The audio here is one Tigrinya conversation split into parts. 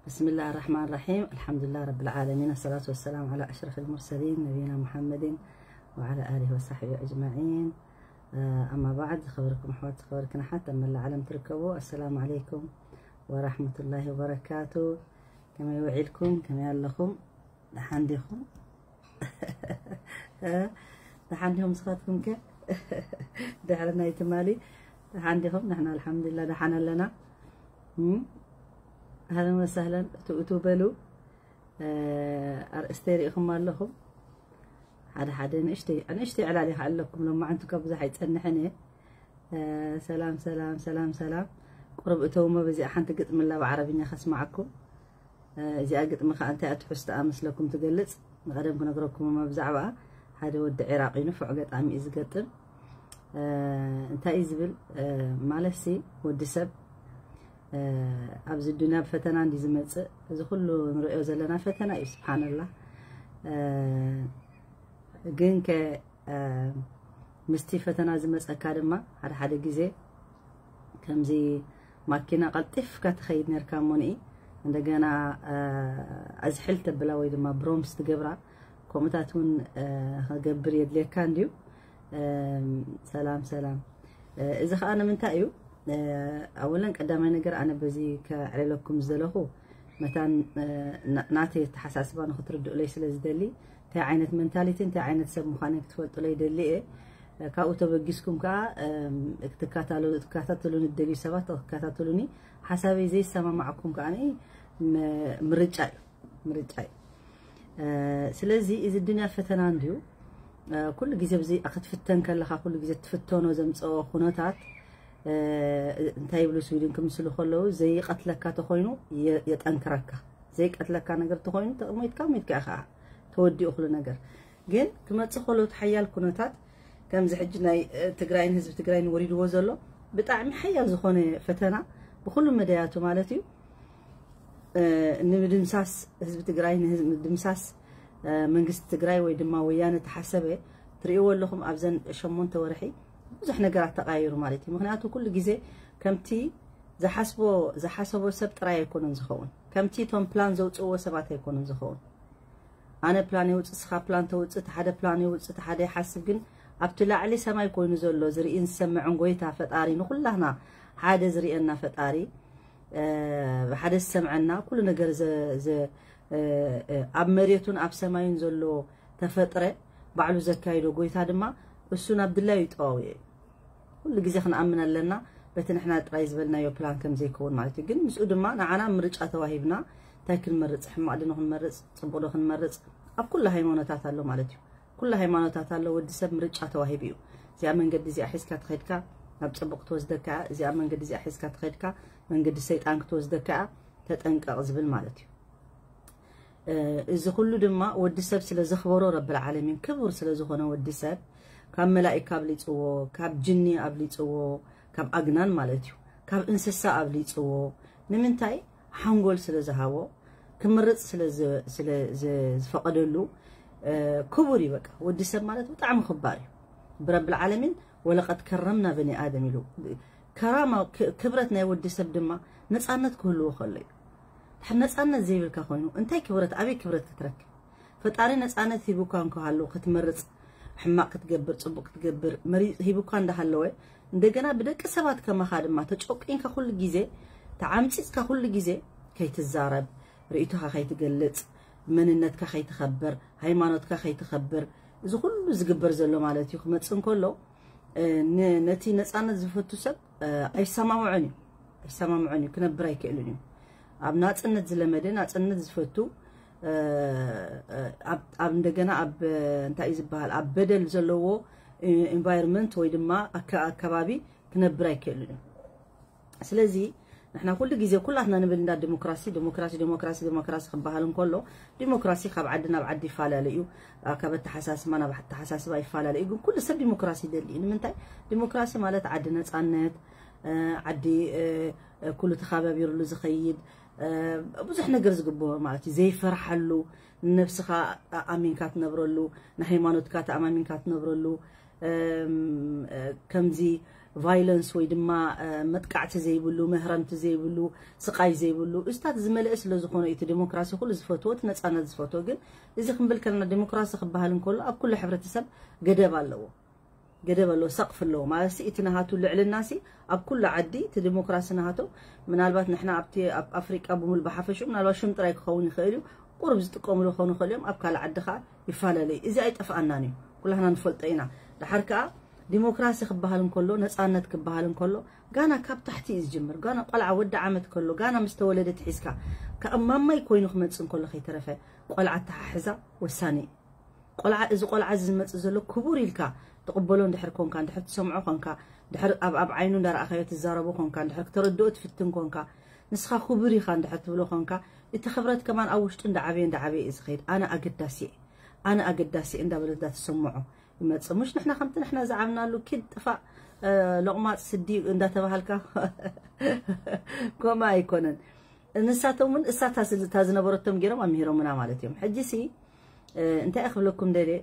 بسم الله الرحمن الرحيم. الحمد لله رب العالمين. الصلاة والسلام على أشرف المرسلين نبينا محمد وعلى آله وصحبه أجمعين. أما بعد، خبركم أحوات، خبركم حتى من العالم تركبوا. السلام عليكم ورحمة الله وبركاته. كما يوعيلكم، كما يالكم؟ دحان ديكم؟ دحان ديكم سخاتكم كيف؟ دحرنا يتمالي. دحان ديكم؟ نحن الحمد لله دحان لنا. أهلا وسهلا. تؤتوا بلو. ኣርእስተይ ሪኢኹም ኣለኹም። ሓደ ሓደ ንእሽተይ ንእሽተይ ዕላል ይኸኣለኩም። ሎማዓንቲ ካብ ብዙሕ ኣይጸንሕን እየ። ሰላም ሰላም ሰላም ሰላም። ቁሩብ እተውሞ በዚኣ ሓንቲ ግጥሚ ኣላ ብዓረብኛ ከስማዓኩም። እዚኣ ግጥሚ ከኣ እንታይ ትሕዝቶኣ መስለኩም ትገልጽ? ንቐደም ክነግረኩም እሞ ብዛዕባኣ። ሓደ ወዲ ዒራቕ እዩ፣ ንፉዕ ገጣሚ እዩ ዝገጥም። እንታይ እዩ ዝብል? ማለትሲ ወዲ ሰብ ኣብዚ ዱንያ ብፈተና እንዲዩ ዝመጽእ። እዚ ኩሉ ንሪኦ ዘለና ፈተና እዩ፣ ስብሓንላህ። ግን ከ ምስቲ ፈተና ዝመጸካ ድማ ሓደ ሓደ ግዜ ከምዚ ማኪና ቀልጢፍካ ትኸይድ ነርካ እሞ ንኢ እንደገና ኣዝሕል ተብላ ወይ ድማ ብሮምስ ትገብራ፣ ከምኡታት እውን ክገብር የድልየካ እንድዩ። ሰላም ሰላም። እዚ ከዓ ንምንታይ እዩ? ኣወለን ቀዳማይ ነገር ኣነ በዚ ከዕለለኩም ዝደለኹ መታን ናተይ ኣተሓሳስባ ንክትርድኡለይ ስለ ዝደሊ፣ እንታይ ዓይነት መንታሊቲ እንታይ ዓይነት ሰብ ምዃነይ ክትፈልጡለይ ደሊ እየ። ካብኡ ተበጊስኩም ከዓ ክትከታተሉኒ ትደልዩ ሰባት ክትከታተሉኒ፣ ሓሳበይ ዘይሰማማዕኩም ከዓ ምርጫ እዩ፣ ምርጫ እዩ። ስለዚ እዚ ዱንያ ፈተና እንድዩ። ኩሉ ግዜ ብዚ ክትፍተን ከለኻ ኩሉ ግዜ ትፍተኖ ዘምፀኦ ኩነታት እንታይ ይብሉ ስዊድን ክምስሉ ከለዉ ዘይቀትለካ ተኮይኑ የጠንክረካ፣ ዘይቀትለካ ነገር ተኮይኑ ተሞይትካ ሞይትካ ኢኻ ተወዲኡ ኩሉ ነገር። ግን ክመፅእ ከሎ እቲ ሓያል ኩነታት ከምዚ ሕጂ ናይ ትግራይን ህዝቢ ትግራይን ወሪድዎ ዘሎ ብጣዕሚ ሓያል ዝኾነ ፈተና ብኩሉ መዳያቱ ማለት እዩ ንምድምሳስ ህዝቢ ትግራይ ንምድምሳስ መንግስቲ ትግራይ ወይ ድማ ወያነ ተሓሰበ ትርእይዎ ኣለኹም። ኣብዘን ሸሞንተ ወርሒ ብዙሕ ነገራት ተቃይሩ ማለት እዩ። ምክንያቱ ኩሉ ግዜ ከምቲ ዝሓስቦ ዝሓሰቦ ሰብ ጥራይ ኣይኮነን ዝኸውን፣ ከምቲ እቶም ፕላን ዘውፅእዎ ሰባት ኣይኮነን ዝኸውን። ኣነ ፕላን የውፅእ፣ ስኻ ፕላን ተውፅእ፣ እቲ ሓደ ፕላን የውፅእ፣ እቲ ሓደ ይሓስብ። ግን ኣብቲ ላዕሊ ሰማይ ኮይኑ ዘሎ ዝርእን ዝሰምዕን ጎይታ ፈጣሪ፣ ንኩላህና ሓደ ዝርእየና ፈጣሪ፣ ሓደ ዝሰምዐና፣ ኩሉ ነገር ኣብ መሬቱን ኣብ ሰማዩን ዘሎ ተፈጥረ ባዕሉ ዘካይዶ ጎይታ ድማ እሱ ናብ ድላዩ ይጠዋውዮ እዩ። ኩሉ ግዜ ክንኣምን ኣለና በቲ ንሕና ጥራይ ዝበልናዮ ፕላን ከም ዘይከውን ማለት እዩ። ግን ምስኡ ድማ ንዓና ምርጫ ተዋሂብና እንታይ ክንመርጽ፣ ሕማቕ ድኖ ክንመርጽ፣ ጽቡቕ ዶ ክንመርጽ ኣብ ኩሉ ሃይማኖታት ኣሎ ማለት እዩ። ኩሉ ሃይማኖታት ኣሎ፣ ወዲ ሰብ ምርጫ ተዋሂቡ እዩ። እዚኣ መንገዲ እዚኣ ሒዝካ ተኸድካ ናብ ጽቡቕ ክትወስደካ እያ፣ እዚኣ መንገዲ እዚኣ ሒዝካ ተኸድካ መንገዲ ሰይጣን ክትወስደካ እያ፣ ተጠንቀቕ ዝብል ማለት እዩ። እዚ ኩሉ ድማ ወዲ ሰብ ስለ ዘኽበሮ ረብል ዓለሚን ክቡር ስለ ዝኾነ ወዲ ሰብ ካብ መላኢካ ኣብሊጽዎ፣ ካብ ጅኒ ኣብሊጽዎ፣ ካብ ኣግናን ማለት እዩ፣ ካብ እንስሳ ኣብሊጽዎ። ንምንታይ? ሓንጎል ስለ ዝሃቦ፣ ክምርጽ ስለ ዝፈቐደሉ ክቡር እዩ። በቃ ወዲ ሰብ ማለት ብጣዕሚ ክባር እዩ ብረብል ዓለሚን። ወለቀድ ከረምና በኒ ኣደም ኢሉ ከራማ ክብረት ናይ ወዲ ሰብ ድማ ነፃነት ክህልዎ ከሎ እዩ። ድሕር ነፃነት ዘይብልካ ኮይኑ እንታይ ክብረት ኣበይ ክብረት ክትረክብ? ፈጣሪ ነፃነት ሂቡካ እንከሃሉ ክትመርፅ ሕማቅ ክትገብር ፅቡቅ ክትገብር መሪፅ ሂቡካ እንዳሃለወ እንደገና ብደቂ ሰባት ከማኻ ድማ ተጨቂንካ ኩሉ ግዜ ተዓምፂፅካ ኩሉ ግዜ ከይትዛረብ ርእይቶኻ ከይትገልፅ መንነትካ ከይትኸብር ሃይማኖትካ ከይትኸብር እዚ ኩሉ ዝግበር ዘሎ ማለት እዩ ክመፅእ እንከሎ ነቲ ነፃነት ዝፈቱ ሰብ ኣይሰማምዖን እዩ ኣይሰማምዖን እዩ ክነብር ኣይክእልን እዩ ኣብ ናፅነት ዝለመደ ናፅነት ዝፈቱ ኣብ እንደገና ኣብ እንታይ ዝበሃል ኣብ በደል ዘለዎ environment ወይ ድማ ኣከባቢ ክነብር ኣይክእልን እዩ ስለዚ ንሕና ኩሉ ግዜ ኩላትና ንብል እንዳ ዲሞክራሲ ዲሞክራሲ ዲሞክራሲ ዲሞክራሲ ክበሃል እንከሎ ዲሞክራሲ ካብ ዓዲ ናብ ዓዲ ይፈላለ እዩ ካብ ኣተሓሳስባ ናብ ኣተሓሳስባ ይፈላለ እዩ ግን ኩሉ ሰብ ዲሞክራሲ ይደሊ እዩ ንምንታይ ዲሞክራሲ ማለት ዓዲ ነፃነት ዓዲ ኩሉ ተኻባቢርሉ ዝኸይድ ብዙሕ ነገር ዝግበሩ ማለት እዩ ዘይፈርሓሉ ንነብስኻ ኣሚንካ ትነብረሉ ንሃይማኖትካ ተኣማሚንካ ትነብረሉ ከምዚ ቫይለንስ ወይ ድማ መጥቃዕቲ ዘይብሉ፣ መህረምቲ ዘይብሉ፣ ስቓይ ዘይብሉ፣ እዚታት ዝመልአ ስለ ዝኾነ እዩ እቲ ዴሞክራሲ ኩሉ ዝፈትዎ፣ እቲ ነፃነት ዝፈትዎ። ግን እዚ ክንብል ከለና ዴሞክራሲ ክበሃል እንከሎ ኣብ ኩሉ ሕብረተሰብ ገደብ ኣለዎ። ገደብ ኣለዎ፣ ሰቕፍ ኣለዎ ማለት ሲ እቲ ናሃቱ ልዕልና ሲ ኣብ ኩሉ ዓዲ እቲ ዴሞክራሲ ናሃቶም። ምናልባት ንሕና ኣብቲ ኣብ ኣፍሪቃ ብምሉ ብሓፈሽኡ ምናልባት ሽም ጥራይ ክኸውን ይኽእል እዩ፣ ቁሩብ ዝጥቀምሉ ክኾኑ ይኽእል እዮም። ኣብ ካልእ ዓዲ ከዓ ይፈላለዩ። እዚ ኣይጠፍኣናን እዩ፣ ኩላህና ንፈልጦ ኢና። ድሓር ከዓ ዲሞክራሲ ክበሃል እንከሎ፣ ነፃነት ክበሃል እንከሎ፣ ጋና ካብ ታሕቲ እዩ ዝጅምር። ጋና ቆልዓ ወዲ ዓመት ከሎ፣ ጋና ምስ ተወለደ ትሒዝካ ካብ ማማይ ኮይኑ ክመፅእ እንከሎ ከይተረፈ ቆልዓ ኣተሓሕዛ ወሳኒ እዩ። ቆልዓ፣ እዚ ቆልዓ እዚ ዝመፅእ ዘሎ ክቡር ኢልካ ትቕበሎ እንድሕር ኮንካ፣ እንድሕር ትሰምዖ ኮንካ፣ እንድሕር ኣብ ኣብ ዓይኑ እንዳረኣኻዮ ትዛረቦ ኮንካ፣ እንድሕር ክተረድኦ ትፍትን ኮንካ፣ ንስኻ ክቡር ኢኻ እንድሕር ትብሎ ኮንካ፣ እቲ ክብረት ከማን ኣብ ውሽጡ እንዳዓበየ እንዳዓበየ እዩ ዝኸይድ። ኣነ ኣገዳሲ እየ፣ ኣነ ኣገዳሲ እየ እንዳበለ እንዳተሰምዖ ይመጽእ። ምሽ ንሕና ከምቲ ንሕና ዝዓብናሉ ኪድ ጥፋእ፣ እ፣ ሎቕማጽ ስዲ እንዳተባሃልካ ከምኡ ኣይኮነን። ንሳቶም እውን እሳታ ስልታ ዝነበረቶም ገይሮም ኣምሂሮምና ማለት እዮም። ሕጂ ሲ፣ እ፣ እንታይ እየ ክብለኩም ደልየ፣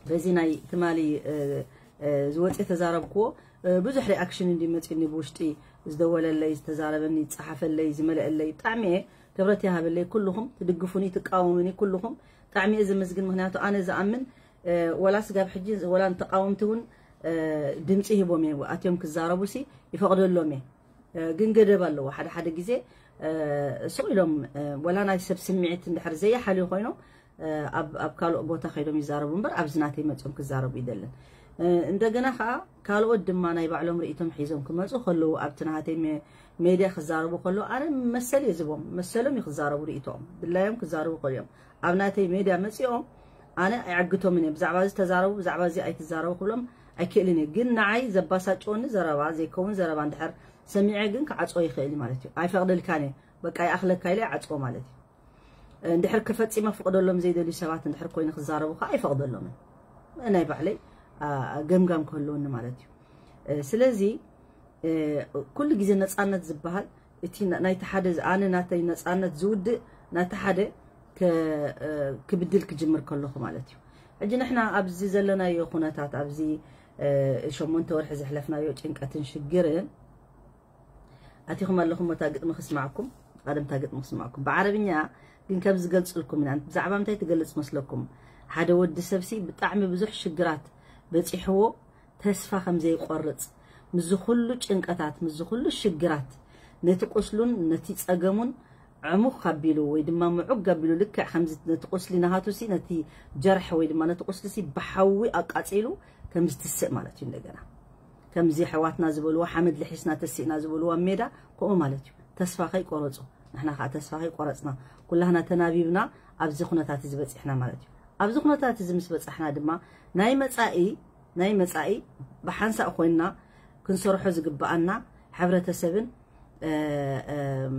በዚ ናይ ትማሊ፣ እ፣ እ፣ ዝወፀ ተዛረብክዎ፣ እ፣ ብዙሕ ሪኣክሽን እንዲ መፂኒ ብውሽጢ ዝደወለለይ፣ ዝተዛረበኒ፣ ዝፀሓፈለይ፣ ዝመለአለይ ብጣዕሚ እየ ክብረት ይሃበለይ። ኩልኹም ትድግፉኒ፣ ትቃወሙኒ፣ ኩልኹም ብጣዕሚ እየ ዝምስግን። ምክንያቱ ኣነ ዝኣምን፣ እ፣ ወላ ስጋብ ሕጂ ወላ ንተቃወምቲ እውን፣ እ፣ ድምፂ ሂቦም እየ፣ ኣትዮም ክዛረቡ ሲ ይፈቅደሎም እየ። እ፣ ግን ገደብ ኣለዎ። ሓደ ሓደ ግዜ፣ እ፣ ስቕ ኢሎም፣ እ፣ ወላ ናይ ሰብ ስምዒት እንድሕር ዘይሓልዩ ኮይኖም፣ እ፣ ኣብ ኣብ ካልኦት ቦታ ከይዶም ይዛረቡ እምበር ኣብዚ ናተይ መፅኦም ክዛረቡ ይደልን። እ፣ እንደገና ከዓ ካልኦት ድማ ናይ ባዕሎም ርእይቶም ሒዞም ክመፁ ከለዉ ኣብቲ ናሃተይ ሜ-፣ ሜድያ ክዛረቡ ከለዉ ኣነ መሰል እየ ዝቦም፣ መሰሎም እዩ ክዛረቡ ርእይቶኦም፣ ድላዮም ክዛረቡ ከልዮም ኣብ ናተይ ሜድያ መፂኦም ኣነ ኣይዕግቶምን እየ። ብዛዕባ እዚ ተዛረቡ፣ ብዛዕባ እዚ ኣይትዛረቡ ክብሎም ኣይክእልን እየ። ግን ንዓይ ዘባሳጭወኒ ዘረባ፣ ዘይከውን ዘረባ እንድሕር ሰሚዐ ግን ክዓፅዎ ይኽእል እዩ ማለት እዩ። ኣይፈቕደልካን እየ፣ በቃ ይኣኽለካ ኢለ ይዓፅዎ ማለት እዩ። እንድሕር ክፈፂመ ክፍቕደሎም ዘይደልዩ ሰባት እንድሕር ኮይኑ ክዛረቡ ከዓ ኣይፈቕደሎምን። ናይ ባዕለይ፣ አ፣ ገምጋም ክህልወኒ ማለት እዩ። እ፣ ስለዚ፣ እ፣ ኩሉ ግዜ ነፃነት ዝበሃል እቲ ና-፣ ናይቲ ሓደ ዝ-፣ ኣነ ናተይ ነፃነት ዝውድእ ናቲ ሓደ ከ-፣ እ፣ ክብድል ክጅምር ከለኹ ማለት እዩ። ሕጂ ንሕና ኣብዚ ዘለናዮ ኩነታት፣ ኣብዚ፣ እ፣ ሸሞንተ ወርሒ ዘሕለፍናዮ ጭንቀትን ሽግርን ኣቲኹም ኣለኹም፣ እታ ግጥሚ ክስማዕኩም፣ ቀደምታ ግጥሚ ክስማዕኩም። ብዓረብኛ ግን ከም ዝገልጽልኩም ኢና። ብዛዕባ ምንታይ ትገልጽ መስለኩም? ሓደ ወዲ ሰብሲ ብጣዕሚ ብዙሕ ሽግራት በጺሕዎ ተስፋ ከም ዘይቆርጽ፣ ምስዚ ኩሉ ጭንቀታት፣ ምስዚ ኩሉ ሽግራት፣ ነቲ ቁስሉን ነቲ ጸገሙን ዕሙኽ ኣቢሉ ወይ ድማ ምዑግ ኣቢሉ፣ ልክዕ ከምዚ ነቲ ቁስሊ ናሃቱሲ፣ ነቲ ጀርሒ ወይ ድማ ነቲ ቁስሊሲ ብሓዊ ኣቃጺሉ ከም ዝትስእ ማለት እዩ። እንደገና ከምዚ ኣሕዋትና ዝበልዎ፣ ሓመድ ልሒስና ተሲእና ዝበልዎ ኣብ ሜዳ፣ ከምኡ ማለት እዩ። ተስፋ ከይቆረጹ፣ ንሕና ከዓ ተስፋ ከይቆረጽና፣ ኩላህና ተናቢብና ኣብዚ ኩነታት እዚ በጺሕና ማለት እዩ። ኣብዚ ኩነታት እዚ ምስ በጻሕና ድማ ናይ መጻኢ፣ ናይ መጻኢ ብሓንሳእ ኮይንና ክንሰርሖ ዝግብኣና ሕብረተሰብን፣ እ፣ እም፣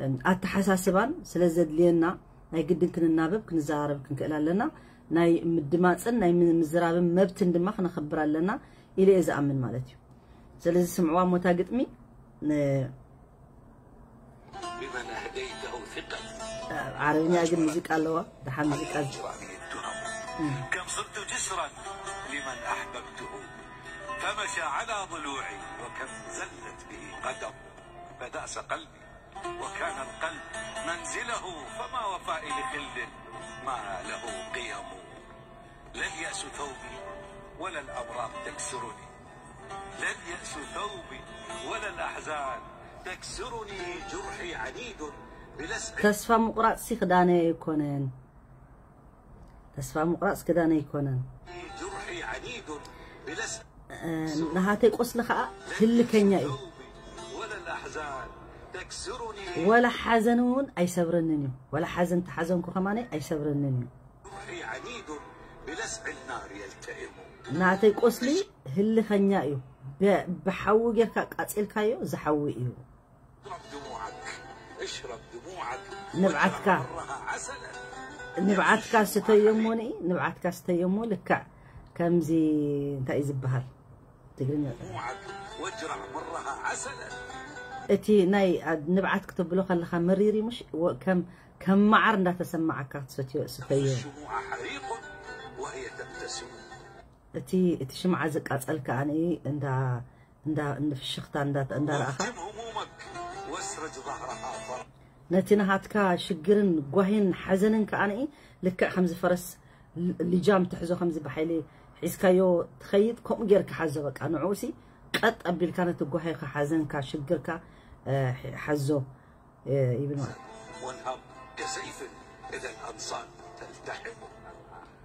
እም፣ ኣተሓሳስባን ስለ ዘድልየና ናይ ግድን ክንናበብ፣ ክንዘራረብ ክንክእል ኣለና። ናይ ምድማፅን ናይ ም-፣ ምዝራብን መብትን ድማ ክነኽብር ኣለና ኢለ እየ ዝኣምን ማለት እዩ። ስለዚ ስምዕዋ እሞ እታ ግጥሚ፣ ን-፣ بمن أهديته ثقتي ዓረብኛ ግን ሙዚቃ ኣለዋ፣ ደሓን ሙዚቃ ዝ-፣ أجرى به الدرر. كم صرت جسرا لمن أحببته فمشى على ضلوعي، وكم زلت به قدم فداس قلبي، وكان القلب منزله فما وفائي لخل ما له قيم. لا اليأس ثوبي ولا الأوراق تكسرني، لا اليأس ثوبي ولا الأحزان تكسرني، جرحي عنيد بلسع ተስፋ ምቑራጽ ሲ ክዳነይ ኣይኮነን። ተስፋ ምቑራጽ ክዳነይ ኣይኮነን። جرحي عنيد بلسع እ፣ ናሃተይ ቁስሊ ኸኣ ህልከኛ እዩ። ثوبي ولا الأحزان تكسرني ወላ ሓዘን እውን ኣይሰብረንን እዩ። ወላ ሓዘን ተሓዘንኩ ከማነይ ኣይሰብረንን እዩ። جرحي عنيد بلسع النار يلتئم ናተይ ቁስሊ ህልኸኛ እዩ። ብ-፣ ብሓዊ ጌርካ ቃጺልካዮ ዝሓዊ እዩ። اشرب دموعك اشرب دموعك ንብዓትካ مرها عسلا ንብዓትካ ስተዮ እሞ ንኢ፣ ንብዓትካ ስተዮ እሞ ልክዕ ከምዚ እንታይ እዩ ዝበሃል ትግርኛ? دموعك واجرع مرها عسلا እቲ ናይ ንብዓት ክተብሎ ከለኻ መሪር እዩ ምሽ? ወ-፣ ከም፣ ከም መዓር እንዳተሰማዓካ ክትሰትዮ ስተዮ። الشموع حريق وهي تبتسم እቲ፣ እቲ ሽምዓ ዝቃጸል ከኣ እንዳ እንዳ እንፍሽኽታ እንዳ እንዳረኣኻ واهتم همومك واسرج ظهرها فرق ነቲ ናሃትካ ሽግርን ጓሂን ሓዘንን ከኣ ንኢ ልክዕ ከምዚ ፈረስ ል- ልጃም ትሕዞ ከምዚ ብሓይሊ ሒዝካዮ ትኸይድ ከምኡ ጌርካ ሓዞ በቃ ንዕኡሲ ቀጥ ኣቢልካ ነቲ ጓሂኻ ሓዘንካ ሽግርካ እ፣ ሓዞ እ፣ ይብል ማለት وانهض كسيف إذا الأنصار تلتحم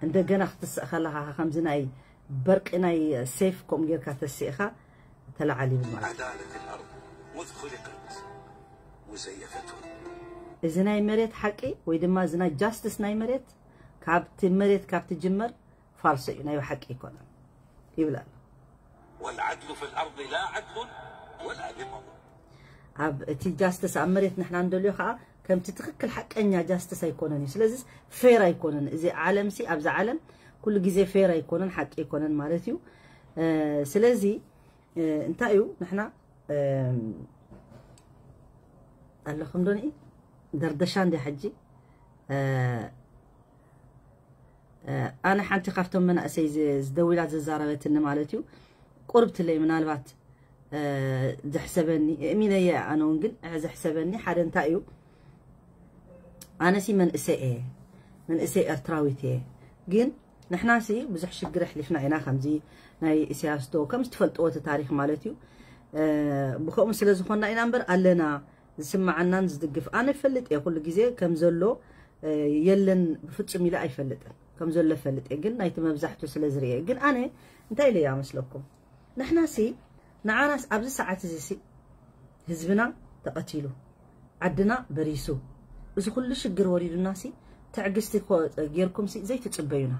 እንደገና ክትስእ ከለኻ ከምዚ ናይ በርቂ ናይ ሴፍ ከምኡ ጌርካ ተሲእኻ ተለዓል ይብል ማለት عدالة الأرض مذ خلقت مزيفة እዚ ናይ መሬት ሓቂ ወይ ድማ እዚ ናይ ጃስትስ ናይ መሬት ካብቲ መሬት ካብ ትጅመር ፋልሶ እዩ ናይ ሓቂ ኣይኮነን ይብል ኣሎ والعدل في الأرض لا عدل ولا لمض ኣብ እቲ ጃስትስ ኣብ መሬት ንሕና እንደልዮ ከዓ ከምቲ ትክክል ሓቀኛ ጃስትስ ኣይኮነን እዩ ስለዚ ፌር ኣይኮነን እዚ ዓለም ሲ ኣብዚ ዓለም ኩሉ ግዜ ፌር ኣይኮነን ሓቂ ኣይኮነን ማለት እዩ እ፣ ስለዚ እ፣ እንታይ እዩ ንሕና እ፣ ኣለኹም ዶ ንኢ ደርደሻ እንዲ ሕጂ እ፣ እ፣ ኣነ ሓንቲ ካብቶም መናእሰይ ዝ- ዝደዊላ ዘዛረበትኒ ማለት እዩ ቁርብትለይ ምናልባት እ፣ ዘሕሰበኒ እሚነየ ኣነ እውን ግን እ፣ ዘሕሰበኒ ሓደ እንታይ እዩ ኣነሲ መንእሰይ እየ መንእሰይ ኤርትራዊት እየ ግን ንሕናሲ ብዙሕ ሽግር ኣሕሊፍና ኢና ከምዚ ናይ ኢሳያስ ዶ ከም ዝትፈልጥዎ እቲ ታሪክ ማለት እዩ እ፣ ብከምኡ ስለ ዝኾንና ኢና እምበር ኣለና ዝስማዓናን ዝድግፍ ኣነ ይፈልጥ እየ ኩሉ ግዜ ከም ዘሎ እ፣ የለን ብፍጹም ኢለ ኣይፈልጥን ከም ዘሎ ፈልጥ እየ ግን ናይቲ መብዛሕቱ ስለ ዝርየ ግን ኣነ እንታይ ኢለ እያ መስለኩም ንሕናሲ ንዓናስ ኣብዚ ሰዓት እዚ ሲ ህዝብና ተቐቲሉ ዓድና በሪሱ እዚ ኩሉ ሽግር ወሪዱና ሲ ትዕግስቲ ኮ- ጌርኩም ሲ ዘይትጽበዩና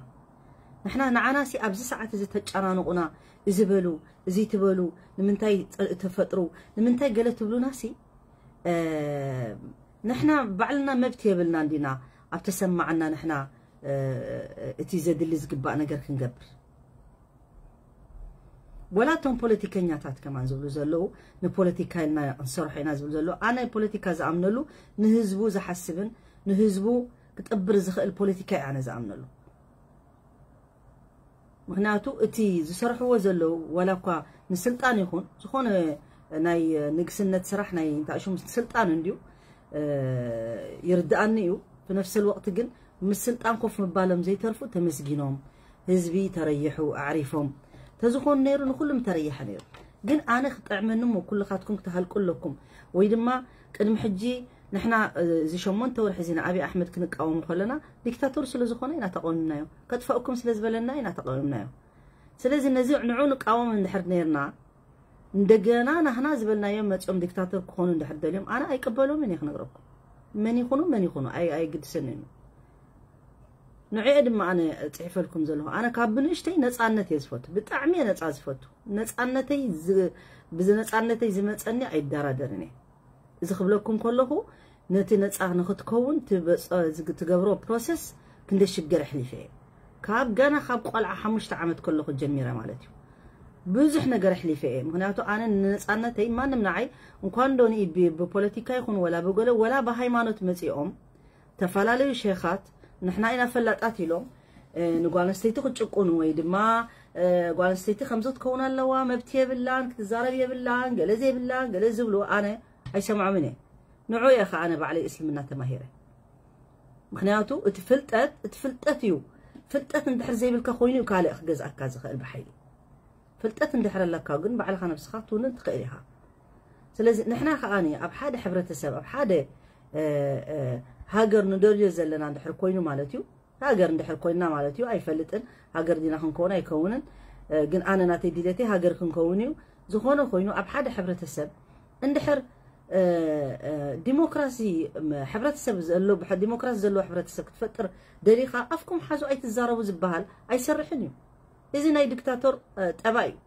ንሕና ንዓና ሲ ኣብዚ ሰዓት እዚ ተጨናንቑና እዚ በሉ እዚ ትበሉ ንምንታይ ጸ- ተፈጥሩ ንምንታይ ገለ ትብሉና ሲ እ፣ ንሕና ባዕልና መብት የብልና እንዲና ኣብ ተሰማዓና ንሕና እ፣ እቲ ዘድሊ ዝግባእ ነገር ክንገብር ወላ እቶም ፖለቲከኛታት ከማን ዝብሉ ዘለዉ ንፖለቲካ ኢልና ክንሰርሖ ኢና ዝብሉ ዘለዉ ኣነ ፖለቲካ ዝኣምነሉ ንህዝቡ ዝሓስብን ንህዝቡ ክጥብር ዝኽእል ፖለቲካ እዩ ኣነ ዝኣምነሉ ምክንያቱ እቲ ዝሰርሕዎ ዘለዉ ዋላ እኳ ንስልጣን ይኹን ዝኾነ ናይ ንግስነት ስራሕ ናይ እንታይ ሽሙ ስልጣን እንድዩ እ፣ ይርድኣኒ እዩ ብነፍሰ ወቅቲ ግን ምስ ስልጣን ኮፍ ምባሎም ዘይተርፉ ተመስጊኖም ህዝቢ ተረይሑ ኣዕሪፎም ተዝኾኑ ነይሩ ንኩሉም ተረይሐ ነይሩ ግን ኣነ ክጥዕመኒ እሞ ኩልኻትኩም ክትሃልቁ ኣለኩም ወይ ድማ ቅድሚ ሕጂ ንሕና እ፣ እዚ ሸሞንተ ወርሒ እዚ ንኣብይ ኣሕመድ ክንቃወሙ ከለና ዲክታቶር ስለ ዝኾነ ኢና ተቃዊምናዮ ከጥፈእኩም ስለ ዝበለና ኢና ተቃዊምናዮ ስለዚ ነዚ ንዑ ንቃወም እንድሕር ነርና እንደገና ናህና ዝበልናዮም መፅኦም ዲክታተር ክኾኑ እንድሕር ደልዮም ኣነ ኣይቀበሎም እየ ክነግረኩም መን ይኹኑ መን ይኹኑ ኣይ ኣይግድሰን እዩ ንዕኤ ድማ ኣነ ፅሒፈልኩም ዘለኹ ኣነ ካብ ብንእሽተይ ነፃነት እየ ዝፈቱ ብጣዕሚ እየ ነፃ ዝፈቱ ነፃነተይ ዝ- ብዚ ነፃነተይ ዝመፀኒ ኣይደራደርን እየ እዚ ክብለኩም ከለኹ ነቲ ነፃ ንክትከውን ትበፀ- ዝግ- ትገብሮ ፕሮሰስ ክንደ ሽግር ኣሕሊፈ እየ ካብ ገና ካብ ቆልዓ ሓሙሽተ ዓመት ከለኹ ጀሚረ ማለት እዩ ብዙሕ ነገር ኣሕሊፈ እየ ምክንያቱ ኣነ ንነፃነተይ ማንም ንዓይ እንኳን ዶ ንኢ ብ- ብፖለቲካ ይኹን ወላ ብገለ ወላ ብሃይማኖት መፂኦም ዝተፈላለዩ ሸኻት ንሕና ኢና ፈላጣት ኢሎም እ፣ ንጓል ኣንስተይቲ ክጭቁኑ ወይ ድማ እ፣ ጓል ኣንስተይቲ ከምዚ ክትከውን ኣለዋ መብት የብላን ክትዛረብ የብላን ገለ ዘይብላን ገለ ዝብሉ ኣነ ኣይሰምዖምን እየ ንዑ እየ ከዓ ኣነ ባዕለይ እስልምና ተማሂረ ምክንያቱ እቲ ፍልጠት እቲ ፍልጠት እዩ ፍልጠት እንድሕር ዘይብልካ ኮይኑ እዩ ካልእ ክገዝኣካ ዝኽእል ብሓይሊ ፍልጠት እንድሕር ኣለካ ግን ባዕልኻ ነብስኻ ትውንን ትኽእል ኢኻ ስለዚ ንሕና ከዓ ኣብ ሓደ ሕብረተሰብ ኣብ ሓደ እ፣ እ፣ ሃገር ንደልዮ ዘለና እንድሕር ኮይኑ ማለት እዩ ሃገር እንድሕር ኮይንና ማለት እዩ ኣይፈልጥን ሃገር ዲና ክንከውን ኣይከውንን እ፣ ግን ኣነ ናተይ ድሌተይ ሃገር ክንከውን እዩ ዝኾነ ኮይኑ ኣብ ሓደ ሕብረተሰብ እንድሕር እ፣ እ፣ ዲሞክራሲ ም- ሕብረተሰብ ዘሎ ብሐ- ዲሞክራሲ ዘለዎ ሕብረተሰብ ክትፈጥር ደሊኻ ኣፍኩም ሓዙ ኣይትዛረቡ ዝበሃል ኣይሰርሕን እዩ እዚ ናይ ዲክታቶር እ፣ ጠባይ እዩ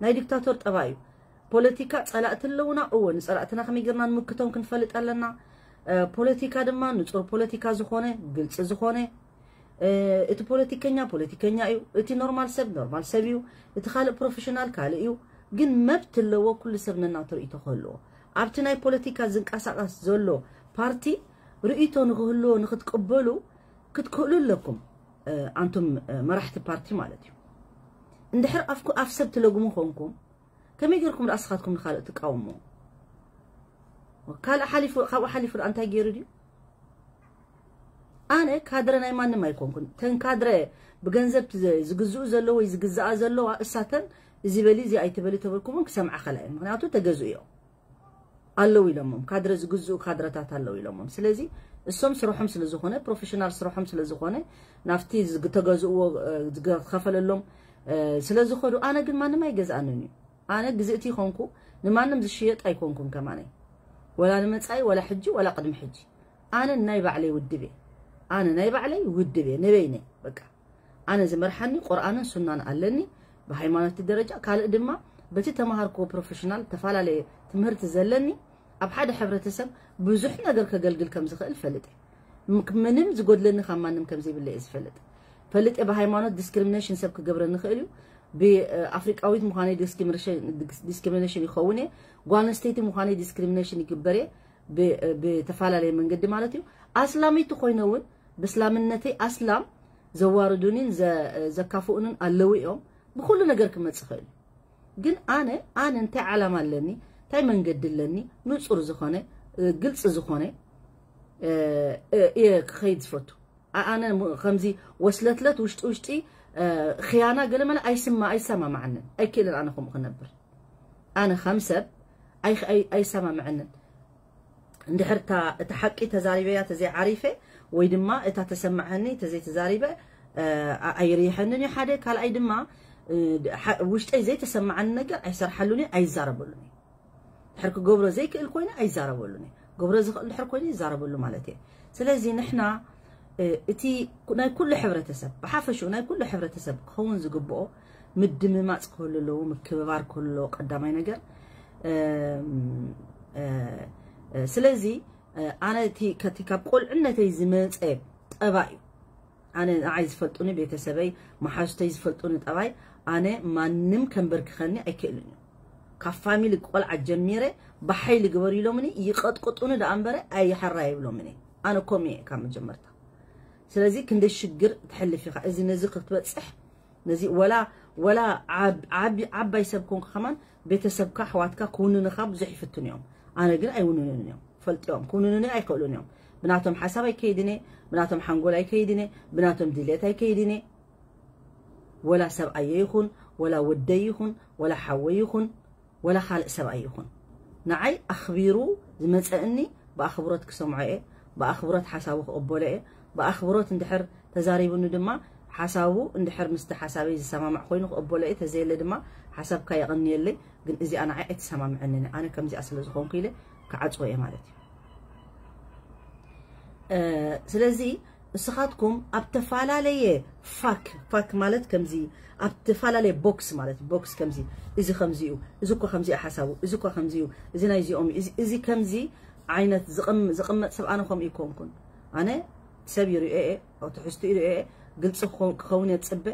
ናይ ዲክታቶር ጠባይ እዩ ፖለቲካ ጸላእቲ ኣለውና እወ ንጸላእትና ከመይ ጌርና ንምክቶም ክንፈልጥ ኣለና እ፣ ፖለቲካ ድማ ንጹር ፖለቲካ ዝኾነ ግልፂ ዝኾነ እ፣ እቲ ፖለቲከኛ ፖለቲከኛ እዩ እቲ ኖርማል ሰብ ኖርማል ሰብ እዩ እቲ ካልእ ፕሮፌሽናል ካልእ እዩ ግን መብት ኣለዎ ኩሉ ሰብ ነናቱ ርእይቶ ክህልዎ ኣብቲ ናይ ፖለቲካ ዝንቀሳቀስ ዘሎ ፓርቲ ርእይቶ ንክህልዎ ንክትቅበሉ ክትክእሉ ኣለኩም እ፣ ኣንቱም እ፣ መራሕቲ ፓርቲ ማለት እዩ እንድሕር ኣፍኩ ኣፍ ሰብ ትለግሙ ኾንኩም ከመይ ጌርኩም ደኣ ስኻትኩም ንኻልእ ትቃወሙ? ካልእ ሓሊፉ ካብኡ ሓሊፉ ደኣ እንታይ ገይሩ ድዩ? ኣነ ካድረ ናይ ማንም ኣይኮንኩን። ተን ካድረ ብገንዘብ ዝግዝኡ ዘለዉ ወይ ዝግዝኣ ዘለዋ እሳተን እዚ በሊ እዚ ኣይትበሊ ተበልኩምን ክሰምዓ ከላ እየ። ምክንያቱ ተገዝኡ እዮም። ኣለዉ ኢሎሞም ካድረ ዝግዝኡ ካድረታት ኣለዉ ኢሎሞም። ስለዚ እሶም ስርሖም ስለ ዝኾነ ፕሮፌሽናል ስርሖም ስለ ዝኾነ ናብቲ ዝተገዝእዎ ዝከፈለሎም ስለ ዝኾዱ ኣነ ግን ማንም ኣይገዝኣንን እዩ። ኣነ ግዝእቲ ይኾንኩ ንማንም ዝሽየጥ ኣይኮንኩን ከማነይ ወላ ንመጻኢ ወላ ሕጂ ወላ ቅድሚ ሕጂ ኣነ ናይ ባዕለይ ውድብ እየ። ኣነ ናይ ባዕለይ ውድብ እየ ንበይነይ በቃ ኣነ ዝመርሓኒ ቁርኣንን ሱናን ኣለኒ ብሃይማኖት ደረጃ ካልእ ድማ በቲ ተማሃርክዎ ፕሮፌሽናል ተፈላለየ ትምህርቲ ዘለኒ ኣብ ሓደ ሕብረተሰብ ብዙሕ ነገር ከገልግል ከም ዝኽእል ፈልጥ ምንም ዝጎድለኒ ካብ ማንም ከም ዘይብለ እየ ዝፈልጥ ፈልጥ ብሃይማኖት ዲስክሪሚኔሽን ሰብ ክገብረኒ ይኽእል እዩ ብኣፍሪቃዊት ምዃነይ ዲስክሪሚኔሽን ይኸውን እየ ጓል ኣንስተይቲ ምዃነይ ዲስክሪሚኔሽን ይግበር እየ ብተፈላለየ መንገዲ ማለት እዩ ኣስላመይቲ ኮይነ እውን ብእስላምነተይ ኣስላም ዘዋርዱኒን ዘካፍኡንን ኣለዉ እዮም ብኩሉ ነገር ክመጽእ ይኽእል ግን ኣነ ኣነ እንታይ ዓላማ ኣለኒ እንታይ መንገዲ ኣለኒ ንጹር ዝኾነ ግልጺ ዝኾነ እየ ክኸይድ ዝፈቱ ኣነ ከምዚ ወስለትለት ውሽጢ ውሽጢ ኽያና ገለመለ ኣይስማ ኣይሰማማዓንን ኣይክእልን ኣነ ከምኡ ክነብር ኣነ ከም ሰብ ኣይሰማምዐንን እንድሕር እታ ሓቂ ተዛሪበያ ተዘይዓሪፈ ወይ ድማ እታ ተሰማዓኒ ተዘይተዛሪበ ኣይርይሐንን እዩ ሓደ ካልኣይ ድማ ውሽጠይ ዘይተሰማዓኒ ነገር ኣይሰርሓሉን ኣይዛረበሉን ድሕር ክገብሮ ዘይክእል ኮይነ ኣይዛረበሉን ገብሮ ዝኽእል ድሕር ኮይነ ይዛረበሉ ማለት እየ ስለዚ ንሕና እቲ ናይ ኩሉ ሕብረተሰብ ብሓፈሽኡ ናይ ኩሉ ሕብረተሰብ ክኸውን ዝግብኦ ምድምማፅ ክህሉ ኣለዎ ምክብባር ክህሉ ኣለዎ ቀዳማይ ነገር ስለዚ ኣነ እቲ ከቲ ካብ ቆልዕነተይ ዝመፀ ጠባይ እዩ ኣነ ንዓይ ዝፈልጡኒ ቤተሰበይ መሓዙተይ ዝፈልጡኒ ጠባይ ኣነ ማንም ከንበርክኸኒ ኣይክእልን እዩ ካብ ፋሚሊ ቆልዓ ጀሚረ ብሓይሊ ግበር ኢሎምኒ ይቐጥቅጡኒ ደኣ እምበረ ኣይሓራ ይብሎምኒ ኣነ ኮም እየ ካብ መጀመርታ ስለዚ ክንደ ሽግር ትሕልፍ ኢኻ እዚ ነዚ ክትበፅሕ ነዚ ወላ ወላ ዓባይ ሰብ ኮንካ ከማን ቤተሰብካ ኣሕዋትካ ክውንንኻ ብዙሕ ይፍትኑ እዮም ኣነ ግን ኣይውንንን እዮም ፈልጥዮም ክውንንኒ ኣይክእሉን እዮም ብናቶም ሓሳብ ኣይከይድን እየ ብናቶም ሓንጎል ኣይከይድን እየ ብናቶም ድሌት ኣይከይድን እየ ወላ ሰብኣየ ይኹን ወላ ወደይ ይኹን ወላ ሓወይ ይኹን ወላ ካልእ ሰብኣይ ይኹን ንዓይ ኣኽቢሩ ዝመፀእኒ ብኣኽብሮት ክሰምዖ እየ ብኣኽብሮት ሓሳቡ ክቕበሎ እየ ብኣኽብሮት እንድሕር ተዛሪቡኒ ድማ ሓሳቡ እንድሕር ምስቲ ሓሳበይ ዝሰማማዕ ኮይኑ ክቕበሎ እየ ተዘየለ ድማ ሓሳብካ የቐንየለይ ግን እዚኣ ንዓይ ኣይተሰማምዐንን ኣነ ከምዚኣ ስለ ዝኾንኩ ኢለ ክዓፅዎ እየ ማለት እዩ ስለዚ እስኻትኩም ኣብ ተፈላለየ ፋክ ፋክ ማለት ከምዚ ኣብ ተፈላለየ ቦክስ ማለት ቦክስ ከምዚ እዚ ከምዚ እዩ እዚ እኮ ከምዚ ሓሳቡ እዚ እኮ ከምዚ እዩ እዚ ናይ እዚኦም እዚ ከምዚ ዓይነት ዝቕመጥ ሰብ ኣነ ከምኡ ይኮንኩን ኣነ ሰብ ይርእዮ እየ ትሕዝቱ ይርእዮ እየ ግልፂ ክኸውን እየ ዝፅበ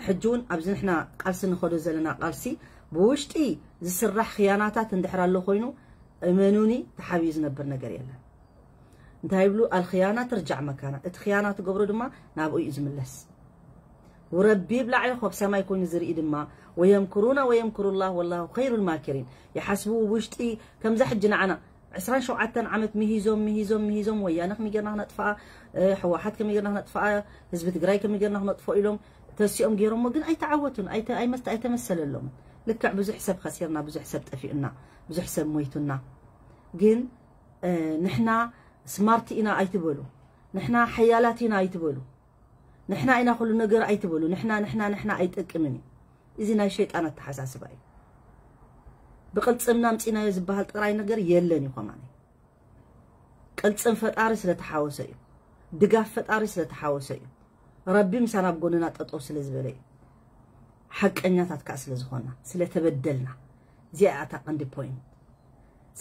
ሕጂ እውን ኣብዚ ንሕና ቃልሲ ንኸዶ ዘለና ቃልሲ ብውሽጢ ዝስራሕ ክያናታት እንድሕር ኣሎ ኮይኑ እመኑኒ ተሓቢኡ ዝነብር ነገር የለን እንታይ ይብሉ ኣልክያና ትርጃዕ መካና እቲ ክያና ትገብሮ ድማ ናብኡ እዩ ዝምለስ ውረቢ ይብላዕ ኢኹ ኣብ ሰማይ ኮይኑ ዝርኢ ድማ ወየምክሩና ወየምክሩ ላህ ወላሁ ኸይሩ ልማኪሪን ይሓስቡ ውሽጢ ከምዛ ሕጂ ንዓና ዕስራን ሸውዓተን ዓመት ምሂዞም ምሂዞም ምሂዞም ወያነ ከመይ ጌርና ክነጥፍኣ ሕወሓት ከመይ ጌርና ክነጥፍኣ ህዝቢ ትግራይ ከመይ ጌርና ክነጥፍኦ ኢሎም ተሲኦም ገይሮሞ ግን ኣይተዓወቱን ኣይመስተ ኣይተመሰለሎም ልክዕ ብዙሕ ሰብ ከሲርና ብዙሕ ሰብ ጠፊኡና ብዙሕ ሰብ ሞይቱና ግን ንሕና ስማርት ኢና ኣይትበሉ ንሕና ሓያላት ኢና ኣይትበሉ ንሕና ኢና ኩሉ ነገር ኣይትበሉ ንሕና ንሕና ንሕና ኣይጠቅምን እዩ እዚ ናይ ሸይጣን ኣተሓሳስባ እዩ ብቅልፅምና ምፂናዮ ዝበሃል ጥራይ ነገር የለን እዩ ከማን ቅልፅም ፈጣሪ ስለተሓወሰ እዩ ድጋፍ ፈጣሪ ስለተሓወሰ እዩ ረቢ ምሳና ኣብ ጎንና ጠጠው ስለ ዝበለ እዩ ሓቀኛታት ከዓ ስለ ዝኾና ስለተበደልና እዚኣ እታ ቀንዲ ፖይንት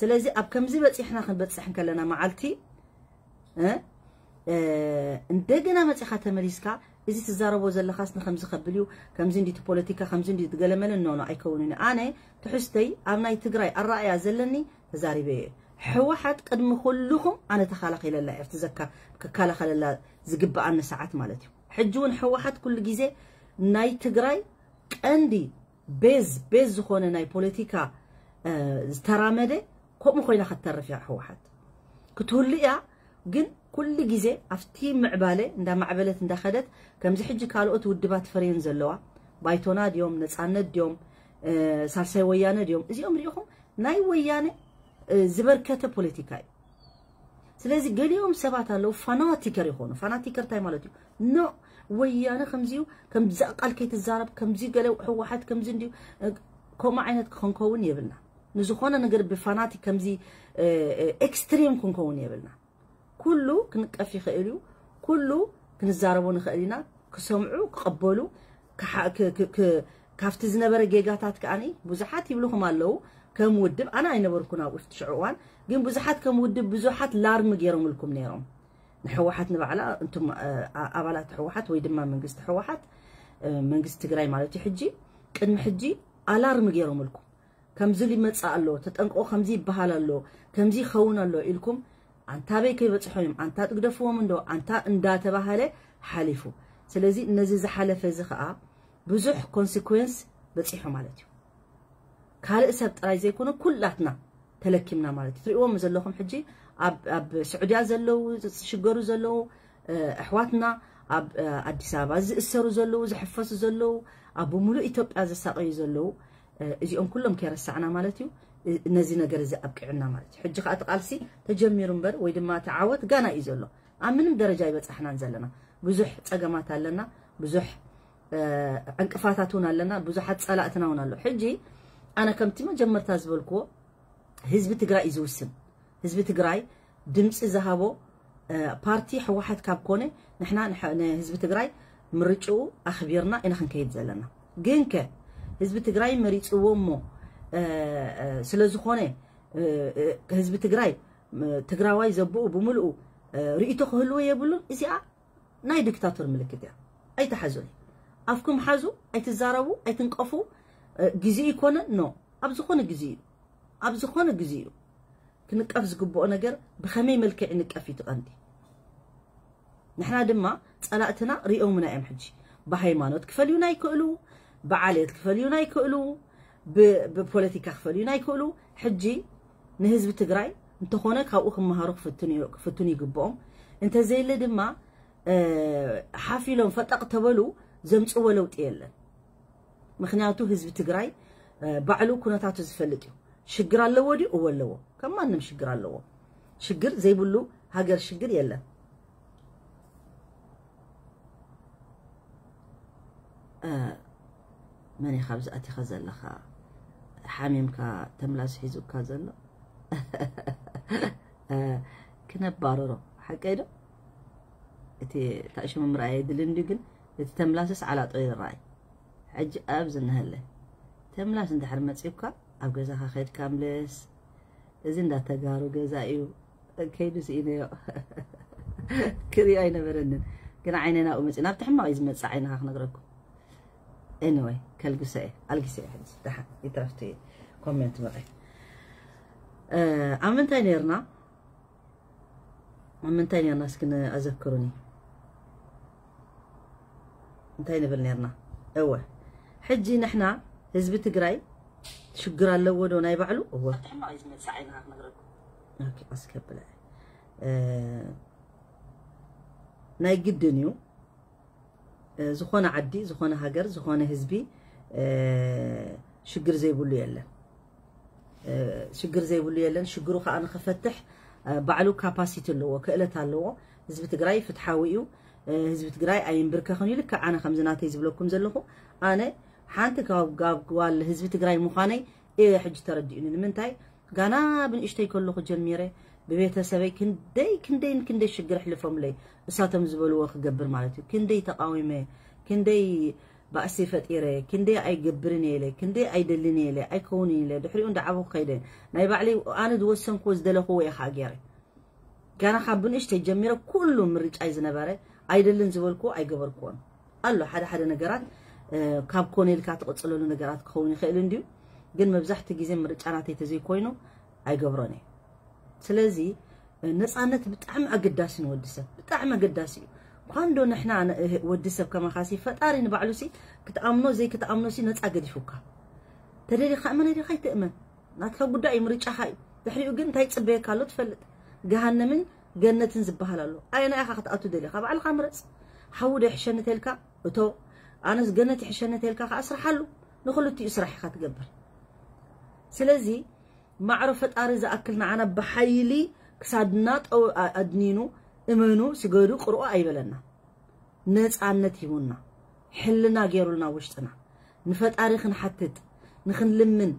ስለዚ ኣብ ከምዚ በፂሕና ክንበፅሕ እንከለና መዓልቲ እንደገና መፂኻ ተመሊስካ እዚ ትዛረቦ ዘለኻስ ንከምዚ ከብል እዩ ከምዚ እንዲቲ ፖለቲካ ከምዚ እንዲ ትገለመለ ኖኖ ኣይከውንን ኣነ ትሕዝተይ ኣብ ናይ ትግራይ ኣረኣያ ዘለኒ ተዛሪበ እየ ሕወሓት ቅድሚ ኩልኹም ኣነ ተኻላኺለላ እየ ኣብቲ ዘካ ክከላኸለላ ዝግበኣኒ ሰዓት ማለት እዩ ሕጂ እውን ሕወሓት ኩሉ ግዜ ናይ ትግራይ ቀንዲ ቤዝ ቤዝ ዝኾነ ናይ ፖለቲካ ዝተራመደ ከምኡ ኮይና ከተርፍ እያ ህወሓት ክትህሉ እያ። ግን ኩሉ ግዜ ኣብቲ ምዕባለ እንዳማዕበለት እንዳኸደት ከምዚ ሕጂ ካልኦት ውድባት ፈርየን ዘለዋ ባይቶና ድዮም ነፃነት ድዮም ሳልሳይ ወያነ ድዮም እዚኦም ሪኢኹም ናይ ወያነ ዝበርከተ ፖለቲካ እዩ። ስለዚ ገሊኦም ሰባት ኣለዉ ፋናቲከር ይኾኑ። ፋናቲከር እንታይ ማለት እዩ? ኖ ወያነ ከምዚዩ ከምዚ ቃል ከይትዛረብ ከምዚ ገለ ህወሓት ከምዚ እንዲዩ ከምኡ ዓይነት ክንከውን የብልና። ንዝኾነ ነገር ብፋናቲክ ከምዚ ኤክስትሪም ክንከውን የብልና። ኩሉ ክንቀፍ ይኽእል እዩ። ኩሉ ክንዛረቦ ንኽእል ኢና። ክሰምዑ ክቐበሉ ካብቲ ዝነበረ ጌጋታት ከዓኒ ብዙሓት ይብልኹም ኣለዉ። ከም ውድብ ኣነ ኣይነበርኩን ኣብኡ ሽዑ እዋን ግን ብዙሓት ከም ውድብ ብዙሓት ላርሚ ገይሮምልኩም ነይሮም። ንሕወሓት ንባዕላ እንቱም ኣባላት ሕወሓት ወይ ድማ መንግስቲ ሕወሓት መንግስቲ ትግራይ ማለት እዩ ሕጂ ቅድሚ ሕጂ ኣላርሚ ገይሮምልኩም ከምዚ ሊመፅእ ኣሎ ተጠንቀቑ ከምዚ ይበሃል ኣሎ ከምዚ ይኸውን ኣሎ ኢልኩም ኣንታ በይ ከይበፅሖም እዮም ኣንታ ጥግደፍዎም እንዶ ኣንታ እንዳተባሃለ ሓሊፉ። ስለዚ ነዚ ዝሓለፈ እዚ ከዓ ብዙሕ ኮንሲኩዌንስ በፂሑ ማለት እዩ። ካልእ ሰብ ጥራይ ዘይኮነ ኩላትና ተለኪምና ማለት እዩ። ትሪእዎም ዘለኹም ሕጂ ኣብ ስዑድያ ዘለዉ ዝሽገሩ ዘለዉ ኣሕዋትና ኣብ ኣዲስ ኣበባ ዝእሰሩ ዘለዉ ዝሕፈሱ ዘለዉ ኣብ ብምሉእ ኢትዮጵያ ዝሳቀዩ ዘለዉ እዚኦም ኩሎም ከይረሳዕና ማለት እዩ። ነዚ ነገር እዚ ኣብቂዕና ማለት እዩ። ሕጂ ከዓ እቲ ቃልሲ ተጀሚሩ እምበር ወይ ድማ እቲ ዓወት ጋና እዩ ዘሎ። ኣብ ምንም ደረጃ ይበፃሕናን ዘለና ብዙሕ ፀገማት ኣለና፣ ብዙሕ ዕንቅፋታት እውን ኣለና፣ ብዙሓት ፀላእትና እውን ኣሎ። ሕጂ ኣነ ከምቲ መጀመርታ ዝበልክዎ ህዝቢ ትግራይ እዩ ዝውስን። ህዝቢ ትግራይ ድምፂ ዝሃቦ ፓርቲ ህወሓት ካብ ኮነ ንሕና ንህዝቢ ትግራይ ምርጭኡ ኣኽቢርና ኢና ክንከይድ ዘለና። ግን ከ ህዝቢ ትግራይ መሪፅዎ እሞ ስለ ዝኾነ ህዝቢ ትግራይ ትግራዋይ ዘብኡ ብምልኡ ርእይቶ ክህልዎ የብሉን። እዚኣ ናይ ዲክታቶር ምልክት እያ። ኣይትሓዙኒ። ኣፍኩም ሓዙ፣ ኣይትዛረቡ፣ ኣይትንቀፉ። ግዜ ይኮነ ኖ ኣብ ዝኾነ ግዜ እዩ ኣብ ዝኾነ ግዜ እዩ ክንቀፍ ዝግብኦ ነገር ብኸመይ መልክዕ ይንቀፍ እዩ ትቐንዲ። ንሕና ድማ ፀላእትና ሪኦምና እዮም። ሕጂ ብሃይማኖት ክፈልዩና ይክእሉ፣ ብዓሌት ክፈልዩና ይክእሉ፣ ብፖለቲካ ክፈልዩና ይክእሉ። ሕጂ ንህዝቢ ትግራይ እንተኾነ ካብኡ ክመሃሩ ክፍትኑ ይግብኦም። እንተዘየለ ድማ ሓፍ ኢሎም ፈጠቕ ተበሉ ዘምፅዎ ለውጢ የለን። ምክንያቱ ህዝቢ ትግራይ ባዕሉ ኩነታቱ ዝፈልጥ እዩ። ሽግር ኣለዎ ድዩ? እወ ኣለዎ። ከም ማንም ሽግር ኣለዎ። ሽግር ዘይብሉ ሃገር ሽግር የለን። መን ኢኻ ኣብዚ ኣቲኻ ዘለኻ? ሓሚምካ ተምላስ ሒዙካ ዘሎ? ክነባርሮ ሓቀይ ዶ? እቲ ታእሽሙ ምርኣይ የድልን ድዩ ግን እቲ ተምላስስ ዓላጦ ይረኣይ። ሕጂ ኣብ ዝነሀለ ተምላስ እንድሕር መፂኡካ ኣብ ገዛኻ ከድካ ምለስ። እዚ እንዳተጋሩ ገዛ እዩ። ከይዱ ስኢነዮ ክሪኦ ኣይነበረንን ግን ዓይነ ናብኡ መፂኡ ናብቲ ሕማቕ እዩ ዝመፅእ ዓይንኻ ክነግረኩም። ኤኒወይ ከልግሰ እየ ኣልጊሰ እየ ሕጂ ደሓን ይትረፍቲ ኮሜንት መቐ ኣብ ምንታይ ነርና ኣብ ምንታይ ነርና እስኪ ኣዘክሩኒ እንታይ ንብል ነርና እወ ሕጂ ንሕና ህዝቢ ትግራይ ሽግር ኣለዎ ዶ ናይ ባዕሉ እወ ኣስከብለ ናይ ግድን እዩ ዝኾነ ዓዲ ዝኾነ ሃገር ዝኾነ ህዝቢ ሽግር ዘይብሉ የለን ሽግር ዘይብሉ የለን ሽግሩ ከዓ ንክፈትሕ ባዕሉ ካፓሲቲ ኣለዎ ክእለት ኣለዎ ህዝቢ ትግራይ ፍትሓዊ እዩ ህዝቢ ትግራይ ኣይንብርከኽን እዩ ልክዕ ኣነ ከምዚ ናተይ ዝብለኩም ዘለኹ ኣነ ሓንቲ ካብ ጓል ህዝቢ ትግራይ ምዃነይ እየ ሕጂ ተረዲኡኒ ንምንታይ ጋና ብንእሽተይ ከለኹ ጀሚረ ብቤተሰበይ ክንደይ ክንደይን ክንደይ ሽግር ኣሕልፎምለይ እሳቶም ዝበልዎ ክገብር ማለት እዩ ክንደይ ተቃዊመ ክንደይ ባእሲ ፈጢረ ክንደይ ኣይገብርን እየ ኢለ ክንደይ ኣይደልን እየ ኢለ ኣይከውንን ኢለ ድሕሪኡ እንዳዓበኹ ከይደ ናይ ባዕለይ ኣነ ዝወሰንክዎ ዝደለኽዎ እየ ከዓ ገይረ ጋና ካብ ብንእሽተይ ጀሚረ ኩሉ ምርጫይ ዝነበረ ኣይደልን ዝበልክዎ ኣይገበርክዎን ኣሎ ሓደ ሓደ ነገራት ካብ ኮነ ኢልካ ትቕፅለሉ ነገራት ክኸውን ይኽእል እንድዩ ግን መብዛሕትኡ ግዜ ምርጫ ናተይ ተዘይኮይኑ ኣይገብሮን እየ ስለዚ ነፃነት ብጣዕሚ ኣገዳሲ ንወዲ ሰብ ብጣዕሚ ኣገዳሲ እዩ ኳንዶ ንሕና ወዲ ሰብ ከማኻሲ ፈጣሪ ንባዕሉሲ ክትኣምኖ ዘይክትኣምኖሲ ነፃ ገዲፉካ። ተደሊኻ እመነ ዲኻ ኣይትእመን ናትካ ጉዳይ እዩ፣ ምርጫኻ እዩ። ድሕሪኡ ግን እንታይ ይፅበየካ ኣሎ ትፈልጥ። ገሃነምን ገነትን ዝበሃል ኣሎ። ኣየና ኢኻ ክትኣቱ ደሊኻ? ባዕልኻ ምረፅ። ሓዊ ዶ ይሕሸኒ ተልካ እቶ፣ ኣነስ ገነት ይሕሸኒ ተልካ ከዓ ስርሓሉ። ንክልቲኡ ስራሕ ኢኻ ትገብር። ስለዚ ማዕሮ ፈጣሪ ዝኣክል ንዓና ብሓይሊ ክሳድና ጠው ኣድኒኑ እመኑ ስገዱ ቅርኦ ኣይበለና። ነፃነት ሂቡና፣ ሕልና ገይሩልና ውሽጥና፣ ንፈጣሪ ክንሓትት ንክንልምን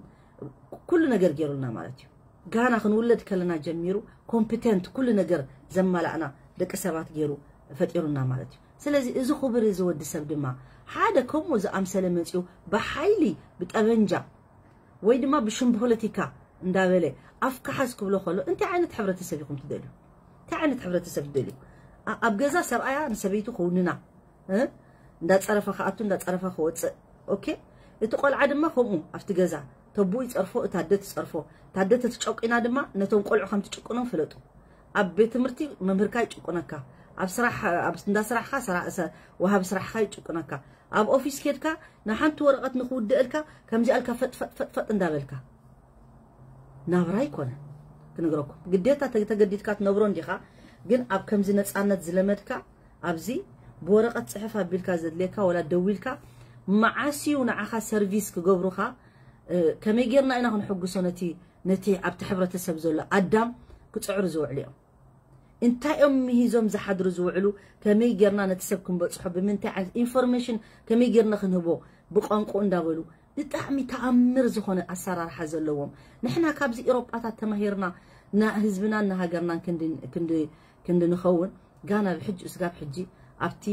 ኩሉ ነገር ገይሩልና ማለት እዩ። ጋና ክንውለድ ከለና ጀሚሩ ኮምፒተንት ኩሉ ነገር ዘማላእና ደቂ ሰባት ገይሩ ፈጢሩና ማለት እዩ። ስለዚ እዚ ክቡር እዚ ወዲ ሰብ ድማ ሓደ ከምኡ ዝኣምሰለ መፂኡ ብሓይሊ ብጠበንጃ ወይ ድማ ብሽም ፖለቲካ እንዳበለ ኣፍካ ሓዝ ክብሎ ከሎ እንታይ ዓይነት ሕብረተሰብ ኢኹም ትደልዩ? እንታይ ዓይነት ሕብረተሰብ ትደልዩ? ኣብ ገዛ ሰብኣያ ንሰበይቱ ክውንና እንዳፀረፈ ክኣቱ እንዳፀረፈ ክወፅእ። ኦኬ፣ እቲ ቆልዓ ድማ ከምኡ ኣብቲ ገዛ ተቡኡ ይፀርፎ፣ እታ ኣደ ትፀርፎ። እታ ኣደ ተትጨቂና ድማ ነቶም ቆልዑ ከም ትጭቅኖም ፍለጡ። ኣብ ቤት ትምህርቲ መምህርካ ይጭቁነካ፣ ኣብ ስራሕ እንዳ ስራሕካ ወሃቢ ስራሕካ ይጭቁነካ። ኣብ ኦፊስ ኬድካ ንሓንቲ ወረቐት ንክውድእልካ ከምዚኣ ኢልካ ፈጥፈጥፈጥፈጥ እንዳበልካ ናብራ ኣይኮነን። ክነግረኩም ግዴታ ተገዲድካ ትነብሮ እንዲኻ። ግን ኣብ ከምዚ ነፃነት ዝለመድካ ኣብዚ ብወረቐት ፅሕፍ ኣቢልካ ዘድልየካ ወላ ደዊልካ መዓስ እዩ ንዓኻ ሰርቪስ ክገብሩኻ? ከመይ ጌርና ኢና ክንሕጉሶ ነቲ ነቲ ኣብቲ ሕብረተሰብ ዘሎ ኣዳም ክፅዕሩ ዝውዕሉ እዮም። እንታይ እዮም ምሂዞም ዝሓድሩ ዝውዕሉ? ከመይ ጌርና ነቲ ሰብ ክንበፅሖ? ብምንታይ ዓይነት ኢንፎርሜሽን ከመይ ጌርና ክንህቦ? ብቋንቋ እንዳበሉ ብጣዕሚ ተኣምር ዝኾነ ኣሰራርሓ ዘለዎም። ንሕና ካብዚ ኤሮጳታት ተማሂርና ንህዝብናን ንሃገርናን ክንዲ ክንዲ ክንዲ ንኸውን ጋና ብሕጂ እስጋብ ሕጂ ኣብቲ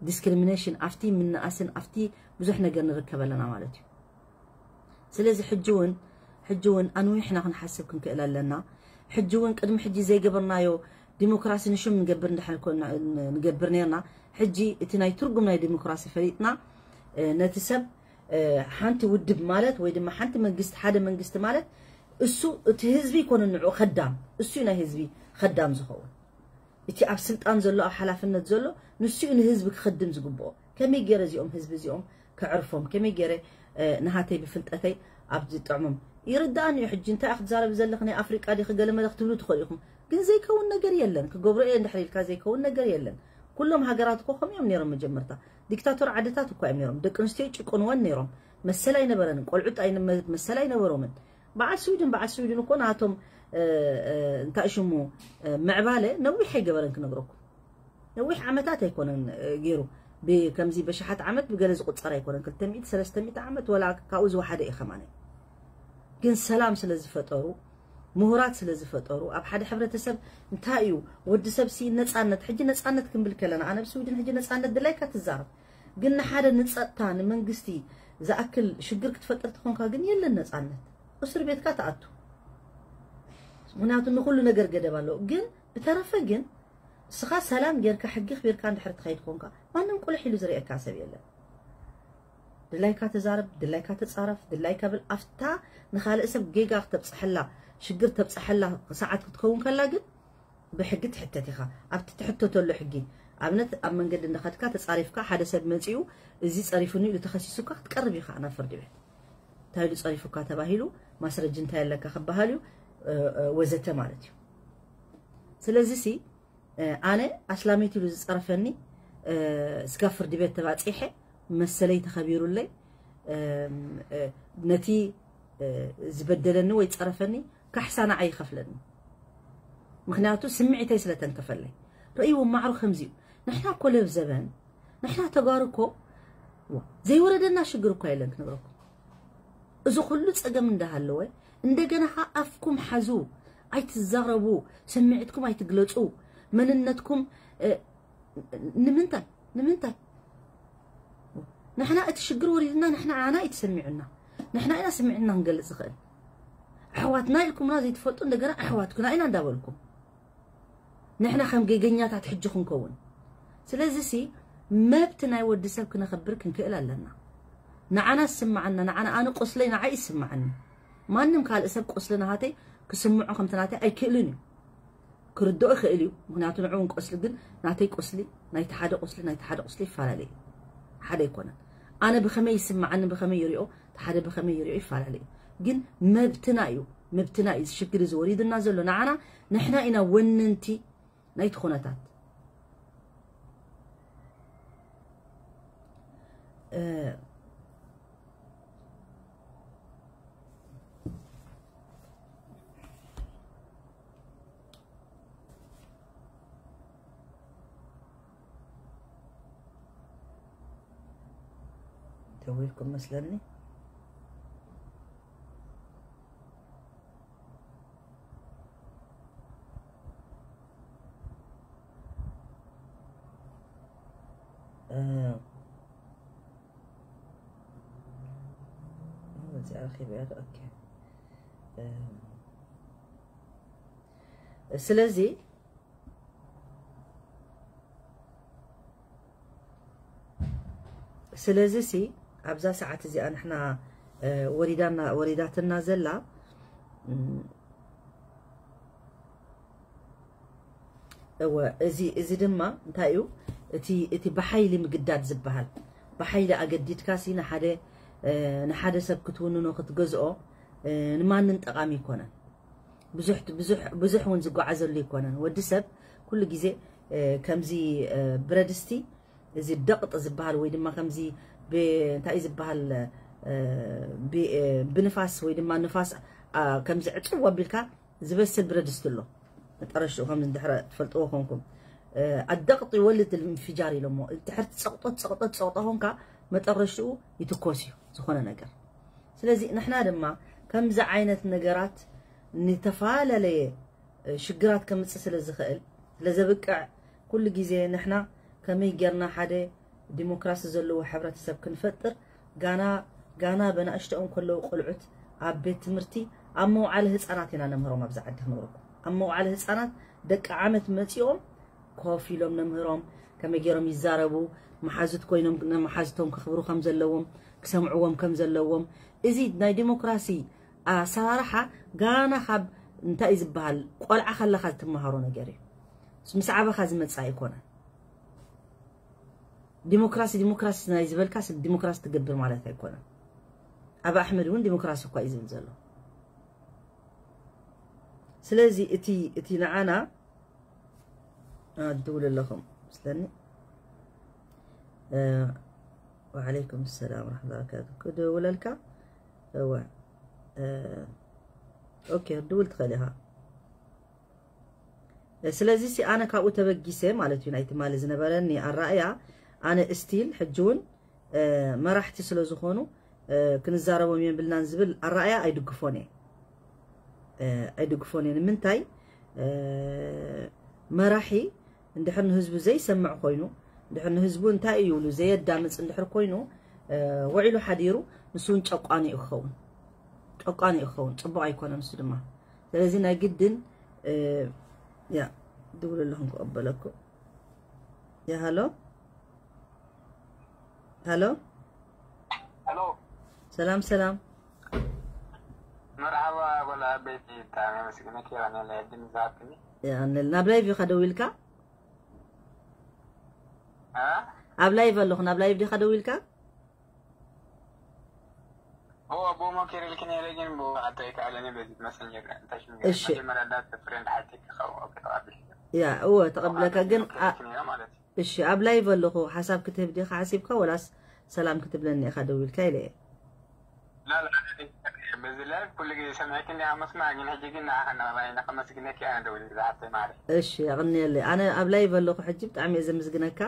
ዲስክሪሚኔሽን ኣብቲ ምንኣስን ኣብቲ ብዙሕ ነገር ንርከብ ኣለና ማለት እዩ። ስለዚ ሕጂ እውን ሕጂ እውን ኣንዊሕና ክንሓስብ ክንክእል ኣለና። ሕጂ እውን ቅድሚ ሕጂ ዘይገበርናዮ ዲሞክራሲ ንሽም ንገብር እንድሕር ኮና ንገብር ነርና። ሕጂ እቲ ናይ ትርጉም ናይ ዲሞክራሲ ፈሊጥና ነቲ ሰብ ሓንቲ ውድብ ማለት ወይ ድማ ሓንቲ መንግስቲ ሓደ መንግስቲ ማለት እሱ እቲ ህዝቢ ይኮነ ንዑ ከዳም እሱ ናይ ህዝቢ ከዳም ዝኸውን እቲ ኣብ ስልጣን ዘሎ ኣብ ሓላፍነት ዘሎ ንሱ ንህዝቢ ክኸድም ዝግብኦ። ከመይ ገይረ እዚኦም ህዝቢ እዚኦም ከዕርፎም ከመይ ገይረ ንሃተይ ብፍልጠተይ ኣብ ዝጥዕሞም ይርዳእኒ እዩ። ሕጂ እንታይ ክትዛረብ ዘለኽ ናይ ኣፍሪቃ ዲኺ ገለ መለ ክትብሉ ትኽእሉ ኢኹም። ግን ዘይከውን ነገር የለን። ክገብሮ እየ እንድሕር ኢልካ ዘይከውን ነገር የለን። ኩሎም ሃገራት እኮ ከምኡ እዮም ነይሮም። መጀመርታ ዲክታቶር ዓድታት እኳ እዮም ነይሮም። ደቂ ኣንስትዮ ይጭቁንወን ነይሮም። መሰል ኣይነበረንን። ቆልዑት መሰል ኣይነበሮምን። በዓል ስዊድን በዓል ስዊድን እኮ ናቶም እንታይ ሽሙ ምዕባለ ነዊሕ ኣይገበረን ክነግረኩም። ነዊሕ ዓመታት ኣይኮነን ገይሩ። ከምዚ በሽሓት ዓመት ብገለ ዝቁፀር ኣይኮነን። ክልተ ሚእቲ ሰለስተ ሚእቲ ዓመት ወላ ካብኡ ዝወሓደ እዩ ከማነ። ግን ሰላም ስለ ዝፈጠሩ ምሁራት ስለ ዝፈጠሩ ኣብ ሓደ ሕብረተሰብ እንታይ እዩ ወዲ ሰብ ሲ ነፃነት። ሕጂ ነፃነት ክንብል ከለና ኣነ ብስዊድን ሕጂ ነፃነት ድላይካ ትዛረብ። ግን ንሓደ ንፀጥታ ንመንግስቲ ዝኣክል ሽግር ክትፈጥር ትኾንካ ግን የለን ነፃነት። እስር ቤትካ ትኣቱ። ምክንያቱ ንኩሉ ነገር ገደብ ኣለዎ። ግን ብተረፈ ግን እስኻ ሰላም ጌርካ ሕጊ ክቢርካ እንድሕር ትኸይድ ኮንካ ማንም ቁልሕ ኢሉ ዝርእየካ ሰብ የለን። ድላይካ ተዛረብ፣ ድላይካ ተፃረፍ፣ ድላይካ ብል። ኣፍታ ንኻልእ ሰብ ጌጋ ክተብፅሐላ ሽግር ተብፅሐላ ሰዓት ክትከውን ከላ ግን ብሕጊ ትሕተት ኢኻ። ኣብቲ ትሕተተሉ ሕጊ ኣብነት ኣብ መንገዲ እንዳኸድካ ተፃሪፍካ ሓደ ሰብ መፂኡ እዚ ፀሪፉኒ ኢሉ ተኸሲሱካ ክትቀርብ ኢኻ ናብ ፍርዲ ቤት። እንታይ ኢሉ ፀሪፉካ ተባሂሉ ማስረጂ እንታይ ኣለካ ክበሃል እዩ ወዘተ ማለት እዩ። ስለዚ ሲ ኣነ ኣስላመይቲ ኢሉ ዝፀረፈኒ ስጋብ ፍርዲ ቤት ተባፂሐ መሰለይ ተኸቢሩለይ ነቲ ዝበደለኒ ወይ ፀረፈኒ ካሕሳ ንዓይ ይኸፍለኒ። ምክንያቱ ስምዒተይ ስለተንከፈለይ። ርእይዎ ማዕሩ ከምዚ እዩ። ንሕና እኮ ለብ ዘበን ንሕና ተጋሩ እኮ ዘይወረደና ሽግር እኳ የለን ክነግረኩም። እዚ ኩሉ ፀገም እንዳሃለወ እንደገና ከዓ ኣፍኩም ሓዙ፣ ኣይትዛረቡ፣ ስምዒትኩም ኣይትግለፁ፣ መንነትኩም ንምንታይ ንምንታይ ንሕና እቲ ሽግር ወሪድና ንሕና ኣና እዩ ተሰሚዑና። ንሕና ኢና ስምዒትና ክንገልፅ ዝኽእል። ኣሕዋትና ኢልኩምና ዘይትፈልጡ እንደገና ኣሕዋትኩና ኢና እንዳበልኩም ንሕና ከም ጌገኛታት ሕጂ ክንከውን። ስለዚ ሲ መብት ናይ ወዲ ሰብ ክነኸብር ክንክእል ኣለና። ንዓና ዝስምዓና ንዓና ኣነ ቁስለይ ንዓይ ይስምዓኒ። ማንም ካልእ ሰብ ቁስሊ ናሃተይ ክስምዖ ከምቲ ናተይ ኣይክእልን እዩ። ክርድኦ ይኽእል እዩ። ምኽንያቱ ንዕኡ እውን ቆስሊ፣ ግን ናተይ ቆስሊ፣ ናይቲ ሓደ ቆስሊ፣ ናይቲ ሓደ ቆስሊ ይፈላለ እዩ። ሓደ ኣይኮነን። ኣነ ብኸመይ ይስምዓኒ፣ ብኸመይ ይሪኦ፣ እቲ ሓደ ብኸመይ ይሪኦ ይፈላለ እዩ። ግን መብትና እዩ፣ መብትና እዩ። እዚ ሽግር እዚ ወሪዱና ዘሎ ንዓና፣ ንሕና ኢና ወነንቲ ናይቲ ኩነታት። እ፣ ደዊልኩም መስለኒ። እ፣ እዚኣ ረኺበያ ዶ? ኦኬ። እ፣ ስለዚ ስለዚ ሲ ኣብዛ ሰዓት እዚኣ ንሕና፣ እ፣ ወሪዳና፣ ወሪዳትና ዘላ፣ እም፣ እወ፣ እዚ፣ እዚ ድማ እንታይ እዩ? እቲ፣ እቲ ብሓይሊ ምግዳድ ዝበሃል፣ ብሓይሊ ኣገዲድካ ሲ ንሓደ፣ እ፣ ንሓደ ሰብ ክትውንኖ፣ ክትገዝኦ፣ እ፣ ንማንም ጠቓሚ ኣይኮነን። ብዙሕ፣ ብዙሕ፣ ብዙሕ እውን ዝጓዓዘሉ ኣይኮነን። ወዲ ሰብ ኩሉ ግዜ፣ እ፣ ከምዚ፣ እ፣ ብረድስቲ፣ እዚ ደቕጥ ዝበሃል ወይ ድማ ከምዚ ብ-፣ እንታይ እዩ ዝበሃል፣ እ፣ ብ-፣ እ፣ ብንፋስ ወይ ድማ ንፋስ፣ ኣ፣ ከምዚ ዕጽው ኣቢልካ ዝበስል ብረድስቲ ኣሎ። መጠረሽኡ ከም እንድሕረ ትፈልጥዎ ኮንኩም፣ እ፣ ኣደቕጥ ይወልድ ልምፍጃር ኢሎሞ። እንድሕር ጸቕጦ፣ ጸቕጦ፣ ጸቕጦ ኮንካ መጠረሽኡ ይትኮስ እዩ ዝኾነ ነገር። ስለዚ ንሕና ድማ ከምዚ ዓይነት ነገራት ንተፈላለየ ሽግራት ከምጽእ ስለ ዝኽእል፣ ስለ ዘብቅዕ፣ ኩሉ ግዜ ንሕና ከመይ ጌርና ሓደ ዲሞክራሲ ዘለዎ ሕብረተሰብ ክንፈጥር፣ ጋና፣ ጋና በናእሽተኦም ከለዉ ቆልዑት ኣብ ቤት ትምህርቲ፣ ኣብ መውዓሊ ህጻናት ኢና ነምህሮም። ኣብዚ ዓዲ ክነግረኩም፣ ኣብ መውዓሊ ህጻናት ደቂ ዓመት መጺኦም ኮፍ ኢሎም ነምህሮም፣ ከመይ ጌሮም ይዛረቡ፣ መሓዙት ኮይኖም ንመሓዙቶም ከኽብሩ ከም ዘለዎም፣ ክሰምዕዎም ከም ዘለዎም። እዚ ናይ ዲሞክራሲ ኣሰራርሓ ጋና ካብ እንታይ እዩ ዝበሃል፣ ቆልዓ ከለኻ ትመሃሮ ነገር እዩ። ምስ ዓበኻ ዝመጽእ ኣይኮነን። ዲሞክራሲ፣ ዲሞክራሲ ናይ ዝበልካ ስ-፣ ዲሞክራሲ ትገብር ማለት ኣይኮነን። ኣብ ኣሕመድ እውን ዲሞክራሲ እኳ እዩ ዝብል ዘሎ። ስለዚ እቲ፣ እቲ ንዓና፣ አ፣ ትድውል ኣለኹም ምስለኒ። እ፣ ወዓለይኩም ሰላም ወራሕመቱላሂ ወበረካቱ። ክድውለልካ? እወ። እ፣ ኦኬ፣ ክትድውል ትኽእል ኢኻ። እ፣ ስለዚ ሲ ኣነ ካብኡ ተበጊሰ ማለት እዩ፣ ናይ ትማሊ ዝነበረኒ ኣረኣእያ። ኣነ እስቲል ሕጂ እውን፣ እ፣ መራሕቲ ስለ ዝኾኑ፣ እ፣ ክንዛረቦም የብልናን ዝብል ኣረኣእያ ኣይድግፎን እየ። እ፣ ኣይድግፎን እየ። ንምንታይ? እ፣ መራሒ እንድሕር ንህዝቡ ዘይሰምዕ ኮይኑ፣ እንድሕር ንህዝቡ እንታይ እዩ ይብሉ ዘየዳምፅ እንድሕር ኮይኑ፣ እ፣ ውዒሉ ሓዲሩ ንሱ እውን ጨቋኒ እዩ ክኸውን። ጨቋኒ እዩ ክኸውን። ፅቡቕ ኣይኮነን እሱ ድማ። ስለዚ ናይ ግድን፣ እ፣ ያ፣ ድውል ኣለኹም ክቕበለኩም። ያ፣ ሃሎ? ሃሎ? ሃሎ? ሰላም፣ ሰላም። መርሓባ፣ ጓል ዓበይቲ፣ ብጣዕሚ ኣመስግነኪ፣ የቐንየለይ ዕድል ዝሃብክኒ። የቐንየል። ናብ ላይቭ ኢኻ ደዊልካ? እ? ኣብ ላይቭ ኣለኹ፣ ናብ ላይቭ ዲኻ ደዊልካ? እወ፣ ብኡ ሞኪረልኪ ነይረ፣ ግን ብኡ ክሓቶ ኣይከኣለኒ፣ በዚ መሰንጀር እንታይ ሽም ገይረ? እሺ። መጀመርያ እንዳ ፍሬንድ ሓቲኪ ክኸውን፣ ኦኬ፣ ተቐቢልኪ። ያ፣ እወ፣ ተቐብለካ፣ ግን ሞኪረልኪ ኣ-፣ ነይረ ማለት እዩ። እሺ፣ ኣብ ላይቭ ኣለኹ፣ ሓሳብ ክትህብ ዲኻ ሓሲብካ፣ ወላስ ሰላም ክትብለኒ ኢኻ ደዊልካ ኢለ እየ። ላ፣ ላ፣ በዚ ላይቭ ኩሉ ግዜ ሰሚዐኪ እንዲኻ መስማዕ፣ ግን ሕጂ ግን ንዓኻ ንቕባይ ኢና ከመስግነኪ ኣነ ደዊለ ዝሓፍተይ ማዕረ። እሺ፣ የቕንየለይ። ኣነ ኣብ ላይቭ ኣለኹ ሕጂ፣ ብጣዕሚ እየ ዘመስግነካ።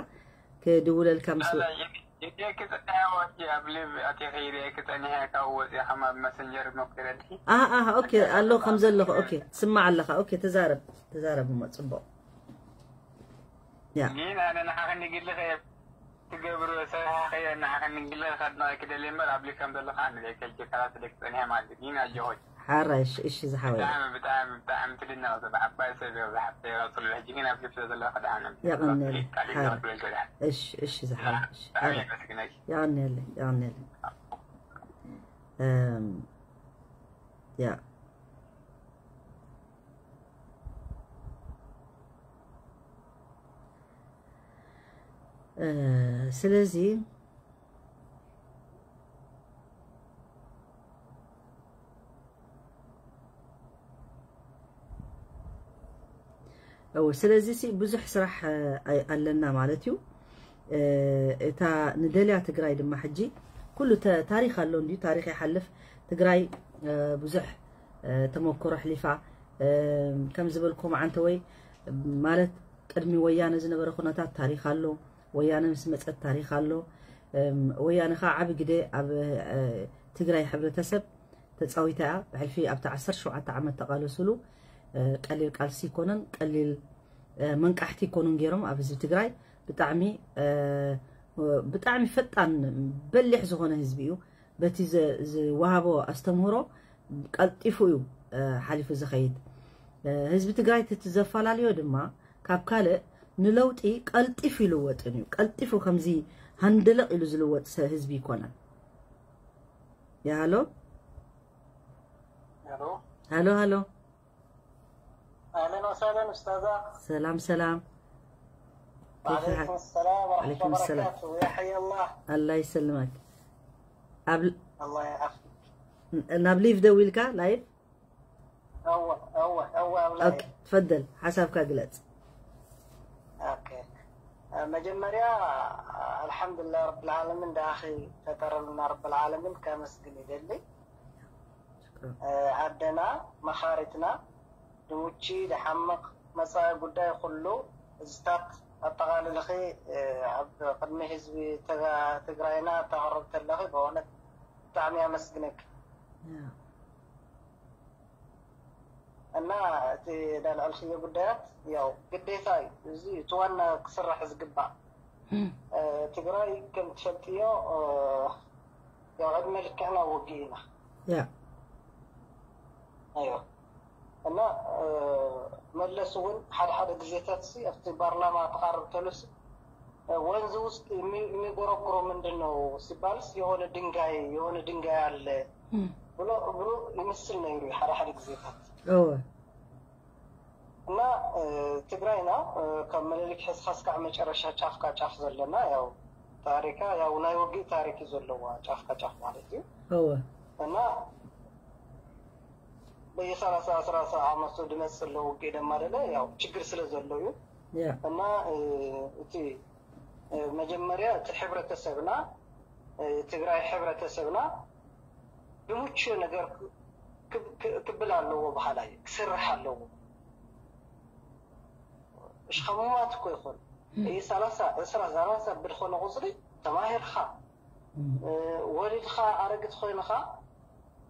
ክድውለልካ ምስ ላ፣ ላ፣ የ-፣ የድልየኪ ጸኒሐ ወዲ ኣብ ሊቭ ኣቲኺ ይርእየኪ ጸኒሐ፣ ካብ ወጺእኻ ኣብ መሰንጀር ሞኪረልኪ። ኣህ፣ ኣህ፣ ኦኬ፣ ኣሎ ከም ዘለኹ። ኦኬ፣ ትስማዕ ኣለኻ። ኦኬ፣ ተዛረብ፣ ተዛረብ እሞ ጽቡቕ። ያ። ግን ኣነ ንዓኺ ንግልኺ እየ ትገብሮ፣ ሰራሕኺ እየ፣ ንዓኺ ንግልኺ ከድንቐኪ ደልየ እምበር፣ ኣብ ሊቭ ከም ዘለኻ ኣነ ዘይከልኪ፣ ካላት ደቂ ጸኒሐ ማለት እዩ። ግን ኣጆኺ። ሓራይ፣ እሺ፣ እሺ፣ ዝሓወይ። ብጣዕሚ፣ ብጣዕሚ፣ ብጣዕሚ ትድነቕ፣ እዚ ብዓባይ ሰብ እዩ፣ ዝሓፍተይ ይቐጽሉ። ሕጂ ግን ኣብ ሊቭ ስለ ዘለኻ ደሓን እዮም። የቐንየለይ። ቃል ሓራይ። ይዘኽብለልካ ደሓን። እሺ፣ እሺ፣ ዝሓወይ፣ እሺ፣ ብጣዕሚ ሓራይ። የመስግነኪ። የቐንየለይ፣ የቐንየለይ። እም፣ ያ። ስለዚ እው ስለዚ ሲ ብዙሕ ስራሕ ኣለና ማለት እዩ። እታ ንደልያ ትግራይ ድማ ሕጂ ኩሉ ታሪኽ ኣሎ እንዲዩ፣ ታሪኽ ይሓልፍ። ትግራይ ብዙሕ ተመክሮ ኣሕሊፋ፣ ከም ዝበልኩም ዓንተ ወይ ማለት ቅድሚ ወያነ ዝነበረ ኩነታት ታሪኽ ኣሎ። ወያነ ምስ መፀት ታሪኽ ኣሎ። ወያነ ከዓ ዓብ ግደ ኣብ ትግራይ ሕብረተሰብ ተፃዊታ እያ። ብሕልፊ ኣብቲ ዓሰርተ ሸውዓተ ዓመት ተቓለሱሉ ቀሊል ቃልሲ ይኮነን፣ ቀሊል መንቃሕቲ ይኮኑን ገይሮም ኣብ ህዝቢ ትግራይ። ብጣዕሚ ብጣዕሚ ፈጣን በሊሕ ዝኾነ ህዝቢ እዩ። በቲ ዝወሃቦ ኣስተምህሮ ቀልጢፉ እዩ ሓሊፉ ዝኸይድ። ህዝቢ ትግራይ እቲ ዘፈላለዮ ድማ ካብ ካልእ ንለውጢ ቀልጢፉ ይልወጥን እዩ። ቀልጢፉ ከምዚ ሃንደለቕ ኢሉ ዝልወጥ ህዝቢ ይኮነን። ያሃሎ ሃሎ ሃሎ اهلا وسهلا استاذه. سلام سلام. كيف الحال؟ وعليكم السلام ورحمه الله وبركاته. يا حي الله. الله يسلمك. قبل الله يعافيك. نابليف دويلكا لايف. اول اول اول اوكي، تفضل حسابك قلت. اوكي. መጀመርያ ኣልሓምዱሊላህ ረብል ዓለሚን ዳኣኺ ፈጠረልና ረብል ዓለሚን ከመስግን ይደሊ። ኣደና መኻሪትና ድሙቺ ድሓምቕ መፃኢ ጉዳይ ኩሉ እዝታት ኣጠቓልልኺ ኣብ ቅድሚ ህዝቢ ትግራይና ተቕርብ ተለኺ ብእውነት ብጣዕሚ ኣመስግነኪ። እና እቲ ዳልዐልክዮ ጉዳያት ያው ግዴታ እዩ። እዚ እቲ ዋና ክስራሕ ዝግባእ ትግራይ ከም ትፈልጥዮ ያው ዕድመ ልክዕና ውግእ ኢና። ያ ኣዮ እና መለስ እውን ሓደ ሓደ ግዜታት ሲ ኣብቲ ፓርላማ ተቃርብ ተሉሲ ወንዝ ውስጥ የሚጎረጉረው ምንድን ነው ሲባልስ የሆነ ድንጋይ የሆነ ድንጋይ አለ ብሎ ብሎ ይመስል ነይሩ ሓደ ሓደ ግዜታት። እወ እና ትግራይና ካብ ምኒልክ ሕዝካ እስካዕ መጨረሻ ጫፍካ ጫፍ ዘለና ያው ታሪካ ያው ናይ ውግእ ታሪክ እዩ ዘለዋ ጫፍካ ጫፍ ማለት እዩ። እወ እና በየሰላሳ ሰላሳ ዓመቱ ድመፅእ ዘሎ ውግእ ደማ ደለ ያው ችግር ስለ ዘሎ እዩ። እና እቲ መጀመርያ እቲ ሕብረተሰብና ትግራይ ሕብረተሰብና ድሙች ነገር ክብል ኣለዎ በሃላይ ክስራሕ ኣለዎ። እሽ ከሙማት እኮ ይኾን እይ ሰላሳ ዕስራ ሰላሳ ብድኾነ ቁፅሪ ተማሂርካ ወሊድካ ኣረግት ኮይንካ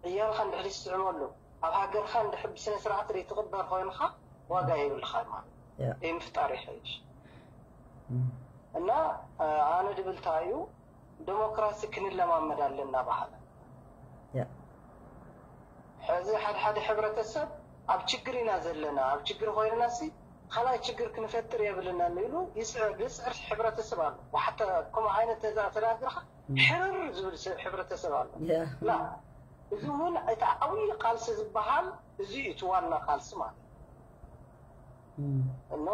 ዕያልካ እንድሕር ይስዕመሉ ኣብ ሃገርካ እንድሕር ብስነ ስርዓት ዘይትቕበር ኮይንካ ዋጋ የብልካ ማለት እዩ። ምፍጣር ይሐይሽ እና ኣነ ድብልታ እዩ ዴሞክራሲ ክንለማመድ ኣለና በሃለ። ሕዚ ሓደ ሓደ ሕብረተሰብ ኣብ ችግር ኢና ዘለና ኣብ ችግር ኮይንና ሲ ካልኣይ ችግር ክንፈጥር የብልናን ኢሉ ይስዕር ዝስዕር ሕብረተሰብ ኣሎ። ሓታ ከምኡ ዓይነት ተዛ ተናግርካ ሕርር ዝብል ሰብ ሕብረተሰብ ኣሎ። ላ እዚ እውን እቲ ዓብዪ ቃልሲ ዝበሃል እዚ እዩ እቲ ዋና ቃልሲ ማለት እኖ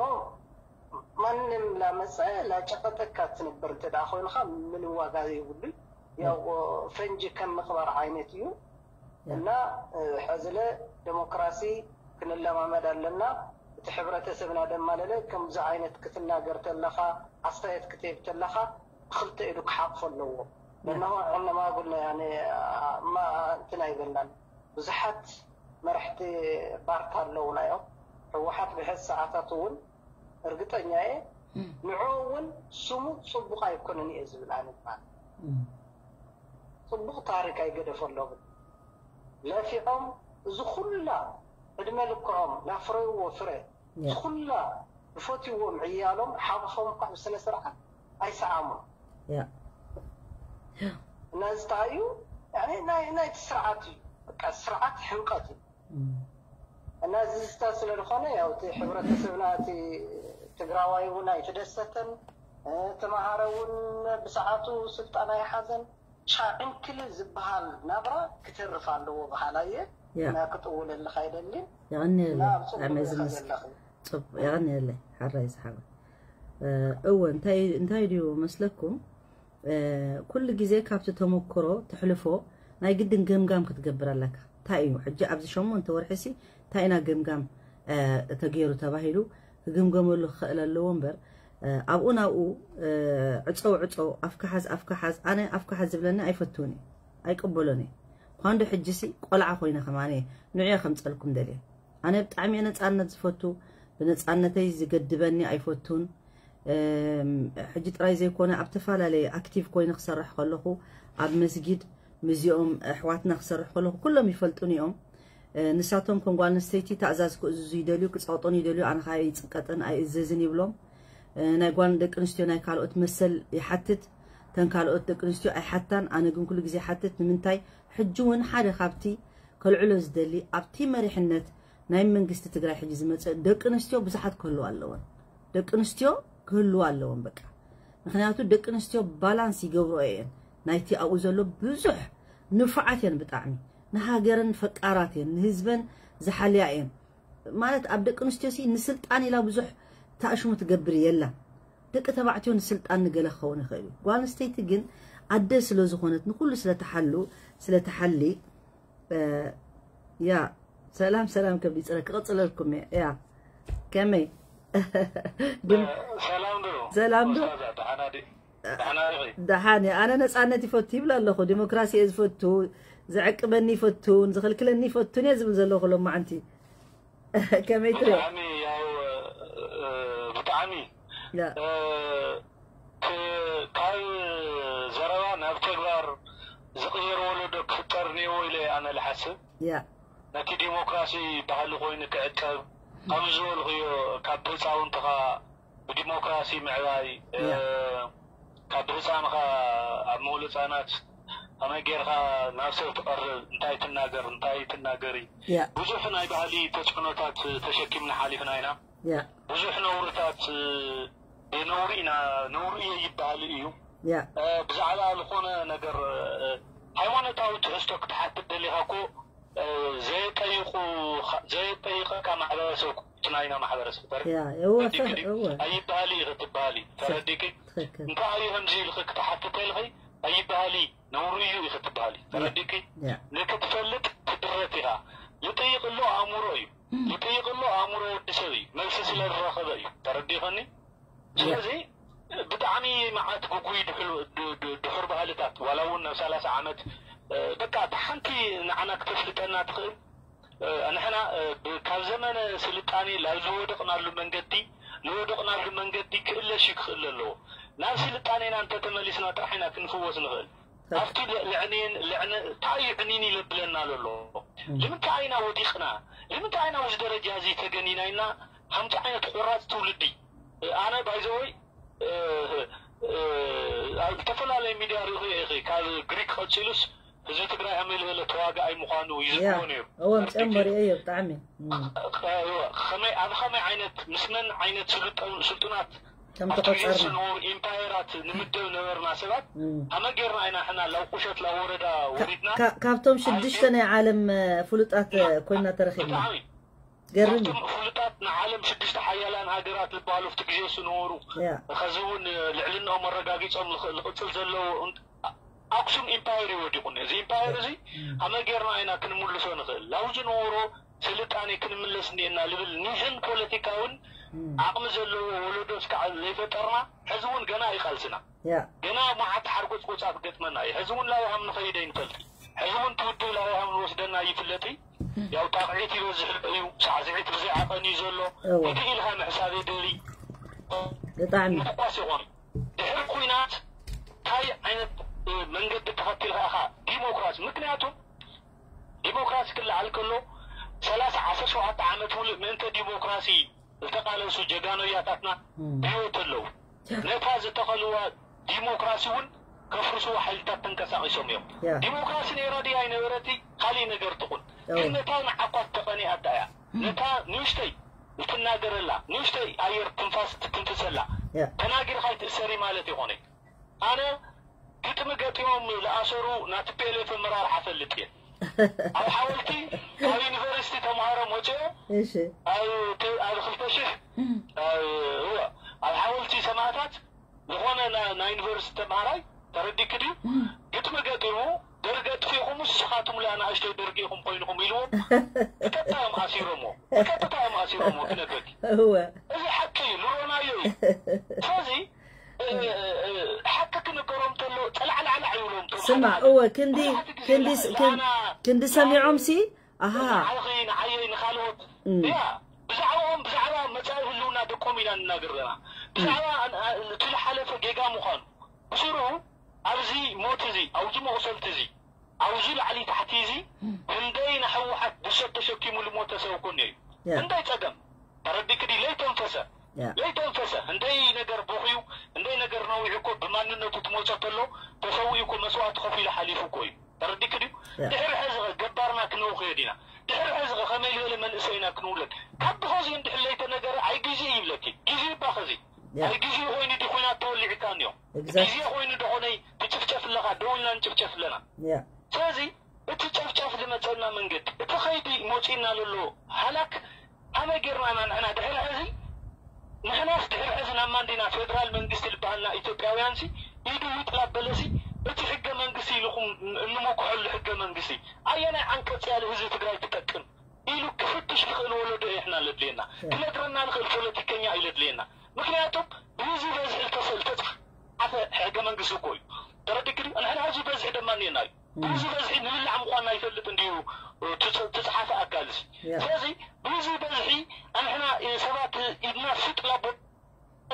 ማንም ላመፀ ላጨቀጠካ ትነበር እንተ ደኣ ኮይንካ ምንም ዋጋ የብሉን። ያው ፈንጂ ከም ምቕባር ዓይነት እዩ እና ሕዝለ ዴሞክራሲ ክንለማመድ ኣለና። እቲ ሕብረተሰብና ደማ ለለ ከምዚ ዓይነት ክትናገር ተለኻ ኣስተያየት ክትህብ ተለኻ ብክልተ ኢዱ ክሓቕፎ ኣለዎ። ነናሆ ዕነማጉል እንትን ኣይበልናን። ብዙሓት መራሕቲ ባርታ ኣለውና እዮም። ህወሓት ብሕዚ ሰዓታት እውን እርግጠኛ እየ ንዕኡ እውን ስሙ ፅቡቕ ኣይኮነን እየ ዝብል ኣነ ማለት ፅቡቕ ታሪክ ኣይገደፎ ኣለውን ለፊዖም እዚ ኩላ ዕድመ ልክዖም ላፍረይዎ ፍረ እዚ ኩላ ዝፈትይዎም ዕያሎም ሓቑፎም እኳ ብስነ ስርዓት ኣይሰዓሙን። እና እዚ እንታይ እዩ ናይቲ ስርዓት እዩ። በቃ ስርዓት ሕምቀት እዩ። እና እዚ ዝስተ ስለ ዝኾነ ያው እቲ ሕብረተሰብና እቲ ትግራዋይ እውን ኣይተደሰተን። ተማሃረ እውን ብሰዓቱ ስልጣን ኣይሓዘን። ቻዕንክል ዝበሃል ናብራ ክተርፍ ኣለዎ በሃላ እየ። እና ክጥውለልካ ኣይደልን። የቐንየለይ። የቐንየለይ ሓራይ ዝሓወይ። እወ እንታይ እንታይ ድዩ መስለኩም? ኩሉ ግዜ ካብቲ ተመክሮ ትሕልፎ ናይ ግድን ገምጋም ክትገብር ኣለካ። እንታይ እዩ ሕጂ ኣብዚ ሸሞንተ ወርሒሲ እንታይ ኢና ገምጋም ተገይሩ ተባሂሉ ክግምገመሉ ክኽእል ኣለዎ እምበር ኣብኡ ናብኡ ዕፀው ዕፀው ኣፍካ ሓዝ ኣፍካ ሓዝ ኣነ ኣፍካ ሓዝ ዝብለኒ ኣይፈትውን እዩ ኣይቅበሎን እዩ። ኳንዶ ሕጂሲ ቆልዓ ኮይነ ከማነ ንዕዮ ከምፀልኩም ደልየ ኣነ ብጣዕሚ እየ ነፃነት ዝፈቱ። ብነፃነተይ ዝገድበኒ ኣይፈቱን። ሕጂ ጥራይ ዘይኮነ ኣብ ተፈላለየ ኣክቲቭ ኮይነ ክሰርሕ ከለኹ ኣብ መስጊድ ምስዚኦም ኣሕዋትና ክሰርሕ ከለኹ ኩሎም ይፈልጡኒ እዮም። ንሳቶም ከም ጓል ኣንስተይቲ ታእዛዝ ክእዝዙ ይደልዩ ክፀቕጡን ይደልዩ ኣነ ከዓ ይፅቀጥን ኣይእዘዝን ይብሎም። ናይ ጓል ደቂ ኣንስትዮ ናይ ካልኦት መሰል ይሓትት። ተን ካልኦት ደቂ ኣንስትዮ ኣይሓታን ኣነ ግን ኩሉ ግዜ ሓትት ንምንታይ ሕጂ እውን ሓደ ካብቲ ከልዕሎ ዝደሊ ኣብቲ መሪሕነት ናይ መንግስቲ ትግራይ ሕጂ ዝመፀ ደቂ ኣንስትዮ ብዙሓት ክህልዋ ኣለወን። ደቂ ኣንስትዮ ክህልዋ ኣለወን በቃ ምክንያቱ ደቂ ኣንስትዮ ባላንስ ይገብሮ እየን ናይቲ ኣብኡ ዘሎ ብዙሕ ንፉዓት እየን ብጣዕሚ ንሃገረን ፈቃራት እየን ንህዝበን ዝሓልያ እየን ማለት ኣብ ደቂ ኣንስትዮ ሲ ንስልጣን ኢላ ብዙሕ ተኣሽሙ ትገብር የላ ደቂ ተባዕትዮ ንስልጣን ንገለ ክኸውን ይኽእል እዩ ጓል ኣንስተይቲ ግን ኣደ ስለ ዝኾነት ንኩሉ ስለተሓሉ ስለተሓሊ ያ ሰላም ሰላም ከብዲ ፅረ ክቕፅለልኩም እየ ያ ከመይ ሰላም ዶ ሰላም ዶ ደሓን እየ ኣነ ነፃነት ይፈቱ ይብል ኣለኹ ዲሞክራሲ እየ ዝፈቱ ዘዕቅበኒ ይፈቱን ዝኽልክለኒ ይፈቱን እየ ዝብል ዘለኹ ሎማዓንቲ ከመይ ትሪኦ ብጣዕሚ ያው ብጣዕሚ ካብ ዘረባ ናብ ተግባር ዝቕየር ወለዶ ክፍጠር እኒኦ ኢለ ኣነ ልሓስብ ያ ነቲ ዲሞክራሲ ባህሊ ኮይኑ ክዕቀብ ከም ዝበልኽዮ ካብ ህፃውንትኻ ብዲሞክራሲ ምዕባይ ካብ ህፃንኻ ኣብ መውሎ ህፃናት ከመይ ጌርካ ናብ ሰብ ትቐርብ እንታይ ትናገር እንታይ ትናገሪ ብዙሕ ናይ ባህሊ ተፅዕኖታት ተሸኪምና ሓሊፍና ኢና ብዙሕ ነውርታት ብነውሪ ኢና ነውሪ እየ ይበሃል እዩ ብዛዕባ ዝኾነ ነገር ሃይማኖታዊ ትሕዝቶ ክትሓትት ደሊኻ እኮ ዘየጠይቁ ዘየጠይቀካ ማሕበረሰብ ኩትና ኢና ማሕበረሰብ ተር ያ እወ ፈ- እወ ኣይበሃል እዩ ክትበሃል እዩ ተረዲቂ ትክክል እንታይ እዩ ከምዚ ኢልክ ክትሓትት ኢልኺ ኣይበሃል እዩ ነውሩ እዩ እዩ ክትበሃል እዩ ተረዲቂ ያ ንክትፈልጥ ትድረት ኢኻ ዝጠይቅ ኣሎ ኣእምሮ እዩ ዝጠይቅ ኣሎ ኣእምሮ ወዲ ሰብ እዩ መልሲ ስለ ዝረኸበ እዩ ተረዲኸኒ ስለዚ ብጣዕሚ መዓት ግጉይ ድሕሉ- ድ- ድ- ድሑር ባህልታት ዋላ እውን ናብ ሰላሳ ዓመት እ፣ በቃ እታ ሓንቲ ንዓና ክተፍልጠና ትኽእል እ፣ ንሕና እ፣ ብ- ካብ ዘመነ ስልጣኔ ላብ ዝወደቕናሉ መንገዲ ዝወደቕናሉ መንገዲ ክእለሽ ክኽእል ኣለዎ ናብ ስልጣኔና እንተተመሊስና ጥራሕ ኢና ክንፍወስ ንኽእል ኣብቲ ል- ልዕኔን ልዕነ እንታይ እዩ ዕኒን ይለብለና ዘሎ ንምንታይ ኢና ወዲቕና ንምንታይ ኢና ኣብዚ ደረጃ እዚ ተገኒና ኢልና ከምዚ ዓይነት ቁራፅ ትውልዲ ኣነ ባይዘወይ ኣብ ዝተፈላለየ ሚድያ ሪኢኹ ኢኺ ካብ ግሪክ ቀፂሉስ ህዝቢ ትግራይ ከመይ ዝበለ ተዋጋኣይ ምዃኑ ይዝክሮ ነይሩ እወ ምፅኦም መሪኦ እዮ ብጣዕሚ ከመይ ኣብ ከመይ ዓይነት ምስ መን ዓይነት ስልጡናት ከም ተቆፀርና ዝነበሩ ኢምፓየራት ንምደብ ነበርና ሰባት ከመይ ጌርና ኢና ሕና ላብ ቁሸት ላብ ወረዳ ወሪድና ካብቶም ሽዱሽተ ናይ ዓለም ፍሉጣት ኮይና ተረኪብና ገርም ካብቶም ፍሉጣት ንዓለም ሽዱሽተ ሓያላን ሃገራት ዝበሃሉ ኣብቲ ግዜ ዝነበሩ ሕዚ እውን ልዕልንኦም ኣረጋጊፆም ዝቕፅል ዘለዉ ኣክሱም ኢምፓየር እዩ ወዲቑ እዚ ኢምፓየር እዚ ከመይ ጌርና ኢና ክንምልሶ ንኽእል ላብኡ ዝነበሮ ስልጣኔ ክንምለስ እኒኤና ዝብል ኒሕን ፖለቲካውን ዓቕሚ ዘለዎ ወለዶ እስካዕ ዘይፈጠርና ሕዚ እውን ገና ይቃልስና ገና መዓት ሓርጎፅጎፃት ገጥመና እዩ ሕዚ እውን ላብሃም ንኸይደ ይንፈልጥ ሕዚ እውን ትውድብ ላብሃም ንወስደና ይፍለጥ ያው ጣቕዒት ይበዝሕ እዩ ሳዕስዒት ብዘይ ዓቐን እዩ ዘሎ እንዲህ ኢልካ ምሕሳብ የድሊ ብጣዕሚ ምሕቋስ ይኾን ድሕሪ ኩናት እንታይ ዓይነት መንገዲ ተኸቲልካ ኢኻ ዲሞክራሲ ምክንያቱ ዲሞክራሲ ክለዓል ከሎ ሰላሳ ዓሰርተ ሸውዓተ ዓመት ሙሉእ ምእንተ ዲሞክራሲ ዝተቃለሱ ጀጋኑ ያታትና ብህይወት ኣለዉ ነታ ዝተኸልዋ ዲሞክራሲ እውን ከፍርስዎ ሓይልታት ተንቀሳቒሶም እዮም ዲሞክራሲ ነይራ ድያ ኣይነበረቲ ካሊእ ነገር ትኹን ግን ነታ ንዓኳት ተቐኒኣታ እያ ነታ ንእሽተይ እትናገረላ ንእሽተይ ኣየር ትንፋስ ትትንፍሰላ ተናጊርካ ይትእሰሪ ማለት ይኾነ ኣነ ግጥሚ ገጢሞም ዝኣሰሩ ናቲ ፒኤልኤፍ ኣመራርሓ ፈልጥ እየ ኣብ ሓወልቲ ካብ ዩኒቨርሲቲ ተምሃሮ መፅኦ ኣብ ክልተ ሽሕ ኣብ ሓወልቲ ዝኾነ ና- ናይ ዩኒቨርሲቲ ተምሃራይ ተረዲክ ድዩ ግጥሚ ገጢሙ ደርጊ ኣጥፊእኹም ንስኻትም ለኣናእሽተይ ደርጊ ኢኹም ኮይንኹም ኢልዎም። ብቀጥታ እዮም ኣሲሮምዎ። ብቀጥታ እዮም ኣሲሮምዎ ክነግረኪ። እወ እዚ ሓቂ እዩ፣ ልሮናዮ እዩ። ስለዚ እ፣ እ፣ እ፣ ሓቂ ክንገሮም ተሎ ጸላዕላዕላዕ ይብሎም። እቶም ስማዕ ሓደ እወ ክንዲ ሓደ ግዜ ክንዲ ላ- ክንዲ ላና- ክንዲ ሰሚዖም ሲ ኣሃ ንዓኺ ንዓየይ ንኻልኦት እም። ያ ብዛዕባኦም ብዛዕባ መጻኢ ህልውና ደቆም ኢና ንናገር ዘለና። ብዛዕባ ን- ኣ- እቲ ዝሓለፈ ጌጋ ምዃኑ ብስሩ ኣብዚ ሞት እዚ ኣብዚ መቑሰልቲ እዚ ኣብዚ ላዕሊ ታሕቲ እዚ ህንደይ ንሕወሓት ብሰብ ተሸኪሙ ልሞተ ሰብ እኮ እኒኦ እዩ። ያ ህንደይ ጸገም ተረዲክ ድዩ ለይተንፈሰ ያ ለይተንፈሰ ህንደይ ነገር ቦኽዩ ህንደይ ነገር ነዊሑ እኮ ብማንነቱ ትመጾ ተሎ ተሰዊኡ እኮ መስዋእቲ ከፊሉ ሓሊፉ እኮ እዩ። ተረዲክ ድዩ ያ ድሕሪ ሕዚ ኸ ገባርና ክነውኽዮ ዲና? ድሕሪ ሕዚ ኸ ከመይ ዝበለ መንእሰይ ኢና ክንውለድ? ካብ ብኸዚ እንድሕር ለይተነገረ ኣይ ግዜ ይብለኪ። ግዜ እባ ኸዚ ያ ኣይ ግዜ ኮይኑ ዲ ኩናት ተወሊዕካ እኒኦ Exactly. ግዜ ኮይኑ ዶ ኾነይ ትጭፍጨፍ ኣለኻ ደው ኢልና ንጭፍጨፍ ኣለና። ያ ስለዚ እቲ ጨፍጫፍ ዝመፀና መንገዲ እቲ ኸይዲ መፂና ዘሎ ሃላክ ሃመይ ጌርና ኢና ንሕና ድሕሪ ሕዚ ንሕናስ ድሕሪ ሕዚ ናብ ማንዲና ፌደራል መንግስቲ ዝበሃልና ኢትዮጵያውያን ሲ ኢዱ ይጥላበለሲ እቲ ሕገ መንግስቲ ኢልኹም እንመክሐሉ ሕገ መንግስቲ ኣየናይ ዓንቀፅ ያለ ህዝቢ ትግራይ ትጠቅም ኢሉ ክፍትሽ ዝኽእል ወለዶ ይሕና ለድልየና ክነግረና ንኽእል ፖለቲከኛ እዩ ለድልየና። ምክንያቱም ብህዝቢ በዝሒ ዝተሰ- ዝተፅሓፈ ሕገ መንግስቲ እኮ እዩ። ተረዲክኒ ንሕና ህዝቢ በዝሒ ደማ እኒና እዩ ብህዝቢ በዝሒ ንብላዕ ምኳንና ይፈልጥ እንዲዩ ትፅሓፈ ኣካል እዚ። ስለዚ ብህዝቢ በዝሒ ኣንሕና ሰባት ኢድና ስጥ ላቦ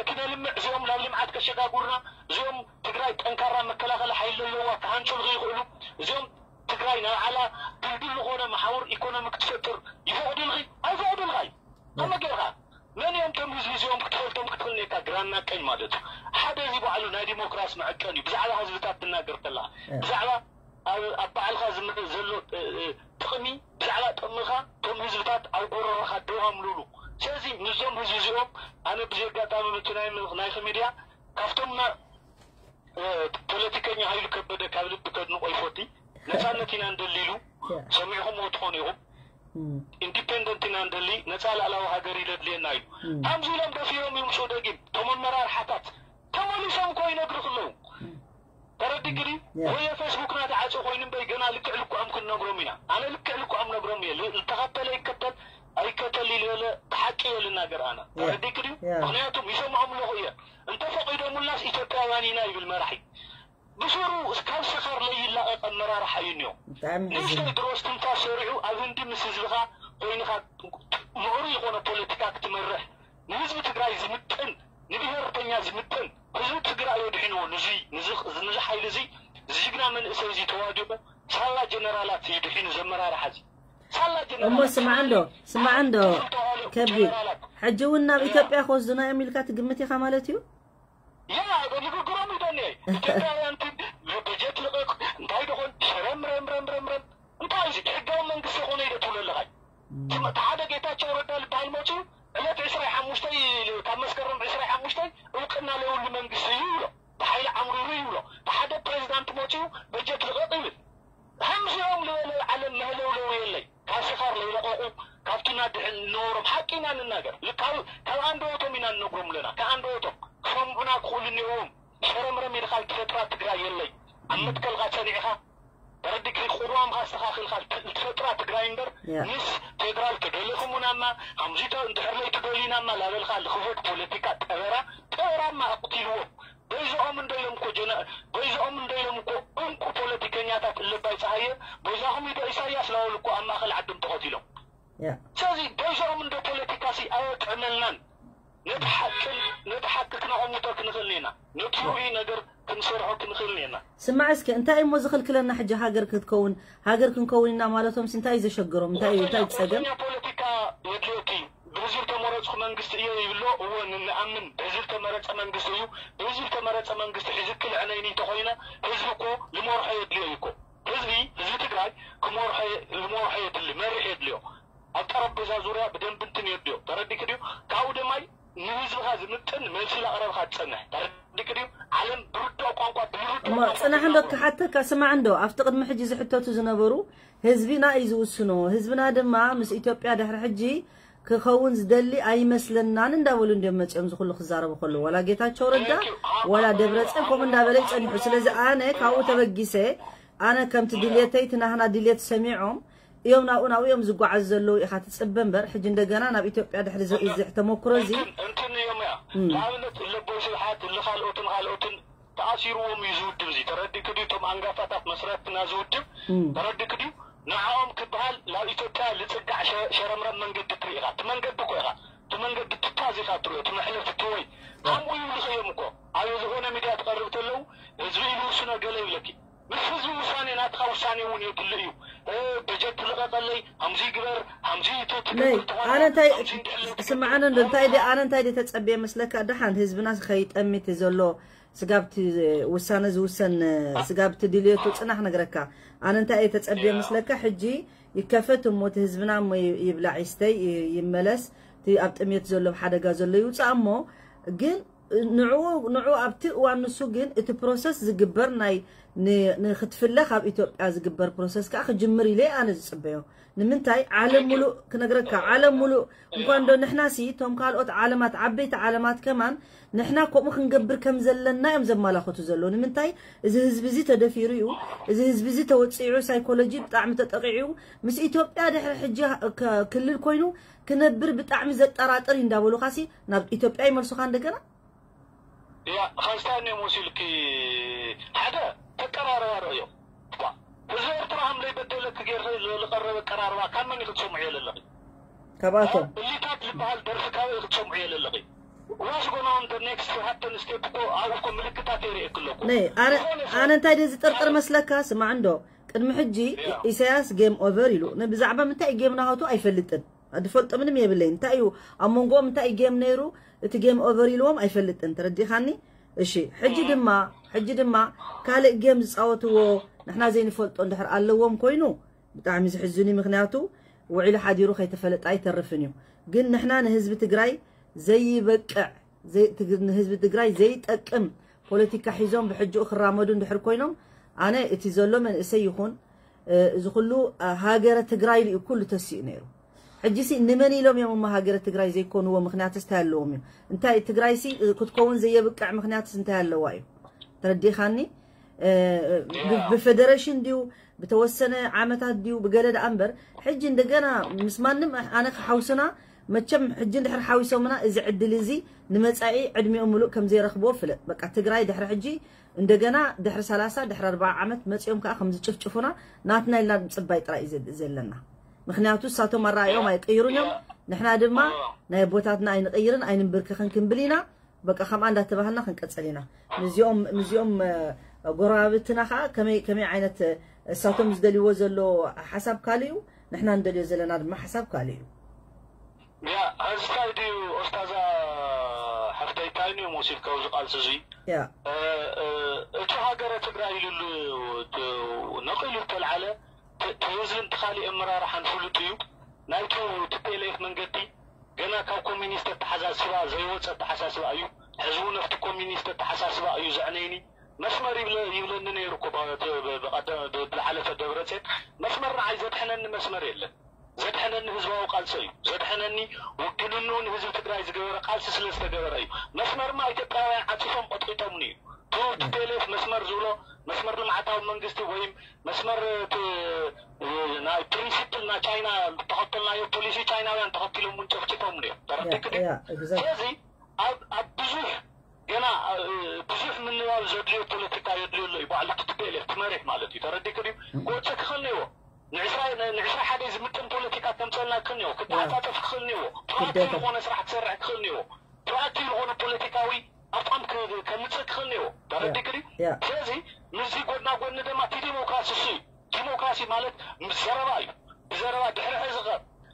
ክነልምዕ እዚኦም ናብ ልምዓት ከሸጋጉርና እዚኦም ትግራይ ጠንካራ መከላኸሊ ሓይሊ ዘለዋ ክሃንፁ ንኽይኽእሉ እዚኦም ትግራይ ናብ ዓላ ድልድል ዝኾነ መሓውር ኢኮኖሚ ክትፈጥር ይፈቕዱልኺ ኣይፈቕዱልኻይ ከመ ጌርካ መን እዮም ቶም ህዝቢ እዚኦም ክትፈልጦም ክትኽእል ኔካ ግራና ቀኝ ማለት እዩ። ሓደ እዚ ባዕሉ ናይ ዲሞክራሲ መዐቀን እዩ ብዛዕባ ህዝብታት ትናገር ከለኻ ብዛዕባ ኣብ ኣብ ባዕልኻ ዝምረ ዘሎ ጥቕሚ ብዛዕባ ጥቕምኻ ቶም ህዝብታት ኣብ ጎረሮኻ ደው ኣምሉሉ። ስለዚ ንዞም ህዝቢ እዚኦም ኣነ ብዚ ኣጋጣሚ ምቲ ናይ ናይኺ ሚድያ ካብቶም ፖለቲከኛ ሃይሉ ከበደ ካብ ልቢ ከድንቆ ይፈቲ። ነፃነት ኢና እንደሊ ኢሉ ሰሚዕኹምዎ ትኾኑ ኢኹም። ኢንዲፔንደንት ኢና እንደሊ ነፃ ልኣላዊ ሃገር እዩ ለድልየና ኢሉ። ከምዚ ኢሎም ደፊሮም ይምፅኡ ደጊም ቶም ኣመራርሓታት ተመሊሶም እኮ ይነግሩ ክለዉ ተረዲግኒ ወየ ፌስቡክና ተዓፂ ኮይኑ እምበይ ገና ልክዕ ልክዖም ክንነግሮም ኢና። ኣነ ልክዕ ልክዖም ነግሮም እየ። ዝተኸተለ ይከተል ኣይከተል ኢሉ በለ ብሓቂ እየ ልናገር ኣነ ተረዲግኒ ምክንያቱም ይሰምዖም ኣለኹ እየ። እንተፈቒዶሙላስ ኢትዮጵያውያን ኢና ይብል መራሒ። ብስሩ ካብ ሰኻር ለይላቐቕ ኣመራርሓ እዩ እኒኦ። ንእሽተይ ድሮ እስትንፋስ ሰሪዑ ኣብ ህንዲ ምስ ህዝብኻ ኮይንኻ ምዕሩይ ዝኾነ ፖለቲካ ክትመርሕ ንህዝቢ ትግራይ ዝምጥን ንብሄርተኛ ዝምጥን ህዝቢ ትግራይ እዩ ድሒንዎ ንዙይ ንዚ ሓይሊ እዚ ዝጅግና መንእሰይ እዚ ተዋዲቑ ሳላ ጀነራላት እዩ ድሒኑ ዘመራርሓ እዚ ሳላ እሞ ስማዕ እንዶ ስማዕ እንዶ ከብዲ ሕጂ እውን ናብ ኢትዮጵያ ክወስዱና እዮም ኢልካ ትግምት ኢኻ ማለት እዩ? ያ ንግግሮም ይደኒ ኢትዮጵያውያን በጀት ልቐቕ እንታይ ደኾን ሸረምረምረምረምረም እንታይ እዚ ሕጋዊ መንግስቲ ኾነ ኢደ ትብሎ ኣለኻይ ሓደ ጌታቸው ረዳ ዝበሃል መፅኡ ዕለት ዕስራይ ሓሙሽተይ ካብ መስከረም ዕስራይ ሓሙሽተይ እውቅና ለይብሉ መንግስቲ እዩ ይብሎ ብሓይሊ ዓምሪሩ ይብሎ ብሓደ ፕሬዚዳንት መፅኡ በጀት ልቐቕ ይብል ከምዚኦም ዝበለ ዓለም መህለውለው የለይ ካብ ስኻር ለይለቐቑ ካብቲ ናድሕን ነበሮም ሓቂ ኢና ንናገር ካብ ኣንደበቶም ኢና ንነግሮም ኣለና ካብ ኣንደበቶም ክሰምዑና ክኽእሉ እኒኦዎም ሸረምረም ኢልካ ልትፈጥራ ትግራይ የለይ ኣብ መትከልካ ፀኒዕኻ ተረዲግኒ ቅዋምካ ኣስተኻኺልካ ልትፈጥራ ትግራይ እምበር ምስ ፌደራል ተደለኹም ውናማ ከምዚ እንድሕር ለይ ትደልዩናማ ላበልካ ልኽፈት ፖለቲካ ጠበራ ጠበራማ ኣቕቲልዎም በይዝኦም እንዶ ኢሎም እኮ ጀነ በይዝኦም እንዶ ኢሎም እኮ እንቁ ፖለቲከኛታት እለባይ ፀሃየ በይዛኹም ኢዶ ኢሳያስ ላበሉ እኮ ኣብ ማእኸል ዓዶም ተቐቲሎም ስለዚ በይዝኦም እንዶ ፖለቲካ ሲ ኣየጥዕመልናን ነቲ ሓቅን ነቲ ሓቂ ክነቐምጦ ክንኽእል ኔና ነቲ ርኡይ ነገር ክንሰርሖ ክንኽእል ኔና ስማዕ እስከ እንታይ እሞ ዝኽልክለና ሕጂ ሃገር ክትከውን ሃገር ክንከውን ኢና ማለቶም እንታይ እዩ ዘሸግሮም እንታይ እዩ እንታይ ጸገም ፖለቲካ የድልየኪ ብህዝቢ ተመረፅኩ መንግስቲ እየ ይብሎ እወ ንኣምን ብህዝቢ ተመረፀ መንግስቲ እዩ ብህዝቢ ተመረፀ መንግስቲ ሒዝኪ ልዕነይኒ እንተኮይነ ህዝቢ እኮ ልመርሖ የድልዮ እዩ እኮ ህዝቢ ህዝቢ ትግራይ ክመርሖ ልመርሖ የድሊ መሪሕ የድልዮ ኣብ ጠረጴዛ ዙርያ ብደንቢ እንትን የድልዮ ተረዲክ ድዩ ካብኡ ድማ ንህዝብኻ ዝምጥን መልሲ ላቕረብካ ትጸንሕ ተረዲክ ድዩ ዓለም ብርድኦ ቋንቋ ብልርድኦ እሞ ጽናሕ እንዶ ክሓተካ ስማዕ እንዶ ኣብቲ ቅድሚ ሕጂ ዝሕተቱ ዝነበሩ ህዝብና እዩ ዝውስኖ ህዝብና ድማ ምስ ኢትዮጵያ ድሕሪ ሕጂ ክኸውን ዝደሊ ኣይመስለናን እንዳበሉ እንዲም መጺኦም ዝኹሉ ክዛረቡ ከለዉ፣ ዋላ ጌታቸው ረዳ ዋላ ደብረጽዮን ከምኡ እንዳበለ ይጸንሑ። ስለዚ ኣነ ካብኡ ተበጊሰ፣ ኣነ ከምቲ ድልየተይ፣ እቲ ናህና ድልየት ሰሚዖም እዮም ናብኡ ናብኡ እዮም ዝጓዓዙ ዘለዉ ኢኻ ትጽበ እምበር፣ ሕጂ እንደገና ናብ ኢትዮጵያ ድሕሪ እዚ ተመክሮ እዚ እንትን እዮም እያ። ንኣብነት እለቦይ ስብሓት እልኻልኦትን ካልኦትን ተኣሲርዎም እዩ ዝውድብ እዚ ተረዲእክ ድዩ? እቶም ኣንጋፋታት መስረትና ዝውድብ ተረዲእክ ድዩ? ንዓኦም ክበሃል ናብ ኢትዮጵያ ልፅጋዕ ሸረምረም መንገዲ ትርኢ ኢኻ። እቲ መንገዲ እኮ ኢኻ እቲ መንገዲ ትታዝ ኢኻ ትሪኦ እቲ መሕለፊ ትወይ ከምኡ ይብልኽ እዮም እኮ ኣብ ዝኾነ ሚድያ ትቐርብ ተለው ህዝቢ ኢሉ ውስኖ ገለ ይብለኪ ምስ ህዝቢ ውሳኔ ናትኻ ውሳኔ እውን የድሊ እዩ። በጀት ትልቐቀለይ ከምዚ ግበር ከምዚ ኣነ እንታይ ስምዓኒ እንዶ እንታይ ደ ኣነ እንታይ ደ ተፀብየ መስለካ ደሓን ህዝብና ከይጠሚት ዘሎ ስጋብቲ ውሳነ ዝውሰን ስጋብቲ ድልየቱ ፅናሕ ነግረካ ኣነ እንታይ እየ ተፀብየ መስለካ ሕጂ ይከፈት እሞ እቲ ህዝብና እሞ ይብላዕ ይስተይ ይመለስ እቲ ኣብ ጥሜት ዘሎ ሓደጋ ዘሎ ይውፃእ እሞ ግን ንዑ ንዑ ኣብቲ እዋን ንሱ ግን እቲ ፕሮሰስ ዝግበር ናይ ንክትፍለ ካብ ኢትዮጵያ ዝግበር ፕሮሰስ ከዓ ክጅምር ኢለ ኣነ ዝፅበዮ ንምንታይ ዓለም ሙሉእ ክነግረካ ዓለም ሙሉእ እንኳን ዶ ንሕና ሲ እቶም ካልኦት ዓለማት ዓበይቲ ዓለማት ከማን ንሕና ከምኡ ክንገብር ከም ዘለና እዮም ዘመላኸቱ ዘለዉ ንምንታይ እዚ ህዝቢ እዚ ተደፊሩ እዩ እዚ ህዝቢ እዚ ተወፂዑ ሳይኮሎጂ ብጣዕሚ ተጠቂዑ ምስ ኢትዮጵያ ድሕሪ ሕጂ ክልል ኮይኑ ክነብር ብጣዕሚ ዘጠራጥር እዩ እንዳበሉካ ሲ ናብ ኢትዮጵያ ይመልሱካ እንደገና ያ ኸስታን እዮም ወሲልኪ ሓደ ተቀራረባ ርእዮም ህዝቢ ኤርትራ ከም ዘይበደለኪ ጌርኺ ዝቐረበ ኣቀራርባ ካብ መን ኢኺ ትሰምዕዮ ዘለኺ ካብኣቶም እሊታት ዝበሃል ደርፊ ካበይ ኢኺ ትሰምዕዮ ዘለኺ ዋስ ጎናውን ደ ኔክስት ሃፕን ስቴፕ እኮ ኣብኡ እኮ ምልክታት የርእየኪ ኣለኩ ነይ ኣነ እንታይ ድየ ዝጥርጥር መስለካ ስማዕ እንዶ ቅድሚ ሕጂ ኢሳያስ ጌም ኦቨር ኢሉ ብዛዕባ ምንታይ ጌም ናሃቱ ኣይፈልጥን ድፈልጦ ምንም የብለይ እንታይ እዩ ኣብ መንጎኦም እንታይ እዩ ጌም ነይሩ እቲ ጌም ኦቨር ኢልዎም ኣይፈልጥን ተረዲኻኒ እሺ ሕጂ ድማ ሕጂ ድማ ካልእ ጌም ዝፃወትዎ ንሕና ዘይንፈልጦ እንድሕር ኣለዎም ኮይኑ ብጣዕሚ ዝሕዝን እዩ ምክንያቱ ውዒሉ ሓዲሩ ከይተፈለጠ ኣይተርፍን እዩ ግን ንሕና ንህዝቢ ትግራይ ዘይበቅዕ ንህዝቢ ትግራይ ዘይጠቅም ፖለቲካ ሒዞም ብሕጅኡ ክራመዱ እንድሕር ኮይኖም ኣነ እቲ ዘሎ መንእሰይ ይኹን እዚ ኩሉ ሃገረ ትግራይ ኢሉ ኩሉ ተሲኡ ነይሩ ሕጂሲ ንመን ኢሎም እዮም እሞ ሃገረ ትግራይ ዘይኮንዎ ምክንያትስ እንታይ ኣለዎም እዩ እንታይ ትግራይሲ ክትከውን ዘየብቅዕ ምክንያትስ እንታይ ኣለዋ እዩ ተረዲኻኒ ብፌደሬሽን ድዩ ብተወሰነ ዓመታት ድዩ ብገለ ደኣ እምበር ሕጂ እንደገና ምስ ማንም ኣነ ክሓውስና መቸም ሕጂ እንድሕር ሓዊሶምና እዚ ዕድል እዚ ንመጻኢ ዕድሚኦም ምሉእ ከም ዘይረኽብዎ ፍለጥ በቃ ትግራይ ድሕሪ ሕጂ እንደገና ድሕሪ ሰላሳ ድሕሪ ኣርባዓ ዓመት መጺኦም ከዓ ከም ዝጭፍጭፉና ናትና ኢልና ምፅባይ ጥራይ እዩ ዘለና ምክንያቱ እሳቶም ኣረኣዮም ኣይቅይሩን እዮም ንሕና ድማ ናይ ኣቦታትና ኣይንቅይርን ኣይንንብርክኽን ክንብል ኢና በቃ ከምኣ እንዳተባሃልና ክንቀፅል ኢና ምዚኦም ምዚኦም ጎረባብትና ከዓ ከመይ ከመይ ዓይነት እሳቶም ዝደልይዎ ዘሎ ሓሳብ ካልእ እዩ ንሕና ንደልዮ ዘለና ድማ ሓሳብ ካልእ እዩ ያ ሕዚ ታይ ድዩ ኦስታዛ ሓፍተይ ታይ ንዮም ወሲድካ ኣብዚ ቃልሲ እዙይ ያ እቲ ሃገረ ትግራይ ኢሉሉ ነቂሉ ዝተልዓለ ትህዝን ትኻሊእ ኣመራርሓን ፍሉጥ እዩ ናይቱ ትፔሌፍ መንገዲ ገና ካብ ኮሚኒስት ኣተሓሳስባ ዘይወፀ ኣተሓሳስባ እዩ ሕዚ እውን ኣብቲ ኮሚኒስት ኣተሓሳስባ እዩ ዘዕነይኒ መስመር ይብለኒ ነይሩ እኮ ብዝሓለፈ ደብረፅዮን መስመር ንዓይ ዘድሐነኒ መስመር የለን ዘድሐነኒ ህዝባዊ ቃልሲ እዩ ዘድሐነኒ ውግንንኡ ንህዝቢ ትግራይ ዝገበረ ቃልሲ ስለ ዝተገበረ እዩ መስመርማ ኢትዮጵያውያን ዓፂፎም ቀጥቂጦምኒ እዩ ቱ ቲፒኤልኤፍ መስመር ዝብሎ መስመር ልምዓታዊ መንግስቲ ወይም መስመር ናይ ፕሪንሲፕል ናይ ቻይና ተኸተልናዮ ፖሊሲ ቻይናውያን ተኸቲሎም እውን ጨፍጭፎምኒ እዮም ተረዲክ ስለዚ ኣብ ብዙሕ ገና ብዙሕ ምንባብ ዘድልዮ ፖለቲካ የድልዮ ኣሎ እዩ ባዕሉ ቲፒኤልኤፍ ትመሪሕ ማለት እዩ ተረዲክ ድዩ ክወፅእ ክኽእል ነይዎ ንዕስራ ሓደ ዝምጥን ፖለቲካ ከምፀልና ክኽእል ነይዎ ክተዓፃፀፍ ክኽእል ነይዎ ፕሮኣክቲቭ ዝኾነ ስራሕ ክሰርሕ ክኽእል ነይዎ ፕሮኣክቲቭ ዝኾነ ፖለቲካዊ ኣቋም ከምፅእ ክኽእል ነይዎ ተረዲክ ድዩ ስለዚ ምስዚ ጎድና ጎኒ ድማ እቲ ዲሞክራሲ እሱ እዩ ዲሞክራሲ ማለት ምስ ዘረባ እዩ ብዘረባ ድሕሪ ሕዚ ኸ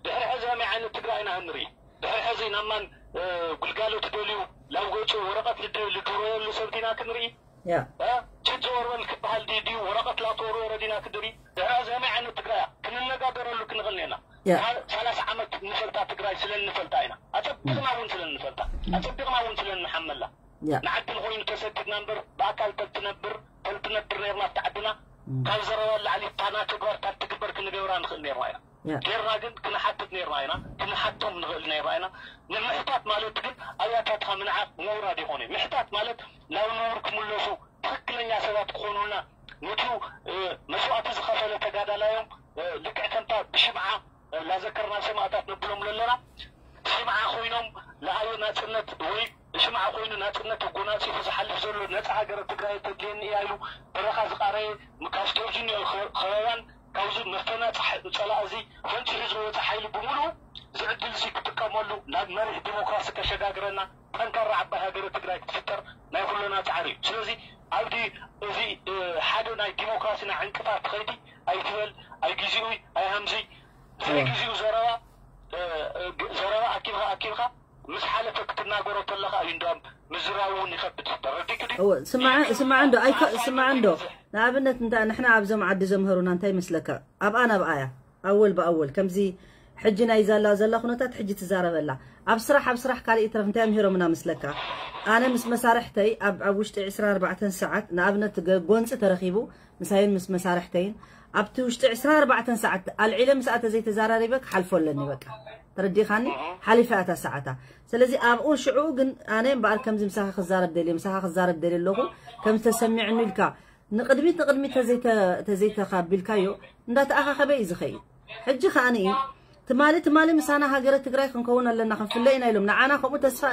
ድሕሪ ሕዚ ከመይ ዓይነት ትግራይ ኢና ክንርኢ ድሕሪ ሕዚ ናብ ማን ግልጋሎት ደልዩ ላብ ገፁ ወረቐት ልድረየሉ ሰብ ዲና ክንርኢ ችድ ዘወርበል ክበሃል ድዩ ወረቐት ላተወርወረ ዲና ክንርኢ ድሕሪ ሕዚ ከመይ ዓይነት ትግራይ ክንነጋገረሉ ክንኽእል ኔና ሰላሳ ዓመት ንፈልጣ ትግራይ ስለ እንፈልጣ ኢና ኣፀቢቕና እውን ስለ እንፈልጣ ኣፀቢቕና እውን ስለ እንሓመላ ንዓዲ ንኮይኑ ተሰዲድና እምበር ብኣካል ተልትነብር ተልትነብር ነርና ኣብቲ ዓድና ካብ ዘረባ ላዕሊ ታና ተግባር ካብ ትግበር ክንገብራ ንኽእል ነርና ኢና ጌርና ግን ክንሓትት ነርና ኢና፣ ክንሓቶም ንኽእል ነርና ኢና። ንምሕታት ማለት ግን ኣያታትኻ ምንዓቕ ምውራድ ይኾነ። ምሕታት ማለት ናብ ንቡር ክምለሱ ትኽክለኛ ሰባት ክኾኑልና፣ ነቲ መስዋእቲ ዝኸፈለ ተጋዳላዮም ልክዕ ከምታ ብሽምዓ ላዘከርና ሰማእታት ነብሎም ዘለና ሽምዓ ኮይኖም ለኣዮ ናፅነት ወይ ሽምዓ ኮይኑ ናፅነት ተጎናፂፉ ዝሓልፍ ዘሎ ነፃ ሃገረ ትግራይ ተድልየኒ እያ ኢሉ በረኻ ዝቃረየ ካብ ቴሌቪዥን ከበባን ካብዚ መፈናፅሒ ፀላእ እዚ ፈንፂሑ ዝወፀ ሓይሊ ብምሉኡ እዚ ዕድል እዚ ክጥቀመሉ ናብ መሪሕ ዲሞክራሲ ከሸጋግረና ጠንካራ ዓባይ ሃገረ ትግራይ ክትፍጠር ናይ ኩለና ፃዕሪ እዩ። ስለዚ ኣብዲ እዚ ሓደ ናይ ዲሞክራሲና ዕንቅፋት ትኸይዲ ኣይትበል፣ ኣይግዚኡ ኣይሃምዚ ዘይግዚኡ ዘረባ ዘረባ ኣኪብካ ኣኪብካ ምስ ሓለፈ ክትናገሮ ከለካ እዩ እንዳም ምዝራቡ እውን ይኸብድ። ተረዲክ ድዩ? እወ ስማዕ ስማዕ እንዶ ኣይከ ስማዕ እንዶ ንኣብነት እንታ ንሕና ኣብዞም ዓዲ ዘምህሩና እንታይ ይመስለካ? ኣብኣ ናብኣያ ኣወል ብኣወል ከምዚ ሕጂ ናይ ዛላ ዘላ ኩነታት ሕጂ ትዛረበላ ኣብ ስራሕ ኣብ ስራሕ ካልእ ይትረፍ እንታይ ኣምሂሮምና መስለካ? ኣነ ምስ መሳርሕተይ ኣብ ኣብ ውሽጢ ዕስራን ኣርባዕተን ሰዓት ንኣብነት ጎንፂ ተረኺቡ ምሳይን ምስ መሳርሕተይን ኣብቲ ውሽጢ ዕስራን ኣርባዕተን ሰዓት ኣልዒለ ምስኣ ተዘይተዛራሪበ ክሓልፎ ኣለኒ በቃ ተረዲኻኒ ሓሊፋ እታ ሰዓታ ስለዚ ኣብኡ ሽዑ ግን ኣነ እምበኣር ከምዚ ምሳኻ ክዛረብ ደልየ ምሳኻ ክዛረብ ደልየ ኣለኹ ከም ዝተሰሚዕኒ ኢልካ ንቕድሚት ንቕድሚት ተዘይተኻቢልካዮ እንዳተኣኻኸበ እዩ ዝኸይድ ሕጂ ከኣ ትማሊ ትማሊ ምሳና ሃገረ ትግራይ ክንከውን ኣለና ክንፍለ ኢና ኢሎም ንዓና ከምኡ ተስፋ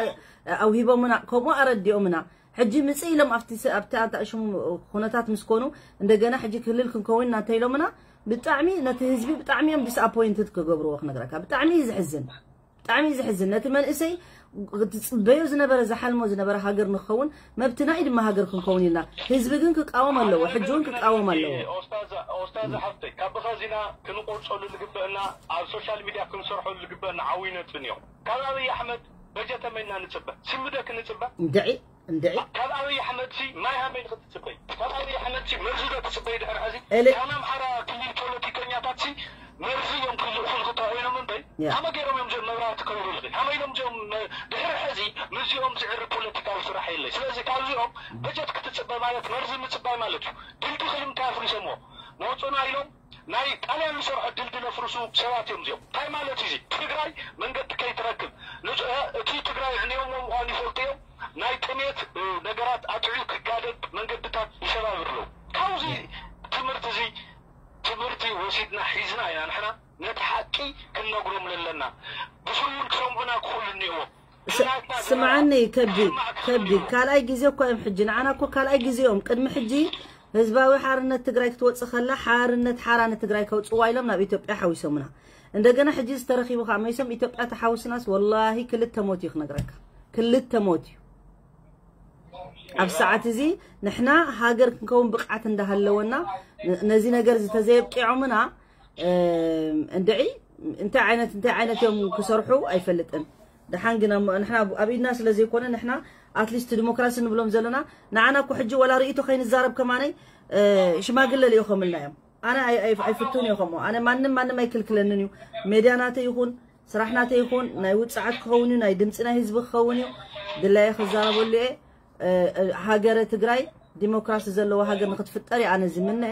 ኣውሂቦምና ከምኡ ኣረዲኦምና ሕጂ ምጽእ ኢሎም ኣብቲ ኣብቲ ኣንታ ሽሙ ኩነታት ምስ ኮኑ እንደገና ሕጂ ክልል ክንከውን ኢና እንተ ኢሎምና ብጣዕሚ ነቲ ህዝቢ ብጣዕሚ እዮም disappointed ክገብርዎ ክነግረካ ብጣዕሚ እዩ ዝሕዝን ብጣዕሚ እዩ ዝሕዝን ነቲ መንእሰይ ትጽበዮ ዝነበረ ዝሓልሞ ዝነበረ ሃገር ንክኸውን መብትና እዩ ድማ ሃገር ክንከውን ኢልና ህዝቢ ግን ክቃወም ኣለዎ ሕጂ እውን ክቃወም ኣለዎ ኦስታዝ ሓፍተይ ካብ ብኸዚና ክንቆርፀሉ ዝግበአና ኣብ ሶሻል ሚድያ ክንሰርሖሉ ዝግበአና ዓብይ ነጥብን እዮም ካብ ኣብይ ኣሕመድ በጀት ኣመይና ንፅበ ስምደ ክንፅበ እንድዒ እንድዒ ካብ ኣብይ ኣሕመድ ሲ ማይ ሃመይ ንክትፅበይ ካብ ኣብይ ኣሕመድ ሲ መርዚ ዶ ትፅበይ ድሕር ሕዚ ኤሌ- ካብ ኣምሓራ ክልል ፖለቲከኛታት ሲ መርዚ እዮም ክልእኹልኩ ተኮይኖም እምበይ ያ። ከመ ገይሮም እዮም ዚኦም መብራህቲ ከብሩልኺ ከመ ኢሎም ዚኦም መ- ድሕሪ ሕዚ ምስዚኦም ዝዕሪ ፖለቲካዊ ስራሕ የለይ ስለዚ ካብዚኦም በጀት ክትፅበ ማለት መርዚ ምፅባይ ማለት እዩ ድልድል እንታይ ኣፍሪሶሞ መውፅና ኢሎም ናይ ጣልያን ዝሰርሖ ድልድል ኣፍርሱ ሰባት እዮም እዚኦም እንታይ ማለት እዩ ትግራይ መንገዲ ከይትረክብ እቲ ትግራይ ዕንዮሞ ምኳኑ ይፈልጡ እዮም ናይ ጥሜት ነገራት ኣጥዕዩ ክጋደድ መንገድታት ይሰባብር ኣለዉ ካብዚ ትምህርቲ እዚ ትምህርቲ ወሲድና ሒዝና ኢና ንሕና ነቲ ሓቂ ክንነግሮም ለለና ብስውን ክሰምዑና ክኽእሉ እኒእዎም ስምዓኒ ከብዲ ከብዲ ካልኣይ ግዜ እኮ እዮም ሕጂ ንዓና እኮ ካልኣይ ግዜ እዮም ቅድሚ ሕጂ ህዝባዊ ሓርነት ትግራይ ክትወፅእ ከላ ሓርነት ሓራ ንትግራይ ከውፅዋ ኢሎም ናብ ኢትዮጵያ ሓዊሶምና እንደገና ሕጂ ዝተረኪቡ ከዓ መይሶም ኢትዮጵያ ተሓውስናስ ወላሂ ክልተ ሞት እዩ ክነግረካ ክልተ ሞት እዩ ኣብ ሰዓት እዚ ንሕና ሃገር ክንከውን ብቕዓት እንዳሃለወና ነዚ ነገር እዚ ተዘየብቂዖምና እንድዒ እንታይ ዓይነት እንታይ ዓይነት እዮም ክሰርሑ ኣይፈልጥን ደሓን ግን ንሕና ኣብ ኢድና ስለ ዘይኮነ ንሕና ኣትሊስት ዲሞክራሲ ንብሎም ዘለና ንዓና እኮ ሕጂ ወላ ርእይቶ ከይንዛረብ ከማነይ ሽማግለ ልኢኾምልና እዮም ኣነ ኣይፍቱን እየ ከምኡ ኣነ ማንም ማንም ኣይክልክለንን እዩ ሜድያ ናተ ይኹን ስራሕ ናተ ይኹን ናይ ውፅዓት ክኸውን እዩ ናይ ድምፂ ናይ ህዝቢ ክኸውን እዩ ድላየ ክዛረበሉ እየ ሃገረ ትግራይ ዲሞክራሲ ዘለዎ ሃገር ንክትፍጠር እየ ኣነ ዝምነ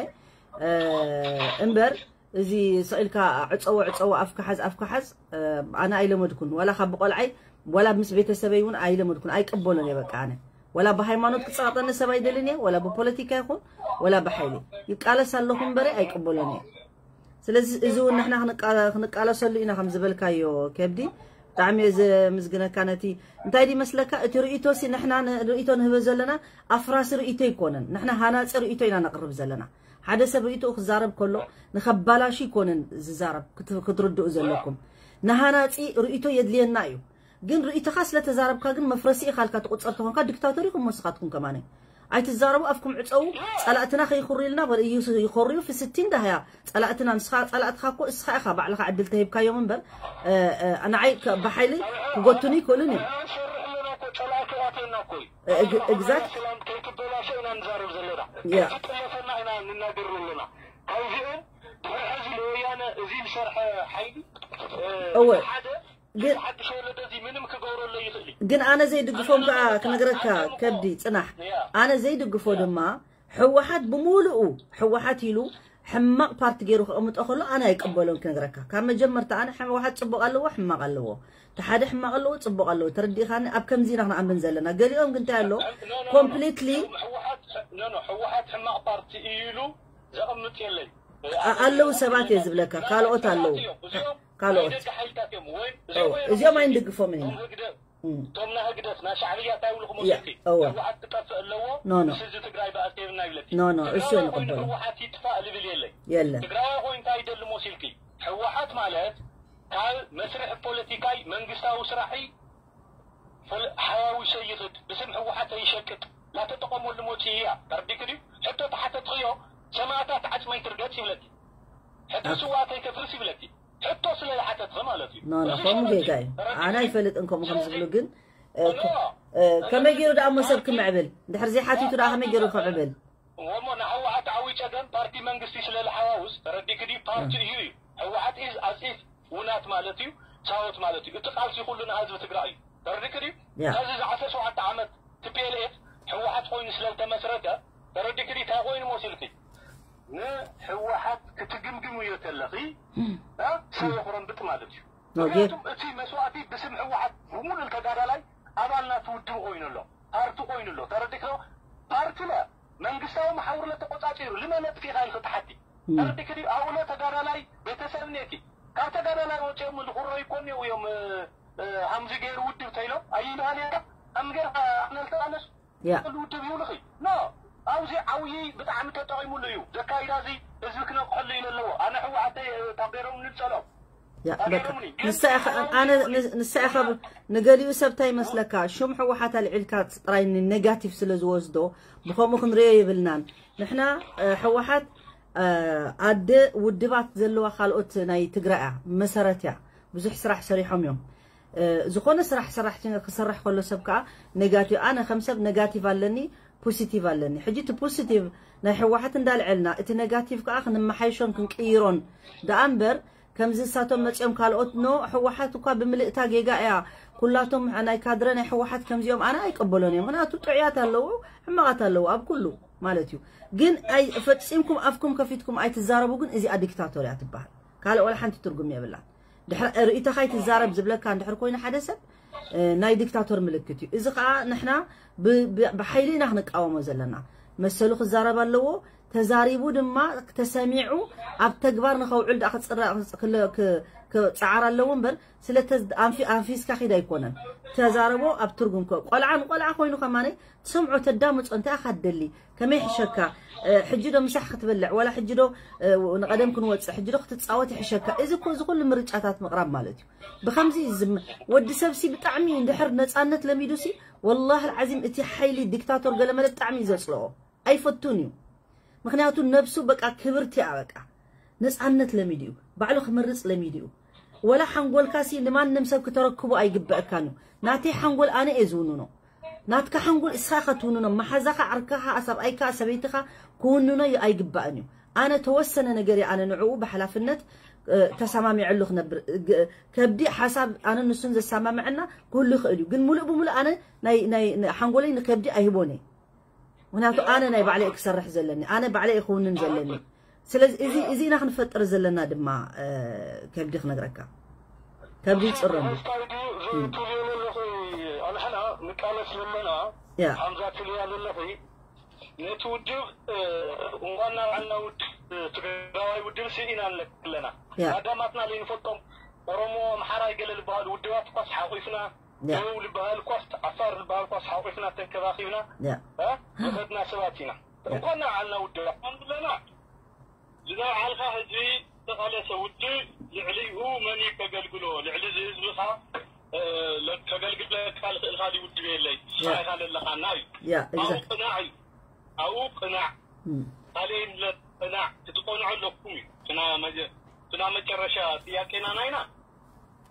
እምበር እዚ ስቕ ኢልካ ዕፀዎ ዕፀዎ ኣፍካ ሓዝ ኣፍካ ሓዝ ኣነ ኣይለመድኩን ዋላ ካብ ብቆልዓይ ዋላ ምስ ቤተሰበይ እውን ኣይለመድኩን ኣይቅበሎን እየ በቃ ኣነ ዋላ ብሃይማኖት ክፀቕጠኒ ሰብ ኣይደልን እየ ዋላ ብፖለቲካ ይኹን ዋላ ብሓይሊ ይቃለስ ኣለኹ እምበረ ኣይቅበሎን እየ ስለዚ እዚ እውን ንሕና ክንቃለሰሉ ኢና ከም ዝበልካዮ ከብዲ ብጣዕሚ እየ ዘምዝግነካ ነቲ እንታይ ዲ መስለካ እቲ ርእይቶ ሲ ንሕና ርእይቶ ንህበ ዘለና ኣፍራሲ ርእይቶ ኣይኮነን ንሕና ሃናፂ ርእይቶ ኢና ነቕርብ ዘለና ሓደ ሰብ ርእይትኡ ክዛረብ ከሎ ንኸባላሹ ኣይኮነን ዝዛረብ ክትርድኡ ዘለኩም ንሃናፂ ርእይቶ የድልየና እዩ ግን ርእይቶኻ ስለ ተዛረብካ ግን መፍረሲ ኢኻ ኢልካ ትቑፀር ተኾንካ ዲክታቶር ኢኹም ወስኻትኩም ከማነ ኣይትዛረቡ ኣፍኩም ዕፀው ፀላእትና ከይኹርዩልና ይኾርዩ ፍስቲ እንዳህያ ፀላእትና ንስኻ ፀላእትኻ እኮ እስኻ ኢኻ ባዕልኻ ዕድል ተሂብካዮም እምበር ንዓይ ብሓይሊ ክጎቱኒ ይክእሉን እዮም exact እወ ግን ግን ኣነ ዘይድግፎም ከዓ ክነግረካ ከብዲ ፅናሕ ኣነ ዘይድግፎ ድማ ሕወሓት ብምሉኡ ሕወሓት ኢሉ ሕማቕ ፓርቲ ገይሩ ክቕምጦ ከሎ ኣነ ኣይቀበሎን ክነግረካ። ካብ መጀመርታ ኣነ ሕወሓት ጽቡቕ ኣለዎ፣ ሕማቕ ኣለዎ። እቲ ሓደ ሕማቕ ኣለዎ፣ ጽቡቕ ኣለዎ። ተረዲእካኒ? ኣብ ከምዚ ኢና ክንኣምን ዘለና። ገሊኦም ግን እንታይ ኣሎ? No, no, no, no. ኮምፕሊትሊ ህወሓት no, no, ህወሓት ሕማቕ ፓርቲ እዩ ኢሉ ዘቐምጥ የለይ። ኣ- ኣለዉ ሰባት እየ ዝብለካ፣ ካልኦት ኣለዉ። እዮም። እዚኦም ካልኦት። ናይ ደገ ሓይልታት እዮም። ወይ እዎ፣ እዚኦም ኣይንድግፎምን ኢና። እቶም ህግደፍ እም። እቶም ናይ ህግደፍ ናይ ሻዕብያ እንታይ ይብሉ ያ፣ ክመስልኪ? እዎ። ህወሓት ክጠፍእ ኣለዎ። No, no. ምስ ህዝቢ ትግራይ በኣስ የብልና ይብለኪ። No, no፣ እሱ ትግራዋይ ኣይንቕበሎ። ኮይኑ ህወሓት ይጥፋእ ልብል የለይ። የለን። ትግራዋይ ኮይኑ እንታይ ይደሊ መሲልኪ? ህወሓት ማለት ካብ መስርሕ ፖለቲካይ መንግስታዊ ስራሒ ፖለ- ሓዋዊሰ ይኽድ ብስም ህወሓት ይሸቅጥ ላተጠቐመሉ ሞፂ እያ። ተረዲክ ድዩ? ሕቶ ተሓተትኽዮ ሰማእታት ዓፅመይ ትርገፅ ይብለኪ። ሕቶ ኣት- ስዋእተይ ከፍርስ ይብለኪ። ሕቶ ስለ ዝሓተትኸ ማለት እዩ። No, no፣ እዚ ከምኡ ማለት እዩ። ጌጋይ። ተረዲክ ኣነ ድዩ? ኣይፈልጥን ከምኡ ከም ዝብሉ፣ ግን እ፣ No። ከ- እ፣ ከመይ ገይሩ ደኣ እሞ ሰብ ክምዕብል? እንድሕር ዘይሓቲቱ ደኣ ከመይ ገይሩ ክምዕብል? እሞ ንህወሓት ዓብይ ፀገም ፓርቲ መንግስቲ ስለ ዝሓዋውስ ተረዲክ ድዩ? ፓርቲ እዩ እዩ። ህወሓት is as if ውናት ማለት እዩ፣ ሳወት ማለት እዩ። እቲ ቃልሲ ኩሉ ንህዝቢ ትግራይ እዩ። ተረዲክ ድዩ? ያ። ከዚ ዚ ዓሰርተ ሸውዓተ ዓመት ቲፒኤልኤፍ ህወሓት ኮይኑ ስለ ዝተመስረተ ተረዲክ ድዩ? እንታይ ኮይኑ መሲልኪ? ንህወሓት ክትግምግምዮ ተለኺ እ፣ ሰብ የኹረምብጥ ማለት እዩ። ኦኬ። ምክንያቱም እቲ መስዋእቲ ብስም ህወሓት ብምሉእ ተጋዳላይ ኣባል ናቱ ውድብ ኮይኑ ኣሎ፣ ፓርቲ ኮይኑ ኣሎ። ተረዲክ ዶ? ፓርቲ ለ መንግስታዊ መሓውር ለተቆጻጺሩ ልመ ነጥፊ ኢኻ ኢልኺ ትሓቲ። እም። ተረዲክ ድዩ? ኣብኡ ለ ተጋዳላይ ቤተሰብ እኒኤኪ። ካብ ተጋዳላይ ወፂኦም ዝኹረዩ እኮ እኒአው እዮም። እ፣ እ፣ ሃምዚ ገይሩ ውድብ ተይሎም ኣይበሃል እየ። ሃምዚ ገይርካ ኣነ ልተቃለስ ያ። ኩሉ ውድብ ይብልኺ። ኖ፣ ኣብዚ ዓብዪ ብጣዕሚ ተጠቒሙሉ እዩ። ዘካይዳ እዚ ህዝቢ ክነቅሐሉ እዩ ዘለዎ። ኣነ ህወሓተይ፣ እ፣ ታቤሮም ንፀሎም። ያ፣ በቃ። ንሳ ኢኻ፣ ኣነ፣ ን-፣ ንሳ ኢኻ ብ-፣ ንገሊኡ ሰብ እንታይ ይመስለካ? ሹም ህወሓት ኣልዒልካ ጥራይ ንኔጋቲቭ ስለ ዝወስዶ፣ ብኸምኡ ክንሪኦ የብልናን። ንሕና፣ እ፣ ህወሓት፣ እ፣ ኣደ ውድባት ዘለዋ ካልኦት ናይ ትግራይ እያ፣ መሰረት እያ። ብዙሕ ስራሕ ሰሪሖም እዮም። እ፣ ዝኾነ ስራሕ ሰራሕተኛ ክሰርሕ ከሎ ሰብ ከኣ ኔጋቲቭ፣ ኣነ ከም ሰብ ኔጋቲቭ ኣለኒ፣ ፖሲቲቭ ኣለኒ። ሕጂ እቲ ፖሲቲቭ ናይ ህወሓት እንዳልዐልና፣ እቲ ኔጋቲቭ ከኣ ክንመሓይሾን ክንቅይሮን ደኣ እምበር፣ ከምዚ ንሳቶም መጺኦም ካልኦት፣ ኖ፣ ህወሓት እኳ ብምልእታ ጌጋ እያ፣ ኩላቶም ናይ ካድረ ናይ ህወሓት ከምዚኦም ኣነ ኣይቀበሎን እዮም። ምክንያቱ ጥዑያት ኣለዉ፣ ሕማቓት ኣለዉ ኣብ ኩሉ ማለት እዩ። ግን ኣይ-፣ ፈጺምኩም ኣፍኩም ከፊትኩም ኣይትዛረቡ፣ ግን እዚኣ ዲክታቶር እያ ትበሃል። ካልእ ወላ ሓንቲ ትርጉም የብላን። ድሕሪ ርእይቶኻ ኣይትዛረብ ዝብለካ እንድሕር ኮይኑ ሓደ ሰብ፣ እ፣ ናይ ዲክታቶር ምልክት እዩ። እዚ ኸኣ ንሕና ብ-፣ ብ-፣ ብሓይሊ ኢና ክንቃወሞ ዘለና። መሰሉ ክዛረብ ኣለዎ። ተዛሪቡ ድማ ተሰሚዑ ኣብ ተግባር ንኸውዕል ደኣ ክጽረ-፣ ክለ-፣ ክ-፣ ክጸዓር ኣለዎ እምበር፣ ስለ ተዝ-፣ ኣንፊ-፣ ኣንፊስካ ኺድ ኣይኮነን። ተዛረቦ ኣብ ትርጉም ከ-፣ ቆልዓ ንቆልዓ ኮይኑ ከማነይ ትሰምዖ፣ ተዳምጾ፣ እንታይ ኢኻ ትደሊ? ከመይ ይሕሸካ? እ፣ ሕጂ ዶ ምሳሕ ክትበልዕ? ዋላ ሕጂ ዶ፣ እ፣ ንቐደም ክንወጽእ? ሕጂ ዶ ክትጻወት ይሕሸካ? እዚ እኮ፣ እዚ ኩሉ ምርጫታት ምቕራብ ማለት እዩ። ብኸምዚ ዝም-፣ ወዲ ሰብሲ ብጣዕሚ እንድሕር ነጻነት ለሚዱሲ፣ ወላሂ ኣልዓዚም እቲ ሓይሊ ዲክታቶር ገለመለ ብጣዕሚ እዩ ዘጽልኦ። ኣይፈቱን እዩ። ምክንያቱ ነብሱ በቃ ክብርቲ እያ በቃ። ነጻነት ለሚዱ እዩ። ባዕሉ ክመርጽ ለሚዱ እዩ። ወላ ሓንጎልካሲ ንማንም ሰብ ክተረክቦ ኣይግበአካን እዩ። ናተይ ሓንጎል ኣነ እየ ዝውንኖ። ናትካ ሓንጎል እስኻ ኢኻ ትውንኖ። መሓዛኻ፣ ዓርካኻ፣ ሰብኣይካ፣ ሰበይትኻ ክውንኖ ዩ-፣ ኣይግባእን እዩ። ኣነ ተወሰነ ነገር እየ ኣነ ንዕኡ ብሓላፍነት፣ እ፣ ተሰማሚዐሉ ክነብር። ግ-፣ ከብዲ ሓሳብ ኣነ ንሱን ዘሰማምዐና ክህሉ ይኽእል እዩ። ግን ሙሉእ ብሙሉእ ኣነ ናይ፣ ናይ፣ ናይ ሓንጎለይ ንከብዲ ኣይህቦን እየ። ምክንያቱ ኣነ ናይ ባዕለይ ክሰርሕ ዘለኒ፣ ኣነ ባዕለይ ክውንን ዘለኒ። ስለዚ እዚ፣ እዚ ኢና ክንፈጥር ዘለና ድማ፣ እ፣ ከብዲ ክነግረካ። ከብዲ ይጽረሉ። ስታይ ድዩ ትብልዮ ዘለኺ? ኣንሕና ንቃለስ ዘለና ያ። ሓምዛ ትብልያ ዘለኺ ነቲ ውድብ፣ እ፣ እንኳን ናብ ዓና ውድብ ትግራዋይ ውድብ ሲ ኢና ንለክ ኣለና። ያ። ኣዳማትና ለይንፈልጦም ኦሮሞ፣ ኣምሓራይ ገለ ዝበሃሉ ውድባት እኳስ ሓቑፍና፣ ያ። ደቡብ ዝበሃል እኳስ፣ ዓፋር ዝበሃል እኳስ ሓቑፍና ተንከባኺብና፣ ያ። እ፣ ዝኸድና ሰባት ኢና። እንኳን ናብ ዓና ውድብ ኣንብለና። ዝናብ ዓልኻ ህዝቢ ዝተቓለሰ ውድብ ልዕሊኡ መን እዩ ከገልግሎ? ልዕሊ እዚ ህዝብኻ፣ እ፣ ለ-፣ ከገልግለካ ልኽእል ካልእ ውድብ የለይ። ንስኻ ያ። ኢኻ ዘለኻና እዩ። ያ፣ ኣብኡ exactly። ቅናዕ እዩ። ኣብኡ ቅናዕ። እም። ካልእ የለ ቅናዕ። ክትቆንዑ ኣለኩም እዩ። ትናብ መጀ-፣ ትናብ መጨረሻ ጥያቄና ናይና።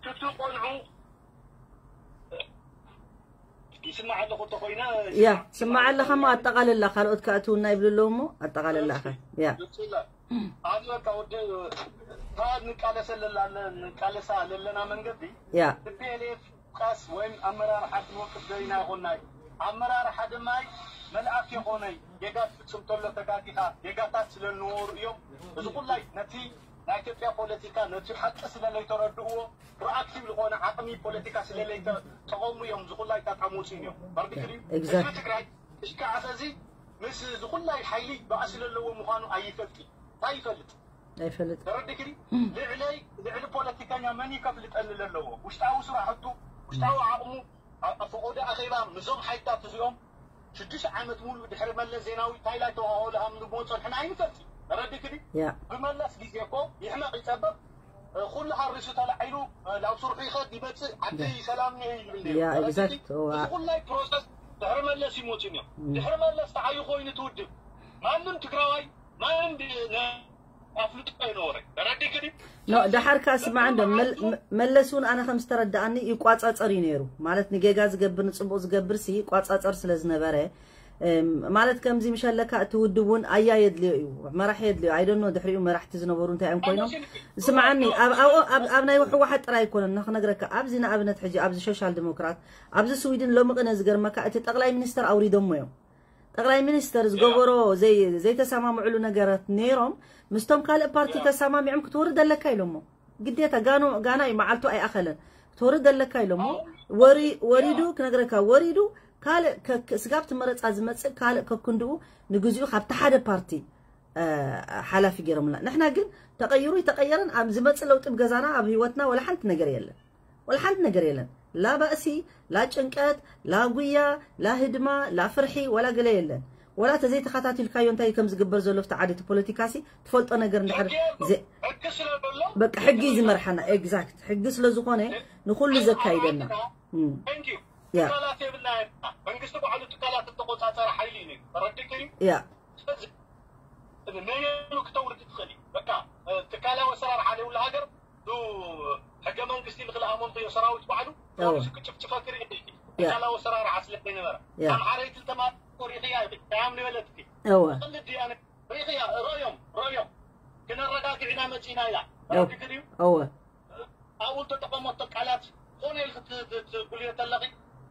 ክትቆንዑ ይስማዕ ኣለኹ እንተኾይነ፣ ያ፣ ስማዕ ኣለኻ እሞ ኣጠቓልላ፣ ካልኦት ከኣ እትውና ይብሉ ኣለዉ እሞ ኣጠቓልላ ኢኻ። ያ። ግልጽ ይላል። ኣነ በቃ ወደ፣ እታ ንቃለሰ ለላለ-፣ ንቃለሳ ለለና መንገዲ ያ። ቲ ፒ ኤል ኤፍ ቃስ ወይም ኣመራርሓ ክንወቅስ ደሊና ይኾንና እዩ። ኣመራርሓ ድማ መልኣክ የኾነይ ጌጋ ትፍጽም ተሎ ተጋጊኻ ጌጋታት ስለ ዝነበሩ እዮም። እዚ ኩላይ ነቲ ናይ ኢትዮጵያ ፖለቲካ ነቲ ሓቂ ስለ ዘይተረድእዎ ፕሮኣክቲቭ ዝኾነ ዓቕሚ ፖለቲካ ስለ ዘይተጠቐሙ እዮም እዚ ኩላይ ጣጣ መውፅኡ እዮም። በርዲክሪ Exactly. ህዝቢ ትግራይ እስካዕ እዚ ምስ እዚ ኩላይ ሓይሊ ባእሲ ዘለዎ ምዃኑ ኣይፈልጥ እንታይ ይፈልጥ ኣይፈልጥ ተረዲክኒ ልዕለይ ልዕሊ ፖለቲከኛ መን ይከፍልጠኒ ዘለዎ ውሽጣዊ ስራሕቱ ውሽጣዊ ዓቕሙ ኣብ ፈቆዶ ኣኼባ ምዞም ሓይታት እዚኦም ሽዱሽተ ዓመት ሙሉ ድሕሪ መለስ ዜናዊ እንታይ ላይ ተዋወሉ ሃም ንቦ ጸንሕና ኣይንፈልጥ ተረዲክኒ ያ ብመለስ ግዜ እኮ ይሕመቕ ይጸበብ ኩሉ ሃሪሱ ተላዒሉ ናብ ስርሑ ይኸድ ይመጽእ ዓዲ ሰላም ነው ይብል ነይሩ ያ ተረዲክኒ exact እዋ እዚ ኩላይ ፕሮሰስ ድሕሪ መለስ ይሞት እዮም ድሕሪ መለስ ተዓዩ ኮይኑ ትውድብ ማንም ትግራዋይ ማንም ኣፍልጦ ኣይነበረ ተረዲክኒ ኖ ዳሓርካ ስማዕ እንዶ መል- መ- መለስ እውን ኣነ ከም ዝተረዳኣኒ ይቋጻጸር እዩ ነይሩ ማለት ንጌጋ ዝገብር ንፅቡቅ ዝገብር ሲ ይቋጻጸር ስለ ዝነበረ እም፣ ማለት ከምዚ ምሸለካ እቲ ውድብ እውን ኣያ የድልዮ እዩ መራሕ የድልዮ ኣይደኖ ድሕሪኡ መራሕቲ ዝነበሩ እንታይ እዮም ኮይኖም ስምዓኒ ኣብ ኣብኡ- ኣብ- ኣብ ናይ ህወሓት ጥራይ ኣይኮነን ንክነግረካ ኣብዚ ንኣብነት ሕጂ ኣብዚ ሶሻል ዲሞክራት ኣብዚ ስዊድን ሎሚ ቅነ ዝገርመካ እቲ ጠቅላይ ሚኒስተር ኣውሪዶሞ እዮም ጠቅላይ ሚኒስተር ዝገበሮ ዘይ- ዘይተሰማምዕሉ ነገራት ነይሮም ምስቶም ካልእ ፓርቲ ተሰማሚዖም ክትወርድ ኣለካ ኢሎሞ ግዴታ ጋኖ ጋና እዩ መዓልቱ ኣይኣኸለን ክትወርድ ኣለካ ኢሎሞ ወሪ- ወሪዱ ክነግረካ ወሪዱ ካልእ ከ- ከ- ስጋብ ትመረፃ ዝመፅእ ካልእ ከክንድኡ ንግዚኡ ካብቲ ሓደ ፓርቲ እ፣ ሓላፊ ገይሮምና ንሕና ግን ተቀይሩ ይተቀየረን ኣብ ዝመፅእ ለውጢ ብገዛና ኣብ ህይወትና ወላ ሓንቲ ነገር የለን ወላ ሓንቲ ነገር የለን ላ ባእሲ ላ ጭንቀት ላ ጉያ ላ ህድማ ላ ፍርሒ ወላ ገለ የለን ወላ ተዘይተኸታቲልካዮ እንታይ ከም ዝግበር ዘሎ ፍቲ ዓዲ እቲ ፖለቲካ ሲ ትፈልጦ ነገር እንድሕር ዘ- ሕጊ ስለ ዘሎ በቃ ሕጊ እዩ ዝመርሓና exact ሕጊ ስለ ዝኾነ ንኩሉ ዘካይደና እም፣ thank you ያ ትካላት የብልና መንግስቲ ባዕሉ ትካላት እተቆፃፀረ ሓይሊ እዩ ነይሩ ተረዲክኒ ያ ስለዚ ነየኑ ክተውርድ ትኽእል እዩ በቃ ትካላዊ ኣሰራርሓ ዘይብሉ ሃገር ዱ ሕገ መንግስቲ ንክልኣሞም ተዮ ሰራዊት ባዕሉ እወ። ፖሊስ ክጭፍጭፈ ክርኢ ይኽእል እዩ። ትካላዊ ኣሰራርሓ ስለ ዘይነበረ ያ። ኣምሓረይቲ ተማሪ ሪኽያ ያም ንበለትኪ እወ ቅልድ እያ ሪኽያ ረእዮም ረእዮም ክነረጋግዕና መፂና ኢላ እወ። ረዲክን እዩ እወ ኣብኡ ዝተጠቐመቶ ቃላት ዝኾነ ኢል ክትጉልዮ ተለኺ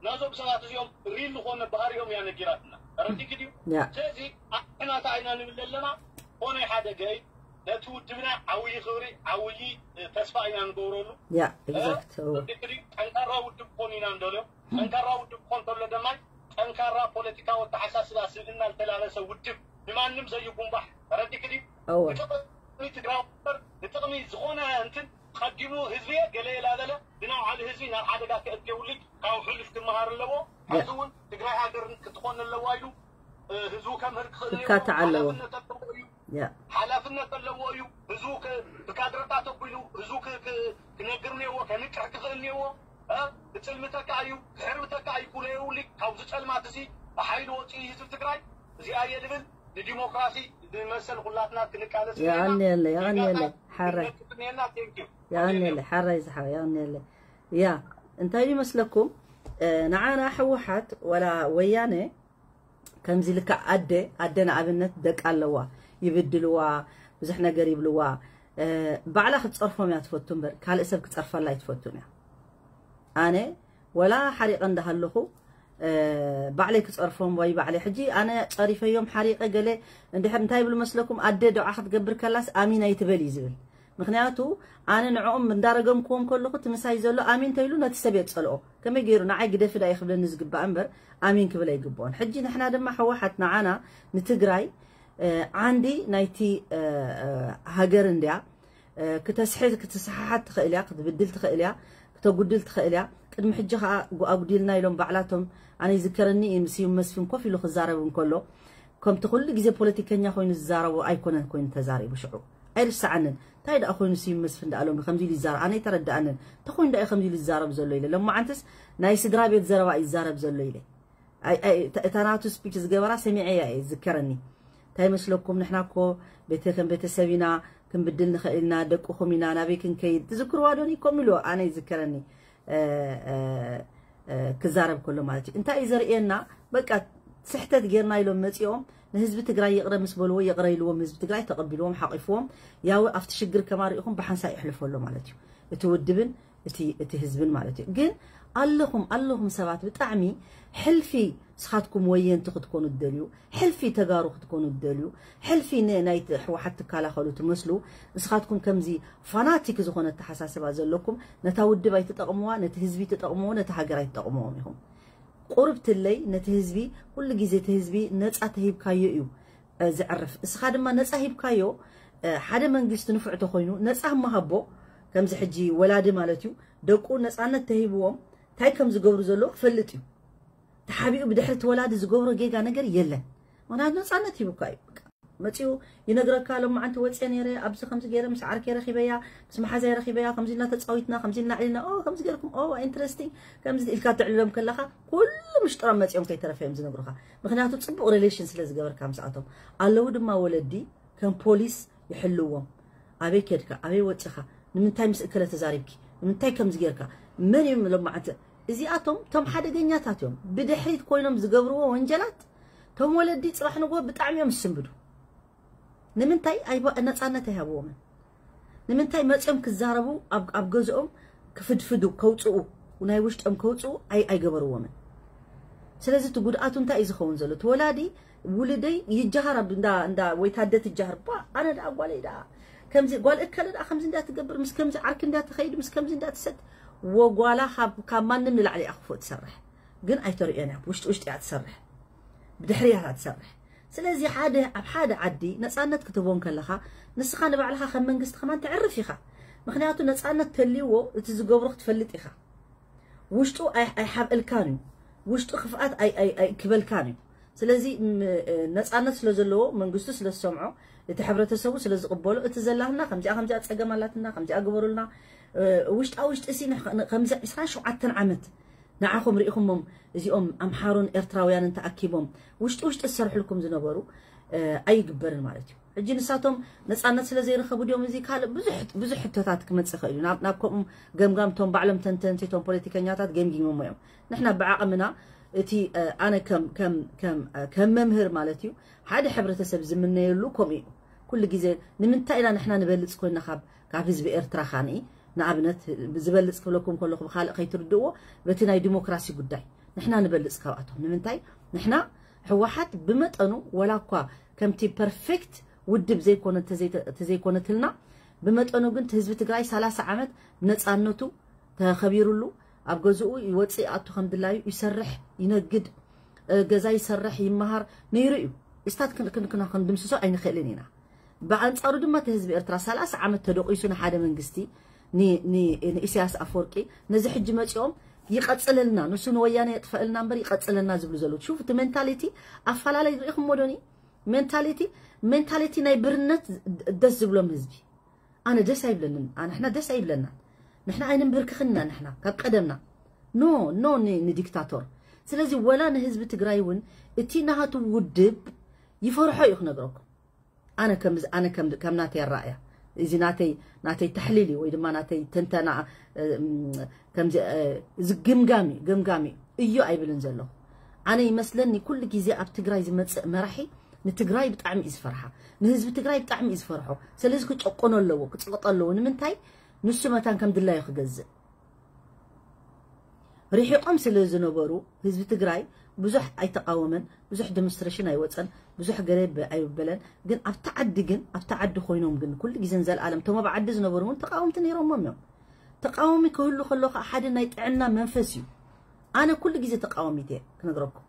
ነዞም ሰባት እዚኦም ሪል ዝኾነ ባህሪኦም እያ ነጊራትና ረዲክ ድዩ ያ ስለዚ ኣሕናታ ኢና ንብል ዘለና ኮነ ሓደ ገይ ነቲ ውድብና ዓብዪ ክብሪ ዓብዪ ተስፋ ኢና ንገብረሉ ያ exact እወ ጠንካራ ውድብ ክኾን ኢና ንደልዮ ጠንካራ ውድብ ክኾን ተሎ ደማይ ጠንካራ ፖለቲካዊ ኣተሓሳስባ ስብእና ዝተላበሰ ውድብ ንማንም ዘይጉንባሕ ተረዲክ ድዩ እወ ንጥቕሚ ትግራይ እምበር ንጥቕሚ ዝኾነ እንትን ቀዲሙ ህዝቢ ገለ የላበለ ብናውዓሊ ህዝቢ ናብ ሓደጋ ክእትየውልጅ ካብ ሕሉፍ ክመሃር ኣለዎ ሕዚ እውን ትግራይ ሃገር ክትኾን ኣለዋ ኢሉ ህዝቡ ከምህር ክኽእል ክካታዕ ኣለዎ። ሓላፍነት ኣለዎ እዩ ያ ሓላፍነት ኣለዎ እዩ ህዝቡ ክ- ብካድረታት ኣቢሉ ህዝቡ ክ- ክ- ክነግር ነዎ ከንቅሕ ክኽእል ነዎ እ? ክፅልምተካ እዩ ክሕርብተካ እዩ ኩለ የውሊ ካብዚ ፀልማት እዚ ብሓይሊ ወፂኡ ህዝቢ ትግራይ እዚኣ እየ ልብል ንዲሞክራሲ ንመሰል ኩላትና ክንቃለስ የቐንየለይ የቐንየለይ ሓራይ ና ቴንኪዩ የቐንየለይ ሓራይ ዝሓ የቐንየለይ ያ እንታይ ይመስለኩም እ፣ ንዓና ህወሓት ወላ ወያነ ከምዚ ልክዕ ኣደ ኣደ ንኣብነት ደቂ ኣለዋ ይብድልዋ ብዙሕ ነገር ይብልዋ እ፣ ባዕላ ክትፀርፎም እያ ትፈቱ እምበር ካልእ ሰብ ክፀርፈላ ኣይትፈቱን እያ ኣነ ወላ ሓሪቐ እንዳሃለኹ እ፣ ባዕለይ ክፀርፎም ወይ ባዕለይ ሕጂ ኣነ ፀሪፈዮም ሓሪቐ ገለ እንድሕር እንታይ ይብሉ መስለኩም ኣደ ዶዓ ክትገብር ከላስ ኣሚን ኣይትበል እዩ ዝብል ምክንያቱ ኣነ ንዕኦም እንዳረገምክዎም ከለኹ እቲ ምሳይ ዘሎ ኣሚን ተይሉ ነቲ ሰብ የፀልኦ ከመይ ገይሩ ንዓይ ግደፊ ዳ ክብለኒ ዝግባእ እምበር ኣሚን ክብል ኣይግብኦን ሕጂ ንሕና ድማ ሕወሓት ንዓና ንትግራይ እ፣ ዓንዲ ናይቲ እ፣ እ፣ ሃገር እንድያ እ፣ ክተስሕት ክትስሓሓት ትኽእል እያ ክትብድል ትኽእል እያ ክተጉድል ትኽእል እያ ቅድሚ ሕጂ ከዓ ጉ- ኣጉዲልና ኢሎም ባዕላቶም ኣነ ይዝከረኒ እዩ ምስ መስፍን ኮፍ ኢሉ ክዛረብ እንከሎ ከምቲ ኩሉ ግዜ ፖለቲከኛ ኮይኑ ዝዛረቦ ኣይኮነን ኮይኑ ተዛሪቡ ሽዑ ኣይርሰዓንን እንታይ ደኣ ኮይኑ ስዩም መስፍን ደኣ ሎሚ ከምዚ ኢሉ ይዛረብ ኣነ ኣይተረድኣንን እንታይ ኮይኑ ደኣ እዩ ከምዚ ኢሉ ዝዛረብ ዘሎ ኢለ ሎማዓንትስ ናይ ስድራ ቤት ዘረባ እዩ ዝዛረብ ዘሎ ኢለ ኣይ- ኣይ- እታ እታ ናቱ ስፒች ዝገበራ ሰሚዐያ እየ ዝከረኒ እንታይ መስለኩም ንሕና እኮ ቤተ ከም ቤተሰብ ኢና ክንብድል ንኽእል ኢና ደቅኹም ኢና ናበይ ክንከይድ ትዝክርዋ ዶኒ ከምኡ ኢልዎ ኣነ ይዝከረኒ እ፣ እ፣ እ፣ ክዛረብ ከሎ ማለት እዩ እንታይ እዩ ዘርእየና በቃ ስሕተት ጌርና ኢሎም መፂኦም ንህዝቢ ትግራይ ይቕረ ምስ በልዎ ይቕረ ኢልዎም ህዝቢ ትግራይ ተቐቢልዎም ሓቂፍዎም ያው ኣብቲ ሽግር ከማሪእኹም ብሓንሳእ ይሕልፈሎ ማለት እዩ እቲ ውድብን እቲ ህዝብን ማለት እዩ። ግን ኣለኹም ኣለኹም ሰባት ብጣዕሚ ሕልፊ ንስኻትኩም ወየንቲ ክትኮኑ ትደልዩ፣ ሕልፊ ተጋሩ ክትኮኑ ትደልዩ፣ ሕልፊ ናይቲ ሕወሓት ትከላኸሉ ትመስሉ። ንስኻትኩም ከምዚ ፋናቲክ ዝኾነ ኣተሓሳስባ ዘለኩም ነታ ውድብ ኣይትጠቕምዋ፣ ነቲ ህዝቢ ትጠቕምዎ፣ ነቲ ሃገር ኣይትጠቕምዎም ኢኹም። ቁርብትለይ ነቲ ህዝቢ ኩሉ ግዜ እቲ ህዝቢ ነፃ ተሂብካዮ እዩ ዝዕርፍ። እስኻ ድማ ነፃ ሂብካዮ ሓደ መንግስቲ ንፉዕ ተኮይኑ ነፃ መሃቦ። ከምዚ ሕጂ ወላዲ ማለት እዩ፣ ደቁ ነፃነት ተሂብዎም እንታይ ከም ዝገብሩ ዘለዎ ክፈልጥ እዩ። ተሓቢኡ ብድሕሪ እቲ ወላዲ ዝገብሮ ጌጋ ነገር የለን። ምክንያቱ ነፃነት ሂቡካ እዩ። መፂኡ ይነግረካ፣ ሎማዓንቲ ወፅየ ነይረ፣ ኣብዚ ከምዚ ገይረ ምስ ዓርከይ ረኺበያ፣ ምስ መሓዛይ ረኺበያ፣ ከምዚ ኢልና ተፃዊትና፣ ከምዚ ኢልና ዕሊና፣ ኦ ከምዚ ገይርኩም፣ ኦ ኢንትረስቲንግ፣ ከምዚ ኢልካ ተዕልሎም ከለኻ ኩሉ ምሽጥሮም መፂኦም ከይተረፈ እዮም ዝነግሩኻ። ምክንያቱ ፅቡቕ ሪሌሽን ስለ ዝገበርካ ምስኣቶም። ኣለዉ ድማ ወለዲ ከም ፖሊስ ይሕልዎም። ኣበይ ከድካ፣ ኣበይ ወፂኻ፣ ንምንታይ ምስ እከለ ተዛሪብኪ፣ ንምንታይ ከምዚ ጌርካ፣ መን እዮም ሎማዓንቲ? እዚኣቶም ቶም ሓደገኛታት እዮም። ብድሕሪት ኮይኖም ዝገብርዎ ወንጀላት ቶም ወለዲ ፅባሕ ንግሆ ብጣዕሚ እዮም ዝስንብዱ። ንምንታይ ኣይባ- ነፃነት ኣይሃብዎምን? ንምንታይ መፅኦም ክዛረቡ ኣብ ኣብ ገዝኦም ክፍድፍዱ ከውፅኡ ናይ ውሽጦም ከውፅኡ ኣይ ኣይገበርዎምን? ስለዚ እቲ ጉድኣቱ እንታይ እዩ ዝኸውን ዘሎ? እቲ ወላዲ ውልደይ ይጀሃር ኣብ እንዳ እንዳ ወይ ታደ ትጀሃር ባ ኣነ ደኣ ጓለይ ደኣ ከምዚ ጓል እከለ ደኣ ከምዚ እንዳ ትገብር ምስ ከምዚ ዓርኪ እንዳ ትኸይድ ምስ ከምዚ እንዳ ትሰድ ወጓላ ካብ ካብ ማንም ንላዕሊ እያ ክፉእ ትሰርሕ ግን ኣይተርእዮን እያ ውሽጢ ውሽጢ እያ ትሰርሕ ብድሕሪ እያ ትሰርሕ ስለዚ ሓደ ኣብ ሓደ ዓዲ ነፃነት ክትህቦ እንከለኻ ንስኻ ንባዕልኻ ከም መንግስቲ ከማን ተዕርፍ ኢኻ ምኽንያቱ ነፃነት ተልይዎ እቲ ዝገብሮ ክትፈልጥ ኢኻ ውሽጡ ኣይሓብእልካን እዩ ውሽጡ ክፍኣት ኣይክበልካን እዩ ስለዚ ነፃነት ስለ ዘለዎ መንግስቱ ስለ ዝሰምዖ እቲ ሕብረተሰቡ ስለ ዝቕበሎ እቲ ዘላትና ከምዚኣ ከምዚኣ ፀገም ኣላትና ከምዚኣ ግበሩልና ውሽጣ ውሽጢ ሲ ከምዚ ዕስራን ሸውዓተን ዓመት ንዓኹም ርኢኹሞም እዚኦም ኣምሓሩን ኤርትራውያንን ተኣኪቦም ውሽጢ ውሽጢ ዝሰርሕልኩም ዝነበሩ ኣይግበርን ማለት እዩ ሕጂ ንሳቶም ነፃነት ስለ ዘይረኸቡ ድዮም እዚ ካልእ ብዙሕ ብዙሕ ሕቶታት ክመፅእ ይኽእል እዩ ናብ ናብ ከምኡ ገምጋም ቶም ባዕሎም ተንተንቲ ቶም ፖለቲከኛታት ገምጊሞሞ እዮም ንሕና ብዓቕምና እቲ ኣነ ከም ከም ከም ከም መምህር ማለት እዩ ሓደ ሕብረተሰብ ዝምነየሉ ከምኡ እዩ ኩሉ ግዜ ንምንታይ ኢና ንሕና ንበልፅ ኮይና ካብ ካብ ህዝቢ ኤርትራ ካንኢ ንኣብነት ዝበልፅ ክብለኩም ከለኹ ብካልእ ከይትርድእዎ በቲ ናይ ዲሞክራሲ ጉዳይ ንሕና ንበልፅ ካብኣቶም ንምንታይ ንሕና ህወሓት ብመጠኑ ወላ እኳ ከምቲ ፐርፌክት ውድብ ዘይኮነት ተዘይኮነትልና ብመጠኑ ግን ህዝቢ ትግራይ ሰላሳ ዓመት ነፃነቱ ተኸቢሩሉ ኣብ ገዝኡ ይወፅእ ይኣቱ ከም ድላዩ ይሰርሕ ይነግድ ገዛ ይሰርሕ ይመሃር ነይሩ እዩ ስታት ክንድምስሶ ኣይንኽእልን ኢና ብኣንፃሩ ድማ እቲ ህዝቢ ኤርትራ ሰላሳ ዓመት ተደቂሱ ንሓደ መንግስቲ ንኢሳያስ ኣፈወርቂ ነዚ ሕጂ መፂኦም ይቐፅለልና ንሱ ንወያነ የጥፈእልና እምበር ይቐፅለልና ዝብሉ ዘለዉ ሹፍ እቲ ሜንታሊቲ ኣፈላለይ ርኢኹም ሞዶኒ ሜንታሊቲ ሜንታሊቲ ናይ ብርነት ደስ ዝብሎም ህዝቢ ኣነ ደስ ኣይብለንን ኣንሕና ደስ ኣይብለና ንሕና ኣይንንብርክኽና ንሕና ካብ ቀደምና ኖ ኖ ንዲክታቶር ስለዚ ወላ ንህዝቢ ትግራይ እውን እቲ ናሃቱ ውድብ ይፈርሖ እዩ ክነግረኩም ኣነ ከም ኣነ ከም ከም ናተይ ኣራእያ እዚ ናተይ ናተይ ተሕሊል እዩ ወይ ድማ ናተይ ትንተና ከምዚ እዚ ግምጋም እዩ ገምጋም እዩ እዩ ኣይብልን ዘለኹ ኣነ ይመስለኒ ኩሉ ግዜ ኣብ ትግራይ ዝመፅእ መራሒ ንትግራይ ብጣዕሚ እዩ ዝፈርሓ ንህዝቢ ትግራይ ብጣዕሚ እዩ ዝፈርሖ ስለዚ ክጨቆኖ ኣለዎ ክፅቕጦ ኣለዎ ንምንታይ ንሱ መታን ከም ድላዩ ክገዝእ ርሒቖም ስለ ዝነበሩ ህዝቢ ትግራይ ብዙሕ ኣይተቃወመን ብዙሕ ዲሞንስትሬሽን ኣይወፀን ብዙሕ ገለ ኣይበለን ግን ኣብቲ ዓዲ ግን ኣብቲ ዓዲ ኮይኖም ግን ኩሉ ግዜ ንዘለኣለም እቶም ኣብ ዓዲ ዝነበሩ እውን ተቃወምቲ ነይሮሞም እዮም ተቃዋሚ ክህሉ ከሎ ከዓ ሓደ ናይ ጥዕና መንፈስ እዩ ኣነ ኩሉ ግዜ ተቃዋሚት እየ ክነግረኩም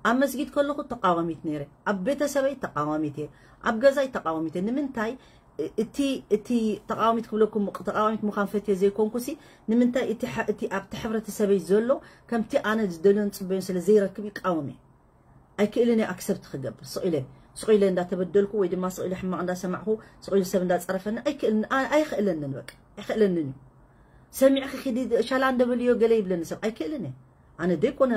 ኣብ መስጊድ ከለኹ ተቃዋሚት ነይረ ኣብ ቤተሰበይ ተቃዋሚት እየ ኣብ ገዛይ ተቃዋሚት እየ ንምንታይ እቲ እቲ ተቃዋሚት ክብለኩም ተቃዋሚት ምዃን ፈትየ ዘይኮንኩሲ ንምንታይ እቲ እቲ ኣብቲ ሕብረተሰበይ ዘሎ ከምቲ ኣነ ዝደልዮን ዝፅበዮን ስለ ዘይረክብ ይቃወም እየ ኣይክእልን እየ ኣክሰፕት ክገብር ስቕ ኢለ ስቕ ኢለ እንዳተበደልኩ ወይ ድማ ስቕ ኢለ ሕማቕ እንዳሰማዕኹ ስቕ ኢሉ ሰብ እንዳፀረፈኒ ኣይክእልን ኣይኽእለንን በቃ ኣይኽእለንን እዩ ሰሚዕኺ ኪዲ ሻላ እንደበልዮ ገለ ይብለኒ ሰብ ኣይክእልን እየ ኣነ ዘይኮነ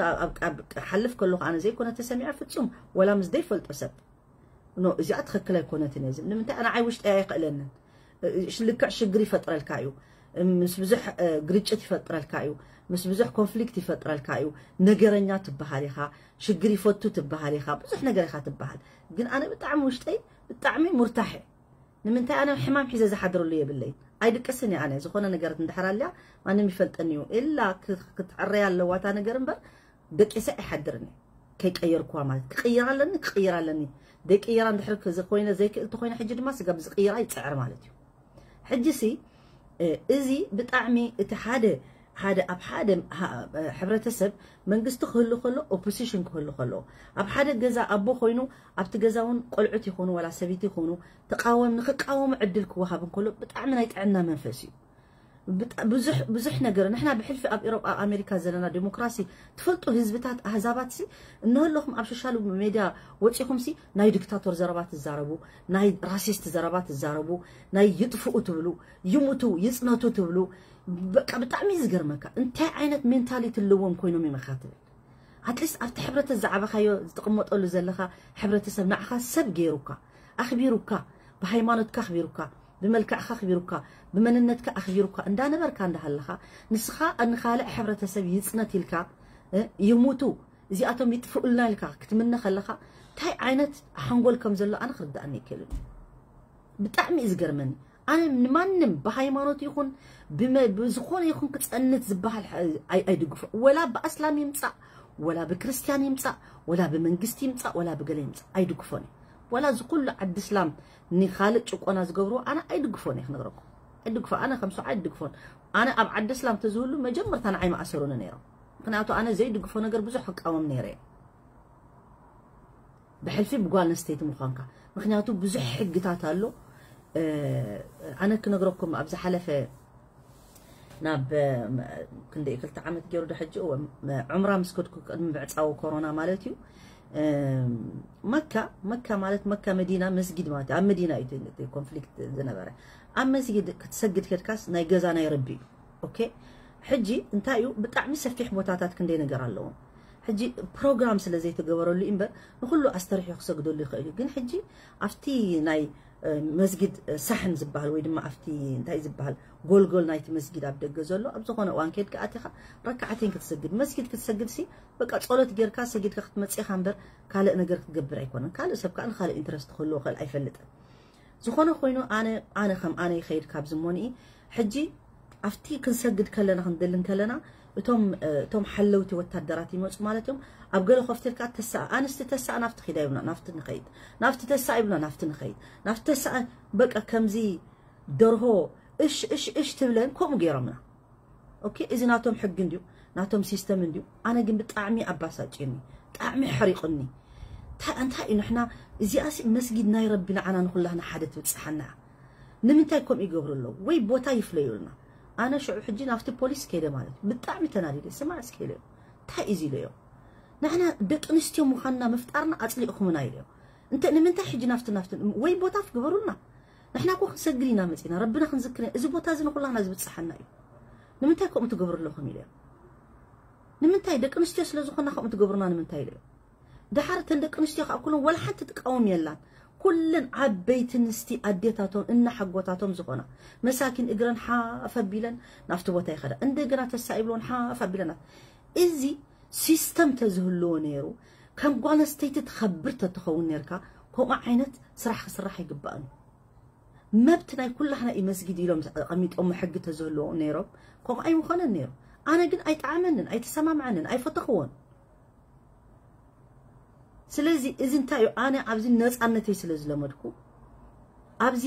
ሓልፍ ከለኹ ኣነ ዘይኮነ ተሰሚዐ ፍፁም ወላ ምስ ዘይፈልጦ ሰብ ኖ እዚኣ ትኽክል ኣይኮነትን እየ ዝብል ንምንታይ ንዓይ ውሽጠይ ኣይኽእለንን ልክዕ ሽግር ይፈጥረልካ እዩ ምስ ብዙሕ ግርጭት ይፈጥረልካ እዩ ምስ ብዙሕ ኮንፍሊክት ይፈጥረልካ እዩ ነገረኛ ትበሃል ኢኻ ሽግር ይፈቱ ትበሃል ኢኻ ብዙሕ ነገር ኢኻ ትበሃል ግን ኣነ ብጣዕሚ ውሽጠይ ብጣዕሚ ሙርታሕ እየ ንምንታይ ኣነ ሕማም ሒዘ ዝሓድረሉ የብለይ ኣይድቅስን እየ ኣነ። ዝኾነ ነገር እንድሕር ኣልያ ማንም ይፈልጠኒ እዩ። ኢላ ክ- ክትዕረይ ኣለዋ እታ ነገር እምበር ደቂሰ ኣይሓድርን እየ። ከይቀየርኩዋ ማለት ክቕይር ኣለኒ፣ ክቕይር ኣለኒ። ደይቅየራ እንድሕር ክ- ኮይነ ዘይክእል ተኮይነ ሕጂ ድማ ስጋብ ዝቕይራ ይፅዕር ማለት እዩ። ሕጂ ሲ እ፣ እዚ ብጣዕሚ እቲ ሓደ ሓደ ኣብ ሓደ ሃ- ሕብረተሰብ መንግስቲ ክህሉ ከሎ ኦፖዚሽን ክህሉ ከሎ ኣብ ሓደ ገዛ ኣቦ ኮይኑ ኣብቲ ገዛ እውን ቆልዑት ይኾኑ ዋላ ሰበይቲ ይኾኑ ተቃወም ንክቃወሙ ዕድል ክወሃብ እንከሎ ብጣዕሚ ናይ ጥዕና መንፈስ እዩ። ብጣ- ብዙሕ ብዙሕ ነገር ንሕና ብሕልፊ ኣብ ኤሮጳ ኣብ ኣሜሪካ ዘለና ዲሞክራሲ ትፈልጡ ህዝብታት ኣህዛባት ሲ እነህለኹም ኣብ ሶሻል ሜድያ ወፂኹም ሲ ናይ ዲክታቶር ዘረባ ትዛረቡ ናይ ራሲስት ዘረባ ትዛረቡ ናይ ይጥፍኡ ትብሉ ይሙቱ ይፅነቱ ትብሉ በቃ ብጣዕሚ እዩ ዝገርመካ እንታይ ዓይነት ሜንታሊቲ ኣለዎም ኮይኖም ይመካ ትብል ኣትሊስት ኣብቲ ሕብረተ ዝዓበኻዮ ዝትቕመጠሉ ዘለኻ ሕብረተሰብ ንዓኻ ሰብ ገይሩካ ኣኽቢሩካ ብሃይማኖትካ ኣኽቢሩካ ብመልክዕካ ኣኽቢሩካ ብመንነትካ ኣኽቢሩካ እንዳነበርካ እንዳሃለኻ ንስኻ ንኻልእ ሕብረተሰብ ይፅነት ኢልካ እ፣ ይሙቱ እዚኣቶም ይጥፍኡልና ኢልካ ክትምነ ከለኻ እንታይ ዓይነት ሓንጎል ከም ዘሎ ኣነ ክርዳእኒ ይክእልን ብጣዕሚ እዩ ዝገርመኒ ኣነ ንማንም ብሃይማኖት ይኹን ብመ- ብዝኾነ ይኹን ክፀንት ዝበሃል ሐ- ኣይ- ኣይድግፎ ወላ ብኣስላም ይምፃእ ወላ ብክርስትያን ይምፃእ ወላ ብመንግስቲ ይምፃእ ወላ ብገለ ይምፃእ ኣይድግፎን እየ ወላ እዚ ኩሉ ዓዲ እስላም ንኻልእ ጭቆና ዝገብርዎ ኣነ ኣይድግፎን እየ ክነግረኩም ኣይድግፎ ኣነ ከም ሰብዓ ኣይድግፎን ኣነ ኣብ ዓዲ እስላም ተዝህሉ መጀመርታ ንዓይ መኣሰሩኒ ነይሮም ምክንያቱ ኣነ ዘይድግፎ ነገር ብዙሕ ክቃወም ነይረ እየ ብሕልፊ ብጓል ኣንስተይቲ ምዃንካ ምክንያቱ ብዙሕ ሕግታት ኣሎ ኣነ ክነግረኩም ኣብ ዝሓለፈ ናብ ክንደይ ክልተ ዓመት ገይሩ ዶ ሕጂ ዑምራ ምስ ከድኩ ቅድሚ ምዕፃዊ ኮሮና ማለት እዩ መካ መካ ማለት መካ መዲና መስጊድ ማለት ኣብ መዲና እዩ ኮንፍሊክት ዝነበረ ኣብ መስጊድ ክትሰግድ ከድካስ ናይ ገዛ ናይ ረቢ እዩ ኦኬ ሕጂ እንታይ እዩ ብጣዕሚ ሰፊሕ ቦታታት ክንደይ ነገር ኣለዎም ሕጂ ፕሮግራም ስለ ዘይተገበረሉ እምበር ንኩሉ ኣስተርሑ ክሰግደሉ ይኽእል እዩ ግን ሕጂ ኣብቲ ናይ መስጊድ ሳሕን ዝበሃል ወይ ድማ ኣብቲ እንታይ ዝበሃል ጎልጎል ናይቲ መስጊድ ኣብ ደገ ዘሎ ኣብ ዝኾነ እዋን ከድካ ኣቲኻ ረካዓተይን ክትሰግድ መስጊድ ክትሰግድ ሲ በቃ ጸሎት ጌርካ ሰጊድካ ክትመጽእ ኢኻ እምበር ካልእ ነገር ክትገብር ኣይኮነን ካልእ ሰብ ከዓ ንካልእ ኢንትረስት ክህልዎ ክእል ኣይፈልጥን ዝኾነ ኮይኑ ኣነ ኣነ ከም ኣነ ይኸይድ ካብ ዝሞንኢ ሕጂ ኣብቲ ክንሰግድ ከለና ክንደልን ከለና እቶም እቶም ሓለውቲ ወታደራት ይመፁ ማለት እዮም ኣብ ገለ ኮፍትልካ ተሳእ ኣንስቲ ተሳእ ናፍቲ ኺዳ ይብና ናፍቲ ንኸይድ ናፍቲ ተሳእ ይብና ናፍቲ ንኸይድ ናፍቲ ተሳእ በቃ ከምዚ ደርሆ እሽ እሽ እሽ ትብለን ከምኡ ገይሮምና ኦኬ እዚ ናቶም ሕጊ እንድዩ ናቶም ሲስተም እንድዩ ኣነ ግን ብጣዕሚ ኣባሳጭኒ ብጣዕሚ ሕሪቕኒ እንታይ እንታይ እዩ ንሕና እዚኣሲ መስጊድ ናይ ረቢ ንዓና ንኩላህና ሓደ ትብፅሓና ንምንታይ ከምኡ ይገብሩ ኣለዉ ወይ ቦታ ይፍለዩልና ኣነ ሽዑ ሕጂ ናብቲ ፖሊስ ከይደ ማለት እዩ ብጣዕሚ ተናዲደ ስማዕ እስከ ኢለዮ እንታይ እዩ ኢለዮ ንሕና ደቂ ኣንስትዮ ምዃንና ምፍጣርና ኣፅሊእኹምና ኢለዮ እንተ ንምንታይ ሕጂ ናፍቲ ናፍቲ ወይ ቦታ ፍግበሩልና ንሕና እኮ ክንሰግድ ኢና መፂና ረብና ክንዝክር እዚ ቦታ እዚ ንኩላና ዝብፅሓና እዩ ንምንታይ ከምኡ ትገብሩ ኣለኹም ኢለዮ ንምንታይ ደቂ ኣንስትዮ ስለ ዝኾና ከምኡ ትገብሩና ንምንታይ ኢለዮ ደሓር እተን ደቂ ኣንስትዮ ከዓ ኩለን ወላ ሓንቲ ትቃወም የላን ኩለን ዓበይቲ ንስቲ ኣዴታቶም እናሓጎታቶም ዝኾና መሳኪን እግረን ሓፍ ኣቢለን ናብቲ ቦታ ይኸዳ እንደገና ተሳኢብሎን ሓፍ ኣቢለናት እዚ ሲስተም ተዝህልዎ ነይሩ ከም ጓል ኣንስተይቲ ትኸብር ተትኸውን ነርካ ከምኡ ዓይነት ስራሕ ክስራሕ ኣይግባእን መብት ናይ ኩላህና እዩ መስጊድ ኢሎም ኣቐሚጦሞ ሕጊ ተዝህልዎ ነይሮም ከምኡ ኣይምኾነን ነይሩ ኣነ ግን ኣይጠዓመንን ኣይተሰማምዐንን ኣይፈተኽዎን ስለዚ እዚ እንታይ እዩ ኣነ ኣብዚ ነፃነተይ ስለ ዝለመድኩ ኣብዚ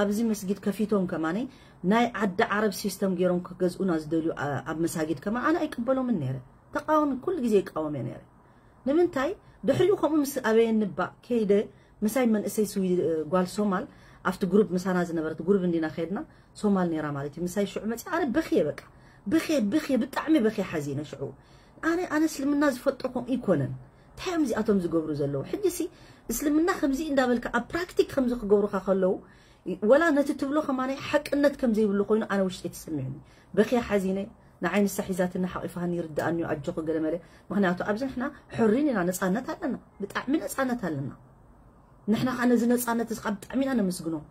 ኣብዚ መስጊድ ከፊቶም ከማነይ ናይ ዓዲ ዓረብ ሲስተም ገይሮም ክገዝኡና ዝደልዩ ኣብ መሳጊድ ከማ ኣነ ኣይቅበሎምን ነይረ ተቃወሚ ኩሉ ግዜ ይቃወም እየ ነይረ ንምንታይ ድሕሪኡ ከምኡ ምስ ኣበየኒ እባ ከይደ ምሳይ መንእሰይ ስዊ ጓል ሶማል ኣብቲ ግሩፕ ምሳና ዝነበረት ግሩፕ እንዲና ከይድና ሶማል ነይራ ማለት እዩ ምሳይ ሽዑ መፅያ ኣነ በኽየ በቃ በኽየ በኽየ ብጣዕሚ በኽየ ሓዚነ ሽዑ ኣነ ኣነ እስልምና ዝፈልጦ ከምኡ ይኮነን እንታይ እዮም እዚኣቶም ዝገብሩ ዘለዉ ሕጂ ሲ እስልምና ከምዚ እንዳበልካ ኣብ ፕራክቲክ ከምዚ ክገብሩካ ከለዉ ወላ ነቲ ትብሎ ከማናይ ሓቅነት ከም ዘይብሉ ኮይኑ ኣነ ውሽጠይ ተሰሚዑኒ በኽየ ሓዚነ ንዓይ ንሳ ሒዛትኒ ሓቂፋኒ ይርድኣኒ እዩ ኣጆኺ ገለ መለ ምኽንያቱ ኣብዚ ንሕና ሕሪን ኢና ነፃነት ኣለና ብጣዕሚ ነፃነት ኣለና ንሕና ከዓ ነዚ ነፃነት እዚ ከዓ ብጣዕሚ ኢና ነመስግኖም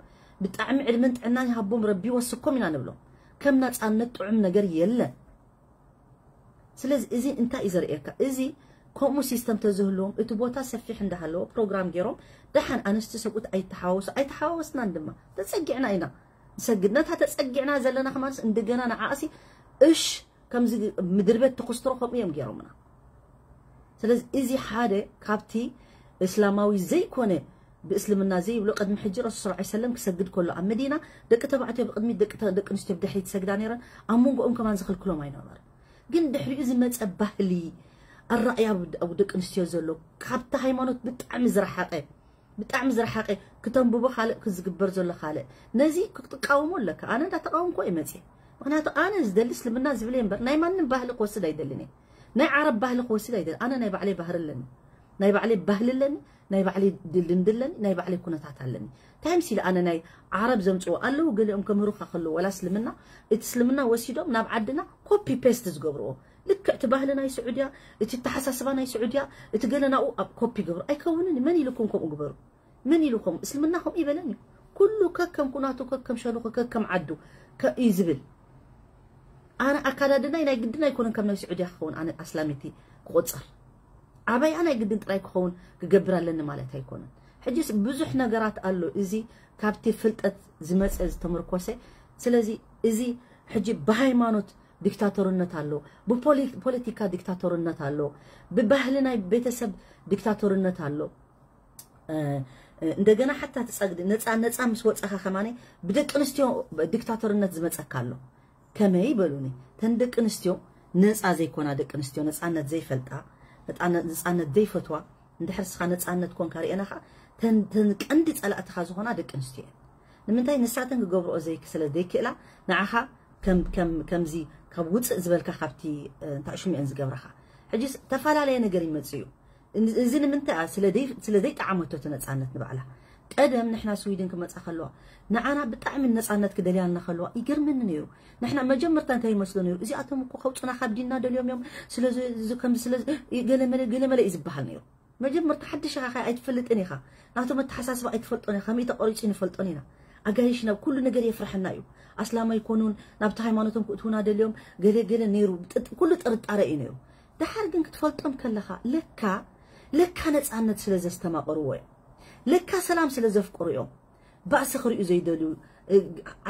ብጣዕሚ ዕድመን ጥዕናን ይሃቦም ረቢ ይወስኮም ኢና ንብሎም ከም ነፃነት ጥዑም ነገር የለን ስለዚ እዚ እንታይ እዩ ዘርእየካ እዚ ከምኡ ሲስተም ተዝህልዎም እቲ ቦታ ሰፊሕ እንዳሃለዎ ፕሮግራም ገይሮም ደሓን ኣንስቲ ሰብኡት ኣይተሓዋወሱ ኣይተሓዋወስናን ድማ ተፀጊዕና ኢና ሰግድ ነታ ተጸጊዕና ዘለና ከማንስ እንደገና ንዓእሲ እሽ ከምዚ ምድሪ ቤት ተኮስትሮ ከምኡ እዮም ገይሮምና። ስለዚ እዚ ሓደ ካብቲ እስላማዊ ዘይኮነ ብእስልምና ዘይብሎ ቅድሚ ሕጂ ረሱል ሰለላሁ ዐለይሂ ወሰለም ክሰግድ ከሎ ኣብ መዲና ደቂ ተባዕትዮ ብቅድሚት ደቂ ተ- ደቂ ኣንስትዮ ብድሕሪት ይሰግዳ ነይረን። ኣብ መንጎኦም ከማን ዝኽልክሎም ኣይነበረን። ግን ድሕሪኡ ዝመፀ ባህሊ ኣረኣያ ኣብ ደቂ ኣንስትዮ ዘሎ ካብቲ ሃይማኖት ብጣዕሚ ዝረሓቐ ብጣዕሚ ዝረሓቐ ክተንብቦ ካልእ ክዝግበር ዘሎ ካልእ ነዚ ክትቃወሞ ኣለካ። ኣነ እንዳተቃወምኩ እየ መፅየ። ምክንያቱ ኣነ ዝደሊ እስልምና ዝብል እየ እምበር ናይ ማንም ባህሊ ክወስድ ኣይደልን እየ። ናይ ዓረብ ባህሊ ክወስድ ኣይደል ኣነ ናይ ባዕለይ ባህሪ ኣለኒ። ናይ ባዕለይ ባህሊ ኣለኒ። ናይ ባዕለይ ልምዲ ኣለኒ። ናይ ባዕለይ ኩነታት ኣለኒ። እንታይ ምስ ኢለ ኣነ ናይ ዓረብ ዘምፅዎ ኣለዉ ገሊኦም ከምህሩካ ከለዉ ወላ እስልምና እቲ እስልምና ወሲዶም ናብ ዓድና ኮፒ ፔስት ዝገብርዎ ልክዕ እቲ ባህሊ ናይ ስዑድያ እቲ ተሓሳስባ ናይ ስዑድያ እቲ ገለ ናብኡ ኣብ ኮፒ ገብሩ ኣይከውንን እዩ። መን ኢልኩም ከምኡ ግበሩ? መን ኢልኩም እስልምና ከምኡ ይበለን እዩ። ኩሉ ከከም ኩናቱ ከከም ሸንኹ ከከም ዓዱ ከ- እዩ ዝብል። ኣነ ኣካዳድናይ ናይ ግድን ኣይኮነን ከም ናይ ስዑድያ ክኸውን ኣነ ኣስላሚቲ ክቆፀር ዓባይኣ ናይ ግድን ጥራይ ክኸውን ክገብር ኣለኒ ማለት ኣይኮነን። ሕጂስ ብዙሕ ነገራት ኣሎ እዚ ካብቲ ፍልጠት ዝመፀ ዝተመርኮሰ። ስለዚ እዚ ሕጂ ብሃይማኖት ዲክታቶርነት ኣሎ፣ ብፖለቲካ ዲክታቶርነት ኣሎ፣ ብባህሊ ናይ ቤተሰብ ዲክታቶርነት ኣሎ። እንደገና ሓታ ትፀግዲ ነፃ ነፃ ምስ ወፃኻ ከማነ ብደቂ ኣንስትዮ ዲክታቶርነት ዝመፀካ ኣሎ። ከመይ በሉኒ? ተን ደቂ ኣንስትዮ ነፃ ዘይኮና ደቂ ኣንስትዮ ነፃነት ዘይፈልጣ ነፃነት ዘይፈትዋ እንድሕር ስኻ ነፃነት ኮንካ ርኤናኻ ተን ቀንዲ ፀላእትኻ ዝኾና ደቂ ኣንስትዮ እየን። ንምንታይ ንሳተን ክገብርኦ ስለ ዘይክእላ ንዓኻ ከምዚ ካብ ውፅእ ዝበልካ ካብቲ እንታይ ሽምኤን ዝገብረኻ ሕጂ ተፈላለየ ነገር ይመፅእ እዩ። እዚ ንምንታይ ስለ ዘይጠዓመቶ እቲ ነፃነት ንባዕላ ቀደም ንሕና ስዊድን ክመፃ ከለዋ ንዓና ብጣዕሚ ነፃነት ክደልያልና ከለዋ ይገርመኒ ነይሩ። ንሕና መጀመርታ እንታይ ይመስሎ ነይሩ እዚኣቶም እኮ ከውፁና ካብ ዲንና ደልዮም እዮም ስለዚ ገለመለ ገለመለ እዩ ዝበሃል ነይሩ። መጀመርታ ሓድሽ ኢኻ ኣይትፈልጥን ኢኻ ናቶም ኣተሓሳስባ ኣይትፈልጦን ኢኻ ከመይ ተቆሪፁ ንፈልጦን ኢና። ኣጋይሽ ናብ ኩሉ ነገር የፍርሐና እዩ። ኣስላም ኣይኮኑን ናብቲ ሃይማኖቶም ክእትውና ደልዮም ገለ ገለ ነይሩ ኩሉ ጥርጣረ እዩ ነይሩ። ደሓር ግን ክትፈልጦም ከለኻ ለካ ለካ ነፃነት ስለ ዘስተማቕርዎ እዮም። ለካ ሰላም ስለ ዘፍቅሩ እዮም። ባእሲ ክርእዩ ዘይደልዩ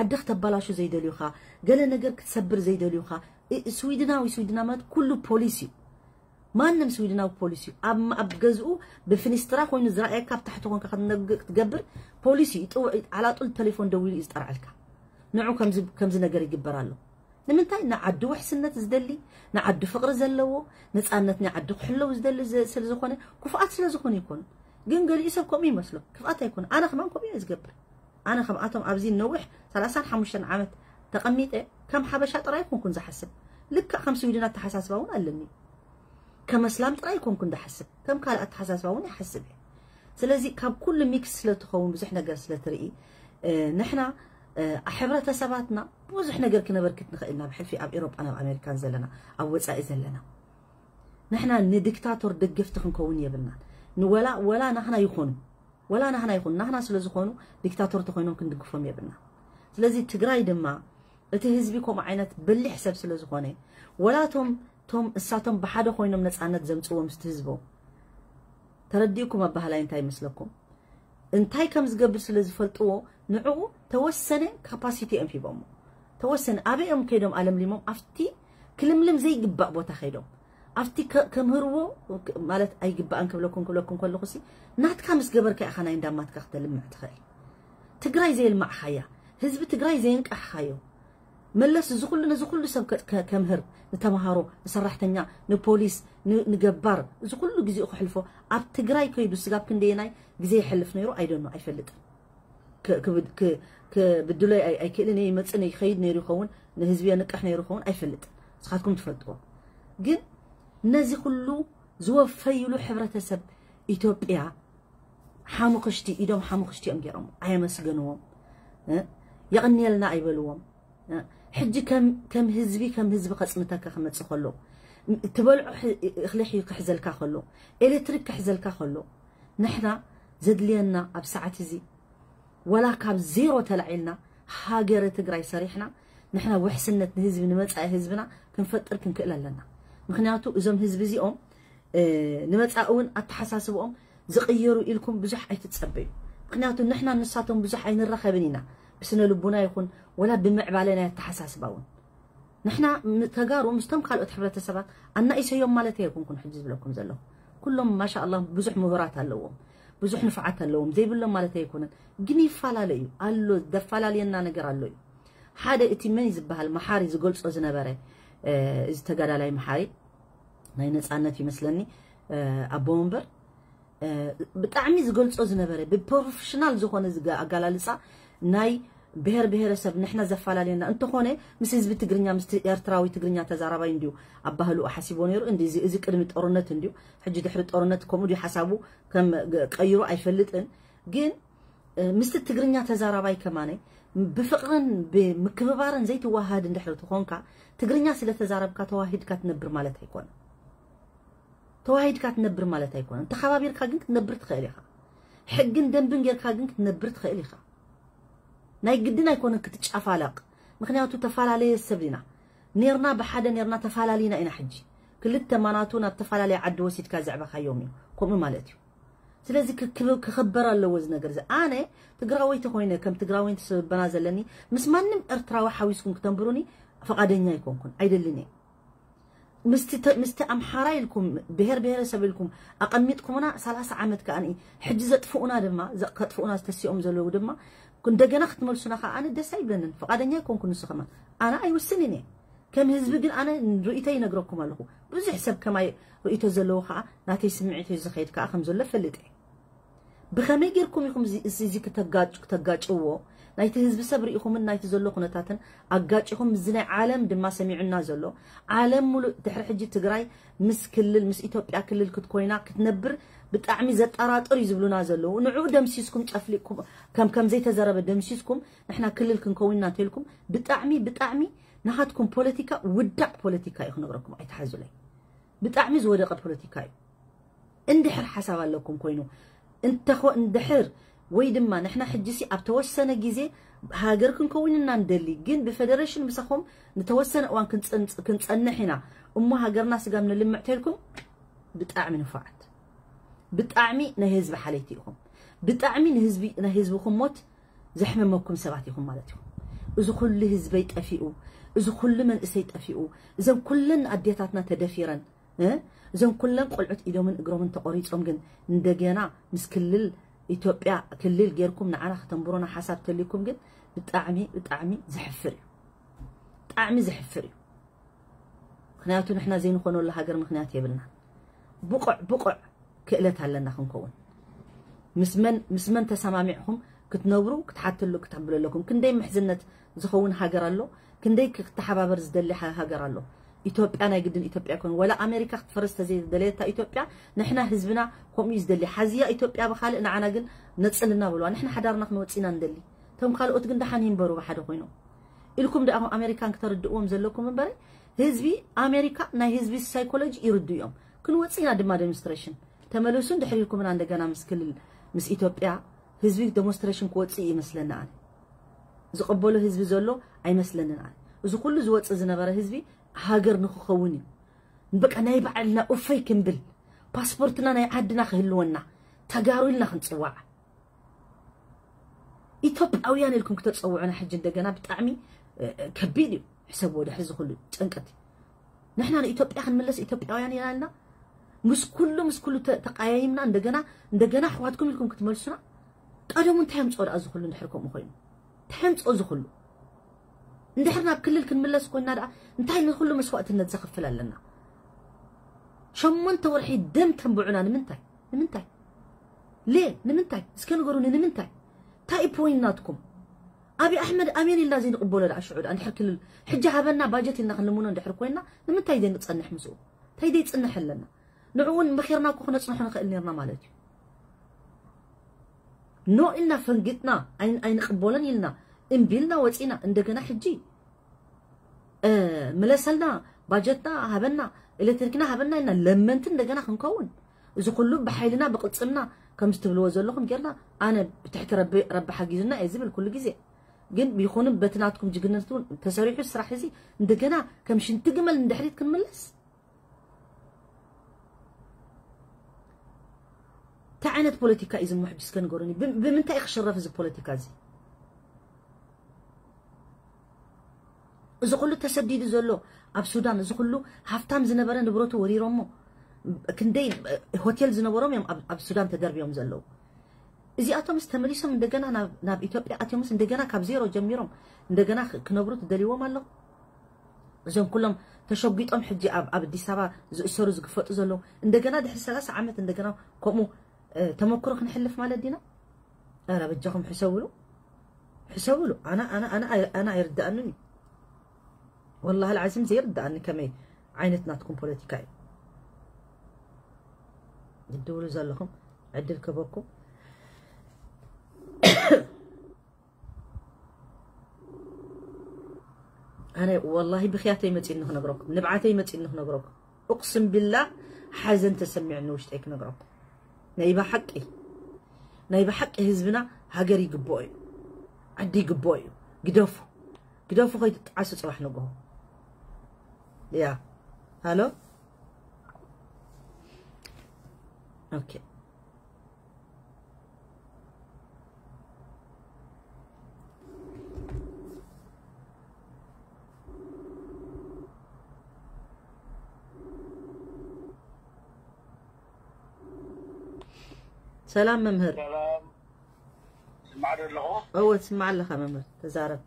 ዓዲ ክተባላሹ ዘይደልዩኻ ገለ ነገር ክትሰብር ዘይደልዩኻ። ስዊድናዊ ስዊድና ማለት ኩሉ ፖሊስ እዩ። ማንም ስዊድናዊ ፖሊስ እዩ ኣብ ኣብ ገዝኡ ብፍኒስትራ ኮይኑ ዝረኣየካ ኣብ ታሕቲ ኮንካ ክትገብር ፖሊስ እዩ ይጥውዕ። ዓላጡል ቴሌፎን ደዊሉ እዩ ዝጠርዐልካ። ንዑ ከምዚ ነገር ይግበር ኣሎ። ንምንታይ ንዓዱ ውሕስነት ዝደሊ ንዓዱ ፍቕሪ ዘለዎ ነፃነት ናይ ዓዱ ክሕለው ዝደሊ ስለ ዝኾነ ክፉኣት ስለ ዝኾኑ ይኮኑ። ግን ገሊኡ ሰብ ከምኡ ይመስሎ ክፍኣት ኣይኮነ። ኣነ ከማን ከምኡ እየ ዝገብር። ኣነ ከምኣቶም ኣብዚ ነዊሕ ሰላሳን ሓሙሽተን ዓመት ተቐሚጠ ከም ሓበሻ ጥራይ ኮንኩን ዝሓስብ ልክዕ ከም ስዊድን ኣተሓሳስባ እውን ኣለኒ። ከም ኣስላም ጥራይ ኮንኩን ዝሓስብ ከም ካልእ ኣተሓሳስባ እውን ይሓስብ እየ። ስለዚ ካብ ኩሉ ሚክስ ስለትኸውን ብዙሕ ነገር ስለትርኢ ንሕና ሕብረተሰባትና ብዙሕ ነገር ክነበርክት ንኽእል ናብ ሕልፊ ኣብ ኤሮጳ ናብ ኣሜሪካን ዘለና ኣብ ወፃኢ ዘለና ንሕና ንዲክታቶር ደገፍቲ ክንከውን የብልናን። ንወላ ወላ ናህና ይኾኑ ወላ ናህና ይኹን ናህና ስለ ዝኾኑ ዲክታቶር ተኾይኖም ክንድግፎም የብልና። ስለዚ ትግራይ ድማ እቲ ህዝቢ ከምኡ ዓይነት በሊሕ ሰብ ስለ ዝኾነ ወላ ቶም ቶም እሳቶም ብሓደ ኮይኖም ነፃነት ዘምፅዎ ምስቲ ህዝቦም ተረዲእኩም ኣባህላይ እንታይ ይመስለኩም? እንታይ ከም ዝገብር ስለ ዝፈልጥዎ ንዕኡ ተወሰነ ካፓሲቲ እዮም ሂቦሞ። ተወሰነ ኣበይ እዮም ከይዶም ኣለምሊሞም ኣብቲ ክልምልም ዘይግባእ ቦታ ከይዶም ኣብቲ ከምህርዎ ማለት ኣይግባእን ክብለኩም ክብለኩም ከለኹ ሲ ናትካ ምስ ገበርካ ኢኻ ናይ እንዳማትካ ክተልምዕ ትኽእል። ትግራይ ዘየልማዕኻያ ህዝቢ ትግራይ ዘየንቃሕኻዮ መለስ እዚ ኩሉ ነዚ ኩሉ ሰብ ከምህር ንተምሃሮ ንሰራሕተኛ ንፖሊስ ንገባር እዚ ኩሉ ግዜኡ ክሕልፎ ኣብ ትግራይ ከይዱ ስጋብ ክንደየናይ ግዜ ይሕልፍ ነይሩ ኣይደኖ ኣይፈልጥን። ክብድሎ ኣይክእልን እየ ይመፅእ ይኸይድ ነይሩ ይኸውን ንህዝቢ የንቅሕ ነይሩ ይኸውን ኣይፈልጥን። ንስኻትኩም ትፈልጥዎ ግን ነዚ ኩሉ ዝወፈይሉ ሕብረተሰብ ኢትዮጵያ ሓሙኽሽቲ ኢዶም ሓሙኽሽቲ እዮም ገይሮም ኣየመስገንዎም። የቕንየልና ኣይበልዎም። ሕጂ ከም ህዝቢ ከም ህዝቢ ከፅንተካ ክመፅእ ከሎ ትበልዖ እኽሊ ክሕዘልካ ከሎ ኤሌክትሪክ ክሕዘልካ ከሎ ንሕና ዘድልየና ኣብ ሰዓት እዚ ወላ ካብ ዜሮ ተላዒልና ሃገረ ትግራይ ሰሪሕና ንሕና ውሕስነት ንህዝቢ ንመፃኢ ህዝብና ክንፈጥር ክንክእል ኣለና። ምክንያቱ እዞም ህዝቢ እዚኦም ንመፃኢ እውን ኣተሓሳስብኦም ዝቕየሩ ኢልኩም ብዙሕ ኣይትፀበዩ። ምክንያቱ ንሕና ንሳቶም ብዙሕ ኣይንራኸብን ኢና። ብስነ ልቡና ይኹን ወላ ብምዕባለ ናይ ኣተሓሳስባ እውን ንሕና ተጋሩ ምስቶም ካልኦት ሕብረተሰባት ኣናኢሰዮም ማለት ኣይኮንኩን ሕጂ ዝብለኩም ዘለኹ። ኩሎም ማሻ ኣላ ብዙሕ ምሁራት ኣለዎም፣ ብዙሕ ንፍዓት ኣለዎም፣ ዘይብሎም ማለት ኣይኮነን። ግን ይፈላለ እዩ ኣሎ፣ ዘፈላለየና ነገር ኣሎ እዩ። ሓደ እቲ መን ዝበሃል መሓሪ ዝገልጾ ዝነበረ እዚ ተጋዳላይ መሓሪ ናይ ነፃነት ይመስለኒ ኣቦ ወንበር ብጣዕሚ ዝገልጾ ዝነበረ ብፕሮፌሽናል ዝኾነ ኣጋላልፃ ናይ ብሔር ብሔረሰብ ንሕና ዘፈላለየና እንተኾነ ምስ ህዝቢ ትግርኛ ምስ ኤርትራዊ ትግርኛ ተዛራባይ እንዲዩ ኣባህልኡ ሓሲቦ ነይሩ። እዚ ቅድሚ ጦርነት እንዲዩ፣ ሕጂ ድሕሪ ጦርነት ከምኡ ድዩ ሓሳቡ ከም ቀይሩ ኣይፈልጥን። ግን ምስቲ ትግርኛ ተዛራባይ ከማነ ብፍቕርን ብምክብባርን ዘይትዋሃድ እንድሕሪ ትኾንካ ትግርኛ ስለ ተዛረብካ ተዋሂድካ ትነብር ማለት ኣይኮነ። ተዋሂድካ ትነብር ማለት ኣይኮነን። ተኸባቢርካ ግን ክትነብር ትኽእል ኢኻ። ሕግን ደንብን ጌርካ ግን ክትነብር ትኽእል ኢኻ። ናይ ግድን ኣይኮነን ክትጫፋለቕ። ምኽንያቱ ተፈላለየ ሰብ ኢና። ኔርና ብሓደ ኔርና ተፈላለይና ኢና። ሕጂ ክልተ ማናቱ ናብ ተፈላለየ ዓዲ ወሲድካ ዘዕበኻዮም እዩ። ከምኡ ማለት እዩ። ስለዚ ክኽበር ኣለዎ እዚ ነገር እዚ። ኣነ ትግራወይቲ ኮይነ ከም ትግራወይቲ ስብበና ዘለኒ ምስ ማንም ኤርትራዊ ሓዊስኩም ክተንብሩኒ ፈቓደኛ ኣይኮንኩን፣ ኣይደልን እየ። ምስቲ ኣምሓራ ኢልኩም ብሄር ብሄረሰብ ኢልኩም ኣቐሚጥኩምና ሰላሳ ዓመት ከኣ ሕጂ ዘጥፍኡና ድማ ከጥፍኡና ዝተሲኦም ዘለዉ ድማ እንደገና ክትመልሱና ከኣ ኣነ ደስ ኣይብለንን፣ ፍቓደኛ ኣይኮንኩን። ንሱ ከማን ኣነ ኣይውስንን እየ ከም ህዝቢ፣ ግን ኣነ ርእይቶ ይነግረኩም ኣለኹ። ብዙሕ ሰብ ከማይ ርእይቶ ዘለዎ ከኣ ናተይ ስምዒት እዩ ዝኸይድ ከኣ ከም ዘሎ ፈልጥ እየ። ብኸመይ ጌርኩም ኢኹም እዚ ከተጋጭዎ? ናይቲ ህዝቢ ሰብ ርኢኹምን ናይቲ ዘሎ ኩነታትን ኣጋጭኹም፣ እዚ ናይ ዓለም ድማ ሰሚዑና ዘሎ። ዓለም ሙሉእ ድሕሪ ሕጂ ትግራይ ምስ ክልል ምስ ኢትዮጵያ ክልል ክትኮይና ክትነብር ብጣዕሚ ዘጠራጥር እዩ ዝብሉና ዘለዉ። ንዑ ደምሲስኩም ጨፍሊቅኩም ከም ከም ዘይተዘረበ ደምሲስኩም ንሕና ክልል ክንከውንና እንተልኩም ብጣዕሚ ብጣዕሚ ናኻትኩም ፖለቲካ ውዳቅ ፖለቲካ እዩ ክነግረኩም። ኣይትሓዙለይ። ብጣዕሚ ዝወደቀ ፖለቲካ እዩ። እንድሕር ሓሳብ ኣለኩም ኮይኑ እንተኾ እንድሕር ወይ ድማ ንሕና ሕጂሲ ኣብ ተወሰነ ግዜ ሃገር ክንከውን ኢና ንደሊ፣ ግን ብፌደሬሽን ምሳኹም ንተወሰነ እዋን ክንፀንፅ- ክንፀንሕ ኢና እሞ ሃገርና ስጋብ ንልምዕ ተልኩም ብጣዕሚ ንፉዓት፣ ብጣዕሚ ናይ ህዝቢ ሓለይቲ ኢኹም፣ ብጣዕሚ ንህዝቢ ናይ ህዝብኹም ሞት ዘሕመመኩም ሰባት ኢኹም ማለት እዩ። እዚ ኩሉ ህዝበይ ጠፊኡ፣ እዚ ኩሉ መንእሰይ ጠፊኡ፣ እዘን ኩለን ኣዴታትና ተደፊረን እዘን ኩለን ቆልዑት ኢዶምን እግሮምን ተቆሪጾም ግን እንደገና ምስ ክልል ኢትዮጵያ ክልል ጌርኩም ንዓና ከተንብሮና ሓሳብ ተልይኩም ግን ብጣዕሚ ብጣዕሚ ዘሕፍር እዩ። ብጣዕሚ ዘሕፍር እዩ። ምክንያቱ ንሕና ዘይንኾነሉ ሃገር ምክንያት የብልና። ብቑዕ ብቑዕ ክእለት ኣለና ክንከውን። ምስ መን ምስ መን ተሰማሚዕኩም ክትነብሩ ክትሓትሉ ክትብሉ ኣለኩም። ክንደይ ምሕዝነት ዝኸውን ሃገር ኣሎ፣ ክንደይ ክተሓባበር ዝደሊ ሃ- ሃገር ኣሎ። ኢትዮጵያ ናይ ግድን ኢትዮጵያ ይኮን ወላ ኣሜሪካ ክትፈርስ ተዘይደለየታ ኢትዮጵያ ንሕና ህዝብና ከምኡ እዩ ዝደሊ። ሓዝያ ኢትዮጵያ ብካልእ ንዓና ግን ነፅልና በልዋ። ንሕና ሓዳርና ክንወፅና ንደሊ። እቶም ካልኦት ግን ደሓን ይንበሩ ብሓደ ኮይኖም ኢልኩም ደኣ ኣሜሪካን ክተርድእዎም ዘለኩም እምበር ህዝቢ ኣሜሪካ ናይ ህዝቢ ሳይኮሎጂ ይርዱ እዮም። ክንወፅና ድማ ዴሞንስትሬሽን ተመለሱ እንድሕር ኢልኩምና እንደገና ምስ ክልል ምስ ኢትዮጵያ ህዝቢ ዴሞንስትሬሽን ክወፅእ ይመስለኒ ኣነ። ዝቐበሎ ህዝቢ ዘሎ ኣይመስለንን ኣነ። እዚ ኩሉ ዝወፅእ ዝነበረ ህዝቢ ሃገር ንክኸውን እዩ። በቃ ናይ ባዕልና ኡፈይ ክንብል ፓስፖርትና ናይ ዓድና ክህልወና ተጋሩ ኢልና ክንፅዋዕ ኢትዮጵያውያን ኢልኩም ክተፀውዑና ሕጂ እንደገና ብጣዕሚ ከቢድ እዩ። ሕሰብዎ ድሕሪ እዚ ኩሉ ጭንቀት ንሕና ንኢትዮጵያ ክንምለስ ኢትዮጵያውያን ኢና ኢልና ምስ ኩሉ ምስ ኩሉ ተቃያይምና እንደገና እንደገና ኣሕዋትኩም ኢልኩም ክትመልሱና ቀደሙ እንታይ ኣምፅኦ ደኣ እዚ ኩሉ እንድሕር ከምኡ ኮይኑ እንታይ ኣምፅኦ እዚ ኩሉ እንድሕር ናብ ክልል ክንምለስ ኮይና ደኣ እንታይ ንኩሉ መስዋእትነት ዘኽፍል ኣለና? ሸሞንተ ወርሒ ደም ተንብዑና ንምንታይ ንምንታይ ሌ ንምንታይ እስከ ንገሩኒ ንምንታይ እንታይ እዩ ፖይንት ናትኩም? ኣብይ ኣሕመድ ኣሜን ኢልና ዘይንቕበሎ ደኣ ሽዑ ደኣ እንድሕር ክልል ሕጂ ሃበና ባጀት ኢልና ክንልምኖ እንድሕር ኮይና ንምንታይ ዘይንፀንሕ ምስኡ እንታይ ዘይፅንሕ ኣለና? ንዕኡን መኺርና እኮ ክነፅንሖ ንኽእል ነርና ማለት እዩ። ኖ ኢልና ፈንጊጥና ኣይንቕበሎን ኢልና እምቢ ኢልና ወፂና እንደገና ሕጂ ምለሰልና ባጀትና ሃበና ኤሌክትሪክና ሃበና ኢልና ለመንቲ እንደገና ክንከውን እዚ ኩሉ ብሓይልና ብቅልፅምና ከምዚ ትብልዎ ዘለኹም ጌርና ኣነ ብትሕቲ ረቢ ረቢ ሓጊዙና እየ ዝብል ኩሉ ግዜ ግን ይኹንም በቲ ናትኩም ጅግንነት እውን ተሰሪሑ ስራሕ እዚ እንደገና ከም ሽንቲ ግመል ንድሕሪት ክንምለስ እንታይ ዓይነት ፖለቲካ እዩ ዝሞ ሕጂ እስከ ንገሩኒ ብምንታይ እዩ ክሽረፍ እዚ ፖለቲካ እዚ እዚ ኩሉ ተሰዲዱ ዘሎ ኣብ ሱዳን፣ እዚ ኩሉ ሃፍታም ዝነበረ ንብረቱ ወሪሮሞ፣ ክንደይ ሆቴል ዝነበሮም እዮም ኣብ ሱዳን ተደርብዮም ዘለዉ። እዚኣቶምስ ተመሊሶም እንደገና ናብ ኢትዮጵያ ኣትዮምስ እንደገና ካብ ዜሮ ጀሚሮም እንደገና ክነብሩ ትደልይዎም ኣለኹ? እዞም ኩሎም ተሸጒጦም ሕጂ ኣብ ኣዲስ ኣበባ ዝእሰሩ ዝግፈጡ ዘለዉ እንደገና ድሕሪ ሰላሳ ዓመት እንደገና ከምኡ ተመክሮ ክንሕልፍ ማለት ዲና? ኣረ በጃኹም ሕሰብሉ፣ ሕሰብሉ። ኣና ኣና ኣና ኣና ኣይርዳኣንን እዩ። ወላሂ العظيم ዘይርዳኣኒ ከመይ ዓይነት ናትኩም ፖለቲካ እዩ። ትድውሉ ዘለኹም ዕድል ክበኩም። ኣነ ወላሂ ብኽያተይ መፂኒ ክነግረኩም፣ ንብዓተይ መፂኒ ክነግረኩም። እቅስም ቢላ ሓዘን ተሰሚዕኒ ውሽጠይ ክነግረኩም። ናይ ብሓቂ ናይ ብሓቂ ህዝብና ሃገር ይግብኦ እዩ፣ ዓዲ ይግብኦ እዩ። ግደፉ፣ ግደፉ ከይትጣዓሱ ፅባሕ ንግሆ። ያ ሃሎ ኦኬ። ሰላም መምህር። ሰላም። ስማዕ ዶ ኣለኹ? እወ ትስማዕ ኣለኻ መምህር፣ ተዛረብ።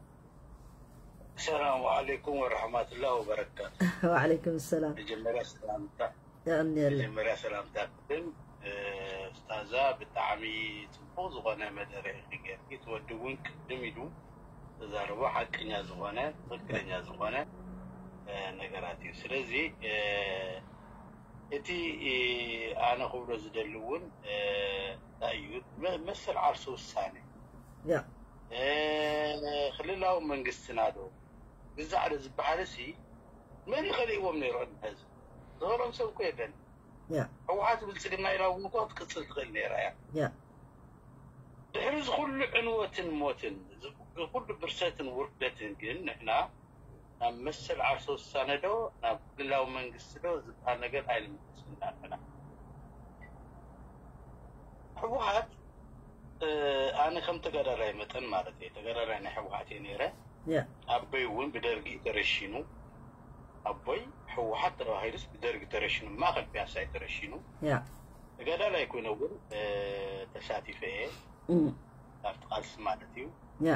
ሰላም ዓለይኩም ወረሕመቱላህ ወበረካቱ። ወዓለይኩም ሰላም። መጀመርያ ሰላምታ የቐንየልና። መጀመርያ ሰላምታ ክብል፣ እ፣ ስታዛ ብጣዕሚ ጽቡቕ ዝኾነ መደረ ኢኺ ጌርኪ። እቲ ወዲ እውን ቅድም ኢሉ ተዛረቦ ሓቀኛ ዝኾነ ትኽክለኛ ዝኾነ፣ እ፣ ነገራት እዩ። ስለዚ፣ እ፣ እቲ፣ እ፣ ኣነ ክብሎ ዝደሊ እውን፣ እ፣ እንታይ እዩ መ-፣ መሰል ዓርሰ ውሳኔ ያ። እ፣ ክልላዊ መንግስትና ዶ ግዛዕ ዶ ዝበሃል ሲ መን ይኸልእዎም ነይሩ ቅድሚ ሕዚ? ዝኸልኦም ሰብ እኮ የለን። ያ። ህወሓት ብልጽግና ኢላ እውን እኮ ክትቅጽል ትኽእል ነይራ እያ። ያ። ድሕሪ እዚ ኩሉ ዕንወትን ሞትን፣ እዚ ኩሉ ብርሰትን ውርደትን ግን ንሕና ናብ መሰል ዓርሰ ውሳነ ዶ ናብ ክልላዊ መንግስቲ ዶ ዝበሃል ነገር ኣይንምልስን ኢና ንሕና። ህወሓት፣ እ፣ ኣነ ከም ተጋዳላይ መጠን ማለት እየ፣ ተጋዳላይ ናይ ህወሓት እየ ነይረ። ያ። ኣቦይ እውን ብደርጊ ተረሺኑ፣ ኣቦይ ህወሓት ተባሂሉስ ብደርጊ ተረሺኑ፣ ማእኸል ፒያሳ እዩ ተረሺኑ። ያ። ተጋዳላይ ኮይነ እውን፣ እ፣ ተሳቲፈ እየ እም። ኣብቲ ቃልሲ ማለት እዩ። ያ።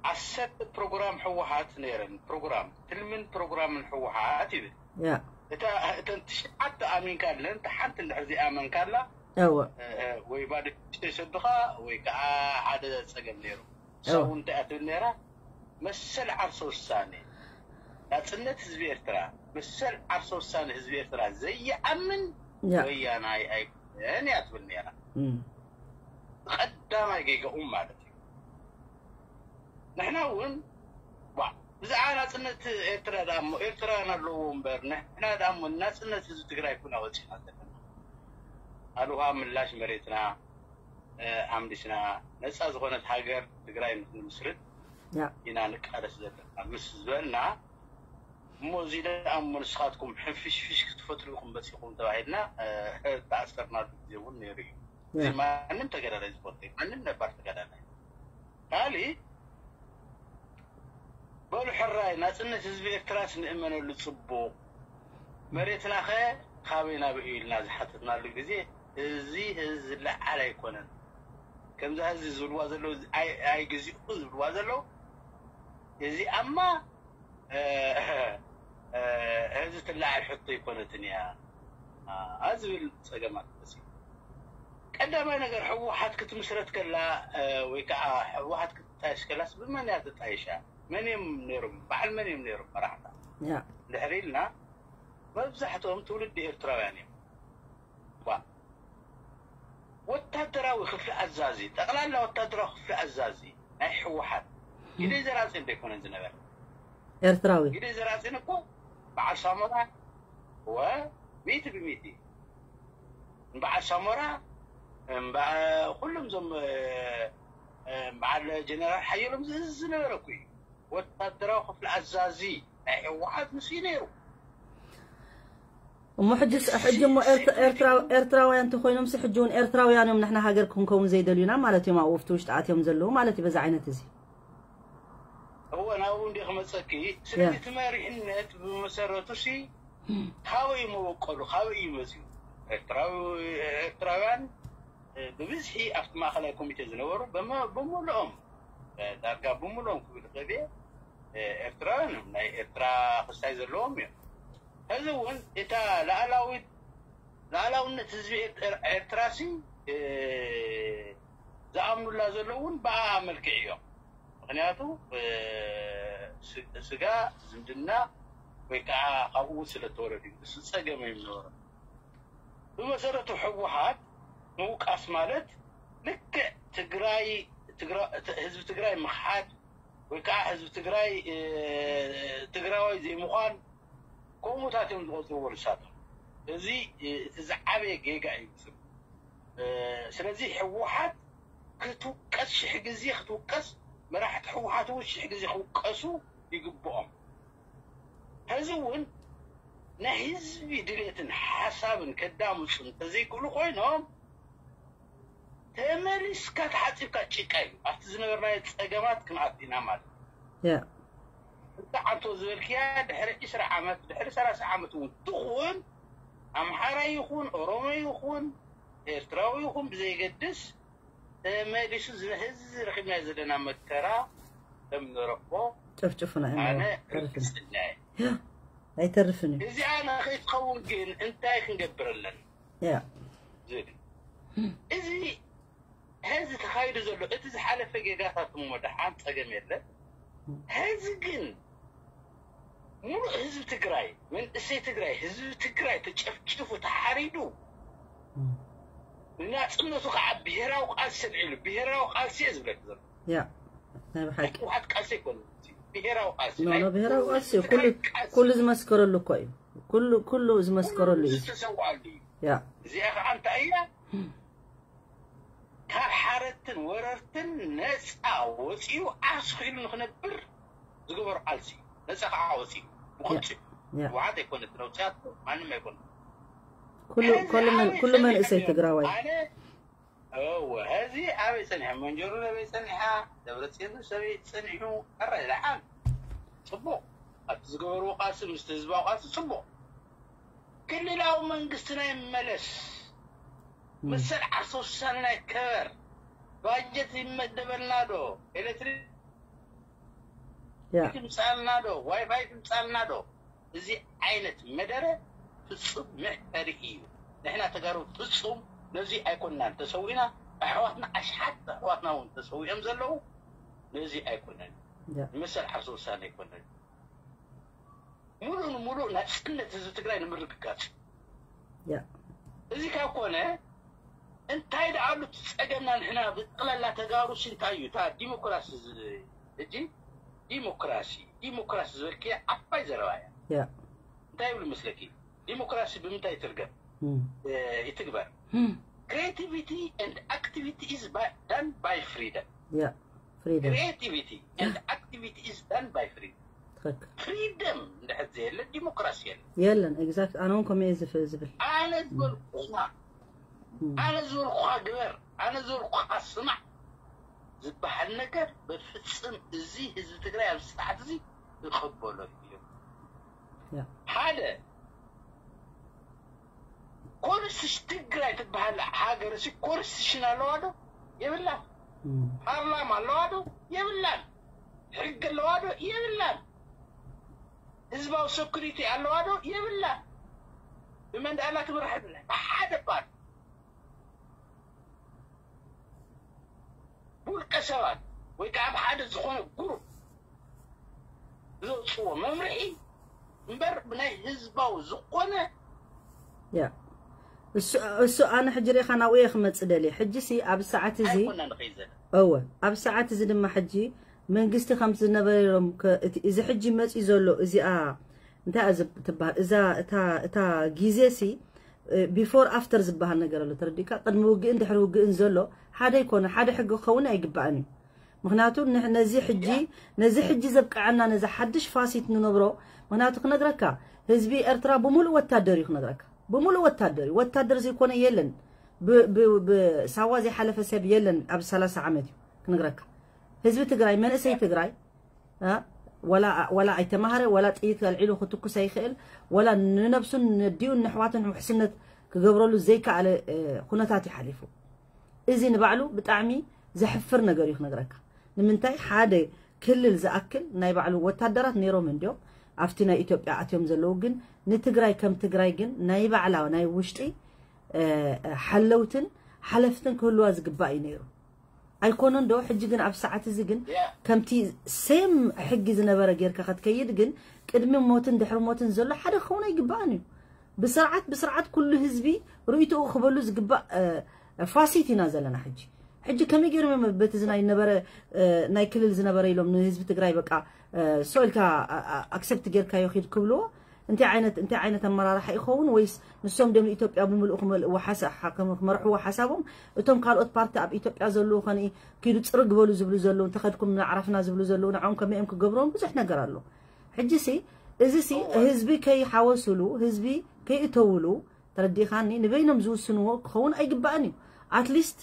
ዓሰርተ ፕሮግራም ህወሓት ነይረን፣ ፕሮግራም፣ ትልምን ፕሮግራምን ህወሓት ይብል። ያ። እታ፣ እተን ትሽዓተ ኣሚንካ ኣለን፣ እታ ሓንቲ እንድሕር ዘይኣመንካላ፣ እወ። እ፣ እ፣ ወይ ባዶ ኪስ ይሰዱኻ፣ ወይ ከዓ ሓደ ጸገም ነይሩ። እወ። እሳ እውን እንታይ እያ ትብል ነይራ? መሰል ዓርሰ ውሳኔ፣ ናጽነት ህዝቢ ኤርትራ፣ መሰል ዓርሰ ውሳኔ ህዝቢ ኤርትራ ዘይኣምን ያ። ወያናይ ኣይኮነን እያ ትብል ነይራ። እም። ቀዳማይ ጌጋኦም ማለት እዩ። ንሕና እውን፣ ዋ፣ ብዛዕባ ናጽነት ኤርትራ ደኣ እሞ ኤርትራውያን ኣለዎ እምበር፣ ንሕና ደኣ እሞ ናጽነት ህዝቢ ትግራይ ኩና ወጺና ዘለና። ኣልዋ ምላሽ መሬትና፣ እ፣ ኣምሊስና ነጻ ዝኾነት ሃገር ትግራይ ንክንምስርት ያ። ኢና ንቃለስ ዘለና ምስ ዝበልና፣ እሞ እዚ ደኣ እሞ ንስኻትኩም ሕንፍሽፍሽ ክትፈጥሩ ኢኹም መጺኹም ተባሂልና፣ እ፣ ተኣሰርናሉ ግዜ እውን ነይሩ እዩ። ያ። እዚ ማንም ተጋዳላይ ዝፈልጦ እዩ። ማንም ነባር ተጋዳላይ። ካሊእ በሉ ሕራይ ናጽነት ህዝቢ ኤርትራስ ንእመነሉ ጽቡቕ። መሬትናኸ ካበይ ናበይ እዩ ኢልና ዝሓተትናሉ ግዜ፣ እዚ ህዝቢ ዝለዓል ኣይኮነን። ከምዛ ህዝቢ ዝብልዋ ዘለዉ፣ ኣይ-፣ ኣይግዜኡ ዝብልዋ ዘለዉ፣ እዚኣማ፣ እ፣ እ፣ ህዝቢ ትለዓል ሕቶ ኣይኮነትን እያ፣ ኣ፣ ዝብል ጸገማት መጺኡ። ቀዳማይ ነገር፣ ህወሓት ክትምስረት ከላ፣ እ፣ ወይ ከዓ ህወሓት ክትጣየሽ ከላስ ብመን እያ ተጣይሻ? መን እዮም ነይሮም? በዓል መን እዮም ነይሮም መራሕታ? ያ። ድሕሪ ኢልና፣ መብዛሕትኦም ትውልዲ ኤርትራውያን እዮም። ዋ። ወታደራዊ ክፍሊ ኣዛዚ፣ ጠቕላላ ወታደራዊ ክፍሊ ኣዛዚ ናይ ህወሓት ግደይ ዘራጺ እንዶ ኣይኮነን ዝነበረ? ኤርትራዊ። ግደይ ዘራጺን እኮ በዓል ሳሞራ፣ ወ፣ ሚእቲ ብሚእቲ። በዓል ሳሞራ፣ እምበ-፣ ኩሎም እዞም፣ እ፣ እ፣ በዓል ጀነራል ሓየሎም ዝእዝዝ ዝነበረ እኮ እዩ። ወታደራዊ ክፍሊ ኣዛዚ ናይ ህወሓት ንሱ እዩ ነይሩ። እሞ ሕጂ ስ-፣ ሕጂ እሞ ኤርት-፣ ኤርትራው-፣ ኤርትራውያን እንተኾይኖምሲ ሕጂ እውን ኤርትራውያን እዮም ንሕና ሃገር ክንከውን ዘይደልዩና ማለት እዮም ኣብኡ ኣብቲ ውሽጢ ኣትዮም ዘለዉ ማለት እዩ በዚ ዓይነት እዚ። እወ፣ ናብኡ እንዲ ክመፀኪ። ስለዚ እቲ መሪሕነት ብመሰረቱ ሲ ካበይ እዩ መበቆሉ፣ ካበይ እዩ መፅኡ? ኤርትራዊ ኤርትራውያን ብብዝሒ ኣብቲ ማእኸላይ ኮሚቴ ዝነበሩ ብመ- ብምልኦም ዳርጋ ብምልኦም ክብል ይኽእል እየ፣ ኤርትራውያን እዮም። ናይ ኤርትራ ክስታይ ዘለዎም እዮም። ሕዚ እውን እታ ላኣላዊት ላኣላውነት ህዝቢ ኤርትራ ሲ ዝኣምኑላ ዘለዉ እውን ብኣ መልክዕ እዮም። ምክንያቱ ስጋ ዝምድና ወይ ከዓ ካብኡ ስለተወለዱ እዩ። እሱ ፀገም እዮም ነበሩ። ብመሰረቱ ህወሓት ምውቃስ ማለት ልክዕ ትግራይ ህዝቢ ትግራይ ምክሓድ ወይ ከዓ ህዝቢ ትግራይ ትግራዋይ ዘይምኳን ከምኡታት እዮም ዝቆፅርዎ ንሳቶም። እዚ እቲ ዝዓበየ ጌጋ እዩ። ስለዚ ህወሓት ክትውቀስ ሽሕ ግዜ ክትውቀስ፣ መራሕቲ ህወሓት እውን ሽሕ ግዜ ክውቀሱ ይግብኦም። ሕዚ እውን ናይ ህዝቢ ድሌትን ሓሳብን ከዳምፁ እንተዘይክእሉ ኮይኖም ተመሊስካ ተሓፂብካ ጭቃ እዩ። ኣብቲ ዝነበርናዮ ፀገማት ክንኣቱ ኢና ማለት እዩ። ያ እንተ ዓንቶ ዝበልክያ ድሕሪ ዕስራ ዓመት ድሕሪ ሰላሳ ዓመት እውን ትኹን ኣምሓራ ይኹን ኦሮሞ ይኹን ኤርትራዊ ይኹን ብዘይገድስ ተመሊሱ ዝነህዚ ረኺብና ዘለና መከራ ከም ንረኽቦ ጨፍጭፉና ኢና ኣነ ተርፍን ርግፅና እየ። ኣይተርፍን እዩ እዚኣ ንኸይትኸውን ግን እንታይ ክንገብር ኣለና ያ ዝብል እዚ ሕዚ ተኻይዱ ዘሎ እቲ ዝሓለፈ ጌጋታት እሞ ደሓን ፀገም የለን። ሕዚ ግን ሙሉእ ህዝቢ ትግራይ መንእሰይ ትግራይ ህዝቢ ትግራይ ተጨፍጭፉ ተሓሪዱ ንናፅነቱ ከዓ ብሄራዊ ቃልሲ ኣልዒሉ ብሄራዊ ቃልሲ እየ ዝብለክ ዘሎ። ያ ናይ ብሓቂ ህወሓት ቃልሲ ኣይኮነ ብሄራዊ ቃልሲ ኖ ናይ ኖ ብሄራዊ ቃልሲ እዩ። ህዝቢ ኩሉ ትግራይ ቃልሲ ኩሉ ዝመስከረሉ እኮ እዩ። ኩሉ ኩሉ ዝመስከረሉ እዩ። ዝተሰውኣሉ እዩ። ያ እዚኣ ከዓ እንታይ እያ ካብ ሓረትን ወረርትን ነፃ ወፂኡ ዓርሱ ክኢሉ ንክነብር ዝገበሩ ቃልሲ እዩ። ነፃ ከዓ ወፂኡ ብቁልፂ ያ ህወሓት ኣይኮነት ነውፅያቶ ማንም ኣይኮነ ኩሉ ኩሉ መን ኩሉ መንእሰይ ትግራዋይ ኣነ እወ ሕዚ ኣበይ ፀኒሐ መንጀሩ ኣበይ ፀኒሓ ደብረፅዮን ሰበይ ፀኒሑ ኣረ ደሓን ፅቡቅ ኣብቲ ዝገበርዎ ቃልሲ ምስቲ ህዝባዊ ቃልሲ ፅቡቅ ክልላዊ መንግስትና ይመለስ መሰል ዓርሰ ውሳኔና ይከበር ባጀት ይመደበልና ዶ ኤሌክትሪክ ያ ትምፃልና ዶ ዋይፋይ ትምፃልና ዶ እዚ ዓይነት መደረ ፍፁም መሕፈሪ እዩ። ንሕና ተጋሩ ፍፁም ነዚ ኣይኮንናን ተሰዊእና ኣሕዋትና ኣሽሓት ኣሕዋትና እውን ተሰዊኦም ዘለዉ ነዚ ኣይኮነን ያ ንመሰል ዓርሰ ውሳኔ ኣይኮነን። ሙሉእ ንሙሉእ ናፅነት ህዝቢ ትግራይ ንምርግጋፅ ያ እዚ ካብ ኮነ እንታይ ደኣ ኣሉ እቲ ፀገምና ንሕና ብጠቕላላ ተጋሩ ሲ እንታይ እዩ እታ ዲሞክራሲ ዝ- ሕጂ ዲሞክራሲ ዲሞክራሲ ዝበልክያ ዓባይ ዘረባ እያ። ያ እንታይ ይብሉ መስለኪ? ዲሞክራሲ ብምንታይ ይትርገም እም፣ እ፣ ይትግበር? እም፣ Creativity and activity is by- done by freedom. ያ ፍሪደም Creativity and activity is done by freedom. ትኽክል ፍሪደም እንድሕር ዘየለ ዲሞክራሲ የለ። የለን ኤግዛክት ኣነ እውን ከምኡ እየ ዝፍ- ዝብል ኣነ ዝበልኩኻ እም፣ ኣነ ዝበልኩኻ ግበር ኣነ ዝበልኩኻ ስማዕ ዝበሃል ነገር በፍፅም እዚ ህዝቢ ትግራይ ኣብዚ ሰዓት እዚ ይቐበሎ እዩ። ያ ሓደ ኮንስቲቱሽን ትግራይ ትበሃል ሃገር ሲ ኮንስቲቱሽን ኣለዋ ዶ የብላን? እም፣ ፓርላማ ኣለዋ ዶ የብላን? ሕጊ ኣለዋ ዶ የብላን? ህዝባዊ ሰኩሪቲ ኣለዋ ዶ የብላን? ብመን ደኣ ትምራሕ ብሓደ ፓርቲ ብውልቀ ሰባት ወይ ከዓ ብሓደ ዝኾነ ግሩፕ ዘውፅዎ መምርሒ እምበር ብናይ ህዝባዊ ዝኾነ ያ እሱ እሱ ኣነ ሕጂ ሪኢኻ ናብኡ እየ ክመፅእ ደልየ ሕጂ ሲ ኣብ ሰዓት እዚ ኣይኮና ንኸይድ ዘለና። እወ ኣብ ሰዓት እዚ ድማ ሕጂ መንግስቲ ከምቲ ዝነበረ ኢሎም ከ- እቲ- እዚ ሕጂ መፅዩ ዘሎ እዚኣ እንታይ እያ ዝብ- ትበሃል እዛ እታ እታ ግዜ ሲ ቢፎር ኣፍተር ዝበሃል ነገር ኣሎ ተረዲእካ ቅድሚ ውግእን ድሕሪ ውግእን ዘሎ ሓደ ይኮነ ሓደ ሕጊ ክኸውን ኣይግባእን እዩ ምክንያቱ ንሕ- ነዚ ሕጂ ነዚ ሕጂ ዘብቀዐና ነዚ ሓድሽ ፋሲት ንነብሮ ምክንያቱ ክነግረካ ህዝቢ ኤርትራ ብምሉእ ወታደር እዩ ክነግረካ ብምሉእ ወታደር እዩ ወታደር ዘይኮነ የለን ብ- ብ- ብሳዋ ዘይሓለፈ ሰብ የለን ኣብ ሰላሳ ዓመት እዩ ክነግረካ ህዝቢ ትግራይ መንእሰይ ትግራይ እ፣ ዋላ ኣይተማሃረ፣ ዋላ ጥይት ኣልዒሉ ክትኩስ ኣይኽእል፣ ዋላ ንነብሱን ነዲኡን ንኣሕዋቱን ውሕስነት ክገብረሉ ዘይከኣለ ኩነታት እዩ ሓሊፉ። እዚ ንባዕሉ ብጣዕሚ ዘሕፍር ነገር እዩ ክነግረካ። ንምንታይ ሓደ ክልል ዝኣክል ናይ ባዕሉ ወታደራት ነይሮም እንድዮም ኣብቲ ናይ ኢትዮጵያ ኣትዮም ዘለዉ፣ ግን ንትግራይ ከም ትግራይ ግን ናይ ባዕላ ናይ ውሽጢ ሓለውትን ሓለፍትን ክህልዋ ዝግባእ እዩ ነይሩ። ኣይኮነን ዶ? ሕጂ ግን ኣብ ሰዓት እዚ ግን ከምቲ ሴም ሕጊ ዝነበረ ጌርካ ክትከይድ ግን ቅድሚ ሞትን ድሕሪ ሞትን ዘሎ ሓደ ክኸውን ኣይግባእን እዩ። ብስርዓት ብስርዓት ኩሉ ህዝቢ ርእይቶኡ ክበሉ ዝግባእ ፋሲት ኢና ዘለና ሕጂ። ሕጂ ከመይ ገይሮም እዮም በቲ ዝናይ ነበረ ናይ ክልል ዝነበረ ኢሎም ንህዝቢ ትግራይ በቃ ሶ ኢልካ ኣክሰፕት ጌርካዮ ኪድ ክብልዎ? እንታይ ዓይነት እንታይ ዓይነት ኣመራርሓ ይኸውን? ወይስ ንሶም ደም ኢትዮጵያ ብምልኡ ክመልእዎ ሓሳ- ክመርሕዎ ሓሳቦም? እቶም ካልኦት ፓርቲ ኣብ ኢትዮጵያ ዘለዉ ከነ ኪዱ ፅርግ በሉ ዝብሉ ዘለዉ እንተኸድኩም ንዓረፍና ዝብሉ ዘለዉ ንዕኦም ከመይ እዮም ክገብርዎም ብዙሕ ነገር ኣሎ። ሕጂ ሲ እዚ ሲ ህዝቢ ከይሓወስሉ ህዝቢ ከይእተውሉ ተረዲእኻኒ ንበይኖም ዝውስንዎ ክኸውን ኣይግባእን እዩ። ኣትሊስት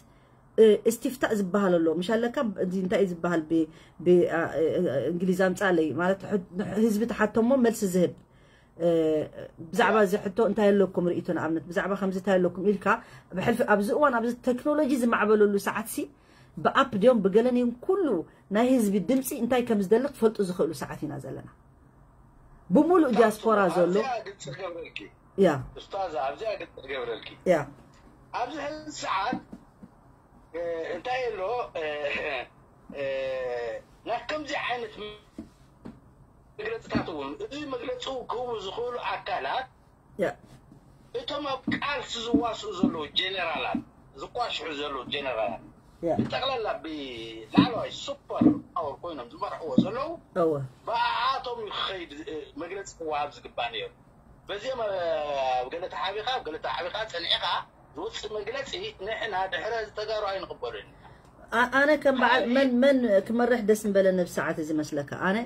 እስቲፍታእ ዝበሃል ኣሎ ምሽ ኣለካ እንታይ እዩ ዝበሃል ብእንግሊዝ ኣምፃለይ ማለት ህዝቢ ተሓቶሞ መልሲ ዝህብ ብዛዕባ እዚ ሕቶ እንታይ ኣለኩም ርእቶ ንኣብነት ብዛዕባ ከምዚ እንታይ ኣለኩም ኢልካ ብሕልፊ ኣብዚ እዋን ኣብዚ ቴክኖሎጂ ዝማዕበለሉ ሰዓት ሲ ብኣፕ ድዮም ብገለን እዮም ኩሉ ናይ ህዝቢ ድምፂ እንታይ ከም ዝደሊ ክፈልጡ ዝኽእሉ ሰዓት ኢና ዘለና። ብምሉእ ዲያስፖራ ዘሎ ያ ኡስታዛ ኣብዚኣ ግልፂ ክገብረልኪ ያ ኣብዚ ሕዚ ሰዓት እንታይ ኣሎ ናብ ከምዚ ዓይነት መግለፅታት እውን እዚ መግለፂ ክህቡ ዝኽእሉ ኣካላት ያ እቶም ኣብ ቃልሲ ዝዋስኡ ዘለዉ ጀነራላት ዝቋሽሑ ዘለዉ ጀነራላት ያ ብጠቕላላ ብላዕለዋይ ሱፐር ፓወር ኮይኖም ዝመርሕዎ ዘለዉ እወ ብኣኣቶም እዩ ክኸይድ መግለፂ ክወሃብ ዝግባእ ነይሩ። በዚኦም ኣብ ገለ ተሓቢኻ ኣብ ገለ ተሓቢኻ ፀኒዕኻ ዝወፅእ መግለፂ ንሕና ድሕረ ዝተጋሩ ኣይንቕበሉን ኢና። ኣ- ኣነ ከም በዓል መን መን ክመርሕ ደስ ምበለኒ ብሰዓት እዚ መስለካ ኣነ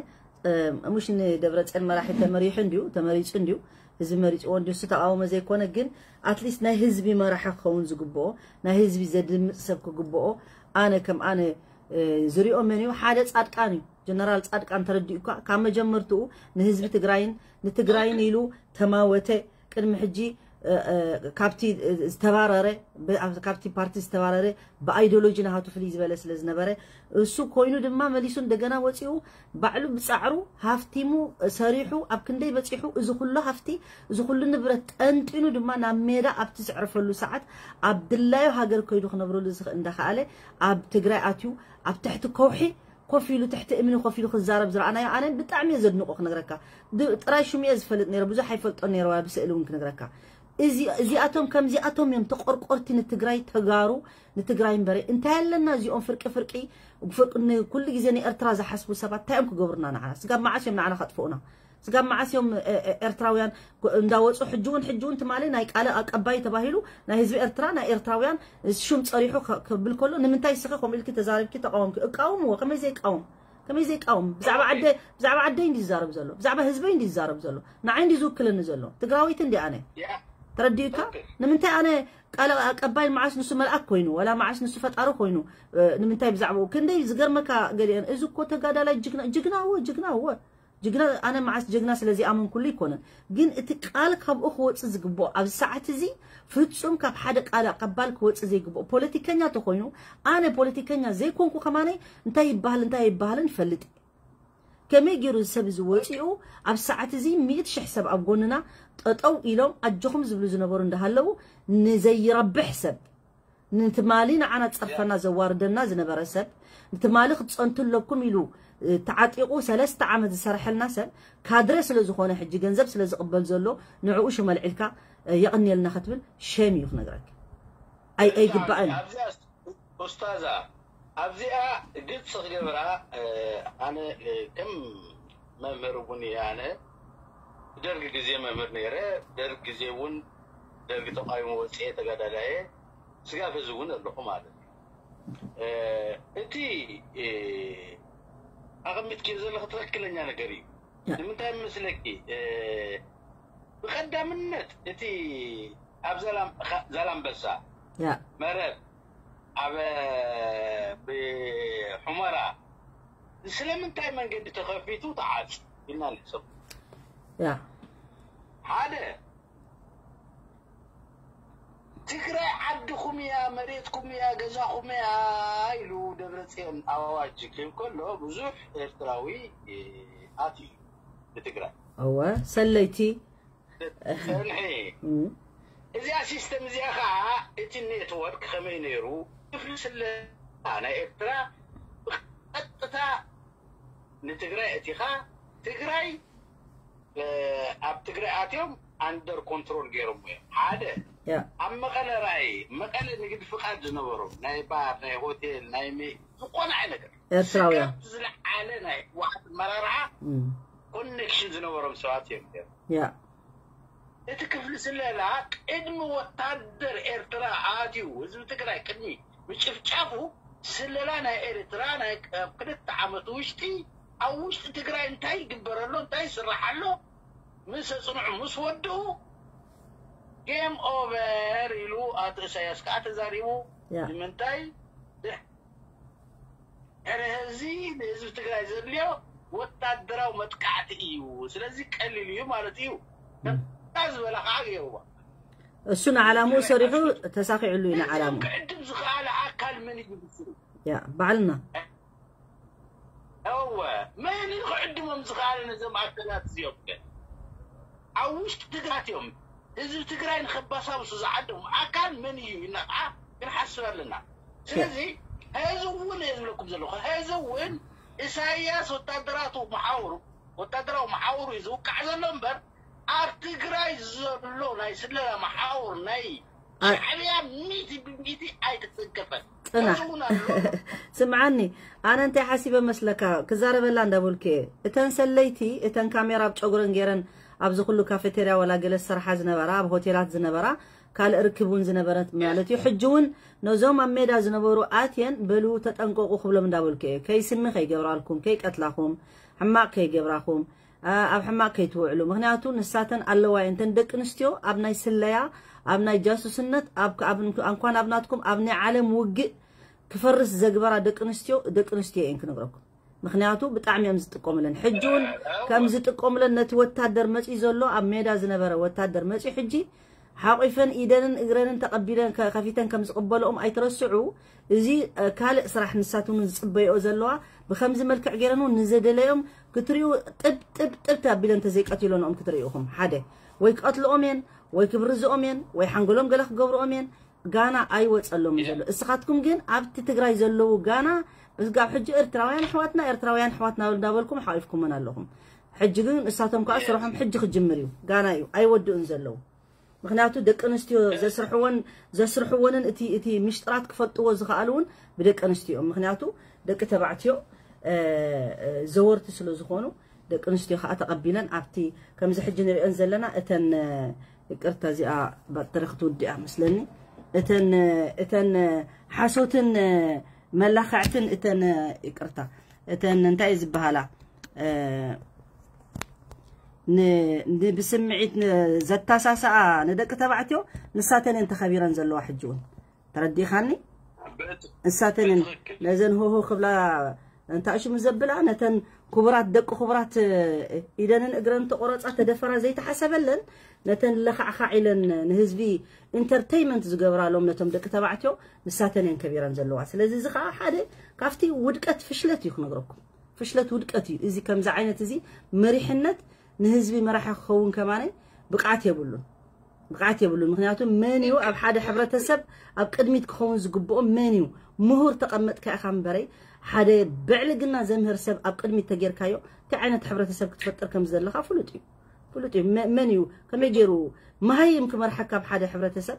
እም፣ ሙሽ ንደብረፅዮን መራሒ ተመሪሑ እንድዩ ተመሪፁ እንድዩ ህዝቢ መሪፅዎ እንድዩ እሱ ተቃወሞ ዘይኮነ ግን ኣትሊስት ናይ ህዝቢ መራሒ ክኸውን ዝግብኦ ናይ ህዝቢ ዘድምፅ ሰብ ክግብኦ ኣነ ከም ኣነ እ፣ ዝሪኦ መን እዩ ሓደ ፃድቃን እዩ ጀነራል ፃድቃን ተረዲኡካ ካብ መጀመርትኡ ንህዝቢ ትግራይን ንትግራይን ኢሉ ተማወተ ቅድሚ ሕጂ እ፣ እ፣ ካብቲ ዝተባረረ ብ- ኣብ- ካብቲ ፓርቲ ዝተባረረ ብኣይዲዮሎጂ ናሃቱ ፍልይ ዝበለ ስለ ዝነበረ እሱ ኮይኑ ድማ መሊሱ እንደገና ወፂኡ ባዕሉ ብፃዕሩ ሃፍቲሙ ሰሪሑ ኣብ ክንደይ በፂሑ እዚ ኩሉ ሃፍቲ እዚ ኩሉ ንብረት ጠንጢኑ ድማ ናብ ሜዳ ኣብቲ ዘዕርፈሉ ሰዓት ኣብ ድላዩ ሃገር ከይዱ ክነብረሉ ዝኽእል እንዳኸኣለ ኣብ ትግራይ ኣትዩ ኣብ ትሕቲ ከውሒ ኮፍ ኢሉ ትሕቲ እምኒ ኮፍ ኢሉ ክዛረብ ዝረኣናዮ ኣነ ብጣዕሚ እየ ዘድንቆ ክነግረካ ድ- ጥራይ ሽሙ እየ ዝፈልጥ ነይረ ብዙሕ ኣይፈልጦ ነይረ ዋላ ብስእሊ እውን ክነግረካ እዚ እዚኣቶም ከምዚኣቶም እዮም ተቆርቆርቲ ንትግራይ ተጋሩ ንትግራይ እምበረ እንታይ ኣለና እዚኦም ፍርቂ ፍርቂ ፍርቂ- ን- ኩሉ ግዜ ንኤርትራ ዝሓስቡ ሰባት እንታይ እዮም ክገብሩና ንዓና ስጋብ መዓስ እዮም ንዓና ከጥፍኡና ስጋብ መዓስ እዮም እ- እ- ኤርትራውያን ጎ- እንዳወፁ ሕጂ እውን ሕጂ እውን ትማሊ ናይ ቃለ ኣቀባይ ተባሂሉ ናይ ህዝቢ ኤርትራ ናይ ኤርትራውያን ሽም ፀሪሑ ከ- ክብል ከሎ ንምንታይ ስኸ ከምኡ ኢልኪ ተዛሪብኪ ተቃወምኪ እቃወምዎ ከመይ ዘይቃወም ከመይ ዘይቃወም ብዛዕባ ዓደ ብዛዕባ ዓደይ እንዲ ዝዛረብ ዘሎ ብዛዕባ ህዝበይ እንዲ ዝዛረብ ዘሎ ንዓይ እንዲ ዝውክለኒ ዘሎ ትግራወይቲ እንዲ ኣነ ያ ተረዲኡካ ንምንታይ ኣነ ቃል ኣቀባይ መዓስ ንሱ መልኣክ ኮይኑ ወላ መዓስ ንሱ ፈጣሪ ኮይኑ እ፣ ንምንታይ ብዛዕባኡ ክንደይ ዝገርመካ ገሊአን እዚ እኮ ተጋዳላይ ጅግና ጅግና እወ ጅግና እወ ጅግና ኣነ መዓስ ጅግና ስለዚ ኣመንኩሉ ይኮነን ግን እቲ ቃል ካብኡ ክወፅእ ዝግብኦ ኣብዚ ሰዓት እዚ ፍጹም ካብ ሓደ ቃል ኣቀባል ክወፅእ ዘይግብኦ ፖለቲከኛ ተኮይኑ ኣነ ፖለቲከኛ ዘይኮንኩ ከማነይ እንታይ ይበሃል እንታይ ይበሃልን ይፈልጥ እየ ከመይ ገይሩ እዚ ሰብ እዚ ወፂኡ ኣብ ሰዓት እዚ ሚእቲ ሽሕ ሰብ ኣብ ጎንና ጠጠው ኢሎም ኣጆኹም ዝብሉ ዝነበሩ እንዳሃለዉ ንዘይረብሕ ሰብ ንትማሊ ንዓና ፀርፈና ዘዋርደና ዝነበረ ሰብ ንትማሊ ክትፀንቱ ኣለኩም ኢሉ እ፣ ተዓጢቑ ሰለስተ ዓመት ዝሰርሐልና ሰብ ካድረ ስለ ዝኾነ ሕጂ ገንዘብ ስለ ዝቕበል ዘሎ ንዕኡ ሽመልዒልካ እ፣ የቕንየልና ክትብል ሸም እዩ ክነግረካ ኣይ ኣይግባእን እዩ ኣብዚኣ ኡስታዛ ኣብዚኣ ግልፂ ክገብራ እ፣ ኣነ እ፣ ከም መምህር እውን እየ ኣነ ደርግ ግዜ መምህር ነይረ ደርግ ግዜ እውን ደርግ ተቃዊሞ ወፅኤ ተጋዳላየ ስጋብ ህዚ እውን ኣለኹ ማለት እዩ እ፣ እቲ እ፣ ኣቐሚጥክዮ ዘለኺ ትኽክለኛ ነገር እዩ ንምንታይ መስለኪ እ፣ ብቐዳምነት እቲ ኣብ ዛላም- ዛላምበሳ ያ መረብ ኣብ ብሑመራ ስለምንታይ መንገዲ ተኸፊቱ ተዓጽ ኢልና ንሕሰብ። ያ ሓደ ትግራይ ዓድኹም እያ፣ መሬትኩም እያ፣ ገዛኹም እያ ኢሉ ደብረፅዮን ኣዋጅ ክህብ ከሎ ብዙሕ ኤርትራዊ ኣትዩ ንትግራይ። እወ ሰለይቲ ፀንሒ እዚኣ ሲስተም እዚኣ ከዓ እቲ ኔትወርክ ከመይ ነይሩ ክፍሊ ስለላ ናይ ኤርትራ ብቀጥታ ንትግራይ እቲኻ ትግራይ ኣብ ትግራይ ኣትዮም ኣንደር ኮንትሮል ገይሮም እዮም። ሓደ ኣብ መቐለ ራእይ መቐለ ንግዲ ፍቃድ ዝነበሮም ናይ ባር ናይ ሆቴል ናይ ዝኾነ ዓይነት ኤርትራውያን ዝለዓለ ናይ ህወሓት ኣመራርሓ ኮኔክሽን ዝነበሮም ሰባት እዮም። ያ እቲ ክፍሊ ስለላ ቅድሚ ወታደር ኤርትራ ኣትዩ ህዝቢ ትግራይ ቅድሚ ምጭፍጫፉ ስለላ ናይ ኤርትራ ናይ ኣብ ክልተ ዓመት ውሽጢ ኣብ ውሽጢ ትግራይ እንታይ ይግበረሎ እንታይ ይስራሓሎ ምስ ኣፅንዑ ምስ ወድኡ ጌም ኦቨር ኢሉ ኣቶ ኢሳያስ ከዓ ተዛሪቡ። ንምንታይ ሕረ ህዚ ንህዝቢ ትግራይ ዘድልዮ ወታደራዊ መጥቃዕቲ እዩ። ስለዚ ቀሊል እዩ ማለት እዩ። ከታ ዝበላ ከዓ ገይርዋ። እሱ ንዓላምኡ ሰሪሑ ተሳኺዕሉ እዩ ንዓላምኡ። ክዕድም ዝኸኣለ ኣካል መን እዩ ብስሩ? ያ ባዕልና እወ መን እዩ ክዕድሞም ዝኸኣለ ነዞም ኣካላት እዚኦም? ከ ኣብ ውሽጢ ትግራት እዮም ህዝቢ ትግራይ ንኸባሳብሱ ዝዓደሙ ኣካል መን እዩ ኢናዓ ክንሓስብ ኣለና። ስለዚ ሕዚ እውን እየ ዝብለኩም ዘለኹ ሕዚ እውን ኢሳያስ ወታደራቱ መሓውሩ ወታደራዊ መሓውሩ እዩ ዝውቃዕ ዘሎ እምበር ኣብ ትግራይ ዘሎ ናይ ስለላ መሓውር ናይ ሻዕብያ ሚእቲ ብሚእቲ ኣይተተንከፈን። ፅናሕ ስምዓኒ ኣነ እንታይ ሓሲበ መስለካ ክዛረበላ እንዳበልኩ እየ እተን ሰለይቲ እተን ካሜራ ኣብ ጨጉረን ገይረን ኣብዚ ኩሉ ካፌቴርያ ወላ ገለ ዝሰርሓ ዝነበራ ኣብ ሆቴላት ዝነበራ ካልእ ርክብ እውን ዝነበረት ማለት እዩ ሕጂ እውን ነዞም ኣብ ሜዳ ዝነበሩ ኣትየን በሉ ተጠንቀቁ ክብሎም እንዳበልኩ እየ ከይስሚ ከይገብራልኩም ከይቀትላኹም ሕማቅ ከይገብራኹም ኣብ ሕማቅ ከይትውዕሉ ምክንያቱ ንሳተን ኣለዋ እየን እተን ደቂ ኣንስትዮ ኣብ ናይ ስለያ ኣብ ናይ ጃሱስነት እንኳን ኣብ ናትኩም ኣብ ናይ ዓለም ውግእ ክፈርስ ዘግበራ ደቂ ኣንስትዮ ደቂ ኣንስትዮ እየን ክነግረኩም ምክንያቱ ብጣዕሚ እዮም ዝጥቀሙለን ሕጂ እውን ከም ዝጥቀሙለን ነቲ ወታደር መፂኡ ዘሎ ኣብ ሜዳ ዝነበረ ወታደር መፂኡ ሕጂ ሓቂፈን ኢደንን እግረንን ተቐቢለን ከፊተን ከም ዝቕበልኦም ኣይትረስዑ እዚ ካልእ ስራሕ ንሳትውን ዝፅበይኦ ዘለዋ ብከምዚ መልክዕ ገይረን እውን ንዘደለዮም ክትሪኡ ጥብ ጥብ ጥብ ኣቢለን ተዘይቀትሎንኦም ክትሪኢኹም ሓደ ወይ ክቐትልኦም እየን ወይ ክብርዝኦም እየን ወይ ሓንጎሎም ገለ ክገብርኦም እየን ጋና ኣይወፀሎም ዘሎ እስኻትኩም ግን ኣብቲ ትግራይ ዘለዉ ጋና ብስጋብ ሕጂ ኤርትራውያን ኣሕዋትና ኤርትራውያን ኣሕዋትና እንዳበልኩም ሓቂፍኩመን ኣለኹም ሕጂ ግን እሳቶም ከዓ ስርሖም ሕጂ ክጅምር እዩ ጋና እዩ ኣይወድኡን ዘለዉ ምክንያቱ ደቂ ኣንስትዮ ዘስርሕወን ዘስርሕወንን እቲ እቲ ምሽጥራት ክፈልጥዎ ዝኽኣሉ እውን ብደቂ ኣንስትዮ እዮም ምክንያቱ ደቂ ተባዕትዮ ዘወርቲ ስለ ዝኾኑ ደቂ ኣንስትዮ ከዓ ተቐቢለን ኣብቲ ከምዚ ሕጂ ንሪኦን ዘለና እተን ይቅርታ እዚኣ ባጥሪ ክትውድእ እያ መስለኒ እተን እተን ሓሶትን መላኽዕትን እተን ይቅርታ እተን እንታይ እዩ ዝበሃላ ብስምዒት ዘተሳስኣ ንደቂ ተባዕትዮ ንሳተን እየን ተኸቢረን ዘለዋ ሕጂ እውን ተረዲኻኒ ንሳተን እየን ነዘን ሆሆ ክብላ እንታይ ሽሙ ዘብላ ነተን ክቡራት ደቂ ክቡራት ኢደንን እግረን ተቆረፃ ተደፈራ ዘይተሓሰበለን ነተን ለኻዕኻዕ ኢለን ንህዝቢ ኢንተርተይመንት ዝገብራሎም ነቶም ደቂ ተባዕትዮ ንሳተን እየን ከቢረን ዘለዋ ስለዚ እዚ ከዓ ሓደ ካብቲ ውድቀት ፍሽለት እዩ ክነግረኩም ፍሽለት ውድቀት እዩ እዚ ከምዚ ዓይነት እዚ መሪሕነት ንህዝቢ መራሒ ክኸውን ከማነ ብቕዓት የብሉን ብቕዓት የብሉን ምክንያቱ መን እዩ ኣብ ሓደ ሕብረተሰብ ኣብ ቅድሚት ክኸውን ዝግብኦ መን እዩ ምሁር ተቐመጥካ ኢኻ እምበረይ ሓደ ብዕልግና ዘምህር ሰብ ኣብ ቅድሚት ተጌርካዮ እንታይ ዓይነት ሕብረተሰብ ክትፈጥር ከም ዘለካ ፍሉጥ እዩ ፍሉጥ እዩ መን እዩ ከመይ ገይሩ መሃይም ክመርሐካ ኣብ ሓደ ሕብረተሰብ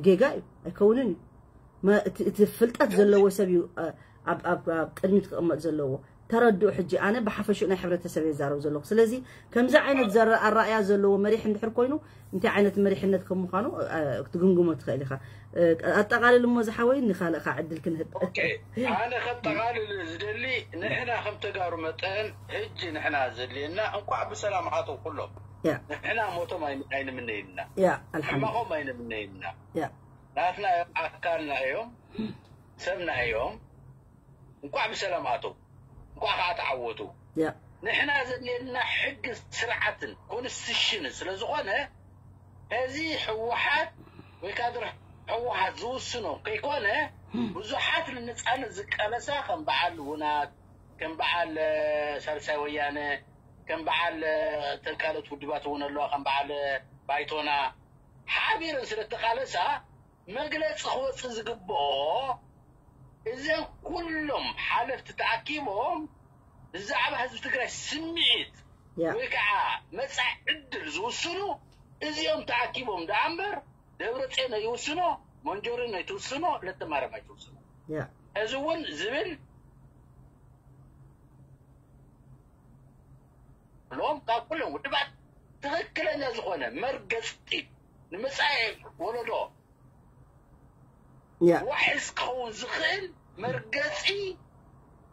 ጌጋ እዩ ኣይከውንን እዩ እቲ ፍልጠት ዘለዎ ሰብ እዩ ኣብ ቅድሚት ክቕመጥ ዘለዎ ተረድኡ ሕጂ ኣነ ብሓፈሽኡ ናይ ሕብረተሰብ የዛረብ ዘለኹ ስለዚ ከምዚ ዓይነት ዘረ ኣራእያ ዘለዎ መሪሕ እንድሕር ኮይኑ እንታይ ዓይነት መሪሕነት ከም ምዃኑ ክትግምግሞ ትኽእል ኢኻ ኣጠቓልል እሞ ዝሓወይ ንኻልእኻ ዕድል ክንህብ ኣነ ከጠቓልል ዝደሊ ንሕና ከም ተጋሩ መጠን ሕጂ ንሕና ዘድልየና እንኳዕ ብሰላም ኣተው ኩሎም ንሕና ሞቶም ኣይንምነይልና ሕማቖም ኣይንምነይልና ናትና እዮም ኣካልና እዮም ሰብና እዮም እንኳዕ ብሰላም ኣተው እኳ ከዓ ተዓወቱ። ንሕና ዘድልየና ሕጊ ስርዓትን ኮንስቲቱሽንን ስለ ዝኾነ፣ እዚ ህወሓት ወይ ካድረ ህወሓት ዝውስኖ ከይኮነ፣ ብዙሓት ንነፃነት ዝቃለሳ ከም በዓል ውናት፣ ከም በዓል ሳልሳይ ወያነ፣ ከም በዓል እተን ካልኦት ውድባት እውን ኣለዋ፣ ከም በዓል ባይቶና ሓቢረን ስለ ተቃለሳ፣ መግለፂ ክወፅእ ዝግብኦ፣ እዘን ኩሎም ሓለፍቲ ተኣኪቦም ብዛዕባ ህዝቢ ትግራይ ስምዒት ወይ ከዓ መፃኢ ዕድል ዝውስኑ እዚኦም ተኣኪቦም ደኣ እምበር፣ ደብረፅዮን ኣይውስኖ፣ መንጆሪኖ ኣይትውስኖ፣ ለተማርያም ኣይትውስኖ። እዚ እውን ዝብል ሎም ካብ ኩሎም ውድባት ትኽክለኛ ዝኾነ መርገፂ፣ ንመፃኢ ወለዶ ዋሕስ ክኸውን ዝኽእል መርገፂ፣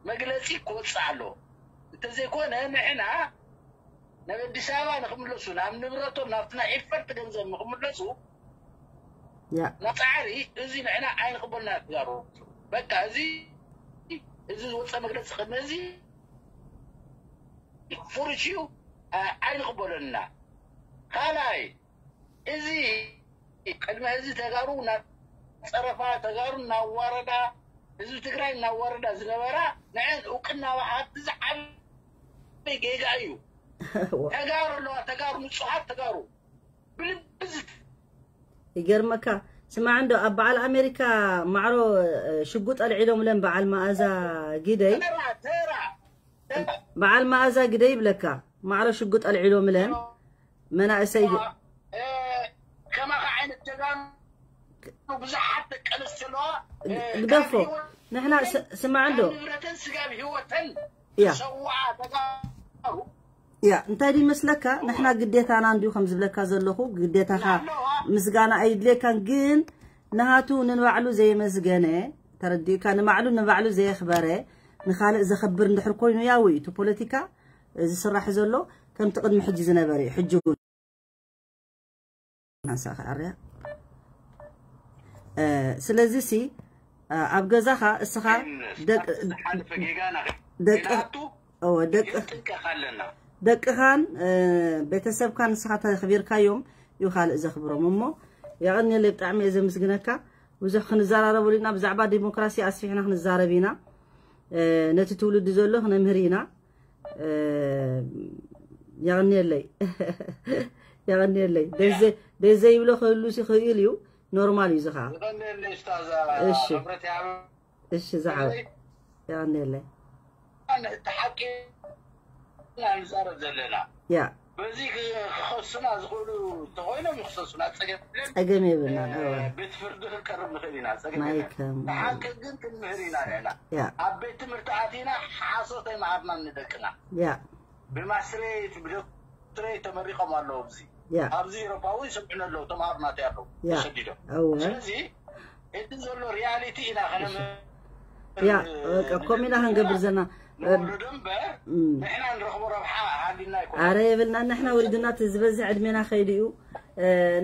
መግለፂ ክወፅእ ኣለዎ። እንተዘይኮነ ንሕና ናብ ኣዲስ ኣበባ ንክምለሱ፣ ናብ ንብረቶም፣ ናብቲ ናይ ኤፈርት ገንዘብ ንክምለሱ ናብ ፃዕሪ፣ እዚ ንሕና ኣይንቅበልና ተጋሩ። በቃ እዚ፣ እዚ ዝወፀ መግለፂ ቅድሚ እዚ ፍሩሽ እዩ፣ ኣይንቅበሎን ኢና። ካልኣይ፣ እዚ ቅድሚ ሕዚ ተጋሩ እናፀረፋ፣ ተጋሩ እናዋረዳ፣ ህዝቢ ትግራይ እናዋረዳ ዝነበራ፣ ንዐን እውቅና ምሃብ ዝዓበየ ጌጋ እዩ። ተጋሩ ኣለዋ፣ ተጋሩ፣ ንፁሃት ተጋሩ ብልቢ ዝት- ይገርመካ። ስማዕ እንዶ፣ ኣብ በዓል ኣሜሪካ ማዕሮ ሽጉጥ ኣልዒሎምለን በዓል መኣዛ ግደይ፣ በዓል መኣዛ ግደይ ይብለካ። ማዕሮ ሽጉጥ ኣልዒሎምለን መናእሰይ። ከማኻ ዓይነት ጀጋኑ ብዙሓት ደቂ ኣንስትዮ ኣለዋ። ግደፎ። ንሕና ስማዕ እንዶ፣ ንብረተን ስጋብ ህይወተን ያ ሰውዓ ተጋሩ ያ እንታይ ድዩ መስለካ? ንሕና ግዴታና እንዲዩ ከም ዝብለካ ዘለኹ፣ ግዴታኻ ምስጋና ኣይድልየካን፣ ግን ንሃቱ ንባዕሉ ዘየመስገነ፣ ተረዲእካ፣ ንባዕሉ ንባዕሉ ዘየኽበረ ንኻልእ ዘኽብር እንድሕር ኮይኑ፣ ያው እዩ እቲ ፖለቲካ ዝስራሕ ዘሎ ከምቲ ቅድሚ ሕጂ ዝነበረ እዩ። ሕጂ እውን ሓንሳእ ክዓርያ። ስለዚ ሲ ኣብ ገዛኻ እስኻ ደቅ- ደቅ- እወ፣ ደቅ- ደቅኻን ቤተሰብካን ንስኻ ተኽቢርካዮም እዩ ካልእ ዘኽብሮም። እሞ የቐንየለይ፣ ብጣዕሚ እየ ዘምስግነካ። ብዙሕ ክንዘራረበሉ ኢና፣ ብዛዕባ ዲሞክራሲ ኣስፊሕና ክንዛረብ ኢና። ነቲ ትውልዲ ዘሎ ክነምህር ኢና። የቐንየለይ። የቐንየለይ። ደስ ዘይብሎ ክህሉ ይኽእል እዩ፣ ኖርማል እዩ። ዝኻ እሺ። እሺ፣ ዝሓወይ። የቐንየለይ። ሓቂ ንዛረብ ዘለና። ያ በዚ ክኸሱና ዝኽእሉ እንተኾይኖም ይኽሰሱና፣ ፀገም የለን። ፀገም የብልናን። እወ። ቤት ፍርዲ ክንቀርብ ንኽእል ኢና፣ ፀገም የለን። ማይከም። ብሓቂ ግን ክንምህር ኢና ንሕና። ያ ኣብ ቤት ትምህርቲ ኣቲና ሓሶት ኣይመሃርናን ንደቅና። ያ ብማስትሬት ብዶክትሬት ተመሪቖም ኣለዉ። ኣብዚ ያ ኣብዚ ኤሮፓ እውን ይሰምዑን ኣለዉ፣ ተምሃሮ ናተይ ኣለዉ ያ ተሰዲዶም። እወ። ስለዚ እቲ ዘሎ ሪያሊቲ ኢና ከነምህር ያ በቃ፣ ከምኡ ኢና ክንገብር ዘለና። ንወርዶ እምበር እም። ንሕና ንረኽቦ ረብሓ ሃሊና ኣይኮነ። ኣረ የብልና፣ ንሕና ወሪድና እቲ ዝበዝሕ ዕድሜና ከይዱ እዩ።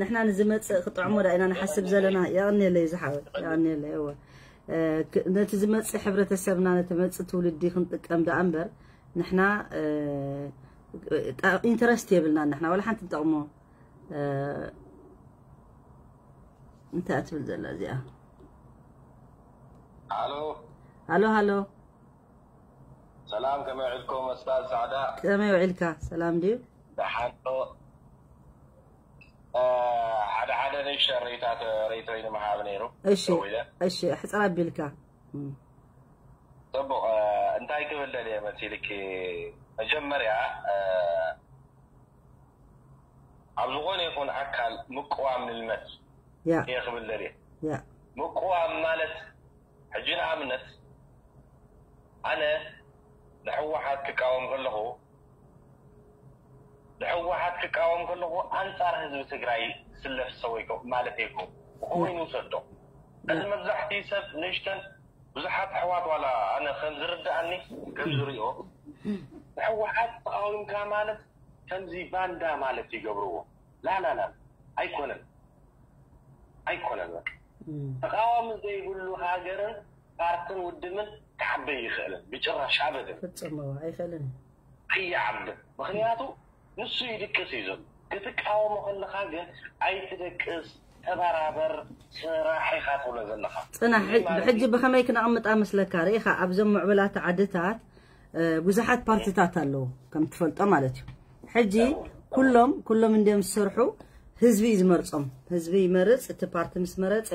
ንሕና ንዝመፅእ ክጥዕሞ ዳ ኢና ንሓስብ ዘለና። የቐንየለይ ዝሓወይ፣ የቐንየለይ። እወ። ነቲ ዝመፅእ ሕብረተሰብና፣ ነቲ መፅእ ትውልዲ ክንጥቀም ደኣ እምበር ንሕና ኢንተረስት የብልና። ንሕና ዋላ ሓንቲ ንጠቕሞ እንታይ እትብል ዘላ እዚኣ? ሃሎ ሃሎ ሃሎ፣ ሰላም፣ ከመይ ውዒልኩም? መስታል ጻዕዳ ከመይ ውዒልካ? ሰላም ድዩ? ደሓን ዶ? እ፣ ሓደ ሓደ ንእሽተን ርእይታት፣ ርእይቶይ ንምሃብ ነይሩ። እሺ ደዊለ። እሺ፣ ኣሕፅር ኣቢልካ። እም። ጽቡቕ፣ እ፣ እንታይ ክብል ደልየ መሲልኪ? መጀመርያ፣ እ፣ ኣብ ዝኾነ ይኹን ኣካል ምቅዋም ንልመድ ያ እየ ክብል ደልየ። ያ ምቅዋም ማለት፣ ሕጂ ንኣብነት፣ ኣነ ንሕወሓት ክቃወም ከለኹ፣ ንሕወሓት ክቃወም ከለኹ ኣንጻር ህዝቢ ትግራይ ዝስለፍ ሰው ኣይኮ-፣ ማለት ኣይኮ-፣ ኮይኑ ውሰዶ። እዚ መብዛሕትኡ ሰብ ንእሽተን ብዙሓት ኣሕዋት ዋላ ኣነ ከም ዝርድኣኒ፣ ከም ዝሪኦ፣ ንሕወሓት ተቃዊምካ ማለት ከምዚ ባንዳ ማለት ይገብርዎ። ላላላ፣ ኣይኮነን። ኣይኮነን በቃ። እም። ተቃዋሚ ዘይብሉ ሃገርን ፓርትን ውድብን ክዓበ ይኽእልን ብጭራሽ ኣበደን ፈጽሞ ኣይኽእልን። ኣይዓብን። ምክንያቱ ንሱ ይድቅስ እዩ ዘሎ። ክትቃወሞ ከለካ ግን ኣይትደቅስ፣ ተበራበር፣ ስራሕ ኢካ ትብሎ ዘለካ። ፅናሕ። ብሕጂ ብከመይ ክነቕምጣ መስለካ? ርኢኻ ኣብዞም ምዕቡላት ዓድታት ብዙሓት ፓርቲታት ኣለዉ ከም ትፈልጦ ማለት እዩ። ሕጂ ኩሎም ኩሎም እንዲም ዝሰርሑ ህዝቢ እዩ ዝመርጾም። ህዝቢ ይመርጽ። እቲ ፓርቲ ምስ መረጸ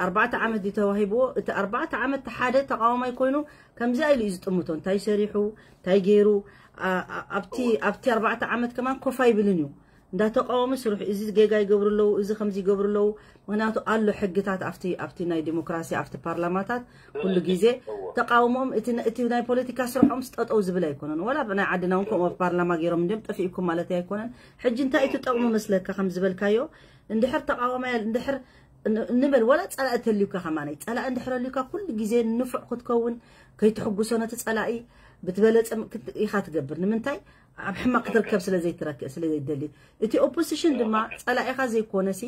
ኣርባዕተ ዓመት እዩ ተዋሂብዎ። እቲ ኣርባዕተ ዓመት ሓደ ተቃዋማይ ኮይኑ ከምዚኣ ኢሉ እዩ ዝጥምቶ። እንታይ ሰሪሑ እንታይ ገይሩ ኣብቲ ኣብቲ ኣርባዕተ ዓመት ከማን ኮፍ ኣይብልን እዩ። እንዳተቃወሙ ስርሑ እዚ ጌጋ ይገብሩ ኣለዉ፣ እዚ ከምዚ ይገብሩ ኣለዉ። ምክንያቱ ኣሎ ሕግታት ኣብቲ ኣብቲ ናይ ዲሞክራሲ ኣብቲ ፓርላማታት ኩሉ ግዜ ተቃውሞም እቲ እቲ ናይ ፖለቲካ ስርሖም ስጠጠው ዝብል ኣይኮነን። ወላ ብናይ ዓድና እውን ከምኡ ኣብ ፓርላማ ገይሮም እንዲም ጠፊእኩም ማለት ኣይኮነን። ሕጂ እንታይ እዩ ትጠቕሙ መስለካ ከም ዝበልካዮ እንድሕር ተቃዋማይ እንድሕር ንበል ወላ ጸላእ ተልዩካ ከማነይ ጸላእ እንድሕር ኣልዩካ ኩሉ ግዜ ንፉዕ ክትከውን ከይትሕጉሶ ነቲ ጸላኢ ብትበለጸ ኢኻ ትገብር። ንምንታይ ኣብ ሕማቅ ክትርከብ ስለ ዘይትረክእ ስለ ዘይደሊ እቲ ኦፖዚሽን ድማ ጸላኢኻ ዘይኮነሲ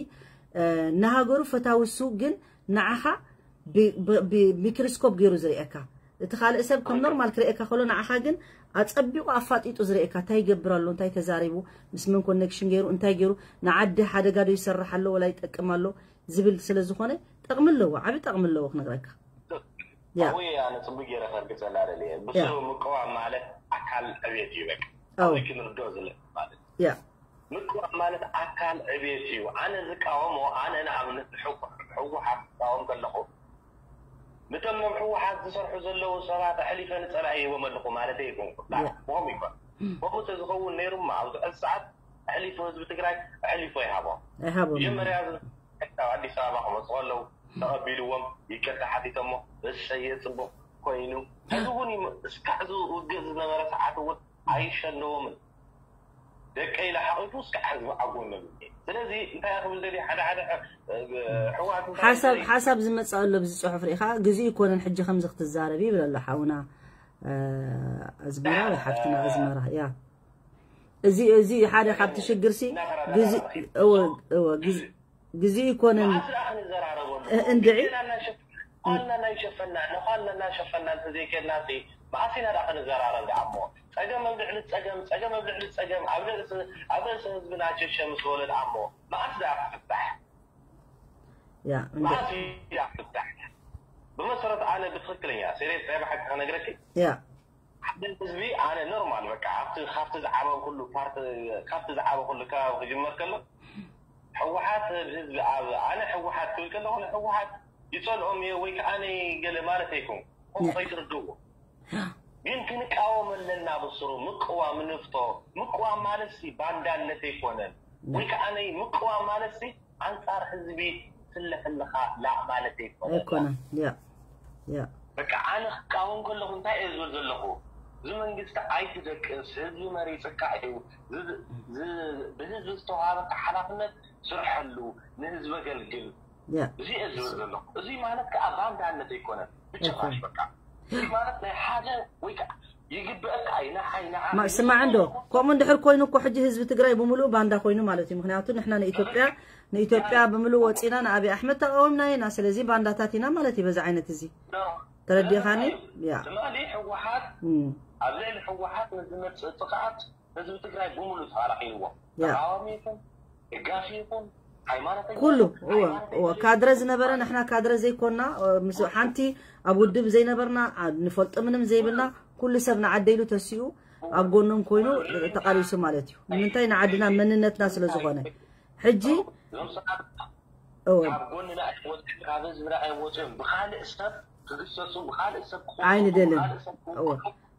ንሃገሩ ፈታውሱ ግን ንዓኻ ብሚክሮስኮፕ ገይሩ ዝርእየካ እቲ ካልእ ሰብ ከም ኖርማል ክርእየካ ከሎ ንዓኻ ግን ኣጸቢቑ ኣፋጢጡ ዝርእየካ እንታይ ይገብር ኣሎ እንታይ ተዛሪቡ ምስ መን ኮኔክሽን ገይሩ እንታይ ገይሩ ንዓዲ ሓደጋ ዶ ይሰርሕ ኣሎ ወላ ይጠቅም ኣሎ ዝብል ስለ ዝኾነ ጠቕሚ ኣለዎ ዓቢ ጠቕሚ ኣለዎ ክነግረካ ወይ ኣነ ጽቡቅ ገይረ ከርግጸላ ደልየ ብስሩ ምቅዋም ማለት ኣካል ዕቤት እዩ በቃ ኣው ክንርዶ ዝለ ማለት ያ ምቅዋም ማለት ኣካል ዕቤት እዩ ኣነ ዝቃወሞ ኣነ ንኣብነት ህወሓት ዝቃወም ከለኹ ንቶም ህወሓት ዝሰርሑ ዘለዉ ሰባት ኣሕሊፈ ንጸላኢ ይህቦም ኣለኹ ማለት ይኮንኩ ቦም ይኮን ከምኡ ተዝኸውን ነይሩማ ኣብዚ ሕዚ ሰዓት ኣሕሊፉ ህዝቢ ትግራይ ኣሕሊፎ ይሃቦም ኣይሃቦም መጀመርያ ካብ ኣዲስ ኣበባ ክመፁ ከለዉ ተቐቢልዎም ይቅርታ ሓቲቶሞ እሰየ ፅቡቅ ኮይኑ ሕዚ እውን እስካዕ ዝውግእ ዝነበረ ሰዓት እውን ኣይሸለዎምን ደቀ ኢለ ሓቂፉ እስካዕ ህዝቢ ኣጎኖም ስለዚ እንታይ ክብል ደልየ ሓደ ሓደ ሕዋት ሓሳብ ሓሳብ ዝመፅእ ኣሎ ብዚ ፅሑፍ ርኢኻ ግዜ ይኮነን ሕጂ ከምዚ ክትዛረብ ይብል ኣሎ ሓውና ኣዝመራ ወይ ሓፍትና ኣዝመራ ያ እዚ እዚ ሓደ ካብቲ ሽግር ሲ ግዜ እወ እወ ግዜ ግዜ ይኮነን መዓስ ደኣ ክንዘራረበሉ እንድዒ ኳልና እናሸፈና ኳልና እናሸፈና እንተዘይከድና ሲ መዓስ ኢና ደኣ ክንዘራረብ ደኣ እሞ ጸገም ኣብ ልዕሊ ጸገም ጸገም ኣብ ልዕሊ ጸገም ኣብ ርእሲ ኣብ ርእሲ ህዝብና ሸሸ ምስ በሉ ደኣ እሞ መዓስ ደኣ ክፍታሕ ያ እንደ መዓስ እዩ ደኣ ክፍታሕ ብመሰረት ኣነ ብትኽክለኛ ሴሪየስ ናይ ብሓቂ ክነግረኪ ያ ሓደ ህዝቢ ኣነ ኖርማል በቃ ኣብቲ ካብቲ ዝዓበ ኩሉ ፓርቲ ካብቲ ዝዓበ ኩሉ ከባቢ ክጅመር ከሎ ህወሓት ህዝቢ ኣብ ኣነ ህወሓት ክብል ከለኹ ንህወሓት ይፀልኦም እየ ወይ ከዓ ነይ ገለ ማለት ኣይኮን ከምኡ ከይትርድእዎ ግን ክንቃወም ኣለና ብስሩ ምቅዋም ንፍቶ ምቅዋም ማለት ሲ ባንዳነት ኣይኮነን ወይ ከዓ ነይ ምቅዋም ማለት ሲ ኣንፃር ህዝቢ ትስለፍ ኣለኻ ላእ ማለት ኣይኮነን ኣይኮነን ያ ያ በቃ ኣነ ክቃወም ከለኹ እንታይ እየ ዝብል ዘለኹ እዚ መንግስቲ ኣይትደቅስ ህዝቢ መሪፅካ እዩ ዝ- ዝ- ብህዝቢ ዝተዋሃበካ ሓላፍነት ስርሐሉ ንህዝቢ ኣገልግል ያ እዚ እየ ዝብል ዘለኹ እዚ ማለት ከዓ ባንዳነት ኣይኮነን ብጭራሽ በቃ እዚ ማለት ናይ ሓደ ወይ ከዓ ይግበአካ እዩ ንዓይ ንዓ ማ- ስማዕ እንዶ ከምኡ እንድሕር ኮይኑ እኮ ሕጂ ህዝቢ ትግራይ ብምሉእ ባንዳ ኮይኑ ማለት እዩ ምክንያቱ ንሕና ንኢትዮጵያ ንኢትዮጵያ ብምሉእ ወፂና ንኣብይ ኣሕመድ ተቃወምና ኢና ስለዚ ባንዳታት ኢና ማለት እዩ በዚ ዓይነት እዚ ተረዲኻኒ ያ ትማሊ ህወሓት እም። ኣብ ልዕሊ ህወሓት ንዝመፅእ ጥቕዓት ህዝቢ ትግራይ ብምሉእ ተኻላኺልዎ ያ። ተቃዋሚ ይኹን ደጋፊ ይኹን ሃይማኖተኛ ኩሉ ይኹን እወ ሃይማኖተኛ እወ ካድረ ዝነበረ ንሕና ካድረ ዘይኮና እ፣ ምስ ሓንቲ ኣብ ውድብ ዘይነበርና ዓ- ንፈልጦ ምንም ዘይብልና ኩሉ ሰብ ንዓደይሉ ተሲኡ ኣብ ጎኖም ኮይኑ ተቃሊሱ ማለት እዩ ንምንታይ ንዓድና መንነትና ስለ ዝኾነ ሕጂ እዞም ሰባት እወ ካብ ጎንና ኣይወፅን ካብ ህዝብና ኣይወፅን ብካልእ ሰብ ክግሰሱ ብካልእ ሰብ ክኾኑ ኣይንደልን ብካልእ ሰብ ክወ- እወ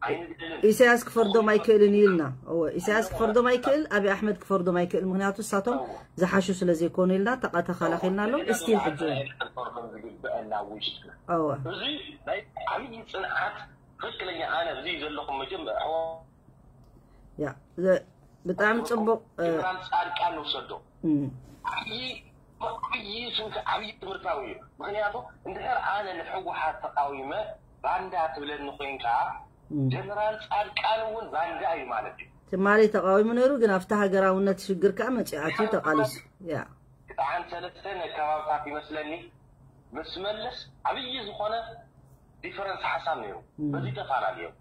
ኣይንደልን ኢሳያስ ክፈርዶም ኣይክእልን እዩ ኢልና እወ ኢሳያስ ክፈርዶም ኣይክእል ኣብይ ኣሕመድ ክፈርዶም ኣይክእል ምክንያቱ እሳቶም ዝሓሹ ስለ ዘይኮኑ ኢልና ተቃ- ተኸላኺልና ኣለዉ እስቲል ሕጂ እውን ፈርዶም ዝግበአና ውሽጥና እወ እዚ ናይ ዓብዪ ፅንዓት ትክክለኛ ኣነ እዚ ዘለኹም መጀመር ያ ዘ- ብጣዕሚ ፅቡቅ እ፣ ጀነራል ፃድቃን ንውሰዶ እም፣ ዓብዪ ዓብዪ ስንኪ ዓብዪ ትምህርታዊ እዩ ምክንያቱ እንድሕር ኣነ ንሕወሓት ተቃዊመ ባንዳ ትብለኒ ኮይንካ እም። ጀነራል ፃድቃን እውን ባንዳ እዩ ማለት እዩ ትማሊ ተቃዊሙ ነይሩ ግን ኣብቲ ሃገራውነት ሽግር ከዓ መፂኡ ኣትዩ ተቃሊሱ ያ ክጣዓን ሰለስተ ነከባብታት ይመስለኒ ምስ መልስ ዓብዪ ዝኾነ ዲፈረንስ ሓሳብ ነይሩ። በዚ ተፈላለዮም።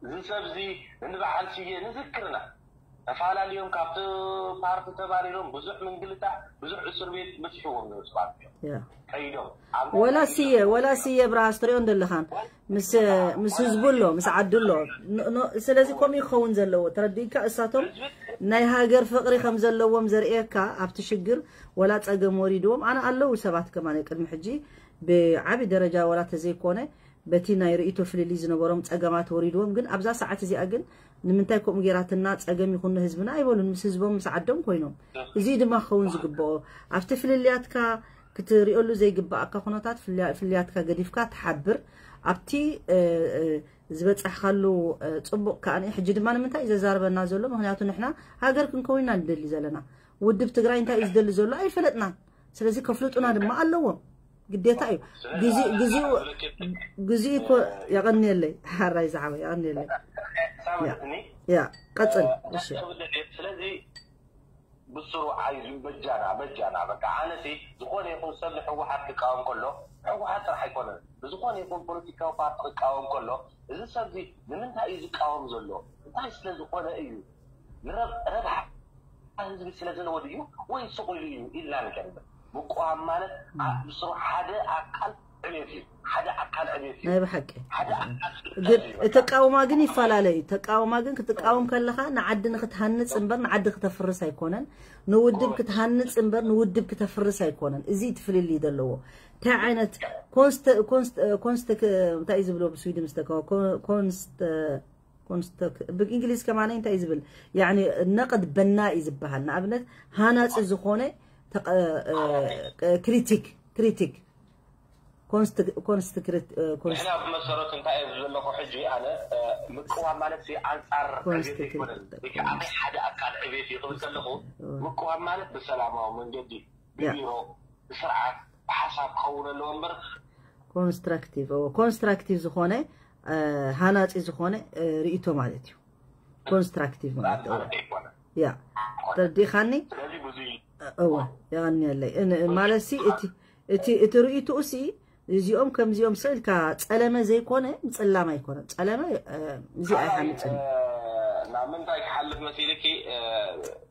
እዚ ሰብ እዚ ንበዓል ስየ ንዝክርና ተፈላለዮም፣ ካብቲ ፓርቲ ተባሪሮም ብዙሕ ምንግልታ፣ ብዙሕ እስር ቤት በፂሕዎም ነሩ ሰባት እዮም። ከይዶም ወላ ስየ ወላ ስየ ብርሃስ ትሪኦ እንደለኻን ምስ ምስ ህዝቡ ኣሎ፣ ምስ ዓዱ ኣሎ። ስለዚ ከምኡ ይኸውን ዘለዎ ተረዲእካ፣ እሳቶም ናይ ሃገር ፍቕሪ ከም ዘለዎም ዘርእየካ ኣብቲ ሽግር ወላ ጸገም ወሪድዎም ኣነ ኣለዉ ሰባት ከማን ቅድሚ ሕጂ ብዓቢ ደረጃ ወላ ተዘይኮነ በቲ ናይ ርእይቶ ፍልልይ ዝነበሮም ጸገማት ወሪድዎም፣ ግን ኣብዛ ሰዓት እዚኣ ግን ንምንታይ ከምኡ ጌራትና ጸገም ይኹን ንህዝብና ኣይበሉን። ምስ ህዝቦም ምስ ዓዶም ኮይኖም። እዚ ድማ ክኸውን ዝግብኦ ኣብቲ ፍልልያትካ ክትሪኦሉ ዘይግባኣካ ኩነታት ፍልያ- ፍልያትካ ገዲፍካ ትሓብር ኣብቲ እ፣ እ፣ ዝበጻሕካሉ እ፣ ጽቡቕ ከኣ ሕጂ ድማ ንምንታይ እዩ ዘዛርበና ዘሎ? ምክንያቱ ንሕና ሃገር ክንከውን ኢና ንደሊ ዘለና። ውድብ ትግራይ እንታይ እዩ ዝደሊ ዘሎ ኣይፈለጥናን። ስለዚ ከፍልጡና ድማ ኣለዎም፣ ግዴታ እዩ። ግዜ- ግዜኡ ግዜኡ እኮ የቐንየለይ ሓራይ ዝዓበ የቐንየለይ። ሳመትኒ ያ ቀጽል። እሺ ስለዚ ብስሩ ዓይዙ በጃና በጃና በቃ ኣነሲ ዝኾነ ይኹን ሰብ ንሕወሓት ክቃወም ከሎ ሕወሓት ጥራሕ ኣይኮነን ብዝኾነ ይኹን ፖለቲካዊ ፓርቲ ክቃወም ከሎ እዚ ሰብዚ ንምንታይ እዩ ዝቃወም ዘሎ እንታይ ስለ ዝኾነ እዩ ንረብ- ረብሓ ህዝቢ ስለ ዘለዎ ድዩ ወይ ስቕ ኢሉ እዩ ኢልና ንገርበት ምቁዋም ማለት ኣ- ብስሩ ሓደ ኣካል ዕቤት እዩ ሓደ ኣካል ዕቤት እዩ ናይ ብሓቂ ሓደ ኣካል ግን ተቃውማ ግን ይፈላለ እዩ። ተቃውማ ግን ክትቃወም ከለኻ ንዓዲ ንክትሃንፅ እምበር ንዓዲ ክተፍርስ ኣይኮነን። ንውድብ ክትሃንፅ እምበር ንውድብ ክተፍርስ ኣይኮነን። እዚ እቲ ፍልልይ ዘለዎ እንታይ ዓይነት ኮንስተ- ኮንስተ- ኮንስተ- እንታይ እዩ ዝብሎ ብስዊድን ዝተከወ ኮንስተ ኮንስተ ብእንግሊዝ ከማን እንታይ እዩ ዝብል ያኒ ነቅድ በና እዩ ዝበሃል። ንኣብነት ሃናፂ ዝኾነ ተቀ- እ- ክሪቲክ ክሪቲክ ኮንስት- ኮንስት- እ- ኮንስት- ንሕና ብመሰረቱ እንታይ እየ ዝብል ዘለኹ ሕጂ ኣነ እ፣ ምቅዋም ማለት ሲ ኣንፃር ኮንስት- ዕቤት ኣይኮነን ወይ ከዓ ናይ ሓደ ኣካል ዕቤት እዩ ክብል ከለኹ ምቅዋም ማለት ብሰላማዊ መንገዲ ብቢሮ ብስርዓት ብሓሳብ ክኸውን ኣለዎ እምበር ኮንስትራክቲቭ እዎ። ኮንስትራክቲቭ ዝኾነ እ፣ ሃናፂ ዝኾነ እ፣ ርእይቶ ማለት እዩ። ኮንስትራክቲቭ ማለት እዎ። ማለት ኣይኮነን ያ ተረዲኻኒ? ስለዚ ብዙ እወ የቐንየለይ። ን- ማለት ሲ እቲ እቲ እቲ ርእይትኡ ሲ እዚኦም ከምዚኦም ስእልካ ጸለመ ዘይኮነ ምጽላም ኣይኮነን። ጸለመ እ፣ እዚ ኣይሓምጽን እዩ። ናብ ምንታይ ክሓልፍ መሲልኪ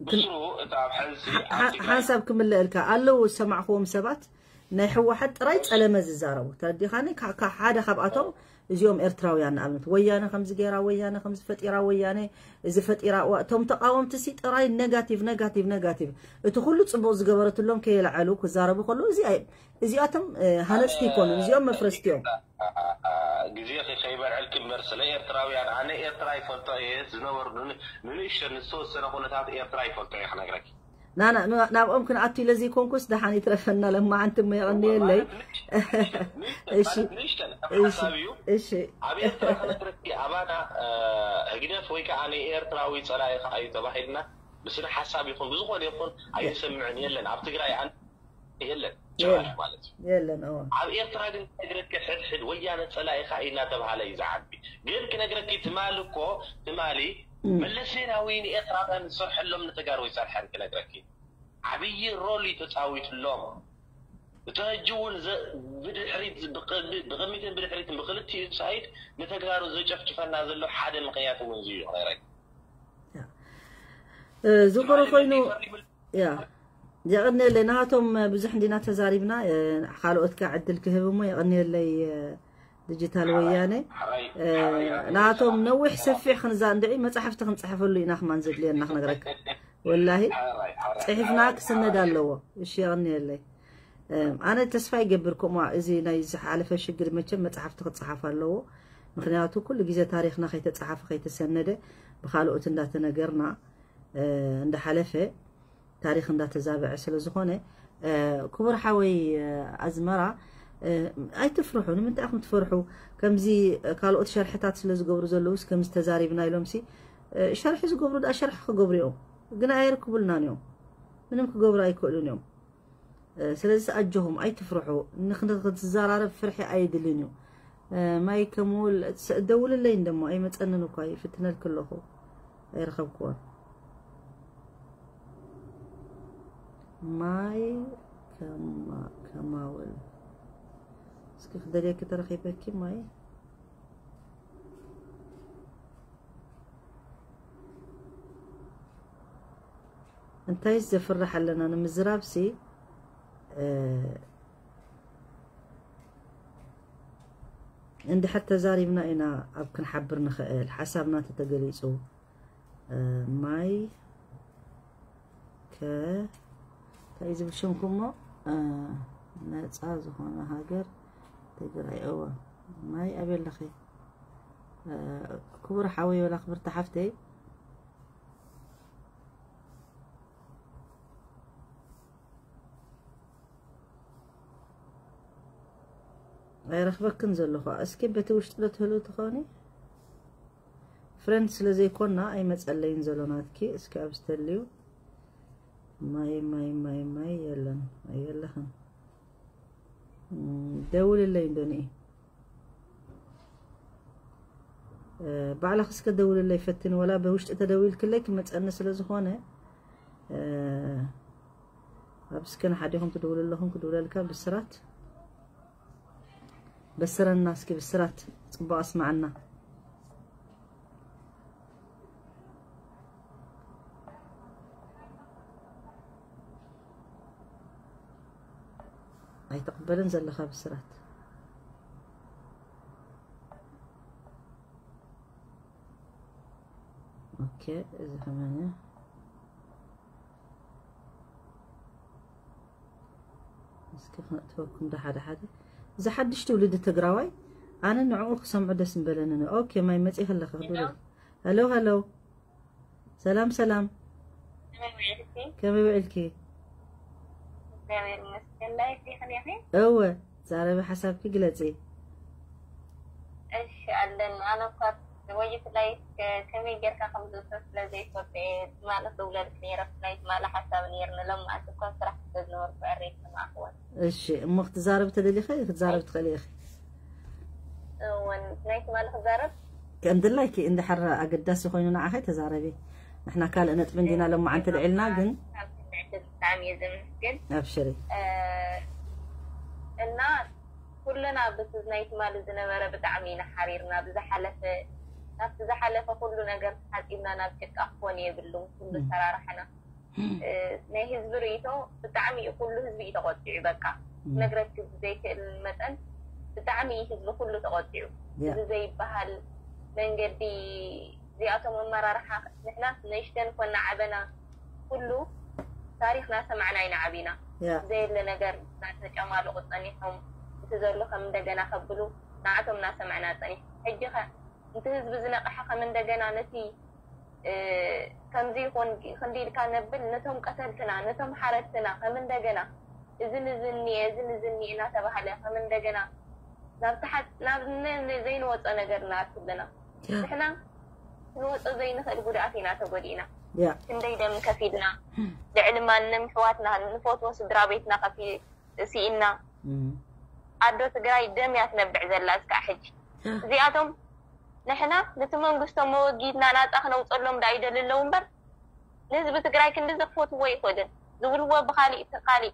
ብስሩ እቲ ኣብ ሕዚ ሓ- ሓንሳብ ክምለአልካ ኣለዉ ዝሰማዕክዎም ሰባት ናይ ህወሓት ጥራይ ጸለመ ዝዛረቡ ተረዲኻኒ? ካ- ካ- ሓደ ካብኣቶም እዚኦም ኤርትራውያን ንኣብነት ወያነ ከምዚ ገይራ ወያነ ከምዚ ፈጢራ ወያነ እዚ ፈጢራ እዋ እቶም ተቃወምቲ ሲ ጥራይ ኔጋቲቭ ኔጋቲቭ ኔጋቲቭ እቲ ኩሉ ጽቡቅ ዝገበረትሎም ከየልዓሉ ክዛረቡ ከለዉ እዚ ኣይ- እዚኣቶም እ፣ ሃነጽቲ ይኮኑ እዚኦም መፍረስቲ እዮም። ግዜ ከይበልዐልኪ እምበር ስለ ኤርትራውያን ኣነ ኤርትራ ይፈልጦ እየ ዝነበሩ ንንእሽተን ዝተወሰነ ኩነታት ኤርትራ ይፈልጦ እየ ክነግረኪ ናና ና- ናብኦም ክንኣቱ ኢለ ዘይኮንኩስ ደሓን ይትረፈና ለማዓንቲ እሞ የቐንየለይ። እሺ ንእሽተን እሺ ሓሳብ እዩ እሺ ኣብ ኤርትራ ክነግረኪ ኣባና ህግደፍ ወይ ከዓ ንኤርትራዊ ፀላኢ ከዓ እዩ ተባሂልና ብስነ ሓሳብ ይኹን ብዝኾነ ይኹን ኣይንሰምዕን የለን ኣብ ትግራይ ኣን የለን ጭራሽ ማለት እዩ የለን እዎ ኣብ ኤርትራ ግን ክነግረኪ ሕድሕድ ወያነ ፀላኢኻ እዩ እናተባሃለ እዩ ዝዓቢ ግን ክነግረኪ ትማሊ እኮ ትማሊ መለስ ዜናዊ ንኤርትራውያን ዝሰርሐሎም ንተጋሩ ይሰርሐን ክነግረኪ ዓብዪ ሮል እዩ ተፃዊትሎም እቲ ሕጂ እውን ብድሕሪት ብቅድሚትን ብድሕሪትን ብክልቲኡ ሳይድ ንተጋሩ ዘጨፍጭፈና ዘሎ ሓደ ምክንያት እውን እዩ ክነግረኪ ዝኾነ ኮይኑ ያ የቐንየለይ ናሃቶም ብዙሕ እንዲና ተዛሪብና ካልኦት ካ ዕድል ክህብ እሞ የቐንየለይ ዲጂታል ወያነ ናሃቶም ነዊሕ ሰፊሕ ክንዛ እንድዒ መፅሓፍቲ ክንፅሕፈሉ ኢና ክማን ዘድልየና ክነግረካ ወላሂ ፅሒፍና ክስነድ ኣለዎ እሺ የቐንየለይ ኣነ ተስፋ ይገብር ከምኡ እዚ ናይ ዝሓለፈ ሽግር መቸም መፅሓፍቲ ክፀሓፍ ኣለዎ ምክንያቱ ኩሉ ግዜ ታሪክና ከይተፀሓፈ ከይተሰነደ ብካልኦት እንዳተነገርና እንዳሓለፈ ታሪክ እንዳተዛበዐ ስለ ዝኾነ ክቡር ሓወይ ኣዝመራ ኣይትፍርሑ ንምንታይ ኢኹም ትፈርሑ ከምዚ ካልኦት ሸርሕታት ስለ ዝገብሩ ዘለውስ ከምዚ ተዛሪብና ኢሎም ሲ ሸርሒ ዝገብሩ ዳ ሸርሒ ክገብሩ እዮም ግን ኣየርክቡልናን እዮም ምንም ክገብሩ ኣይክእሉን እዮም ስለዚ ኣጆኹም ኣይትፍርሑ ንክትዘራረብ ፍርሒ ኣየድልን እዩ ማይ ከሙል ደውልለይ እንደሞ ኣይመፀንን እኳ ይፍትነልክ ኣለኹ ኣይረኸብክዎን ማይ ከማውል እስኪ ክደልየኪ ተረኺበኪ ማይ። እንታይ ዘፍርሕ ኣለና ንምዝራብሲ? እ፣ እንድሕር ተዛሪብና ኢና ኣብ ክንሓብር ንኽእል። ሓሳብና ተተገሊጹ፣ እ፣ ማይ ከ እንታይ እዩ ዝብል ሽምኩሞ? እ፣ ነጻ ዝኾነ ሃገር ትግራይ። እወ፣ ማይ ኣበይ ኣለኺ? እ፣ ክቡር ሓወይ ወላ ክብርቲ ሓፍተይ፣ ኣይረኽበክን ዘለኹ። እስኪ በቲ ውሽጢ ዶ ትህሉ ትኾኒ? ፍሬንድ ስለ ዘይኮና ኣይመጸለይን ዘሎ ናትኪ። እስኪ ኣብ ዝተልዩ። ማይ፣ ማይ፣ ማይ፣ ማይ የለን። ኣየለኽን። እም፣ ደውልለይ እንዶ ንኢ። እ፣ ባዕልኺ እስከ ደውልለይ ፈትኒ። ወላ ብውሽጢ ተደዊልክለይ ክመጸኒ ስለ ዝኾነ፣ እ፣ ኣብ እስከ ንሓዲኹም ትድውሉ ኣለኹም ክድውለልካ ብስራት። በስረና እስኪ ብስራት፣ ጽቡቕ ኣስማዓና። ኣይትቕበልን ዘለኻ ብስራት። ኦኬ፣ እዚ ከማን እስኪ ክነእትወኩም ዶ ሓደ ሓደ። እዚ ሓድሽ ትውልዲ ትግራዋይ፣ ኣነ ንዕኡ ክሰምዑ ደስ ምበለኒ። ኦኬ፣ ማይ መጺእ ከለኻ ክድውል። ሄሎ፣ ሄሎ። ሰላም፣ ሰላም። ከመይ ውዒልኪ? ከመይ ውዒልኪ? እግዚኣብሔር ይመስገን። ላይፍ ዲኺ ኔኺ? እወ፣ ዛረቢ ሓሳብኪ ግለጺ። እሺ፣ ኣለኒ። ኣነ እኳ ወይት ላይፍ ከ-፣ ከመይ ጌርካ ከም ዝእቶ ስለ ዘይፈልጦ እየ ትማሊ ክድውለልኪ ነይረ። ብፍላይ ትማሊ ሓሳብ ነይርኒ። ሎማዓንቲ እኳ ስራሕ ስለ ዝነበርኩ ዕረ ኣይሰማዕክዎን። እሺ፣ እሞ ክትዛረቢ ተደሊኺ ክትዛረቢ ትኽእሊ ኢኺ። እወን፣ ናይ ትማሊ ክዛረብ? ከም ድላይኪ እንድሕር ኣገዳሲ ኮይኑ ንዓኺ ተዛረቢ። ንሕና ካልእ ነጥቢ እንዲና ሎማዓንቲ ልዒልና ግን። ካብ ስምዕቲ ብጣዕሚ እየ ዘመስግን። ኣብሽሪ። እ፣ እና ኩልና ብቲ ናይ ትማሊ ዝነበረ ብጣዕሚ ኢና ሓሪርና። ብዝሓለፈ፣ ናብቲ ዝሓለፈ ኩሉ ነገር ተሓጺብና ናብ ጭቃ ክኾን የብሉን። ኩሉ ም። ሰራርሓና። እ፣ ናይ ህዝቢ ርእይቶ ብጣዕሚ እዩ፣ ኩሉ ህዝቢ እዩ ተቖጢዑ። በቃ ም። ክነግረኪ ብዘይክእል መጠን ብጣዕሚ እዩ ህዝቢ ኩሉ ተቖጢዑ። ያ። እዚ ዘይበሃል መንገዲ እዚኣቶም ኣመራርሓ ንሕና ንእሽተን ኮና ዓበና ኩሉ ታሪኽ ናሰማዕና ኢና ዓቢና። ያ። ዘየለ ነገር እናተጨማለቑ ጸኒሖም፣ እቲ ዘሎ ከም እንደገና ከብሉ ንዓቶም እናሰማዕና ጸኒሖም። ሕጂ ኸ እቲ ህዝቢ ዝነቕሐ ከም እንደገና ነቲ እ፣ ከምዚ ይኹን ክንዲ ኢልካ ነብል፣ ነቶም ቀተልትና፣ ነቶም ሓረድትና ከም እንደገና እዝን እዝን እኒኤ፣ እዝን እዝን እኒኤ እናተባህለ ከም እንደገና ናብ ተሓት-፣ ናብ ን-፣ ን-፣ ዘይንወጾ ነገር ንኣቱ ኣለና። ያ። ንሕና ክንወጾ ዘይንኽእል ጉድኣት ኢና ተጎዲእና። ያ። ክንደይ ደም ከፊልና፣ ልዕሊ ማንም ኣሕዋትና፣ ንፈትዎ ስድራ ቤትና ከፊ-፣ ስኢና። እም። ኣዶ ትግራይ ደም እያ ትነብዕ ዘላ እስካዕ ሕጂ። ያ። እዚኣቶም ንሕና ነቲ መንግስቶም መወጊድና ናጻ ክነውጸሎም ዳ ይደሊ ኣለዉ እምበር፣ ንህዝቢ ትግራይ ክንዲ ዘኽፈትዎ ኣይኮንን። ዝብልዎ ብኻሊእ እቲ ካሊእ።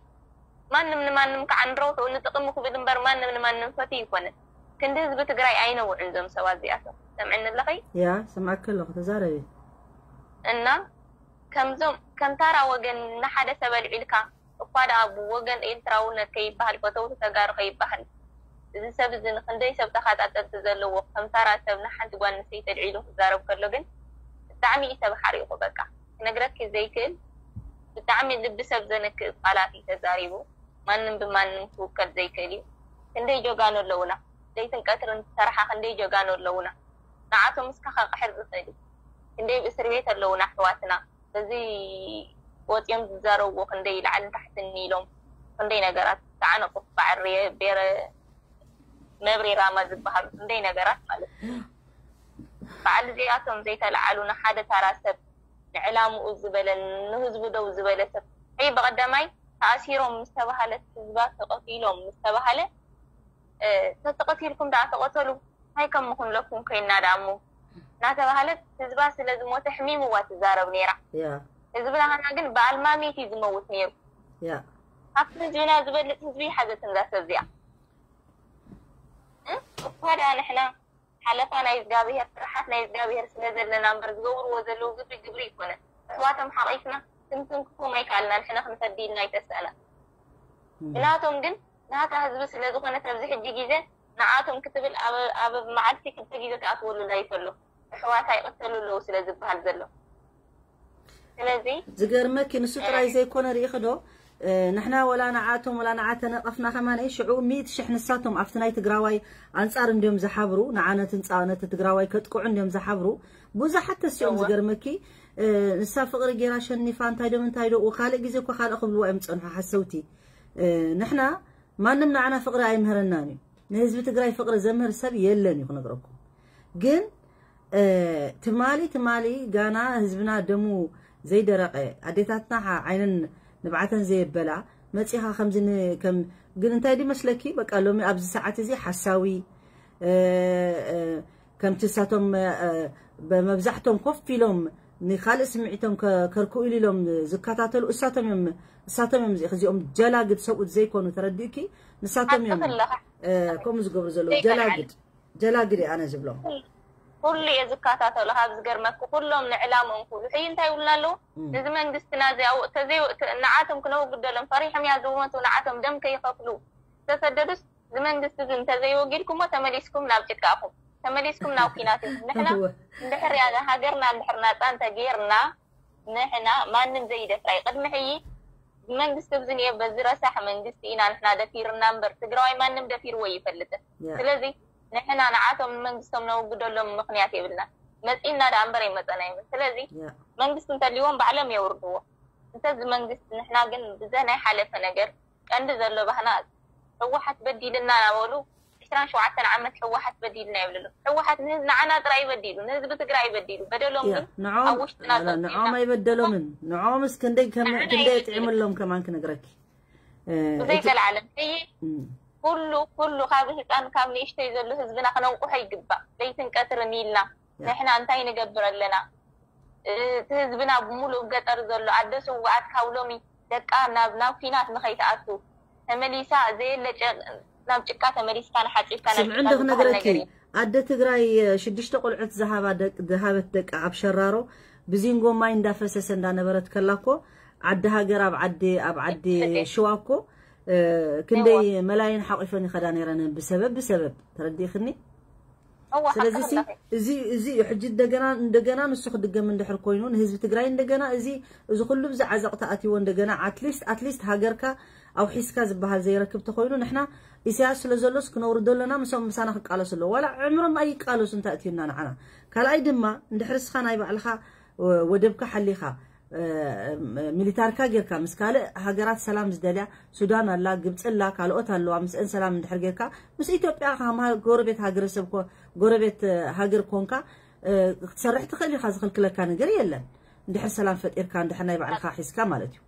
ማንም ንማንም ከዓ ንረብሕኡ ንጥቕሚ ክብል እምበር ማንም ንማንም ፈትዩ ኣይኮነን። ክንዲ ህዝቢ ትግራይ ኣይነውዕን እዞም ሰባት እዚኣቶም። ሰምዕኒ ኣለኺ? ያ፣ ሰምዓኪ ኣለኹ፣ ተዛረቢ። እና ከምዞም፣ ከም ታራ ወገን ንሓደ ሰብ ኣልዒልካ፣ እኳ ደኣ ብወገን ኤርትራውነት ከይበሃል፣ ፈተውቲ ተጋሩ ከይበሃል፣ እዚ ሰብ እዚ ንክንደይ ሰብ ተኸታተልቲ ዘለዎ፣ ከም ታራ ሰብ ንሓንቲ ጓል ኣንስተይቲ ኣልዒሉ ክዛረብ ከሎ ግን ብጣዕሚ እዩ ሰብ ሓሪቑ። በቃ ክነግረኪ ዘይክእል ብጣዕሚ ልቢ ሰብ ዘንክእ ቃላት እዩ ተዛሪቡ። ማንም ብማንም ክውከል ዘይክእል እዩ። ክንደይ ጀጋኑ ኣለውና፣ ለይትን ቀትርን ዝሰርሓ ክንደይ ጀጋኑ ኣለውና። ንዓቶም እስከ ከቕሕር ዝኽእል እዩ። ክንደይ ኣብ እስር ቤት ኣለውና ኣሕዋትና። በዚ ወፂኦም ዝዛረብዎ ክንደይ ላዕልን ታሕትን ኢሎም ክንደይ ነገራት ተዓነቑ። በዓል ሬ-፣ ቤረ-፣ መብሬ ራማ ዝበሃሉ ክንደይ ነገራት ማለት እዩ። በዓል እዚኣቶም ዘይተለዓሉ ንሓደ ታራ ሰብ፣ ንዕላምኡ ዝበለ፣ ንህዝቡ ደው ዝበለ ሰብ፣ ሕይ በቐዳማይ ተኣሲሮም ምስ ተባሃለት፣ ህዝባ ተቐቲሎም ምስ ተባሃለ፣ እ፣ ተተቐቲልኩም ደኣ ተቐተሉ፣ እንታይ ከም ምኹንለኩም ኮይና ደኣ እሞ እናተባሃለት፣ ህዝባ ስለ ዝሞተ ሕሚምዋ ትዛረብ ነይራ። ያ። ህዝብና ግን ብኣልማሚት እዩ ዝመውት ነይሩ። ያ። ካብቲ ህዝብና ዝበልጽ ህዝቢ ሓዘትን እዛ ሰብ እዚኣ። እኳ ደኣ ንሕና ሓለፋ ናይ እግዚኣብሔር፣ ስራሓት ናይ እግዚኣብሔር ስለ ዘለና እምበር፣ ዝገብርዎ ዘለዉ ግብሪ ግብሪ ኣይኮነን። ኣሕዋቶም ሓቒፍና ክንትንክፎም ኣይከኣልናን፣ ንሕና ክንፈዲ ኢልና ኣይተስኣና። ብናቶም ግን ናታ ህዝቢ ስለ ዝኾነት ኣብዚ ሕጂ ግዜ ንዓቶም ክትብል ኣብ፣ ኣብ መዓልቲ ክልተ ግዜ ትኣትወሉ ላይፍ ኣሎ። ኣሕዋታ ይቕተሉ ኣለዉ ስለ ዝበሃል ዘሎ። ስለዚ ዝገርመኪ ንሱ ጥራይ ዘይኮነ ርኢኺ ዶ? እ፣ ንሕና ወላ ንዓቶም ወላ ንዓ ተነቐፍና ከማን ሽዑ ሚእቲ ሽሕ ንሳቶም ኣብቲ ናይ ትግራዋይ ኣንጻር እንድዮም ዝሓብሩ፣ ንዓ ነቲ ህንጻ ነቲ ትግራዋይ ከጥቅዑ እንድዮም ዝሓብሩ። ብዙሓት ተሲኦም እወ። ዝገርመኪ እ፣ ንሳ ፍቕሪ ጌራ ሸኒፋ እንታይ ዶ ምንታይ ዶ ካልእ ግዜ እኮ ካልእ ክብልዋ እዮም ዝጸንሑ ሓሰውቲ። እ፣ ንሕና ማንም ንዓና ፍቕሪ ኣይምህረናን እዩ። ንህዝቢ ትግራይ ፍቕሪ ዘምህር ሰብ የለን እዩ ክነግረኩም። ግን እ፣ ትማሊ ትማሊ ጋና ህዝብና ደሙ ዘይደረቐ ኣዴታትና ዓ-፣ ዓይነን ንብዓተን ዘየበላ መጺኻ ከምዚ ን-፣ ከም ግን እንታይ ድመስለኪ በቃ ሎሚ ኣብዚ ሰዓት እዚ ሓሳዊ እ፣ እ፣ ከምቲ እሳቶም እ፣ በመብዛሕቶም ኮፍ ኢሎም ንካልእ ስምዒቶም ከ-፣ ከርክኡ ኢሉ ኢሎም ዝከታተሉ እሳቶም እዮም፣ እሳቶም እዮም እዚ-፣ እዚኦም ጀላግድ ሰብኡት ዘይኮኑ ተረዲእኪ ንሳቶም እዮም ሓቅኺ ኣለኻ። እ፣ ከምኡ ዝገብሩ ዘለዉ ዘይከልዓል። ጀላግድ ጀላግድ እየ ኣነ ዝብሎም። ኩሉ እየ ዝከታተሎ ካብ ዝገርመኪ ኩሎም ንዕላምኦም ክብሉ ሕይ እንታይ ይብሉና ኣለዉ። እም። ነዚ መንግስትና እዚ ኣው-፣ ተዘይ-፣ ተ-፣ ንዓቶም ክነውግደሎም ፈሪሖም እያ ዝሞቱ ንዓቶም ደም ከይኸፍሉ ዝተሰደዱስ እዚ መንግስቲ እዚ እንተዘይወጊድኩሞ ተመሊስኩም ናብ ጭቃኹም ተመሊስኩም ናብ ኲናት ኢኹም። ንሕና እወ። እንድሕር ያለ ሃገርና እንድሕር ናፃ እንተጌርና ንሕና ማንም ዘይደፍራ እዩ። ቅድሚ ሕይ መንግስቲ ኣብዚ ነየ በዚ ረሳሕ መንግስቲ ኢና ንሕና ደፊርና እምበር ትግራዋይ ማንም ደፊርዎ ይፈልጥን። ያ። ስለዚ ንሕና ንዓቶም ንመንግስቶም ነውግደሎም ምኽንያት የብልና። መፂና ደኣ እምበር ኣይመፀና ይብል። ስለዚ ያ። መንግስቲ እንተልዎም ባዕሎም የውርድዎ። እንተዚ መንግስቲ ንሕና ግን ብዘ ናይ ሓለፈ ነገር ቀንዲ ዘሎ ባህና ህወሓት በዲልና እናበሉ ዕስራን ሸውዓተን ዓመት ህወሓት በዲልና ይብልሉ። ህወሓት ንህዝ-፣ ንዓና ጥራይ በዲሉ፣ ንህዝቢ ትግራይ በዲሉ። በደሎም ያ፣ ግን ንዖም፣ ኣብ ውሽጥና ጸንሑ ንዖም ኢና። ኣይበደሎምን። ንዖምስ ክንደይ ከም-፣ ንዓና ክንደይ ኣይበደሎምን። የጥዕምሎም ከማን ክነግረኪ። እ፣ ብዘይ እቲ ቀልዓለም። ሕይ እም። ኩሉ፣ ኩሉ ካብ ህፃን ካብ ንእሽተይ ዘሎ ህዝብና ክነንቁሖ ይግባእ። ለይትን ቀትርን ኢልና ያ። ንሕና እንታይ ንገብር ኣለና? እ፣ እቲ ህዝብና ብምሉእ ገጠር ዘሎ ኣደ ስውኣት ካብ ሎሚ ደቃ ናብ፣ ናብ ኲናት ንኸይትኣቱ ተመሊሳ ዘየለ ጨ-፣ ናብ ጭቃ ተመሊስካ ንሓጺብካ ናብ ስምዒ ጭቃ እንዶ ዝበሃል ክነግረኪ፣ ነገር እዩ። ኣደ ትግራይ ሽዱሽተ ቆልዑት ዝሃባ ደቅ-፣ ዝሃበት ደቃ ኣብ ሸራሮ ብዚንጎ ማይ እንዳፈሰሰ እንዳነበረት ከላ እኮ ዓዲ ሃገር ኣብ ዓዲ፣ ኣብ ዓዲ እሺ። ሽዋ እኮ፣ እ፣ ክንደይ እዋ። መላይን ሓቂፈን ይኸዳ ነይረን ብሰበብ፣ ብሰበብ። ተረዲእኽኒ? እዋ፣ ስለዚ ሓቂ ሲ፣ ኣለኺ። እዚ፣ እዚ እዩ ሕጂ እንደገና፣ እንደገና ንሱ ክድገም እንድሕር ኮይኑ ንህዝቢ ትግራይ እንደገና እዚ፣ እዚ ኩሉ ብዚ ዓዘቕቲ ኣትይዎ እንደገና ኣትሊስት፣ ኣትሊስት ሃገርካ ኣውሒስካ ዝበሃል ዘይረክብ ተኮይኑ ንሕና ኢሳያስ ስለ ዘሎስ ክነውርዶ ኣለና፣ ምሶም ምሳና ክቃለሱ ኣለዎ። ዋላ ዕምሮም ኣይቃለሱ እንታይ እትዩና ንዓና። ካልኣይ ድማ እንድሕር እስኻ ናይ ባዕልኻ ወ-፣ ወደብካ ሓሊኻ፣ እ፣ ሚሊታርካ ጌርካ ምስ ካልእ ሃገራት ሰላም ዝደልያ ሱዳን ኣላ፣ ግብፂ ኣላ፣ ካልኦት ኣለዋ። ምስአን ሰላም እንድሕር ጌርካ ምስ ኢትዮጵያ ከማን ጎረቤት ሃገረሰብ ኮ-፣ ጎረቤት፣ እ፣ ሃገር ኮንካ፣ እ፣ ክትሰርሕ ትኽእል ኢኻ፣ ዝኽልክለካ ነገር የለን። እንድሕር ሰላም ፈጢርካ፣ እንድሕር ናይ ባዕልኻ ሒዝካ ማለት እዩ።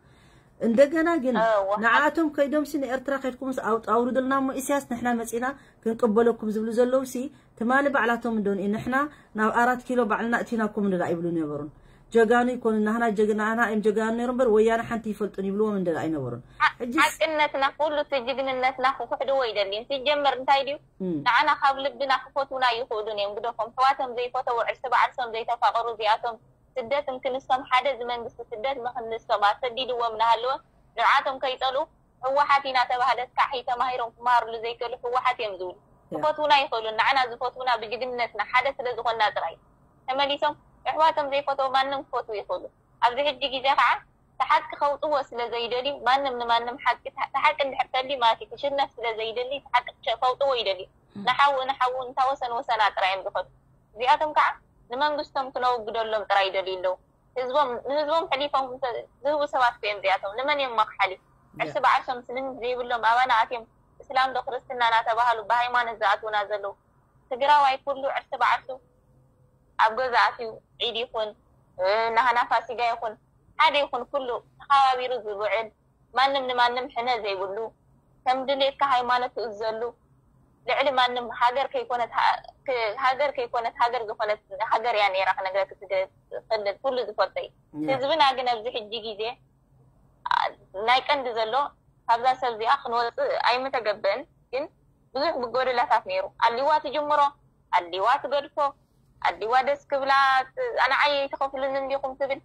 እንደገና ግን እወ። ንዓኣቶም ከይዶምሲ ንኤርትራ ከይድኩምስ ኣውጥ-፣ ኣውርዱልና እሞ ኢሳያስ ንሕና መጺና ክንቅበለኩም ዝብሉ ዘለውሲ ትማሊ ባዕላቶም እንዶ ንኢ-፣ ንሕና ናብ ኣራት ኪሎ ባዕልና እቲናኩም እንዶ ደኣ ይብሉ ነበሩን። ጀጋኑ ይኮኑ፣ ናህና ጀግና፣ ናህና እዮም ጀጋኑ ነይሮም እምበር ወያነ ሓንቲ ይፈልጡን ይብልዎም እንዶ ደኣ ኣይነበሩን። ዓ-፣ ሕጂስ ሓቅነትና ኩሉ እቲ ጅግንነትና ክኽሕድዎ ይደልዩን። ሲጀመር እንታይ ድዩ? እም። ንዓና ካብ ልብና ክፈትዉና ይኽእሉን እዮም። ግደፎም። ኣሕዋቶም ዘይፈተዉ፣ ዕርሲ ባዕርሶም ዘይተፋቐሩ እዚኣቶም ስደት እንክንሶም ሓደ እዚ መንግስቲ ስደት ምኽንሶም ኣሰዲድዎም እናሃለወ ንዓቶም ከይጸልኡ ህወሓት ኢና ተባህለት ካሒ ተማሂሮም ክመሃርሉ ዘይክእሉ ህወሓት እዮም ዝብሉ። ያ። ክፈትዉና ይኽእሉ። ንዓና ዝፈትዉና ብጅግንነትና ሓደ ስለ ዝኾንና ጥራይ። ተመሊሶም ኣሕዋቶም ዘይፈተዉ ማንም ክፈትዉ ይኽእሉ። ኣብዚ ሕጂ ግዜ ከዓ እቲ ሓቂ ከውፅዎ ስለ ዘይደልዩ ማንም ንማንም ሓቂ፣ እቲ ሓቂ እንድሕር ተልዩ ማለት እዩ፣ ክሽነፍ ስለ ዘይደሊ እቲ ሓቂ ክሸ-፣ ከውፅዎ ይደልዩ። እም። ንሓው ንሓው እንታ ወሰን ወሰና ጥራይ እዮም ዝኸዱ። እዚኣቶም ከዓ ንመንግስቶም ክነውግደሎም ጥራይ ይደልዩ ኣለዉ። ህዝቦም፣ ንህዝቦም ሕሊፎም ዝህቡ ሰባት እዮም እዚኣቶም። ንመን እዮም መኽሓሊ? ያ። ዕርሲ ብዓርሶም ስምምት ዘይብሎም ኣባና ኣትዮም እስላም ዶ ክርስትና እናተባሃሉ ብሃይማኖት ዝኣትዉና ዘለዉ። ትግራዋይ ኩሉ ዕርሲ ብዓርሱ ኣብ ገዛ ኣትዩ ዒድ ይኹን፣ እ፣ ናህና ፋሲጋ ይኹን፣ ሓደ ይኹን ኩሉ ተኸባቢሩ ዝውዕል፣ ማንም ንማንም ሕነ ዘይብሉ፣ ከም ድሌትካ ሃይማኖት ትእዘሉ፣ ልዕሊ ማንም ሃገር ከይኮነት ሃ-፣ ክ-፣ ሃገር ከይኮነት ሃገር ዝኾነት ሃገር እያ ነይራ ክነግረክ ትኽእል፣ ኩሉ ዝፈልጦ እዩ። ያ። ህዝብና ግን ኣብዚ ሕጂ ግዜ፣ ኣ፣ ናይ ቀንዲ ዘሎ ካብዛ ሰብ እዚኣ ክንወፅእ ኣይምተገበእን፣ ግን ብዙሕ ብጎደላታት ነይሩ። ኣሊዋ ትጅምሮ፣ ኣሊዋ ትገድፎ፣ ኣሊዋ ደስ ክብላ፣ ንዓይ ኣይትኸፍሉን እንዲኹም ትብል።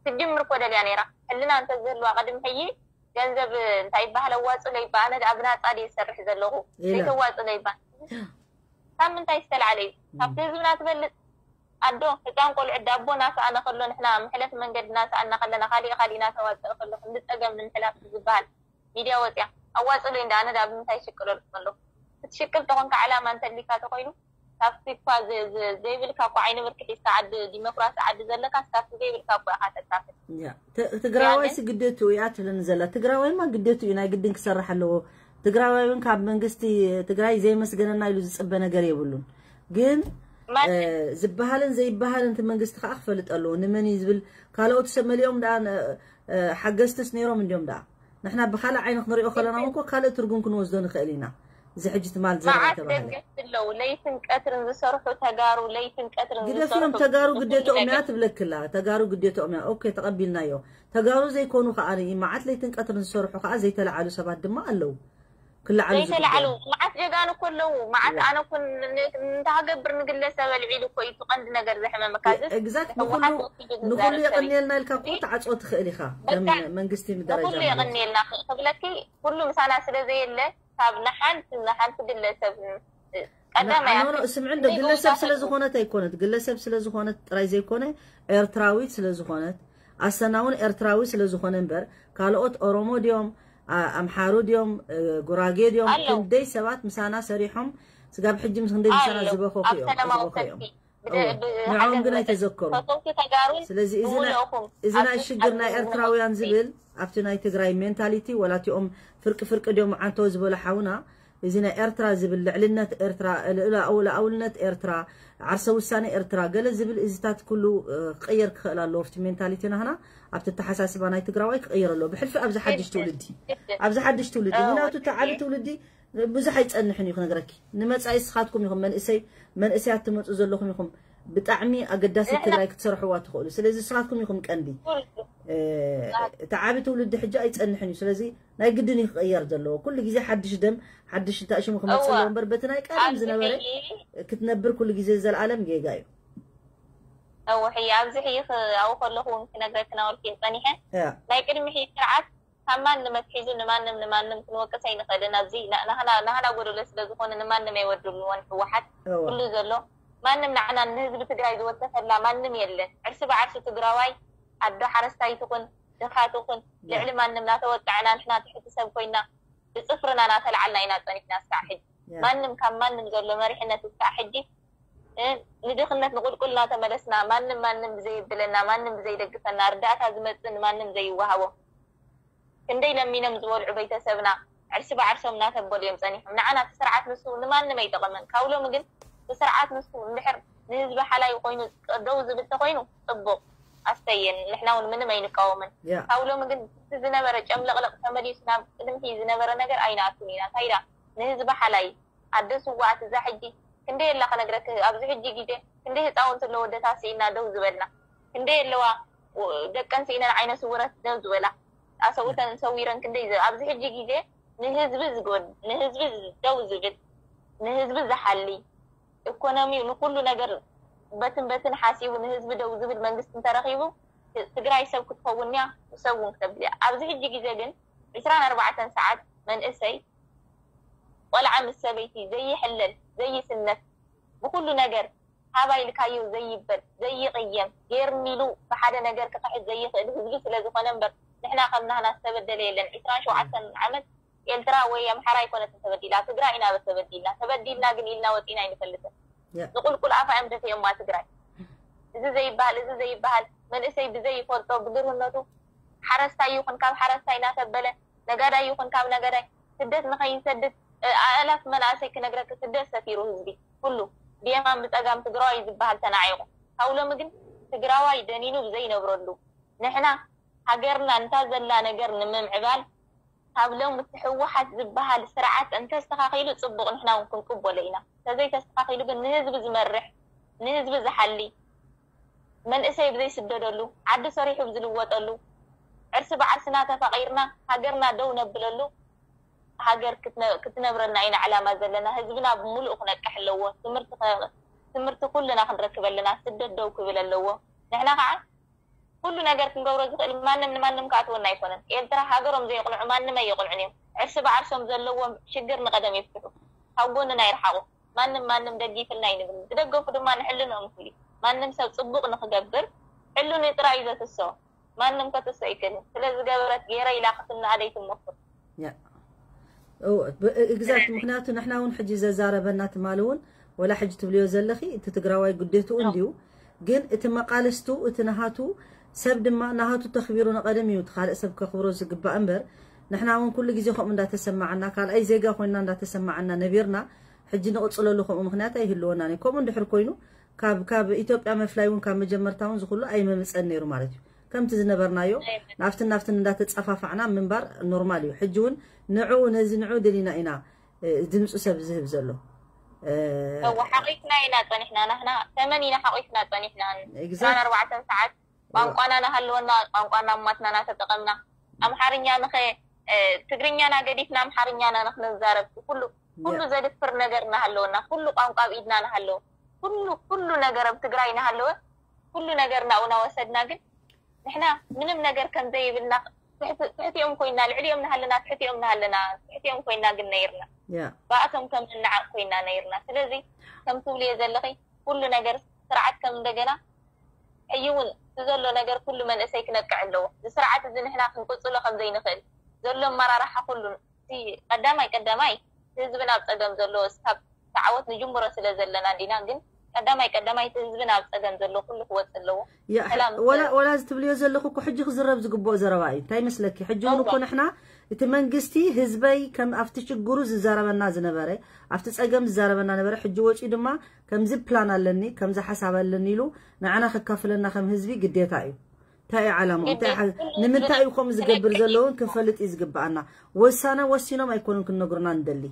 ትጅምር እኮ ደልያ ነይራ። ሕልና እንተዝህልዋ ቅድሚ ሕጂ ገንዘብ እንታይ ይበሃል ኣዋፅለይ ይበሃል። ኣነ ደኣ ብናፃ ድየ ዝሰርሕ ዘለኹ። ኢላ። ዘይተዋፅለይ ይበሃል። ካብ ምንታይ ዝተላዕለ እዩ? ካብቲ ህዝብና ትበልፅ። ኣዶ ህፃን ቆልዑ ዳቦ እናሰኣነ ከሎ ንሕና መሕለፊ መንገዲ እናሰኣና ከለና ካሊእ ካሊእ እናተዋፀአ ከሎ ክንዲ ፀገም ንምሕላፍ ዝበሃል ሚድያ ወፅያ ኣዋፅለይ እንዳ ኣነ ደኣ ብምንታይ ሽቅለልኩም ኣለኹ? ክትሽቅል ተኾንካ ዕላማ እንተሊካ ተኾይኑ ካብቲ እኳ ዘ- ዘ- ዘይብልካ እኳ ዓይኒ ብርኪ ሒዝካ ዓዲ ዲሞክራሲ ዓዲ ዘለካ ካብቲ ዘይብልካ እኳ ኢኻ ተካፍል። ያ፣ ተ- ትግራዋይስ ግን ግደቱ እያ ትብለኒ ዘላ። ትግራዋይማ ግደቱ እዩ፣ ናይ ግድን ክሰርሕ ኣለዎ። ትግራዋይ እውን ካብ መንግስቲ ትግራይ ዘይመስገነና ኢሉ ዝፅበ ነገር የብሉን። ግን ማለት እ፣ ዝበሃልን ዘይበሃልን እቲ መንግስቲ ከዓ ክፈልጥ ኣለዎ። ንመን እዩ ዝብል ካልኦት ሰብ መሊኦም ደኣ እ፣ ሓገዝትስ ነይሮም እንዲዮም ደኣ። ንሕና ብኻልእ ዓይኒ ክንሪኦ ከለና እውን እኮ ካልእ ትርጉም ክንወስዶ ንኽእል ኢና። እዚ ሕጂ ትማል ዘረባ መዓት ተባህለ። ደገፍቲ ኣለዉ ለይትን ቀትርን ዝሰርሑ ተጋሩ ለይትን ቀትርን ግደፍዮም ዝሰርሑ ተጋሩ ብዙ ግዴትኦም እያ ነገር። ትብለክላ። ተጋሩ ግዴትኦም እያ። ኦኬ፣ ተቐቢልናዮ። ተጋሩ ዘይኮኑ ከዓ ርኢ መዓት ለይትን ቀትርን ዝሰርሑ ከዓ ዘይተለዓሉ ሰባት ድማ ኣለዉ። ክለዓሉ ዘይተለዓሉ ዝግበኦም። መዓት ጀጋኑ እኮ ኣለዉ። መዓት እዋ። ኣነ እኮ ን- ን- እንተሃገብር ንግለሰብ ኣልዒሉ እኮ እዩ እቲ ቀንዲ ነገር ዘሕመመካ። እዝስ ኤግዛክት፣ ንኹሉ ህወሓት ወኪሉ ንኹሉ ዝዛረብ ሰብ እዩ። የቐንየልና ኢልካ እኮ እዚ ትዓፅዎ ትኽእል ኢኻ። ከም በቃ መንግስቲ ምደረጃ ንኹሉ ማለት እዩ። የቐንየልና ክ- ክብለኪ ኩሉ ምሳና ስለ ዘየለ ካብ ንሓንቲ ንሓንቲ ግለሰብ ቀዳማይ ኖ፣ ኖ፣ ኣትሪ ስምዒ እንዶ እንዶ ግለሰብ ይጎልባት ስለ ኣለዎ። ዝኾነት ኣይኮነት፣ ግለሰብ ስለ ዝኾነት ጥራይ ዘይኮነ ኤርትራዊት ስለ ዝኾነት ኣሰና እውን ኤርትራዊ ስለ ዝኾነ እምበር ካልኦት ኦሮሞ ድዮም ኣ- ኣምሓሩ ድዮም እ፣ ጉራጌ ድዮም ኣሎ። ክንደይ ሰባት ምሳና ሰሪሖም ስጋብ ሕጂ ምስ ክንደይ ምሳና ኣሎ። ዝበኸኹ ኣብ እዮም ሰላማዊ ዝበኸ እዮም ሰልፊ ብደ- እወ። ብ- ንዕኦም ሓገዝ ግን መጠን ኣይተዘከሩን። ፈተውቲ ተጋሩን ስለዚ እዚ ናይ- ብምልእኹም እዚ ናይ ኣብዚ ሽግር ናይ ኣብዚ ኤርትራውያን ዝነብር ዝብል ኣብቲ ናይ ትግራይ ሜንታሊቲ ወላ እቲኦም ፍርቂ ፍርቂ ድዮም ዓንተው ዝበሉ ሓውና እዚ ናይ ኤርትራ ዝብል ልዕልነት ኤርትራ ልእላኡ- ልኣውልነት ኤርትራ ዓርሰ ውሳነ ኤርትራ ገለ ዝብል እዚታት ኩሉ እ፣ ክቕየር ክኽእል ኣለዎ ኣብቲ ሜንታሊቲ ናህና ኣብቲ ኣተሓሳስባ ናይ ትግራዋይ ክቕየር ኣለዎ ብሕልፊ ኣብዚ ሓድሽ ትውልዲ ኣብዚ ሓድሽ ትውልዲ ምክንያቱ እቲ ዓቢ ትውልዲ ብዙሕ ኣይፀንሕን እዩ ክነግረኪ ንመፃኢ ስኻትኩም ኢኹም መንእሰይ መንእሰያት ትመፁ ዘለኹም ኢኹም ብጣዕሚ ኣገዳሲት ትግራይ ክትሰርሕዋ ትኽእሉ ስለዚ ስኻትኩም ኢኹም ቀንዲ እቲ ዓቢ ትውልዲ ሕጂ ኣይፀንሕን እዩ ስለዚ ናይ ግድን እዩ ክቕየር ዘለዎ ኩሉ ግዜ ሓድሽ ደም ሓድሽ እንታይ ሽሙ ክመፅእ ኣለዎ እምበር በቲ ናይ ቀደም ዝነበረ ክትነብር ኩሉ ግዜ ዘለኣለም ጌጋ እዩ እወ ሕየ ኣብዚ ሕየ ኣብኡ ከለኹ እውን ክነግረኪ ናበልኩ እየ ፀኒሐ ናይ ቅድሚ ሕየ ስርዓት ካብ ማንም ኣትሒዙ ንማንም ንማንም ክንወቅስ ኣይንኽእልን ኣብዚ ናህና ጎደሎ ስለ ዝኾነ ንማንም ኣይወድልዎን ህወሓት ኩሉ ዘሎ ማንም ንዓና ንህዝቢ ትግራይ ዝወተፈላ ማንም የለን ዕርሲ ብዓርሲ ትግራዋይ ኣዶ ሓረስታይ ትኹን ድኻ ትኹን ልዕሊ ማንም ናተወቀዕና ንሕና ትሕቲ ሰብ ኮይና ብፅፍርና ናተልዓልና ኢና ፀኒሕና እስካዕ ሕጂ ማንም ካብ ማንም ዘሎ መሪሕነት እስካዕ ሕጂ ንድኽነት ንቁልቁል እናተመለስና ማንም ማንም ብዘየብለና ማንም ብዘይደግፈና ርዳእታ ዝመፅእ ንማንም ዘይወሃቦ ክንደይ ለሚኖም ዝበልዑ ቤተሰብና ዕርሲ ብዓርሶም እናተበሉ እዮም ፀኒሖም ንዓና እቲ ስርዓት ንሱ ንማንም ኣይጠቐመን ካብ ሎሚ ግን እቲ ስርዓት ንሱ እንድሕር ንህዝቢ ሓላይ ኮይኑ ደው ዝብል ተኮይኑ ፅቡቕ ኣስተየን ንሕና እውን ምንም ኣይንቃወምን ካብ ሎሚ ግን እቲ ዝነበረ ጨምለቕለቕ ተመሊሱ ናብ ቅድምቲ ዝነበረ ነገር ኣይንኣቱን ኢና እንታይ ዳ ንህዝቢ ሓላይ ኣደ ስዋኣት እዛ ሕጂ ክንደይ ኣላ ክነግረክ ኣብዚ ሕጂ ግዜ ክንደይ ህፃውንቲ ኣለዎ ኣደታት ስኢና ደው ዝበልና ክንደይ ኣለዋ ደቀን ስኢነን ዓይነ ስውረት ደው ዝበላ ኣሰብኡተን ሰዊረን ክንደይ ኣብዚ ሕጂ ግዜ ንህዝቢ ዝጎድ ንህዝቢ ደው ዝብል ንህዝቢ ዝሓሊ ኢኮኖሚኡ ንኩሉ ነገር በትን በትን ሓሲቡ ንህዝቢ ደው ዝብል መንግስቲ እንተረኪቡ ትግራይ ሰብ ክትኸውን እያ ሰብ እውን ክተብል እያ ኣብዚ ሕጂ ግዜ ግን ዕስራን ኣርባዕተን ሰዓት መንእሰይ ቆልዓ ምስ ሰበይቲ ዘይሕለል ዘይስነፍ ብኩሉ ነገር ሃባ ኢልካዮ ዘይበል ዘይቅየም ገይርኒ ኢሉ ብሓደ ነገር ክኽሕድ ዘይኽእል ህዝቢ ስለዝኾነ እምበር ንሕና ከም ናህና ዝተበደለ የለን ዕስራን ሸውዓተን ዓመት ኤልትራ ወይ ኣምሓራ ኣይኮነትን ተበዲላ ትግራይ ኢና ተበዲልና ተበዲልና ግን ኢልና ወፂና ኣይንፈልጥን ንቁልቁል ኣፋ እዮም ደፊኦማ ትግራይ እዚ ዘይበሃል እዚ ዘይበሃል መንእሰይ ብዘይፈልጦ ብግርህነቱ ሓረስታይ ይኹን ካብ ሓረስታይ እናተበለ ነጋዳይ ይኹን ካብ ነጋዳይ ስደት ንኸይሰድድ ኣእላፍ መናእሰይ ክነግረኪ ስደት ሰፊሩ ህዝቢ ኩሉ ብየማን ብፀጋም ትግራዋይ ዝበሃል ተናዒቑ ካብ ሎሚ ግን ትግራዋይ ደኒኑ ብዘይነብረሉ ንሕና ሃገርና እንታ ዘላ ነገር ንምምዕባል ካብ ሎም እቲ ህወሓት ዝበሃል ስርዓት እንተስተኻኺሉ ፅቡቕ ንሕና እውን ክንቅበሎ ኢና። እንተዘይተስተኻኺሉ ግን ንህዝቢ ዝመርሕ፣ ንህዝቢ ዝሓሊ፣ መንእሰይ ብዘይስደደሉ፣ ዓዲ ሰሪሑ ብዝልወጠሉ፣ ዕርሲ ብዓርስና ተፋቒርና ሃገርና ደው ነብለሉ ሃገር ክትነ- ክትነብረልና ኢና ዕላማ ዘለና። ህዝብና ብምሉእ ክነቅሕ ኣለዎ። ትምህርቲ ከ- ትምህርቲ ኩልና ክንረክብ ኣለና። ስደት ደው ክብል ኣለዎ። ንሕና ከዓ ኩሉ ነገር ክንገብሮ ዝኽእል ማንም ንማንም ክኣትወና ኣይኮነን። ኤርትራ ሃገሮም ዘየቕንዑ ማንም ኣይቕንዑን እዮም። ዕርሲ ብዓርሶም ዘለዎም ሽግር ንቐደም ይፍትሑ። ካብ ጎንና ይርሓቑ። ማንም ማንም ደጊፍልና ኣይንብል። ዝደገፉ ድማ ንሕልንኦም ክብሉ። ማንም ሰብ ጽቡቕ ንኽገብር ሕልኑ ጥራይ እዩ ዘትስኦ። ማንም ከትስኦ ኣይክእልን። ስለ ዝገበረት ገይረ ኢላ ክትነኣድ ኣይትሞክር። ያ እወ፣ ብ- exact። ምክንያቱ ንሕና እውን ሕጂ ዘዛረበና ትማሊ እውን ወላ ሕጂ ትብልዮ ዘለኺ እቲ ትግራዋይ ግዴትኡ እንዲዩ፣ ግን እቲ መቃልስቱ እቲ ናሃቱ ሰብ ድማ ናሃቱ ተኽቢሩ ንቐደም እዩ እቲ ካልእ ሰብ ከኽብሮ ዝግባእ እምበር ንሕና እውን ኩሉ ግዜ ከምኡ እንዳተሰማዓና ካልኣይ ዜጋ ኮይንና እንዳተሰማዓና ነቢርና ሕጂ ንቕፅለሉ ከምኡ ምክንያት ኣይህልወናን እዩ። ከምኡ እንድሕር ኮይኑ ካብ ካብ ኢትዮጵያ መፍላይ እውን ካብ መጀመርታ እውን ዝኩሉ ኣይመምፀን ነይሩ ማለት እዩ። ከምቲ ዝነበርናዮ ናብትን ናብትን እንዳተፃፋፋዕና ምንባር ኖርማል እዩ። ሕጂ እውን ንዕኡ ነዚ ንዕኡ ደሊና ኢና እ፣ ድምፂ ሰብ ዝህብ ዘሎ እ፣ እወ ሓቂፍና ኢና ፀኒሕና። ናህና ተመን ኢና ሓቂፍና ፀኒሕና። Exact። ኣርባዕተን ሰዓት ቋንቋና ናሃለወና ቋንቋና እማትና ናተጠቐምና ኣምሓርኛ ንኸ እ፣ ትግርኛና ገዲፍና ኣምሓርኛና ንክንዛረብ ኩሉ ኩሉ ያ- ዘድፍር ነገር ናሃለወና ኩሉ ቋንቋ ኣብ ኢድና ናሃለወ ኩሉ ኩሉ ነገር ኣብ ትግራይ ናሃለወ ኩሉ ነገር ናብኡ ናወሰድና ግን ንሕና ምንም ነገር ከም ዘይብልና ትሕቲ- ትሕቲኦም ኮይና ልዕሊኦም ናሃለና ትሕቲኦም ናሃለና ትሕቲኦም ኮይና ግን ነይርና ያ ብኣቶም ከም ንዓቕ ኮይና ነይርና። ስለዚ ከም ትብልዮ ዘለኺ ኩሉ ነገር ስርዓት ከም እንደገና ሕጂ እውን እቲ ዘሎ ነገር ኩሉ መንእሰይ ክነቅዕ ኣለዎ። እዚ ስርዓት እዚ ንሕና ክንቅፅሎ ከም ዘይንኽእል ዘሎ ኣመራርሓ ኩሉ እቲ ቀዳማይ ቀዳማይ ህዝብና ኣብ ፀገም ዘሎ እስካብ ተዓወት ንጅምሮ ስለ ዘለና እንዲና ግን ቀዳማይ ቀዳማይ እቲ ህዝብና ኣብ ፀገም ዘሎ ኩሉ ክወፅእ ኣለዎ። ያ፣ ሰላም ወላ ወላ እዚ ትብልዮ ዘለኹ እኮ ሕጂ ክዝረብ ዝግብኦ ዘረባ እዩ። እንታይ መስለኪ? ሕጂ እውን እኮ እዋ። ንሕና እቲ መንግስቲ ህዝበይ ከም ኣብቲ ሽግሩ ዝዛረበና ዝነበረ ኣብቲ ፀገም ዝዛረበና ነበረ። ሕጂ ወፂኡ ድማ ከምዚ ፕላን ኣለኒ ከምዚ ሓሳብ ኣለኒ ኢሉ ንዓና ከካፍለና ከም ህዝቢ ግዴታ እዩ። እንታይ እዩ ዓላማኡ? እንታይ ግዴታ ሓ- ኩሉ ንምንታይ እዩ ከምኡ ዝገብር ክነቅሕ ዘለውን ክንፈልጥ እዩ ዝግባኣና። ወሳነ ወሲኖም ኣይኮኑን ክነግሩና እንደሊ።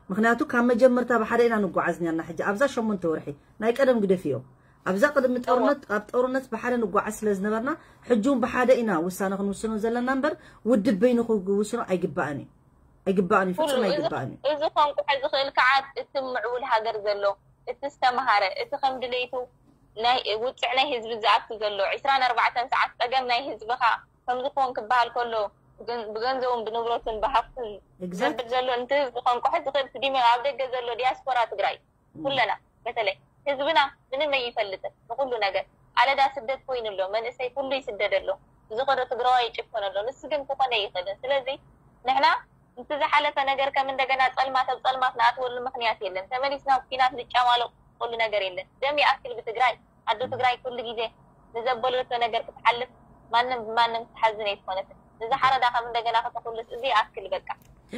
ምክንያቱ ካብ መጀመርታ ብሓደ ኢና ንጓዓዝ ነርና። ሕጂ ኣብዛ ሸሞንተ ወርሒ ናይ ቀደም ግደፍዮ ኣብዛ ቅድሚ ጦርነት ኣብ ጦርነት ብሓደ ንጓዓዝ ስለ ዝነበርና ሕጂ እውን ብሓደ ኢና ውሳነ ክንውስኖ ዘለና እምበር ውድብ በይኑ ክውስኖ ኣይግባእን እዩ። ኣይግባእን እዩ፣ ኩሉ ፍጹም እዚ ኣይግባእን እዩ። እዚ ከንቁሐ ዝኽእል ከዓ እቲ ምዕቡል ሃገር ዘሎ እቲ ዝተምሃረ እቲ ከም ድሌቱ ናይ ውፅዕ ናይ ህዝቢ ዝኣቱ ዘሎ ዕስራን ኣርባዕተን ሰዓት ፀገም ናይ ህዝብኻ ከምዚ ክኾን ክበሃል ከሎ ብገን- ብገንዘቡን ብንብረቱን ብሃፍቱን Exact። ዘብል ዘሎ ነቲ ህዝቢ ከንቁሐ ዝኽእል እቲ ዲሞ ኣብ ደገ ዘሎ ዲያስፖራ ትግራይ ኩለና በተለይ ህዝብና ምንም ኣይፈልጥን ንኩሉ ነገር ኣለዳ ስደት ኮይኑ ኣሎ መንእሰይ ኩሉ ይስደድ ኣሎ ዝኸዶ ትግራዋይ ይጭፈን ኣሎ ንሱ ግን ክኾነ ይኽእልን ስለዚ ንሕና እቲ ዝሓለፈ ነገር ከም እንደገና ፀልማት ኣብ ፀልማት ንኣትወሉ ምኽንያት የለን ተመሊስና ኣብ ኲናት ንጫማለቀሉ ነገር የለን ደም ይኣክል ብትግራይ ኣዶ ትግራይ ኩሉ ግዜ ንዘበለቶ ነገር ክትሓልፍ ማንም ብማንም ክትሓዝን ኣይትኾነትን ንዝሓረዳ ከም እንደገና ከተኹልስ እዚ ይኣክል በቃ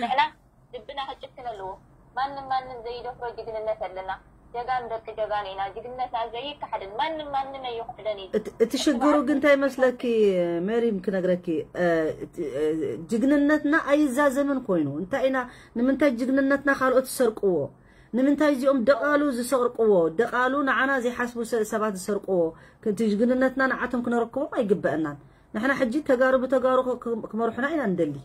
ንሕና ልብና ክጭክን ኣለዎ ማንም ማንም ዘይደፍሮ ጅግንነት ኣለና ጀጋኑ ደቂ ጀጋኑ ኢና ጅግንነትና ዘይከሓድን ማንም ማንም ኣይኽሕደን እዩ እቲ- እቲ ሽግሩ ግን እንታይ መስለኪ ሜሪም ክነግረኪ እ፣ እቲ፣ እ፣ ጅግንነትና ኣይዛዘምን ኮይኑ እንታይ ኢና ንምንታይ ጅግንነትና ካልኦት ዝሰርቅዎ ንምንታይ እዚኦም ደቓሉ ዝሰርቅዎ ደቓሉ ንዓና ዘይሓስቡ ሰ- ሰባት ዝሰርቅዎ እቲ ጅግንነትና ንዓቶም ክነረክቦም ኣይግበአናን ንሕና ሕጂ ተጋሩ ብተጋሩ ክ- ክ- ክመርሑና ኢና ንደሊ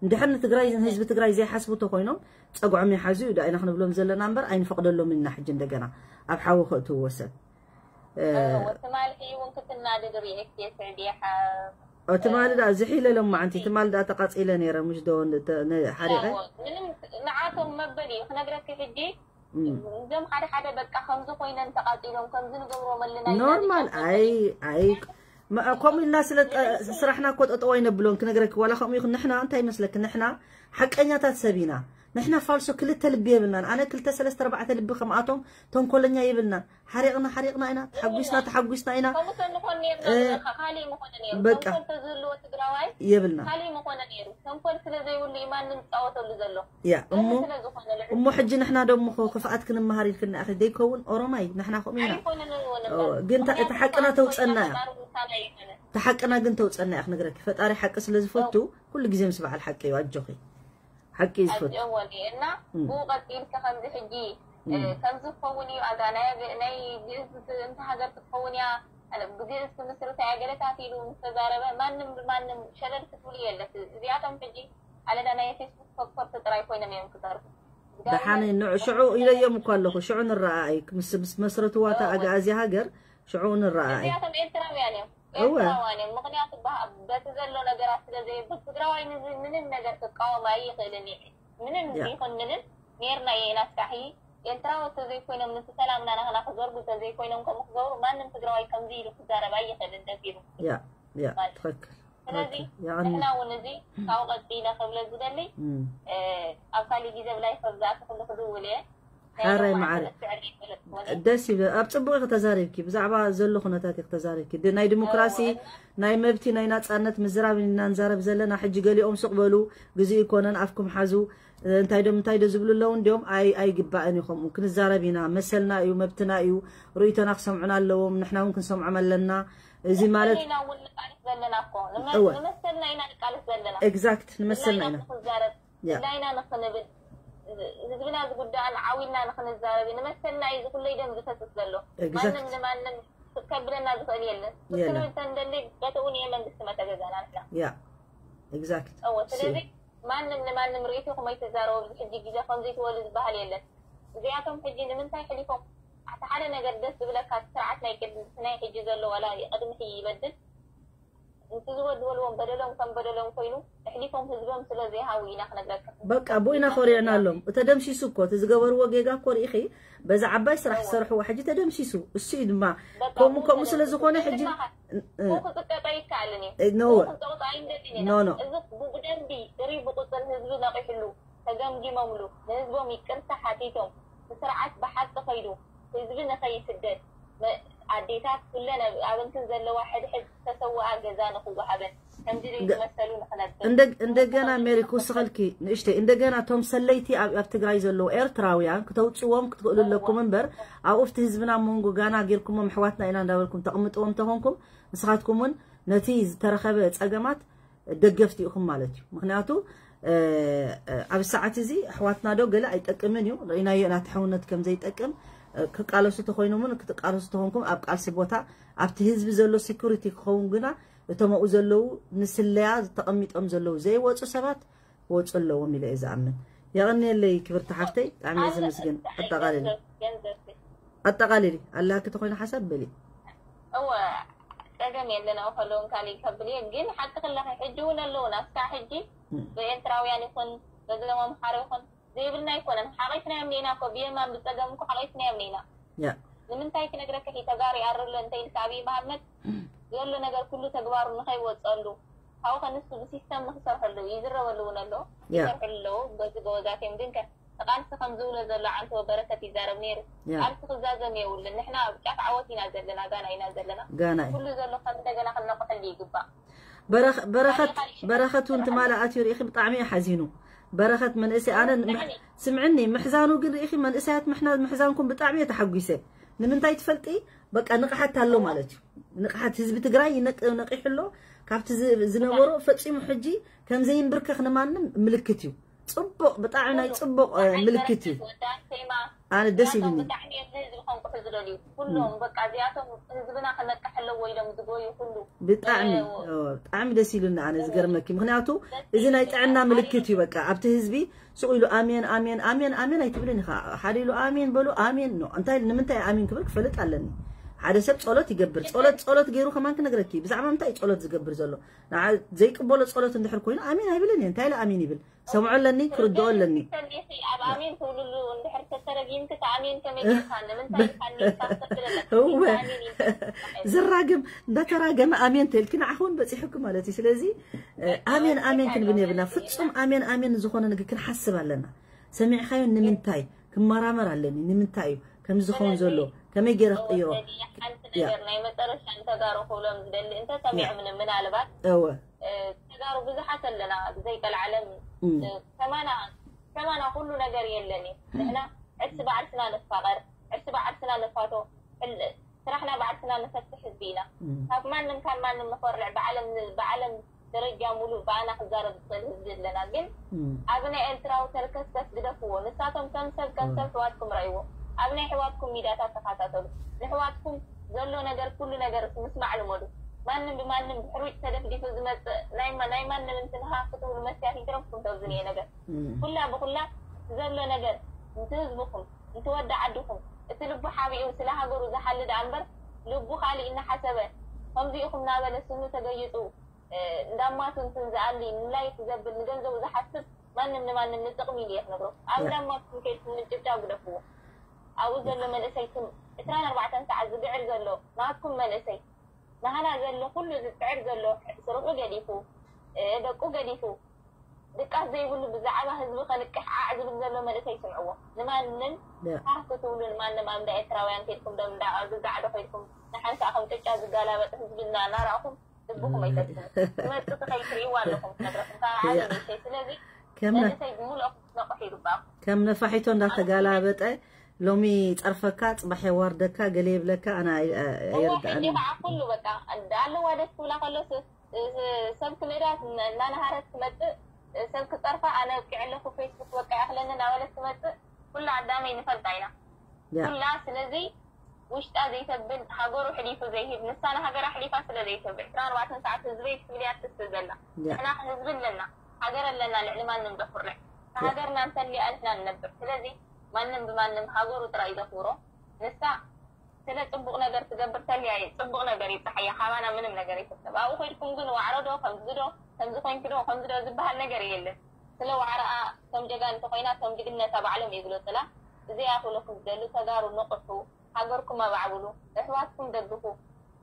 እንድሕር ንትግራይ ንህዝቢ ትግራይ ዘይሓስቡ ተኮይኖም ፀጉዖም ይሓዙ እዩ ዳኢና ክንብሎም ዘለና እምበር ኣይንፈቅደሎም ኢና ሕጂ እንደገና ኣብ ሓዊ ከእትውዎ ሰብ ትማሊ ሕጂ እውን ክትናደድ ርኤክ የስዕድ ይሓ ትማሊ ዳ ዝሒለ ሎማዓንቲ ትማሊ ዳ ተቃፂለ ነይረ ምሽ ዶ ሓሪቀ ምንም ንዓቶም መበል እዩ ክነግረኪ ሕጂ እዞም ሓደ ሓደ በቃ ከምዚ ኮይነን ተቃፂሎም ከምዚ ንገብሮም ኣለና ኖርማል ኣይ ኣይ ከምኡ ኢልና ስለ ስራሕና እኮ ጠጠው ኣይነብሎን ክነግረኪ ዋላ ከምኡ ይኹን ንሕና እንታይ ይመስለኪ ንሕና ሓቀኛታት ሰብ ኢና ንሕና ፋልሶ ክልተ ልቢ የብልናን ኣነ ክልተ ሰለስተ ኣርባዕተ ልቢ ከምኣቶም ተንኮለኛ የብልናን ሓሪቕና ሓሪቕና ኢና ተሓጒስና ተሓጒስና ኢና ከምኡ ተንኾን ነርና እ፣ ዝበልካ ካሊእ ምኾነ ነይሩ በቃ። ተንኮል ተዝህልዎ ትግራዋይ የብልና ካሊእ ምኾነ ነይሩ ተንኮል ስለ ዘይብሉ እዩ ማንም ዝፃወተሉ ዘሎ ያ እሞ ከምኡ ስለ ዝኾነ ልዕሊ እሞ ሕጂ ንሕና ደሞ ኸ ክፍኣት ክንመሃር ኢልክና ኢኺ ደይከውን ኦሮማይ ንሕና ከምኡ ኢና ኣይኮነን እውን ኦ፣ ግን እታ- እታ ሓቅና ተውፀና እያ ምሳና ኣይኮነን እታ ሓቅና ግን ተውፀና እያ ክነግረኪ ፈጣሪ ሓቂ ስለ ዝፈቱ ኩሉ ግዜ ምስ በዓል ሓቂ እዩ ኣጆኺ ሓቂ እዩ ዝፈቱ ኣዚኦም ወኒ እና እም። ብኡ ቀፂልካ ከምዚ ሕጂ እም። ከምዚ ክኸውን እዩ ኣጋ ናይ ኣበ- ናይ ግእዝ እንተ ሃገር ክትኸውን እያ ግእዝ ክምስርታ እያ ገለታት ኢሉ ምስ ተዛረበ ማንም ብማንም ሸለል ክትብሉ የለት እዚኣቶም ሕጂ ኣለዳ ናይ ፌስቡክ ፈኮርቲ ጥራይ ኮይኖም እዮም ክተርፉ። ደሓን ንዕ ሽዑ ኢለዮም እኮ ኣለኹ። ሽዑ ንረኣኣይ ምስ ምስ መስረትዋ እታ ኣግኣዝያ ሃገር ሽዑ ንረኣኣይ። እዚኣቶም ኤርትራውያን እዮም። እወ። ኤርትራውያን እዮም። ምኽንያቱ በ- በቲ ዘሎ ነገራት ስለ ዘይብል ትግራዋይ ንዚ ምንም ነገር ክቃወም ኣይኽእልን እዩ። ምንም ያ። ይኹን ምንም ኔርና ኢና እስካሒ ኤርትራዊ ተዘይኮይኖም ነቲ ሰላምና ናህና ክዘርጉ ተዘይኮይኖም ከምኡ ክገብሩ ማንም ትግራዋይ ከምዚ ኢሉ ክዛረብ ኣይኽእልን ደፊሩ። ያ ያ ማለት ትኽክል ስለዚ ትኽክል። የቐኒ ንሕና እውን እዚ ካብኡ ቀፂለ ክብለ ዝደሊ እም። እ፣ ኣብ ካሊእ ግዜ ብላይ ከብዛእቲ ኩሉ ክድውል እየ። ናይ ሓራይ ሎማዓንቲ መዓረ ረስዐ ዘይፈልጥ ወለ ደስ ይብል። ኣብ ጽቡቕ ኢኺ ተዛሪብኪ፣ ብዛዕባ ዘሎ ኩነታት ኢኺ ተዛሪብኪ። ድ- ናይ ዲሞክራሲ እወ፣ ናይ መብቲ ናይ ናጻነት ምዝራብ ኢና ንዛረብ ዘለና። ሕጂ ገሊኦም ስቕ በሉ፣ ግዜ ይኮነን ኣፍኩም ሓዙ፣ እንታይ ዶ እንታይ ዶ ዝብሉ ኣለዉ። እንዲኦም ኣይ ኣይግባእን እዩ። ከምኡ ክንዛረብ ኢና፣ መሰልና እዩ፣ መብትና እዩ። ርእይቶና ክሰምዑና ኣለዎም፣ ንሕና እውን ክንሰምዖም ኣለና። እዚ ማለት ኢና እውን ንቃለስ ዘለና እኮ ንመ- እወ። ንመሰልና ኢና ንቃለስ ዘለና። ኤግዛክት ንመሰልና ብላይና ኢና። ንኽዛረብ ያ ብላይና ንኽንብል ህዝብና ዝጉዳእን ዓዊልና ንኽንዛረብ እዩ። ንመሰልና እዩ ዝኩለይ ደም ዝፈስስ ዘሎ። ኤግዛክት ማንም ንማንም ከብለና ዝኽእል የለን። የለን። ክንብል ተንደሊ በተውን እየ መንግስቲ መተገዛና ንሕና ያ ኤግዛክት እወ ስለዚ ማንም ንማንም ርእይቶኹም ኣይትዛረቡ። ኣብዚ ሕጂ ግዜ ከምዚ ትበሉ ዝበሃል የለን። እዚኣቶም ሕጂ ንምንታይ ሕሊፎም ኣቲ ሓደ ነገር ደስ ዝብለካ እቲ ስርዓት ናይ ቅድሚ ናይ ሕጂ ዘሎ ዋላ ቅድሚ ሕጂ ይበድል እቲ ዝበድበልዎም በደሎም ከም በደሎም ኮይኑ ኣሕሊፎም ህዝቦም ስለ ዘይሃቡ ኢና ክነግረካ። በቃ ብኡ ኢና ኮሪዕናሎም። ተደምሲሱ እኮ እቲ ዝገበርዎ ጌጋ እኮ ርኢኺ፣ በዛ ዓባይ ስራሕ ዝሰርሕዎ ሕጂ ተደምሲሱ። እሱ እዩ ድማ በቃ ከምኡ ብኡ ከምኡ ስለ ተደምሲሱ ዝኾነ ሕጂ ድማ እ- እ- ብኡ ክጥቀጦ ኣይከኣልን እዩ። እ፣ ኖ ብኡ ወ- ክጸቕጦ ኣይንደልን ኢና። ኖ ኖ እዚ ብደንቢ ርኢ ብቁጽር ህዝቢ ነቒሕሉ ተገምጊሞምሉ ንህዝቦም ይቅርታ ሓቲቶም እቲ ስርዓት ብሓቂ ከይዱ ህዝቢ ንኸይስደድ መ- ኣዴታት ኩለን ኣብ- ኣብ እንትን ዘለዋ ሕድሕድ ዝተሰወኣ ገዛ ንኽወሃበን ከምዚ ዘይዝመሰሉ ንኽነብር እንደ- እንደገና ሜሪ ክውስኸልኪ ንእሽተይ፣ እንደገና እቶም ሰለይቲ ኣብ ኣብ ትግራይ ዘለዉ ኤርትራውያን ክተውፅዎም ክትኽእሉ ኣለኩም እምበር ኣብኡ ኣብቲ ህዝብና መንጎ ጋና ጌርኩሞም ኣሕዋትና ኢና እንዳበልኩም ተቕምጥዎም እንተኾንኩም ንስኻትኩም እውን ነቲ ዝተረኸበ ፀገማት ደገፍቲ ኢኹም ማለት እዩ። ምክንያቱ እ፣ እ፣ ኣብ ሰዓት እዚ ኣሕዋትና ዶ ገለ ኣይጠቅምን እዩ ርኢናዮ ኢና እቲ ሕውነት ከም ዘይጠቅም እ፣ ክቃለሱ ተኮይኖምን ክትቃለሱ ተኾንኩም ኣብ ቃልሲ ቦታ ኣብቲ ህዝቢ ዘሎ ሴኩሪቲ ክኸውን ግና እቶም ኣብኡ ዘለዉ ንስለያ ተቐሚጦም ዘለዉ ዘይወፁ ሰባት ክወፁ ኣለዎም ኢለ እየ ዝኣምን። የቐንየለይ ክብርቲ ሓፍተይ ብጣዕሚ እየ ዘመስግን። ኣጠቓልሊ ገንዘብ ኣጠቓልሊ ኣለሃኪ ተኮይኑ ሓሳብ በሊ። እወ ጸገም የለን ኣብ ከለውን ካሊእ ከብል እየ ግን ሓቂ ክለኺ ሕጂ እውን ኣለውና እስካዕ ሕጂ ብኤርትራውያን ይኹን በዞም ኣምሓራ ይኹን ዘይብልና ኣይኮነን ሓቒፍናዮም ኔና እኮ ብየማን ብጸገም እኮ ሓቒፍናዮም ኔና ያ ንምንታይ ክነግረካ ሒ ተጋሩ ይኣርሎ እንተ ኢልካ ኣብይ መሃመድ ዘሎ ነገር ኩሉ ተግባሩ ንኸይወፀሉ ካብኡ ከንሱ ብሲስተም ንክሰርሐሉ ይዝረበሉ እውን ኣሎ ያ ይሰርሕሉ ኣለዉ በዚ ጎበዛት እዮም ግን ከ ንቃልሲ ከም ዝብሎ ዘሎ ዓንተወ በረከት ይዛረብ ነይሩ ያ ቃልሲ ክዛዘም የብሉን ንሕና ኣብ ጫፍ ዓወት ኢና ዘለና ጋና ኢና ዘለና ጋና እዩ ኩሉ ዘሎ ከም እንደገና ክነቑሐሉ ይግባእ በረኸ- በረኸት በረኸት እውን ትማሊ ኣትዩ ርኢኺ ብጣዕሚ እዩ ሓዚኑ በረኸት መንእሰይ ኣነ ምሕ- ስምዕኒ ምሕዛኑ ግን ርኢኺ መንእሰያት ምሕና ምሕዛንኩም ብጣዕሚ እየ ተሓጒሰ ንምንታይ ትፈልጢ በቃ ንቕሓት ኣሎ ማለት እዩ ንቕሓት ህዝቢ ትግራይ ይነቅ- ነቂሑ ኣሎ ካብቲ ዝ- ዝነበሮ ፈፂሙ ሕጂ ከም ዘይንብርከኽ ንማንም ምልክት እዩ ፅቡቕ ብጣዕሚ ናይ ፅቡቕ እ፣ ምልክት እዩ ኣነ ደስ ኢሉኒ ብጣዕሚ እዮም ንህዝቢ ከንቅሑ ዝደልዩ ኩሎም በቃ እዚኣቶም ህዝብና ክነቅሕ ኣለዎ ኢሎም ዝጎዩ ኩሉ ብጣዕሚ ኦ፣ ብጣዕሚ ደስ ኢሉኒ ኣነ ዝገርመኪ ምክንያቱ እዚ ናይ ጥዕና ምልክት እዩ በቃ ኣብቲ ህዝቢ ሱቕ ኢሉ ኣሜን ኣሜን ኣሜን ኣሜን ኣይትብልን ኢኻ ሓደ ኢሉ ኣሜን በሉ ኣሜን ኖ እንታይ ንምንታይ ኣሜን ክብል ክፈልጥ ኣለኒ ሓደ ሰብ ጸሎት ይገብር ጸሎት ጸሎት ገይሩ ከማን ክነግረኪ ብዛዕባ ምንታይ እዩ ጸሎት ዝገብር ዘሎ ንዓ ዘይቅበሎ ጸሎት እንድሕር ኮይኑ ኣሜን ኣይብልን እየ እንታይ ኢለ ኣሜን ይብል ሰምዖ ኣለኒ ክርድኦ ኣለኒ ሰሚኺ ኣብ ኣሜን ትብልሉ እንድሕር ተተረጊምኪ እቲ ኣሜን ከመይ ጌርካ ንምንታይ ኢልካ ኔርካ ክትብል ኣለካ እወ ኣሜን ኢልካ ዝራገም እንዳተራገመ ኣሜን ተልኪ ንዓኹውን በፂሑኪ ማለት እዩ ስለዚ እ፣ ኣሜን ኣሜን ክንብል የብልና ፍፁም ኣሜን ኣሜን ዝኾነ ነገር ክንሓስብ ኣለና ሰሚዕኻዮ ንምንታይ ክመራመር ኣለኒ ንምንታይ እዩ ከምዚ ዝኸውን ዘሎ ከመይ ገይረ ክቅይሮ ሓንቲ ነገር ናይ መጨረሻ ንተጋሩ ክብሎም ዝደሊ እንተሰሚዖም ምናልባት እወ ተጋሩ ብዙሓት ኣለና ብዘይ ቀልዓለም እም፣ ከማና ከማና ኩሉ ነገር የለን እዩ ንሕና ዕርሲ ባዕልትና ንፋቐር ዕርሲ ባዕልትና ንፋቶ ሕል- ስራሕና ባዕልትና ንፈትሕ ህዝቢ ኢና እም፣ ካብ ማንም ካብ ማንም ንኾርዕ ብዓለም ብዓለም ደረጃ ሙሉእ ብኣና ክዛረብ ዝኽእል ህዝቢ ኣለና ግን እም፣ ኣብ ናይ ኤርትራዊ ተርከስከስ ግደፍዎ ንሳቶም ከም ሰብ ከም ሰብ ሕዋትኩም ረእይዎ ኣብ ናይ ሕዋትኩም ሚዳታት ተኸታተሉ ንሕዋትኩም ዘሎ ነገር ኩሉ ነገር ምስማዕ ልመዱ ማንም ብማንም ብሕሩጭ ተደፍዲፉ ዝመፅእ ናይ ማ- ናይ ማንም እንትን ሃ ክትብሉ መስያ ይግረምኩም ተብዝን እየ ነገር ኩላ ብኩላ ዘሎ ነገር እንተ ህዝብኩም እንተ ወዲ ዓድኹም እቲ ልቡ ሓቢኡ ስለ ሃገሩ ዝሓሊ ደኣ እምበር ልቡ ካሊእ እናሓሰበ ከምዚኢኹም ናበለ ስኑ ተገይፁ እንዳማቱ እንትን ዝኣሊ ንላይክ ዘብል ንገንዘቡ ዝሓስብ ማንም ንማንም ንጥቕሚ ኢሉ እየ ክነግሮ ኣብ እንዳማትኩም ከይድኩም ምጭብጫብ ግደፍዎ ኣብኡ ዘሎ መንእሰይ ትም ዕስራን ኣርባዕተን ሰዓት ዝግዕር ዘሎ ናትኩም መንእሰይ ናህና ዘሎ ኩሉ ዝፅዕር ዘሎ ስርሑ ገዲፉ ደቁ ገዲፉ ድቃስ ዘይብሉ ብዛዕባ ህዝቢ ከልቅሕ ዓዕ ዝብል ዘሎ መንእሰይ ስምዕዎ ንማንም ሃህ ክትብሉ ንማንም ኣብ እንዳ ኤርትራውያን ከድኩም ደም እንዳ ግዛዕ ዶ ከድኩም ንሓንሳእ ከም ቅጫ ዝጋላበጥ ህዝቢ እና እናረእኹም ልብኹም ኣይተድኩም ትመፅእ ትኸይ ትርእይዋ ኣለኹም ክነግረኩም ካብ ዓሊ ንእሽተይ ስለዚ ከም ነ- መንእሰይ ብምልኦ ክትነቕሑ ይግባእኩም ከም ነፋሒቶ እንዳተጋላበጠ ሎሚ ጸርፈካ ጽባሕ የዋርደካ ገለ ይብለካ ኣና እዎ ኣይርዳእን ሕጂ ከዓ ኩሉ በቃ ኣለዋ ደስ ክብላ ከሎ ስ- ስ- ሰብ ክልእዳ እናነሃረት ትመፅእ ሰብ ክፀርፋ ኣነ ኣብቂዐ ኣለኩ ፌስቡክ በቃ ይኣክለኒ እናበለት ትመፅእ ኩሉ ኣዳመይ ንፈልጣ ኢና ያ ኩላ ስለዚ ውሽጣ ዘይተብል ሃገሩ ሕሊፉ ዘይህብ ንሳ ንሃገራ ሕሊፋ ስለ ዘይትህብ ዕስራን ኣርባዕተን ሰዓት ህዝበይ ትብል እያ ትስእ ዘላ ያ ንሕና ህዝቢ ኣለና ሃገር ኣለና ልዕሊ ማንም ዘኩርዕ ሃገርና እንተልያ ንሕና ንነብር ስለዚ ማንም ብማንም ሃገሩ ጥራይ ዘኽብሮ ንሳ ስለ ጽቡቕ ነገር ትገብር ተልያ እየ ጽቡቕ ነገር ይብጽሓያ ካባና ምንም ነገር ይፍተብ ኣብኡ ኮይድኩም ግን ዋዕሮ ዶ ከምዚ ዶ ከምዚ ኮይንኪ ዶ ከምዚ ዶ ዝበሃል ነገር የለን ስለ ዋዕሮኣ ከም ጀጋን እንተኮይና ከም ጅግነታ ባዕሎም ይግለጹላ እዚኣ ክብለኩም ዝደሊ ተጋሩ ንቕሑ ሃገርኩም ኣባዕብሉ፣ ኣሕዋትኩም ደግፉ፣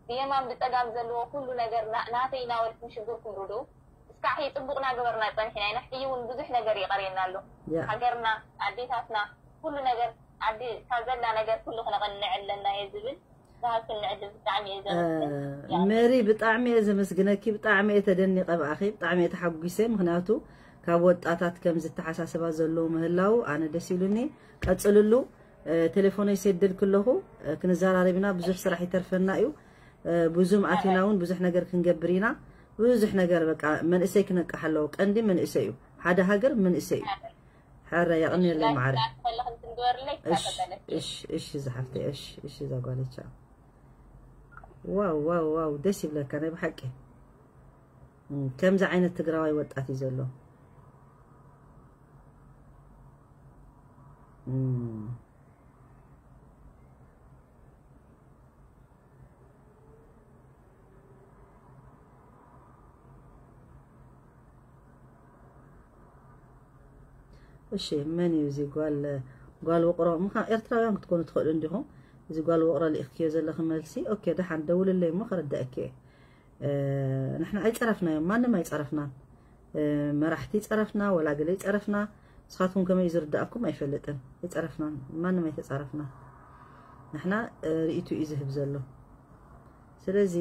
ብየማን ብጸጋም ዘለዎ ኩሉ ነገር ናተይ እናበልኩም ሽግርኩም ርድኡ። እስካዕ ሕጂ ጽቡቕ እናገበርና ጸኒሕና ኢና፣ ሕጂ እውን ብዙሕ ነገር ይቐርየና ኣሎ። ሃገርና፣ ኣዴታትና፣ ኩሉ ነገር ዓዲ እታ ዘላ ነገር ኩሉ ክነቕንዕ ኣለና እየ ዝብል። ዝሃብክኒ ዕድል ብጣዕሚ እየ ዘመስግን። ሜሪ ብጣዕሚ እየ ዘመስግነኪ፣ ብጣዕሚ እየ ተደኒቐ ብኣኺ፣ ብጣዕሚ እየ ተሓጒሰ። ምኽንያቱ ካብ ወጣታት ከምዚ ኣተሓሳስባ ዘለዎ ምህላው ኣነ ደስ ኢሉኒ። ቀጽልሉ። ቴሌፎነይ ሰድልክ ኣለኹ ክንዘራረብ ኢና። ብዙሕ ስራሕ ይተርፈና እዩ። ብዙም ኣቲና እውን ብዙሕ ነገር ክንገብር ኢና። ብዙሕ ነገር በቃ መንእሰይ ክነቅሕ ኣለዎ። ቀንዲ መንእሰይ እዩ። ሓደ ሃገር መንእሰይ እዩ። ሕረ የቕንየለይ ማዕረ። እሺ ዝሓፍተይ እሺ እሺ ዛጓለቻ ዋው ዋው ዋው ደስ ይብለካ ናይ ብሓቂ። ከምዚ ዓይነት ትግራዋይ ወጣት እዩ ዘሎ። እሺ መን እዩ እዚ ጓል ጓል ውቕሮ ምኻ ኤርትራውያን ክትኮኑ ትኽእሉ እንዲኹም። እዚ ጓል ውቕሮ ልኢኽክዮ ዘለኺ መልሲ ኦኬ ደሓን ደውልለይ እሞ ከረዳእኪ እየ። ንሕና ኣይፀረፍናዮም ማንም ኣይፀረፍናን። መራሕቲ ይፀረፍና ወላ ገለ ይፀረፍና። ንስኻትኩም ከመይ ዝርዳእኩም ኣይፈልጥን። ኣይፀረፍናን ማንም ኣይተፃረፍና። ንሕና ርእይቱ እዩ ዝህብ ዘሎ። ስለዚ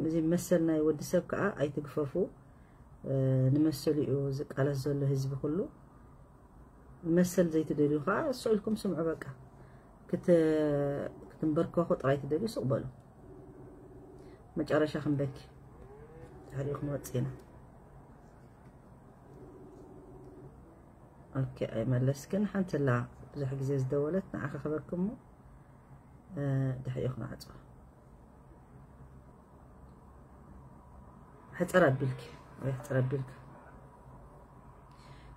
እዚ መሰል ናይ ወዲ ሰብ ከዓ ኣይትግፈፉ። ንመሰሉ እዩ ዝቃለስ ዘሎ ህዝቢ ኩሉ። መሰል ዘይትደልዩ ከዓ ስቕ ኢልኩም ስምዑ በቃ። ክትንበርከኹ ጥራይ ትደልዩ ስቕ በሉ። መጨረሻ ክንበኪ ድሕሪኡ ክንወፅእ ኢና። ኦኬ ኣይመለስክን ሓንቲ ላ ብዙሕ ግዜ ዝደወለት ንዓኻ ክበኪ እሞ ድሕሪኡ ክንዓፅዋ። ሕፅር ኣቢልኪ ወይ ሕፅር ኣቢልካ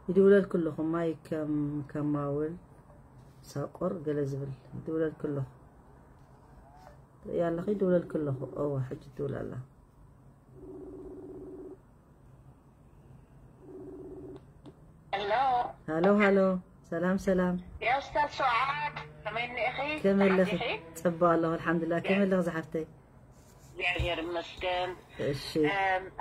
ይድውለልኪ ኣለኹ ማይ ከም ከማውል ሳቆር ገለ ዝብል ይድውለልኪ ኣለኹ ትርእያ ኣለኺ ይድውለልኪ ኣለኹ እወ ሕጂ ትድውል ኣላ ሄሎ ሃሎ ሃሎ ሰላም ሰላም የስተር ሱዓድ ከመይ እኒኢኺ ከመይ ኣለኺ ፅቡቅ ኣለኹ ኣልሓምዱላ ከመይ ኣለኺ ዝሓፍተይ እግዚኣብሔር ይመስገን። እሺ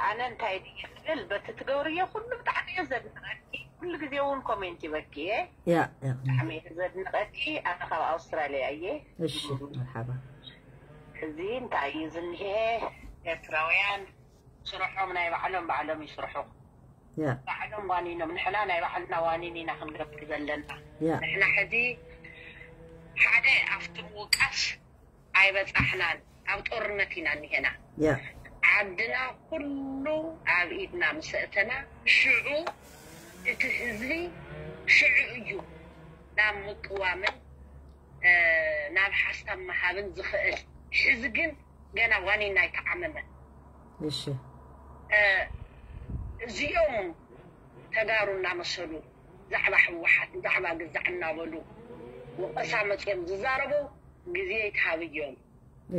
ኣነ እንታይ ድየ ክብል በቲ ትገብርዮ ኩሉ ብጣዕሚ እየ ዘድንቀኪ። ኩሉ ግዜ እውን ኮሜንት ይበኪ እየ። ያ ያ ብጣዕሚ እየ ዘድንቀኪ። ኣነ ካብ ኣውስትራልያ እየ። እሺ መርሓባ። እዚ እንታይ እዩ ዝኒሄ? ኤርትራውያን ስርሖም ናይ ባዕሎም ባዕሎም ይስርሑ። ያ ባዕሎም ዋኒኖም ንሕና ናይ ባዕልና ዋኒን ኢና ክንገብር ዘለና። ያ ንሕና ሕዚ ሓደ ኣብቲ ምውቃስ ኣይበጻሕናን ኣብ ጦርነት ኢና እኒሄና ያ ዓድና ኩሉ ኣብ ኢድና ምስ ኣእተና ሽዑ እቲ ህዝቢ ሽዑ እዩ ናብ ምቅዋምን ናብ ሓሳብ ምሃብን ዝኽእል ሕዚ ግን ገና ዋኒና ኣይተዓመመን። እሺ እዚኦም ተጋሩ እናመሰሉ ዛዕባ ህወሓት ዛዕባ ግዛዕ እናበሉ ወቀሳ መፅኦም ዝዛረቡ ግዜ ይትሃብዮም።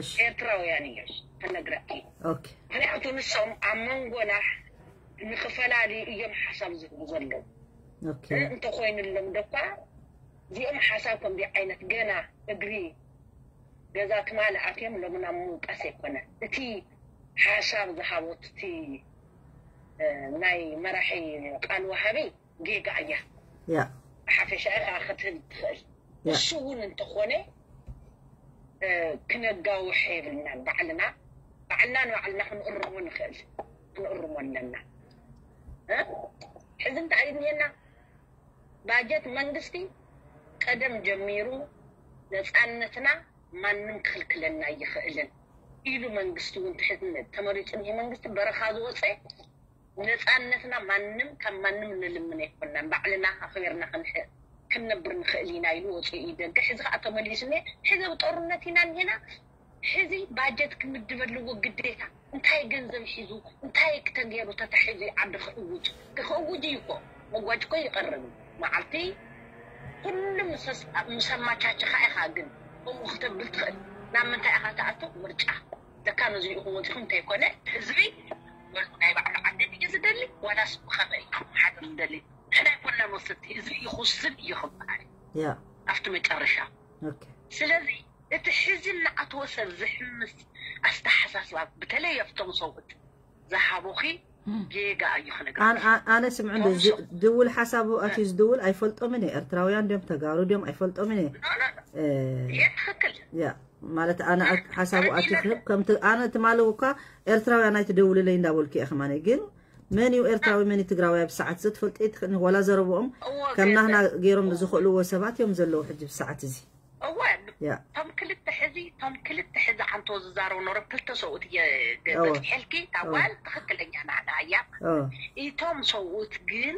እሺ ኤርትራውያን እዮም ከነግረኪ። ኦኬ ምክንያቱ ንሶም ኣብ መንጎና ንክፈላልዩ እዮም ሓሳብ ዝህቡ ዘለዉ። ኦኬ እንተኮይኑሎም ደኳ እዚኦም ሓሳብ ከምዚ ዓይነት ገና እግሪ ገዛ ትማሊ ኣትዮም ሎሚ ናብ ምውቃስ ኣይኮነ። እቲ ሓሳብ ዝሃቦት እቲ ናይ መራሒ ቃል ወሃቢ ጌጋ እያ። ያ ብሓፈሻ ኢኻ ክትህብ ትኽእል። ያ እሱ እውን እንተኾነ ክነጋውሕ የብልናን። ባዕልና ባዕልና ንባዕልና ክንእርሞ ንኽእል፣ ክንእርሞ ኣለና። ሕዚ እንታይ እዩ እኒሀና? ባጀት መንግስቲ ቀደም ጀሚሩ ነፃነትና ማንም ክኽልክለና ኣይኽእልን ኢሉ መንግስቲ እውን ትሕዝነት ተመሪፁ እኒሀ። መንግስቲ በረኻ ዝወፀ ነፃነትና ማንም ካብ ማንም ንልምን ኣይኮናን፣ ባዕልና ኣኽቢርና ክንነብር ንኽእል ኢና ኢሉ ወፂኡ እዩ ደገ። ሕዚ ከዓ ተመሊሱ እኒሀ። ሕዚ ኣብ ጦርነት ኢና እኒሄና። ሕዚ ባጀት ክምድብ ኣለዎ ግዴታ። እንታይ ገንዘብ ሒዙ እንታይ ክተገይሩ ተታሒዙ ዓዲ ክእውጅ ክእውጅ እዩ እኮ። መጓጅ እኮ ይቐርብ እዩ። መዓልቲ ኩሉ ምስ ኣመቻቸኻ ኢኻ ግን ከምኡ ክተብል ትኽእል። ናብ ምንታይ ኢኻ ትኣቱ? ምርጫ። ደካ ነዚ ኢኹም ወፂኹም እንተይኮነ ህዝቢ ወሉ ናይ ባዕሉ ዓዲ ድዩ ዝደሊ ዋላስ ብኸመይ እዩ ክመሓደር ዝደሊ? ንሕና ኣይኮንና ንወስድ፣ ህዝቢ ይኹስን እዩ ክበሃል ያ ኣብቲ መጨረሻ። ኦኬ ስለዚ እቲ ሕዚ እናኣተወ ሰብ ዝሕምስ ኣስተሓሳስባ በተለይ ኣብቶም ሰብኡት ዝሃቡኺ ጌጋ እዩ ክነግር። ኣነ ስምዕ እንዶ ድውል ሓሳቡ ኣትዩ ዝድውል ኣይፈልጦምን እየ። ኤርትራውያን ድዮም ተጋሩ ድዮም ኣይፈልጦምን እየ። ይሄ ትኽክል ያ ማለት ኣነ ሓሳቡ ኣትዩ ክህብ ከምቲ ኣነ ትማሊ እኳ ኤርትራውያን ኣይትደውልለይ እንዳበልኩ እየ። ከማነ ግን መን እዩ ኤርትራዊ መን እዩ ትግራዊ ኣብ ሰዓት እዚ ትፈልጦ ትኽእል ወላ ዘረብኦም ከም ናህና ገይሮም ዝኽእልዎ ሰባት እዮም ዘለዉ ሕጂ ብሰዓት እዚ። እወ ያ እቶም ክልተ ሕዚ እቶም ክልተ ሕዚ ዓንቶ ዝዛረቡ ኖረ ክልተ ሰብኡት እየ እወ። በፂሐልኪ ታጓል ትኽክለኛ ናህና እያ። ኦ እቶም ሰብኡት ግን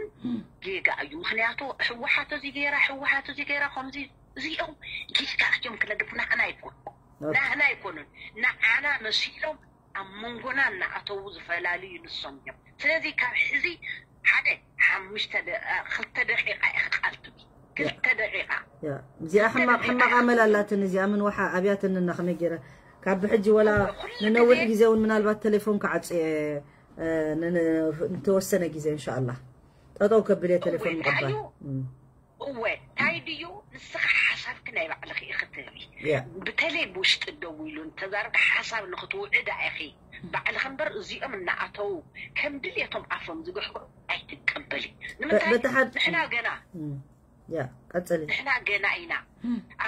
ጌጋ እዩ። ምክንያቱ ህወሓት እዚ ገይራ ህወሓት እዚ ገይራ ከምዚ እዚኦም ጌጋ እዮም ክነግር ናህና ኣይኮኑ ኦኬ። ናህና ኣይኮኑን ንዓና መሲሎም ኣብ መንጎና እናኣተዉ ዝፈላልዩ ንሶም እዮም። ስለዚ ካብ ሕዚ ሓደ ሓሙሽተ ደ- አ፣ ክልተ ደቂቃ ኢኻ ቃል ትቢ ክልተ ደቂቃ ያ እዚኣ ሕማቕ ሕማቕ ኣመል ኣላትን እዚኣ ምን ወሓ ኣብያትንና ከመይ ገይረ ካብ ብሕጂ ወላ ኩሉ ንነዊሕ ግዜ- ግዜ እውን ምናልባት ቴሌፎን ክዓፅየ እ፣ ን- ን- ንተወሰነ ግዜ እንሻኣላ ጠጠው ከብል እየ ቴሌፎን እወ፣ ምቕባል ታዩ? እም፣ እወ እንታይ ድዩ ንስኻ ሓሳብኪ ናይ ባዕልኺ ኢኺ ትህቢ ያ ብተለይ ብውሽጢ ደው ኢሉ እንተዛረብካ ሓሳብ ንክትውዕዳ ኢኺ ባዕልኺ እምበር እዚኦም እናኣተዉ ከም ድልየቶም ኣፎም ዝግሕግሑ ኣይትቀበሊ። ንምንታይ በቲ ሓድ- ንሕና ገና እም፣ ያ ቀፅሊ ንሕና ገና ኢና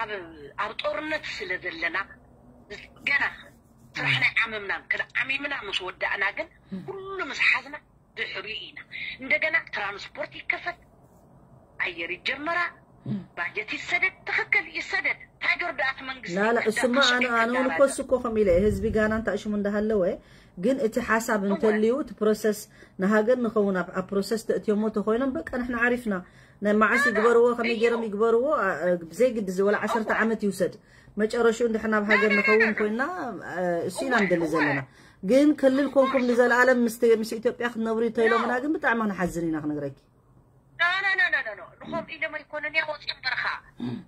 ኣብ ኣብ ጦርነት ስለ ዘለና ገና ስራሕና ዓመምናን ክዓሚምና ምስ ወዳእና ግን ኩሉ ምስ ሓዝና ድሕሪኡ ኢና። እንደገና ትራንስፖርት ይከፈት፣ ኣየር ይጀመራ፣ ባጀት ይሰደድ። ትኽክል ይሰደድ። ታይገር ደኣት መንግስቲ ላላ እሱማ ኣነ ኣነ እውን እኮ እሱ እኮ ከም ኢለ ህዝቢ ጋና እንታይ ሽሙ እንዳሃለወ ግን እቲ ሓሳብ እንተልዩ እቲ ፕሮሰስ ንሃገር ንኸውን ኣብ ኣብ ፕሮሰስ ተእትዮሞ ተኮይኖም በቃ ንሕና ዓሪፍና ናይ መዓስ ይግበርዎ ከመይ ገይሮም ይግበርዎ ኣ- ኣ- ብዘይ ግዲ እዚ ወላ ዓሰርተ ዓመት ይውሰድ መጨረሽኡ እንድሕና ኣብ ሃገር ንኸውን ኮይና እ፣ እሱ ኢና ንደሊ ዘለና ግን ክልል ኮንኩም ንዘለኣለም ምስ ምስ ኢትዮጵያ ክትነብሩ እንተኢሎምና ግን ብጣዕሚ ክንሓዝን ኢና ክነግረኪ ኖ ኖ ኖ ኖ ኖ ኖ ንኸምኡ ኢሎም ኣይኮኑን እያ ወፂኦም በረኻ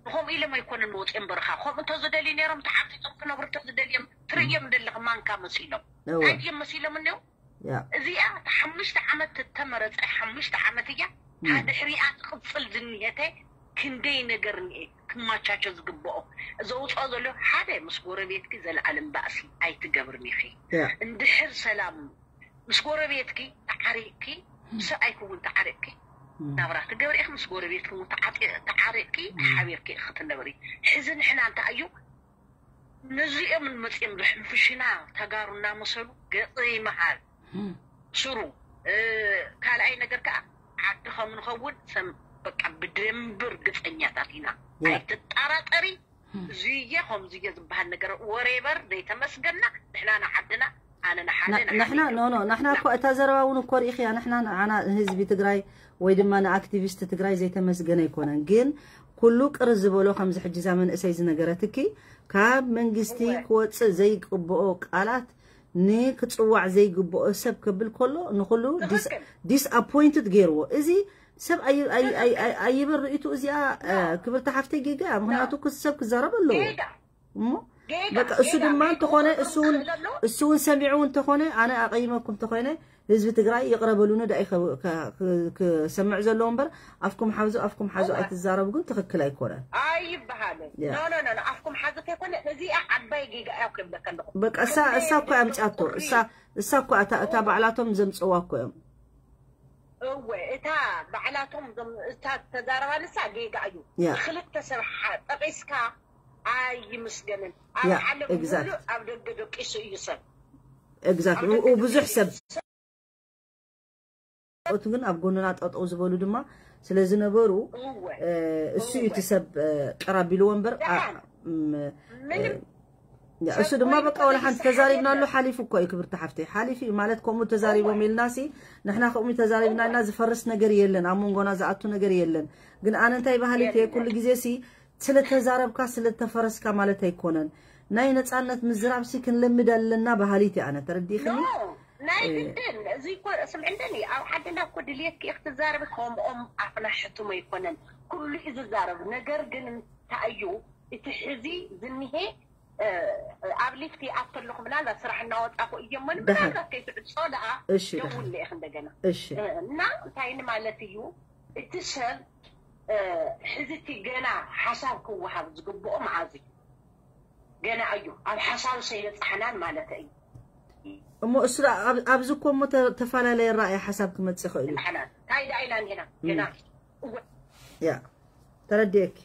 ንኸምኡ ኢሎም ኣይኮኑን ወፂኦም በረኻ ከምኡ እንተዝደልዩ ነይሮም ተዓፂፆም ክነብሩ እንተዝደልዮም ትርእዮም ደለኽ ማንካ መሲሎም እወ እንታይ ድዮም መሲሎም እኒው ያ እዚኣ እታ ሓሙሽተ ዓመት እተመረፀ ሓሙሽተ ዓመት እያ እታ ድሕሪኣ ትቕፅል ዝኒሀተ ክንደይ ነገር እኒኤ ክማቻቸ ዝግብኦ ዘውፅኦ ዘሎ ሓደ ምስ ጎረቤትኪ ዘለኣለም ባእሲ ኣይትገብርን ኢኺ ያ እንድሕር ሰላም ምስ ጎረቤትኪ ተዓሪቅኪ ምስ ሰብኣይኪ እውን ተዓሪቅኪ ናብራ ትገብሪ ኢኺ ምስ ጎረቤትኪ እውን ተዓጢ- ተዓሪቅኪ ሓቢርኪ ኢኺ ክትነብሪ ሕዚ ንሕና እንታይ እዩ ነዚኦም መፅኦም ዘሕንፍሽና ተጋሩ እናመሰሉ ገፅ ይመሃል ስሩ ካልኣይ ነገር ከዓ ዓዲ ከም ንኸውን ሰም በቃ ብደንቢ ርግፀኛታት ኢና ያ። ኣይትጠራጠሪ እዙየ ከምዙየ ዝበሃል ነገር ወሬበር ዘይተመስገና ንሕና ንዓድና ኣነ ንሓደ ንሓደ ንሕና ኖ ኖ ንሕና እኮ እታ ዘረባ እውን እኮ ርኢኽያ። ንሕና ንዓና ንህዝቢ ትግራይ ወይ ድማ ንኣክቲቪስት ትግራይ ዘይተመስገነ ኣይኮነን። ግን ኩሉ ቅር ዝበሎ ከምዚ ሕጂ እዛ መንእሰይ ዝነገረትኪ ካብ መንግስቲ ክወፅእ ዘይግብኦ ቃላት ንክፅዋዕ ዘይግብኦ ሰብ ከብል ከሎ ንኩሉ disappointed ገይርዎ። እዚ ሰብ ኣይበርኢቱ እዚኣ ክብርቲ ሓፍተይ ጌጋ እያ። ምክንያቱ ሰብ ክዛረብ ኣለዎ እሞ በቃ እሱ ድማ እንተኾነ እሱ እውን ሰሚዑ እንተኾነ ኣነ ኣቐይመኩም እንተኾነ ህዝቢ ትግራይ ይቕረ በሉኒ ዳኢ ክሰምዕ ዘለዎ እምበር ኣፍኩም ሓዙ ኣፍኩም ሓዙ ኣይትዛረቡ ግን ትኽክል ኣይኮነን። ኣይበሃልን። ኖ ኖ ኖ ኣፍኩም ሓዙ ከይኮነ እዚኣ ዓባይ ጌጋ እያ ክብለካ ኣለኹ። በቃ እሳ እሳ እኮ ኣምጫቶ እሳ እሳ እኮ እታ ባዕላቶም ዘምፅዋ እኮ እዮም። እወ እታ ባዕላቶም እታ ተዛረባ ንሳ ጌጋ እዩ። ክልተ ሰብ ጠቂስካ ኣይምስገንን። ኣብ ዓለም ሙሉእ ኣብ ደገ ደቂሱ እዩ ሰብ። ኤግዛክት ብዙሕ ሰብ ኦቱ ግን ኣብ ጎንና ጠጠው ዝበሉ ድማ ስለ ዝነበሩ እሱ እዩ እቲ ሰብ ቅር ኣቢልዎ እምበር እሱ ድማ በቃ ወላ ሓንቲ ተዛሪብናሉ ሓሊፉ እኮ እዩ ክብርቲ ሓፍተይ ሓሊፉ እዩ ማለት ከምኡ ተዛሪቦም ኢልና ሲ ንሕና ከምኡ ተዛሪብና ኢልና ዝፈርስ ነገር የለን ኣብ መንጎና ዝኣቱ ነገር የለን ግን ኣነ እንታይ ባህሊት እየ ኩሉ ግዜ ሲ ስለተዛረብካ ስለተፈረስካ ማለት ኣይኮነን ናይ ነፃነት ምዝራብ ሲ ክንለምድ ኣለና ባህሊት እየ ኣነ ተረዲእክኒ ናይ ግድን እዚ እኮ ስምዕንደኒ ኣብ ዓድና እኮ ድልየትኪ ክትዛረቢ ከምኦም ኣፍና ሕቱም ኣይኮነን ኩሉ እዩ ዝዛረብ ነገር ግን እንታይ እዩ እቲ ሕዚ ዝኒሄ ኣብ ሊፍት ይኣቱ ኣለኹ ምናልባት ስራሕ እናወፃኹ እየሞ ምናልባት ከይትዕፆ ደኣ ደውል ኢኽ እንደገና እና እንታይ ማለት እዩ እቲ ሰብ ሕዚ እቲ ገና ሓሳብ ክወሃብ ዝግብኦ መዓዝ እዩ ገና እዩ ኣብ ሓሳብ ሰይበፃሕናን ማለት እዩ እሞ እሱ ኣብዚ እኮ እሞ ተፈላለየ ራእይ ሓሳብ ክመፅእ ይኽእል እዩ እንታይ ደኣ ኢና እንዲና ገና ያ ተረዲኤኪ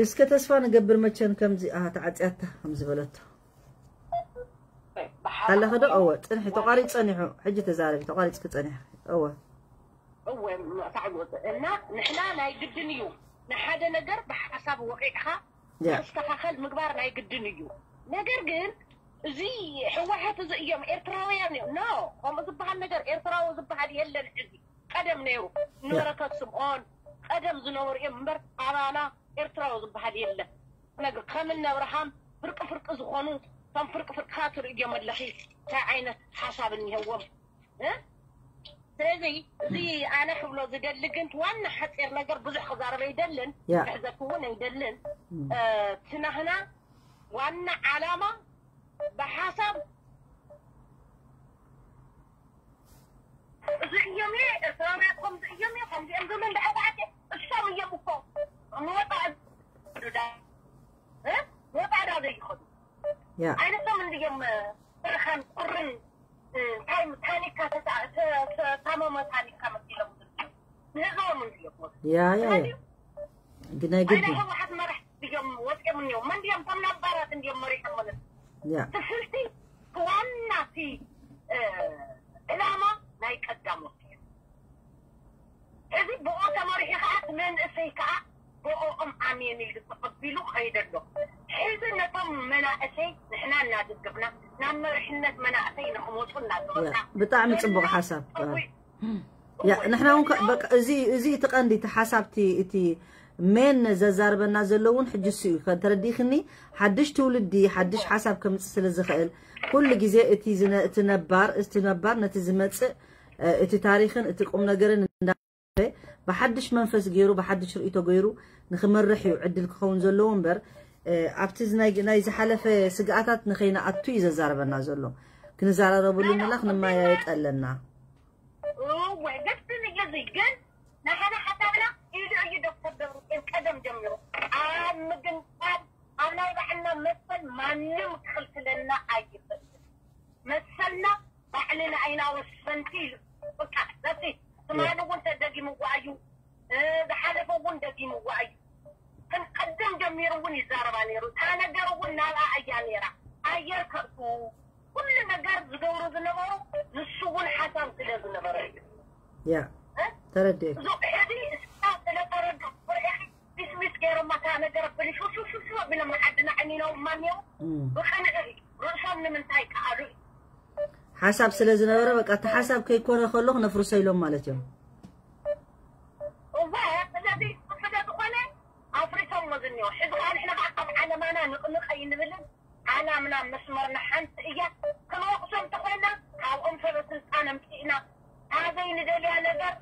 እስከ ተስፋ ንገብር መቸን ከምዚ ኣሃ ተዓፅያታ ከም ዝበለቶ ኣለኸ ዶ እወ ፅንሒ ተቋሪፅ ፀኒሑ ሕጂ ተዛረቢ ተቋሪፅኪ ፀኒሑ እወ እወ ሳዕጎት እና ንሕና ናይ ግድን እዩ ንሓደ ነገር ብሓሳብ ወቂዕካ ክስተኻኸል ምግባር ናይ ግድን እዩ ነገር ግን እዚ ህወሓት እዚ እዮም ኤርትራውያን እዮም ኖ ከምኡ ዝበሃል ነገር ኤርትራዊ ዝበሃል የለን ሕዚ ቀደም ነይሩ ንበረከት ስምኦን ቀደም ዝነበሩ እዮም እምበር ኣባና ኤርትራዊ ዝበሃል የለን ነገር ከም እነ ኣብርሃም ፍርቂ ፍርቂ ዝኾኑ ከም ፍርቂ ፍርቅኻ ትርእዮም ኣለኺ እንታይ ዓይነት ሓሳብ እኒሀዎም ስለዚ እዚ ኣነ ክብሎ ዝደሊ ግን ዋና ሓፂር ነገር ብዙሕ ክዛረብ ኣይደልን ክሕዘኪ እውን ኣይደልን ትናህና ዋና ዓላማ ብሓሳብ እዚ እዮም ኤርትራውያን ከምዚ እዮም ከምዚኦም ዝብሉ እንዳዕባዕቲ እሶም እዮም እኮ ንወጣ ንወጣ ዳ ዘይኸዱ ዓይነቶም እንድዮም ብርኻን ቁርን እንታይ ታኒካ ታመመ ታኒካ መሲሎም ንህዝቦም እንድዮም ያ ያ ግናይ ግዲ ህወሓት መራሕ እዮም ወፂኦም እኒኦም መን ድዮም ከም ነባራት እንድዮም መሪሖም ማለት ያ ትፍልቲ ዋና እቲ ዕላማ ናይ ቀዳሞት እዩ እዚ ብኦ ተመሪሑ ከዓ እቲ መንእሰይ ከዓ ብኦኦም ኣሜን ኢሉ ተቐቢሉ ከይደ ኣሎ ሕዚ ነቶም መናእሰይ ንሕና እናደገፍና ናብ መሪሕነት መናእሰይ ንክመፁ እናገበርና ብጣዕሚ ፅቡቅ ሓሳብ ያ ንሕና እውን በቃ እዚ እዚ እቲ ቀንዲ እቲ ሓሳብቲ እቲ ሜን ዘዛርበና ዘሎ እውን ሕጂ እሱ እዩ ተረዲእክኒ ሓድሽ ትውልዲ ሓድሽ ሓሳብ ከምፅእ ስለ ዝኽእል ኩሉ ግዜ እቲ እቲ ነባር እቲ ነባር ነቲ ዝመፅእ እቲ ታሪክን እቲ ቁም ነገርን እንዳ ብሓድሽ መንፈስ ገይሩ ብሓድሽ ርእቶ ገይሩ ንክመርሕ እዩ ዕድል ክኸውን ዘለዎ እምበር ኣብቲ ናይ ዝሓለፈ ስግኣታት ንኸይንኣቱ እዩ ዘዛርበና ዘሎ ክንዘራረበሉ ምላ ክንመያየጥ ኣለና እወ ደስ ዝብል እዩ ግን ናይ ሓደ ሓሳብና ኢሉ እዩ ዶክተር ደብረፅዮን ቀደም ጀሚሩ ኣብ ምግንፃል ኣብ ናይ ባዕልና መሰል ማንም ክኽልክለና ኣይኽእል መሰልና ባዕልና ኢና ወሰንቲ ኢሉ በቃ that's it ትማሊ እውን ተደጊምዋ እዩ ዝሓለፈ እውን ደጊምዋ እዩ ግን ቀደም ጀሚሩ እውን ይዛረባ ነይሩ እታ ነገር እውን ናብኣ እያ ነይራ ኣየር ከእትዉ ኩሉ ነገር ዝገብሩ ዝነበሩ ንሱ እውን ሓሳብ ስለ ዝነበረ እዩ ያ ተረዲኤ ሕዚ እሳ ስለ ተረዱ ዲስሚስ ገይሮማ እታ ነገር ብልሽውሽውሽው ኣቢሎም ዓድና ዕኒኖም ማንዮም ብቐንዒ ርእሶም ንምንታይ ከኣሉ እዩ? ሓሳብ ስለ ዝነበረ በቃ እቲ ሓሳብ ከይኮነ ከሎ ክነፍርሶ ኢሎም ማለት እዮም። እዛ ስለዚ ስለዝኾነ ኣፍሪሶሞ ዝኒኦ ሕዚ ከዓ ንሕና ከዓ ካብ ዓለማና ንቕንቕ ኣይንብልን። ዓላምና መስመርና ሓንቲ እያ። ክንወቕሶም ተኾይና ካብኦም ሰበ ስልጣን ኣምፂእና ኣበይ ንደልያ ነገር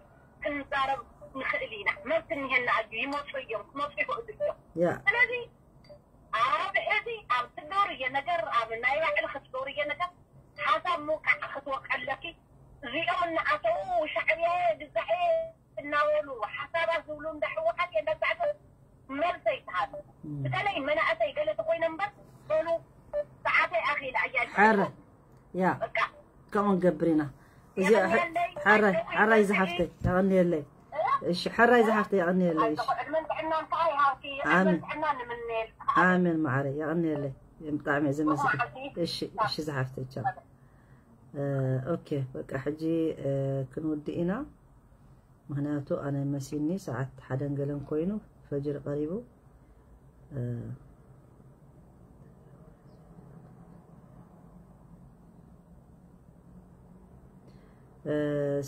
ክንዛረብ ንኽእል ኢና። መብት እኒሄና እዩ። ይመፁ እዮም፣ ክመፁ ይኽእሉ እዮም። ያ ስለዚ ኣብ ሕዚ ኣብ ትገብርዮ ነገር ኣብ ናይ ባዕልኺ ትገብርዮ ነገር ሓሳብ ምውቃዕ ክትወቀለኪ እዚኦም እናኣተው ሻዕብያ ግዛኤ እናበሉ ሓሳባት ዝብሉ እንዳ ህወሓት እየ እንዳዛዕበ መልሰ ይትሃሉ። በተለይ መናእሰይ ገለ ተኮይነ እምበር በሉ ሰዓተይ ኣኺላ እያ ሓረ ያ በቃ ከምኡ ንገብር ኢና። እዚ ሓራይ ዝሓፍተይ የቐንየለይ። እሺ ሓራይ ዝሓፍተይ የቐንየለይ። እሺ ዕድመን ጥዕናን ከዓ ይሃብኪ። ዕድመን ጥዕናን ንምነየልካ። ኣሜን ማዕረ የቐንየለይ። ብጣዕሚ እየ ዘመስግን። እሺ እሺ ዝሓፍተይ ቻው። ኦኬ በቃ ሕጂ ክንውድእ ኢና። ምክንያቱ ኣነ መሲኒ ሰዓት ሓደን ገለን ኮይኑ ፈጅር ቀሪቡ።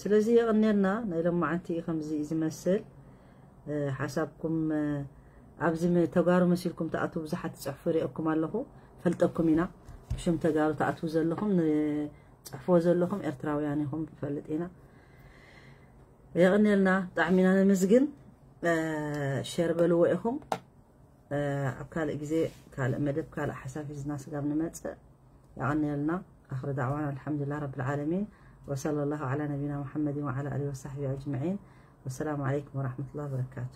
ስለዚ የቕንየልና። ናይ ሎማዓንቲ ከምዚ እዩ ዝመስል። ሓሳብኩም ኣብዚ ተጋሩ መሲልኩም ትኣትዉ ብዙሓት ትፅሕፉ ይሪአኩም ኣለኹ። ፈልጠኩም ኢና። ብሽም ተጋሩ ትኣትዉ ዘለኹም ንፅሕፍዎ ዘለኹም ኤርትራውያን ኢኹም ንፈልጥ ኢና። የቕንየልና። ብጣዕሚ ኢና ነመስግን። ሸር በልዎ ኢኹም። ኣብ ካልእ ግዜ ካልእ መደብ ካልእ ሓሳብ ሒዝና ስጋብ ንመፅእ የቐንየልና። ኣኽሪ ዳዕዋና ኣልሓምዱሊላህ ረብል ዓለሚን ወሰለ ላሁ ዓላ ነቢና ሙሐመድን ወዓላ ኣሊሂ ወሳሕቢሂ ኣጅመዒን። ወሰላሙ ዓለይኩም ወራሕመቱላሂ ወበረካቱ።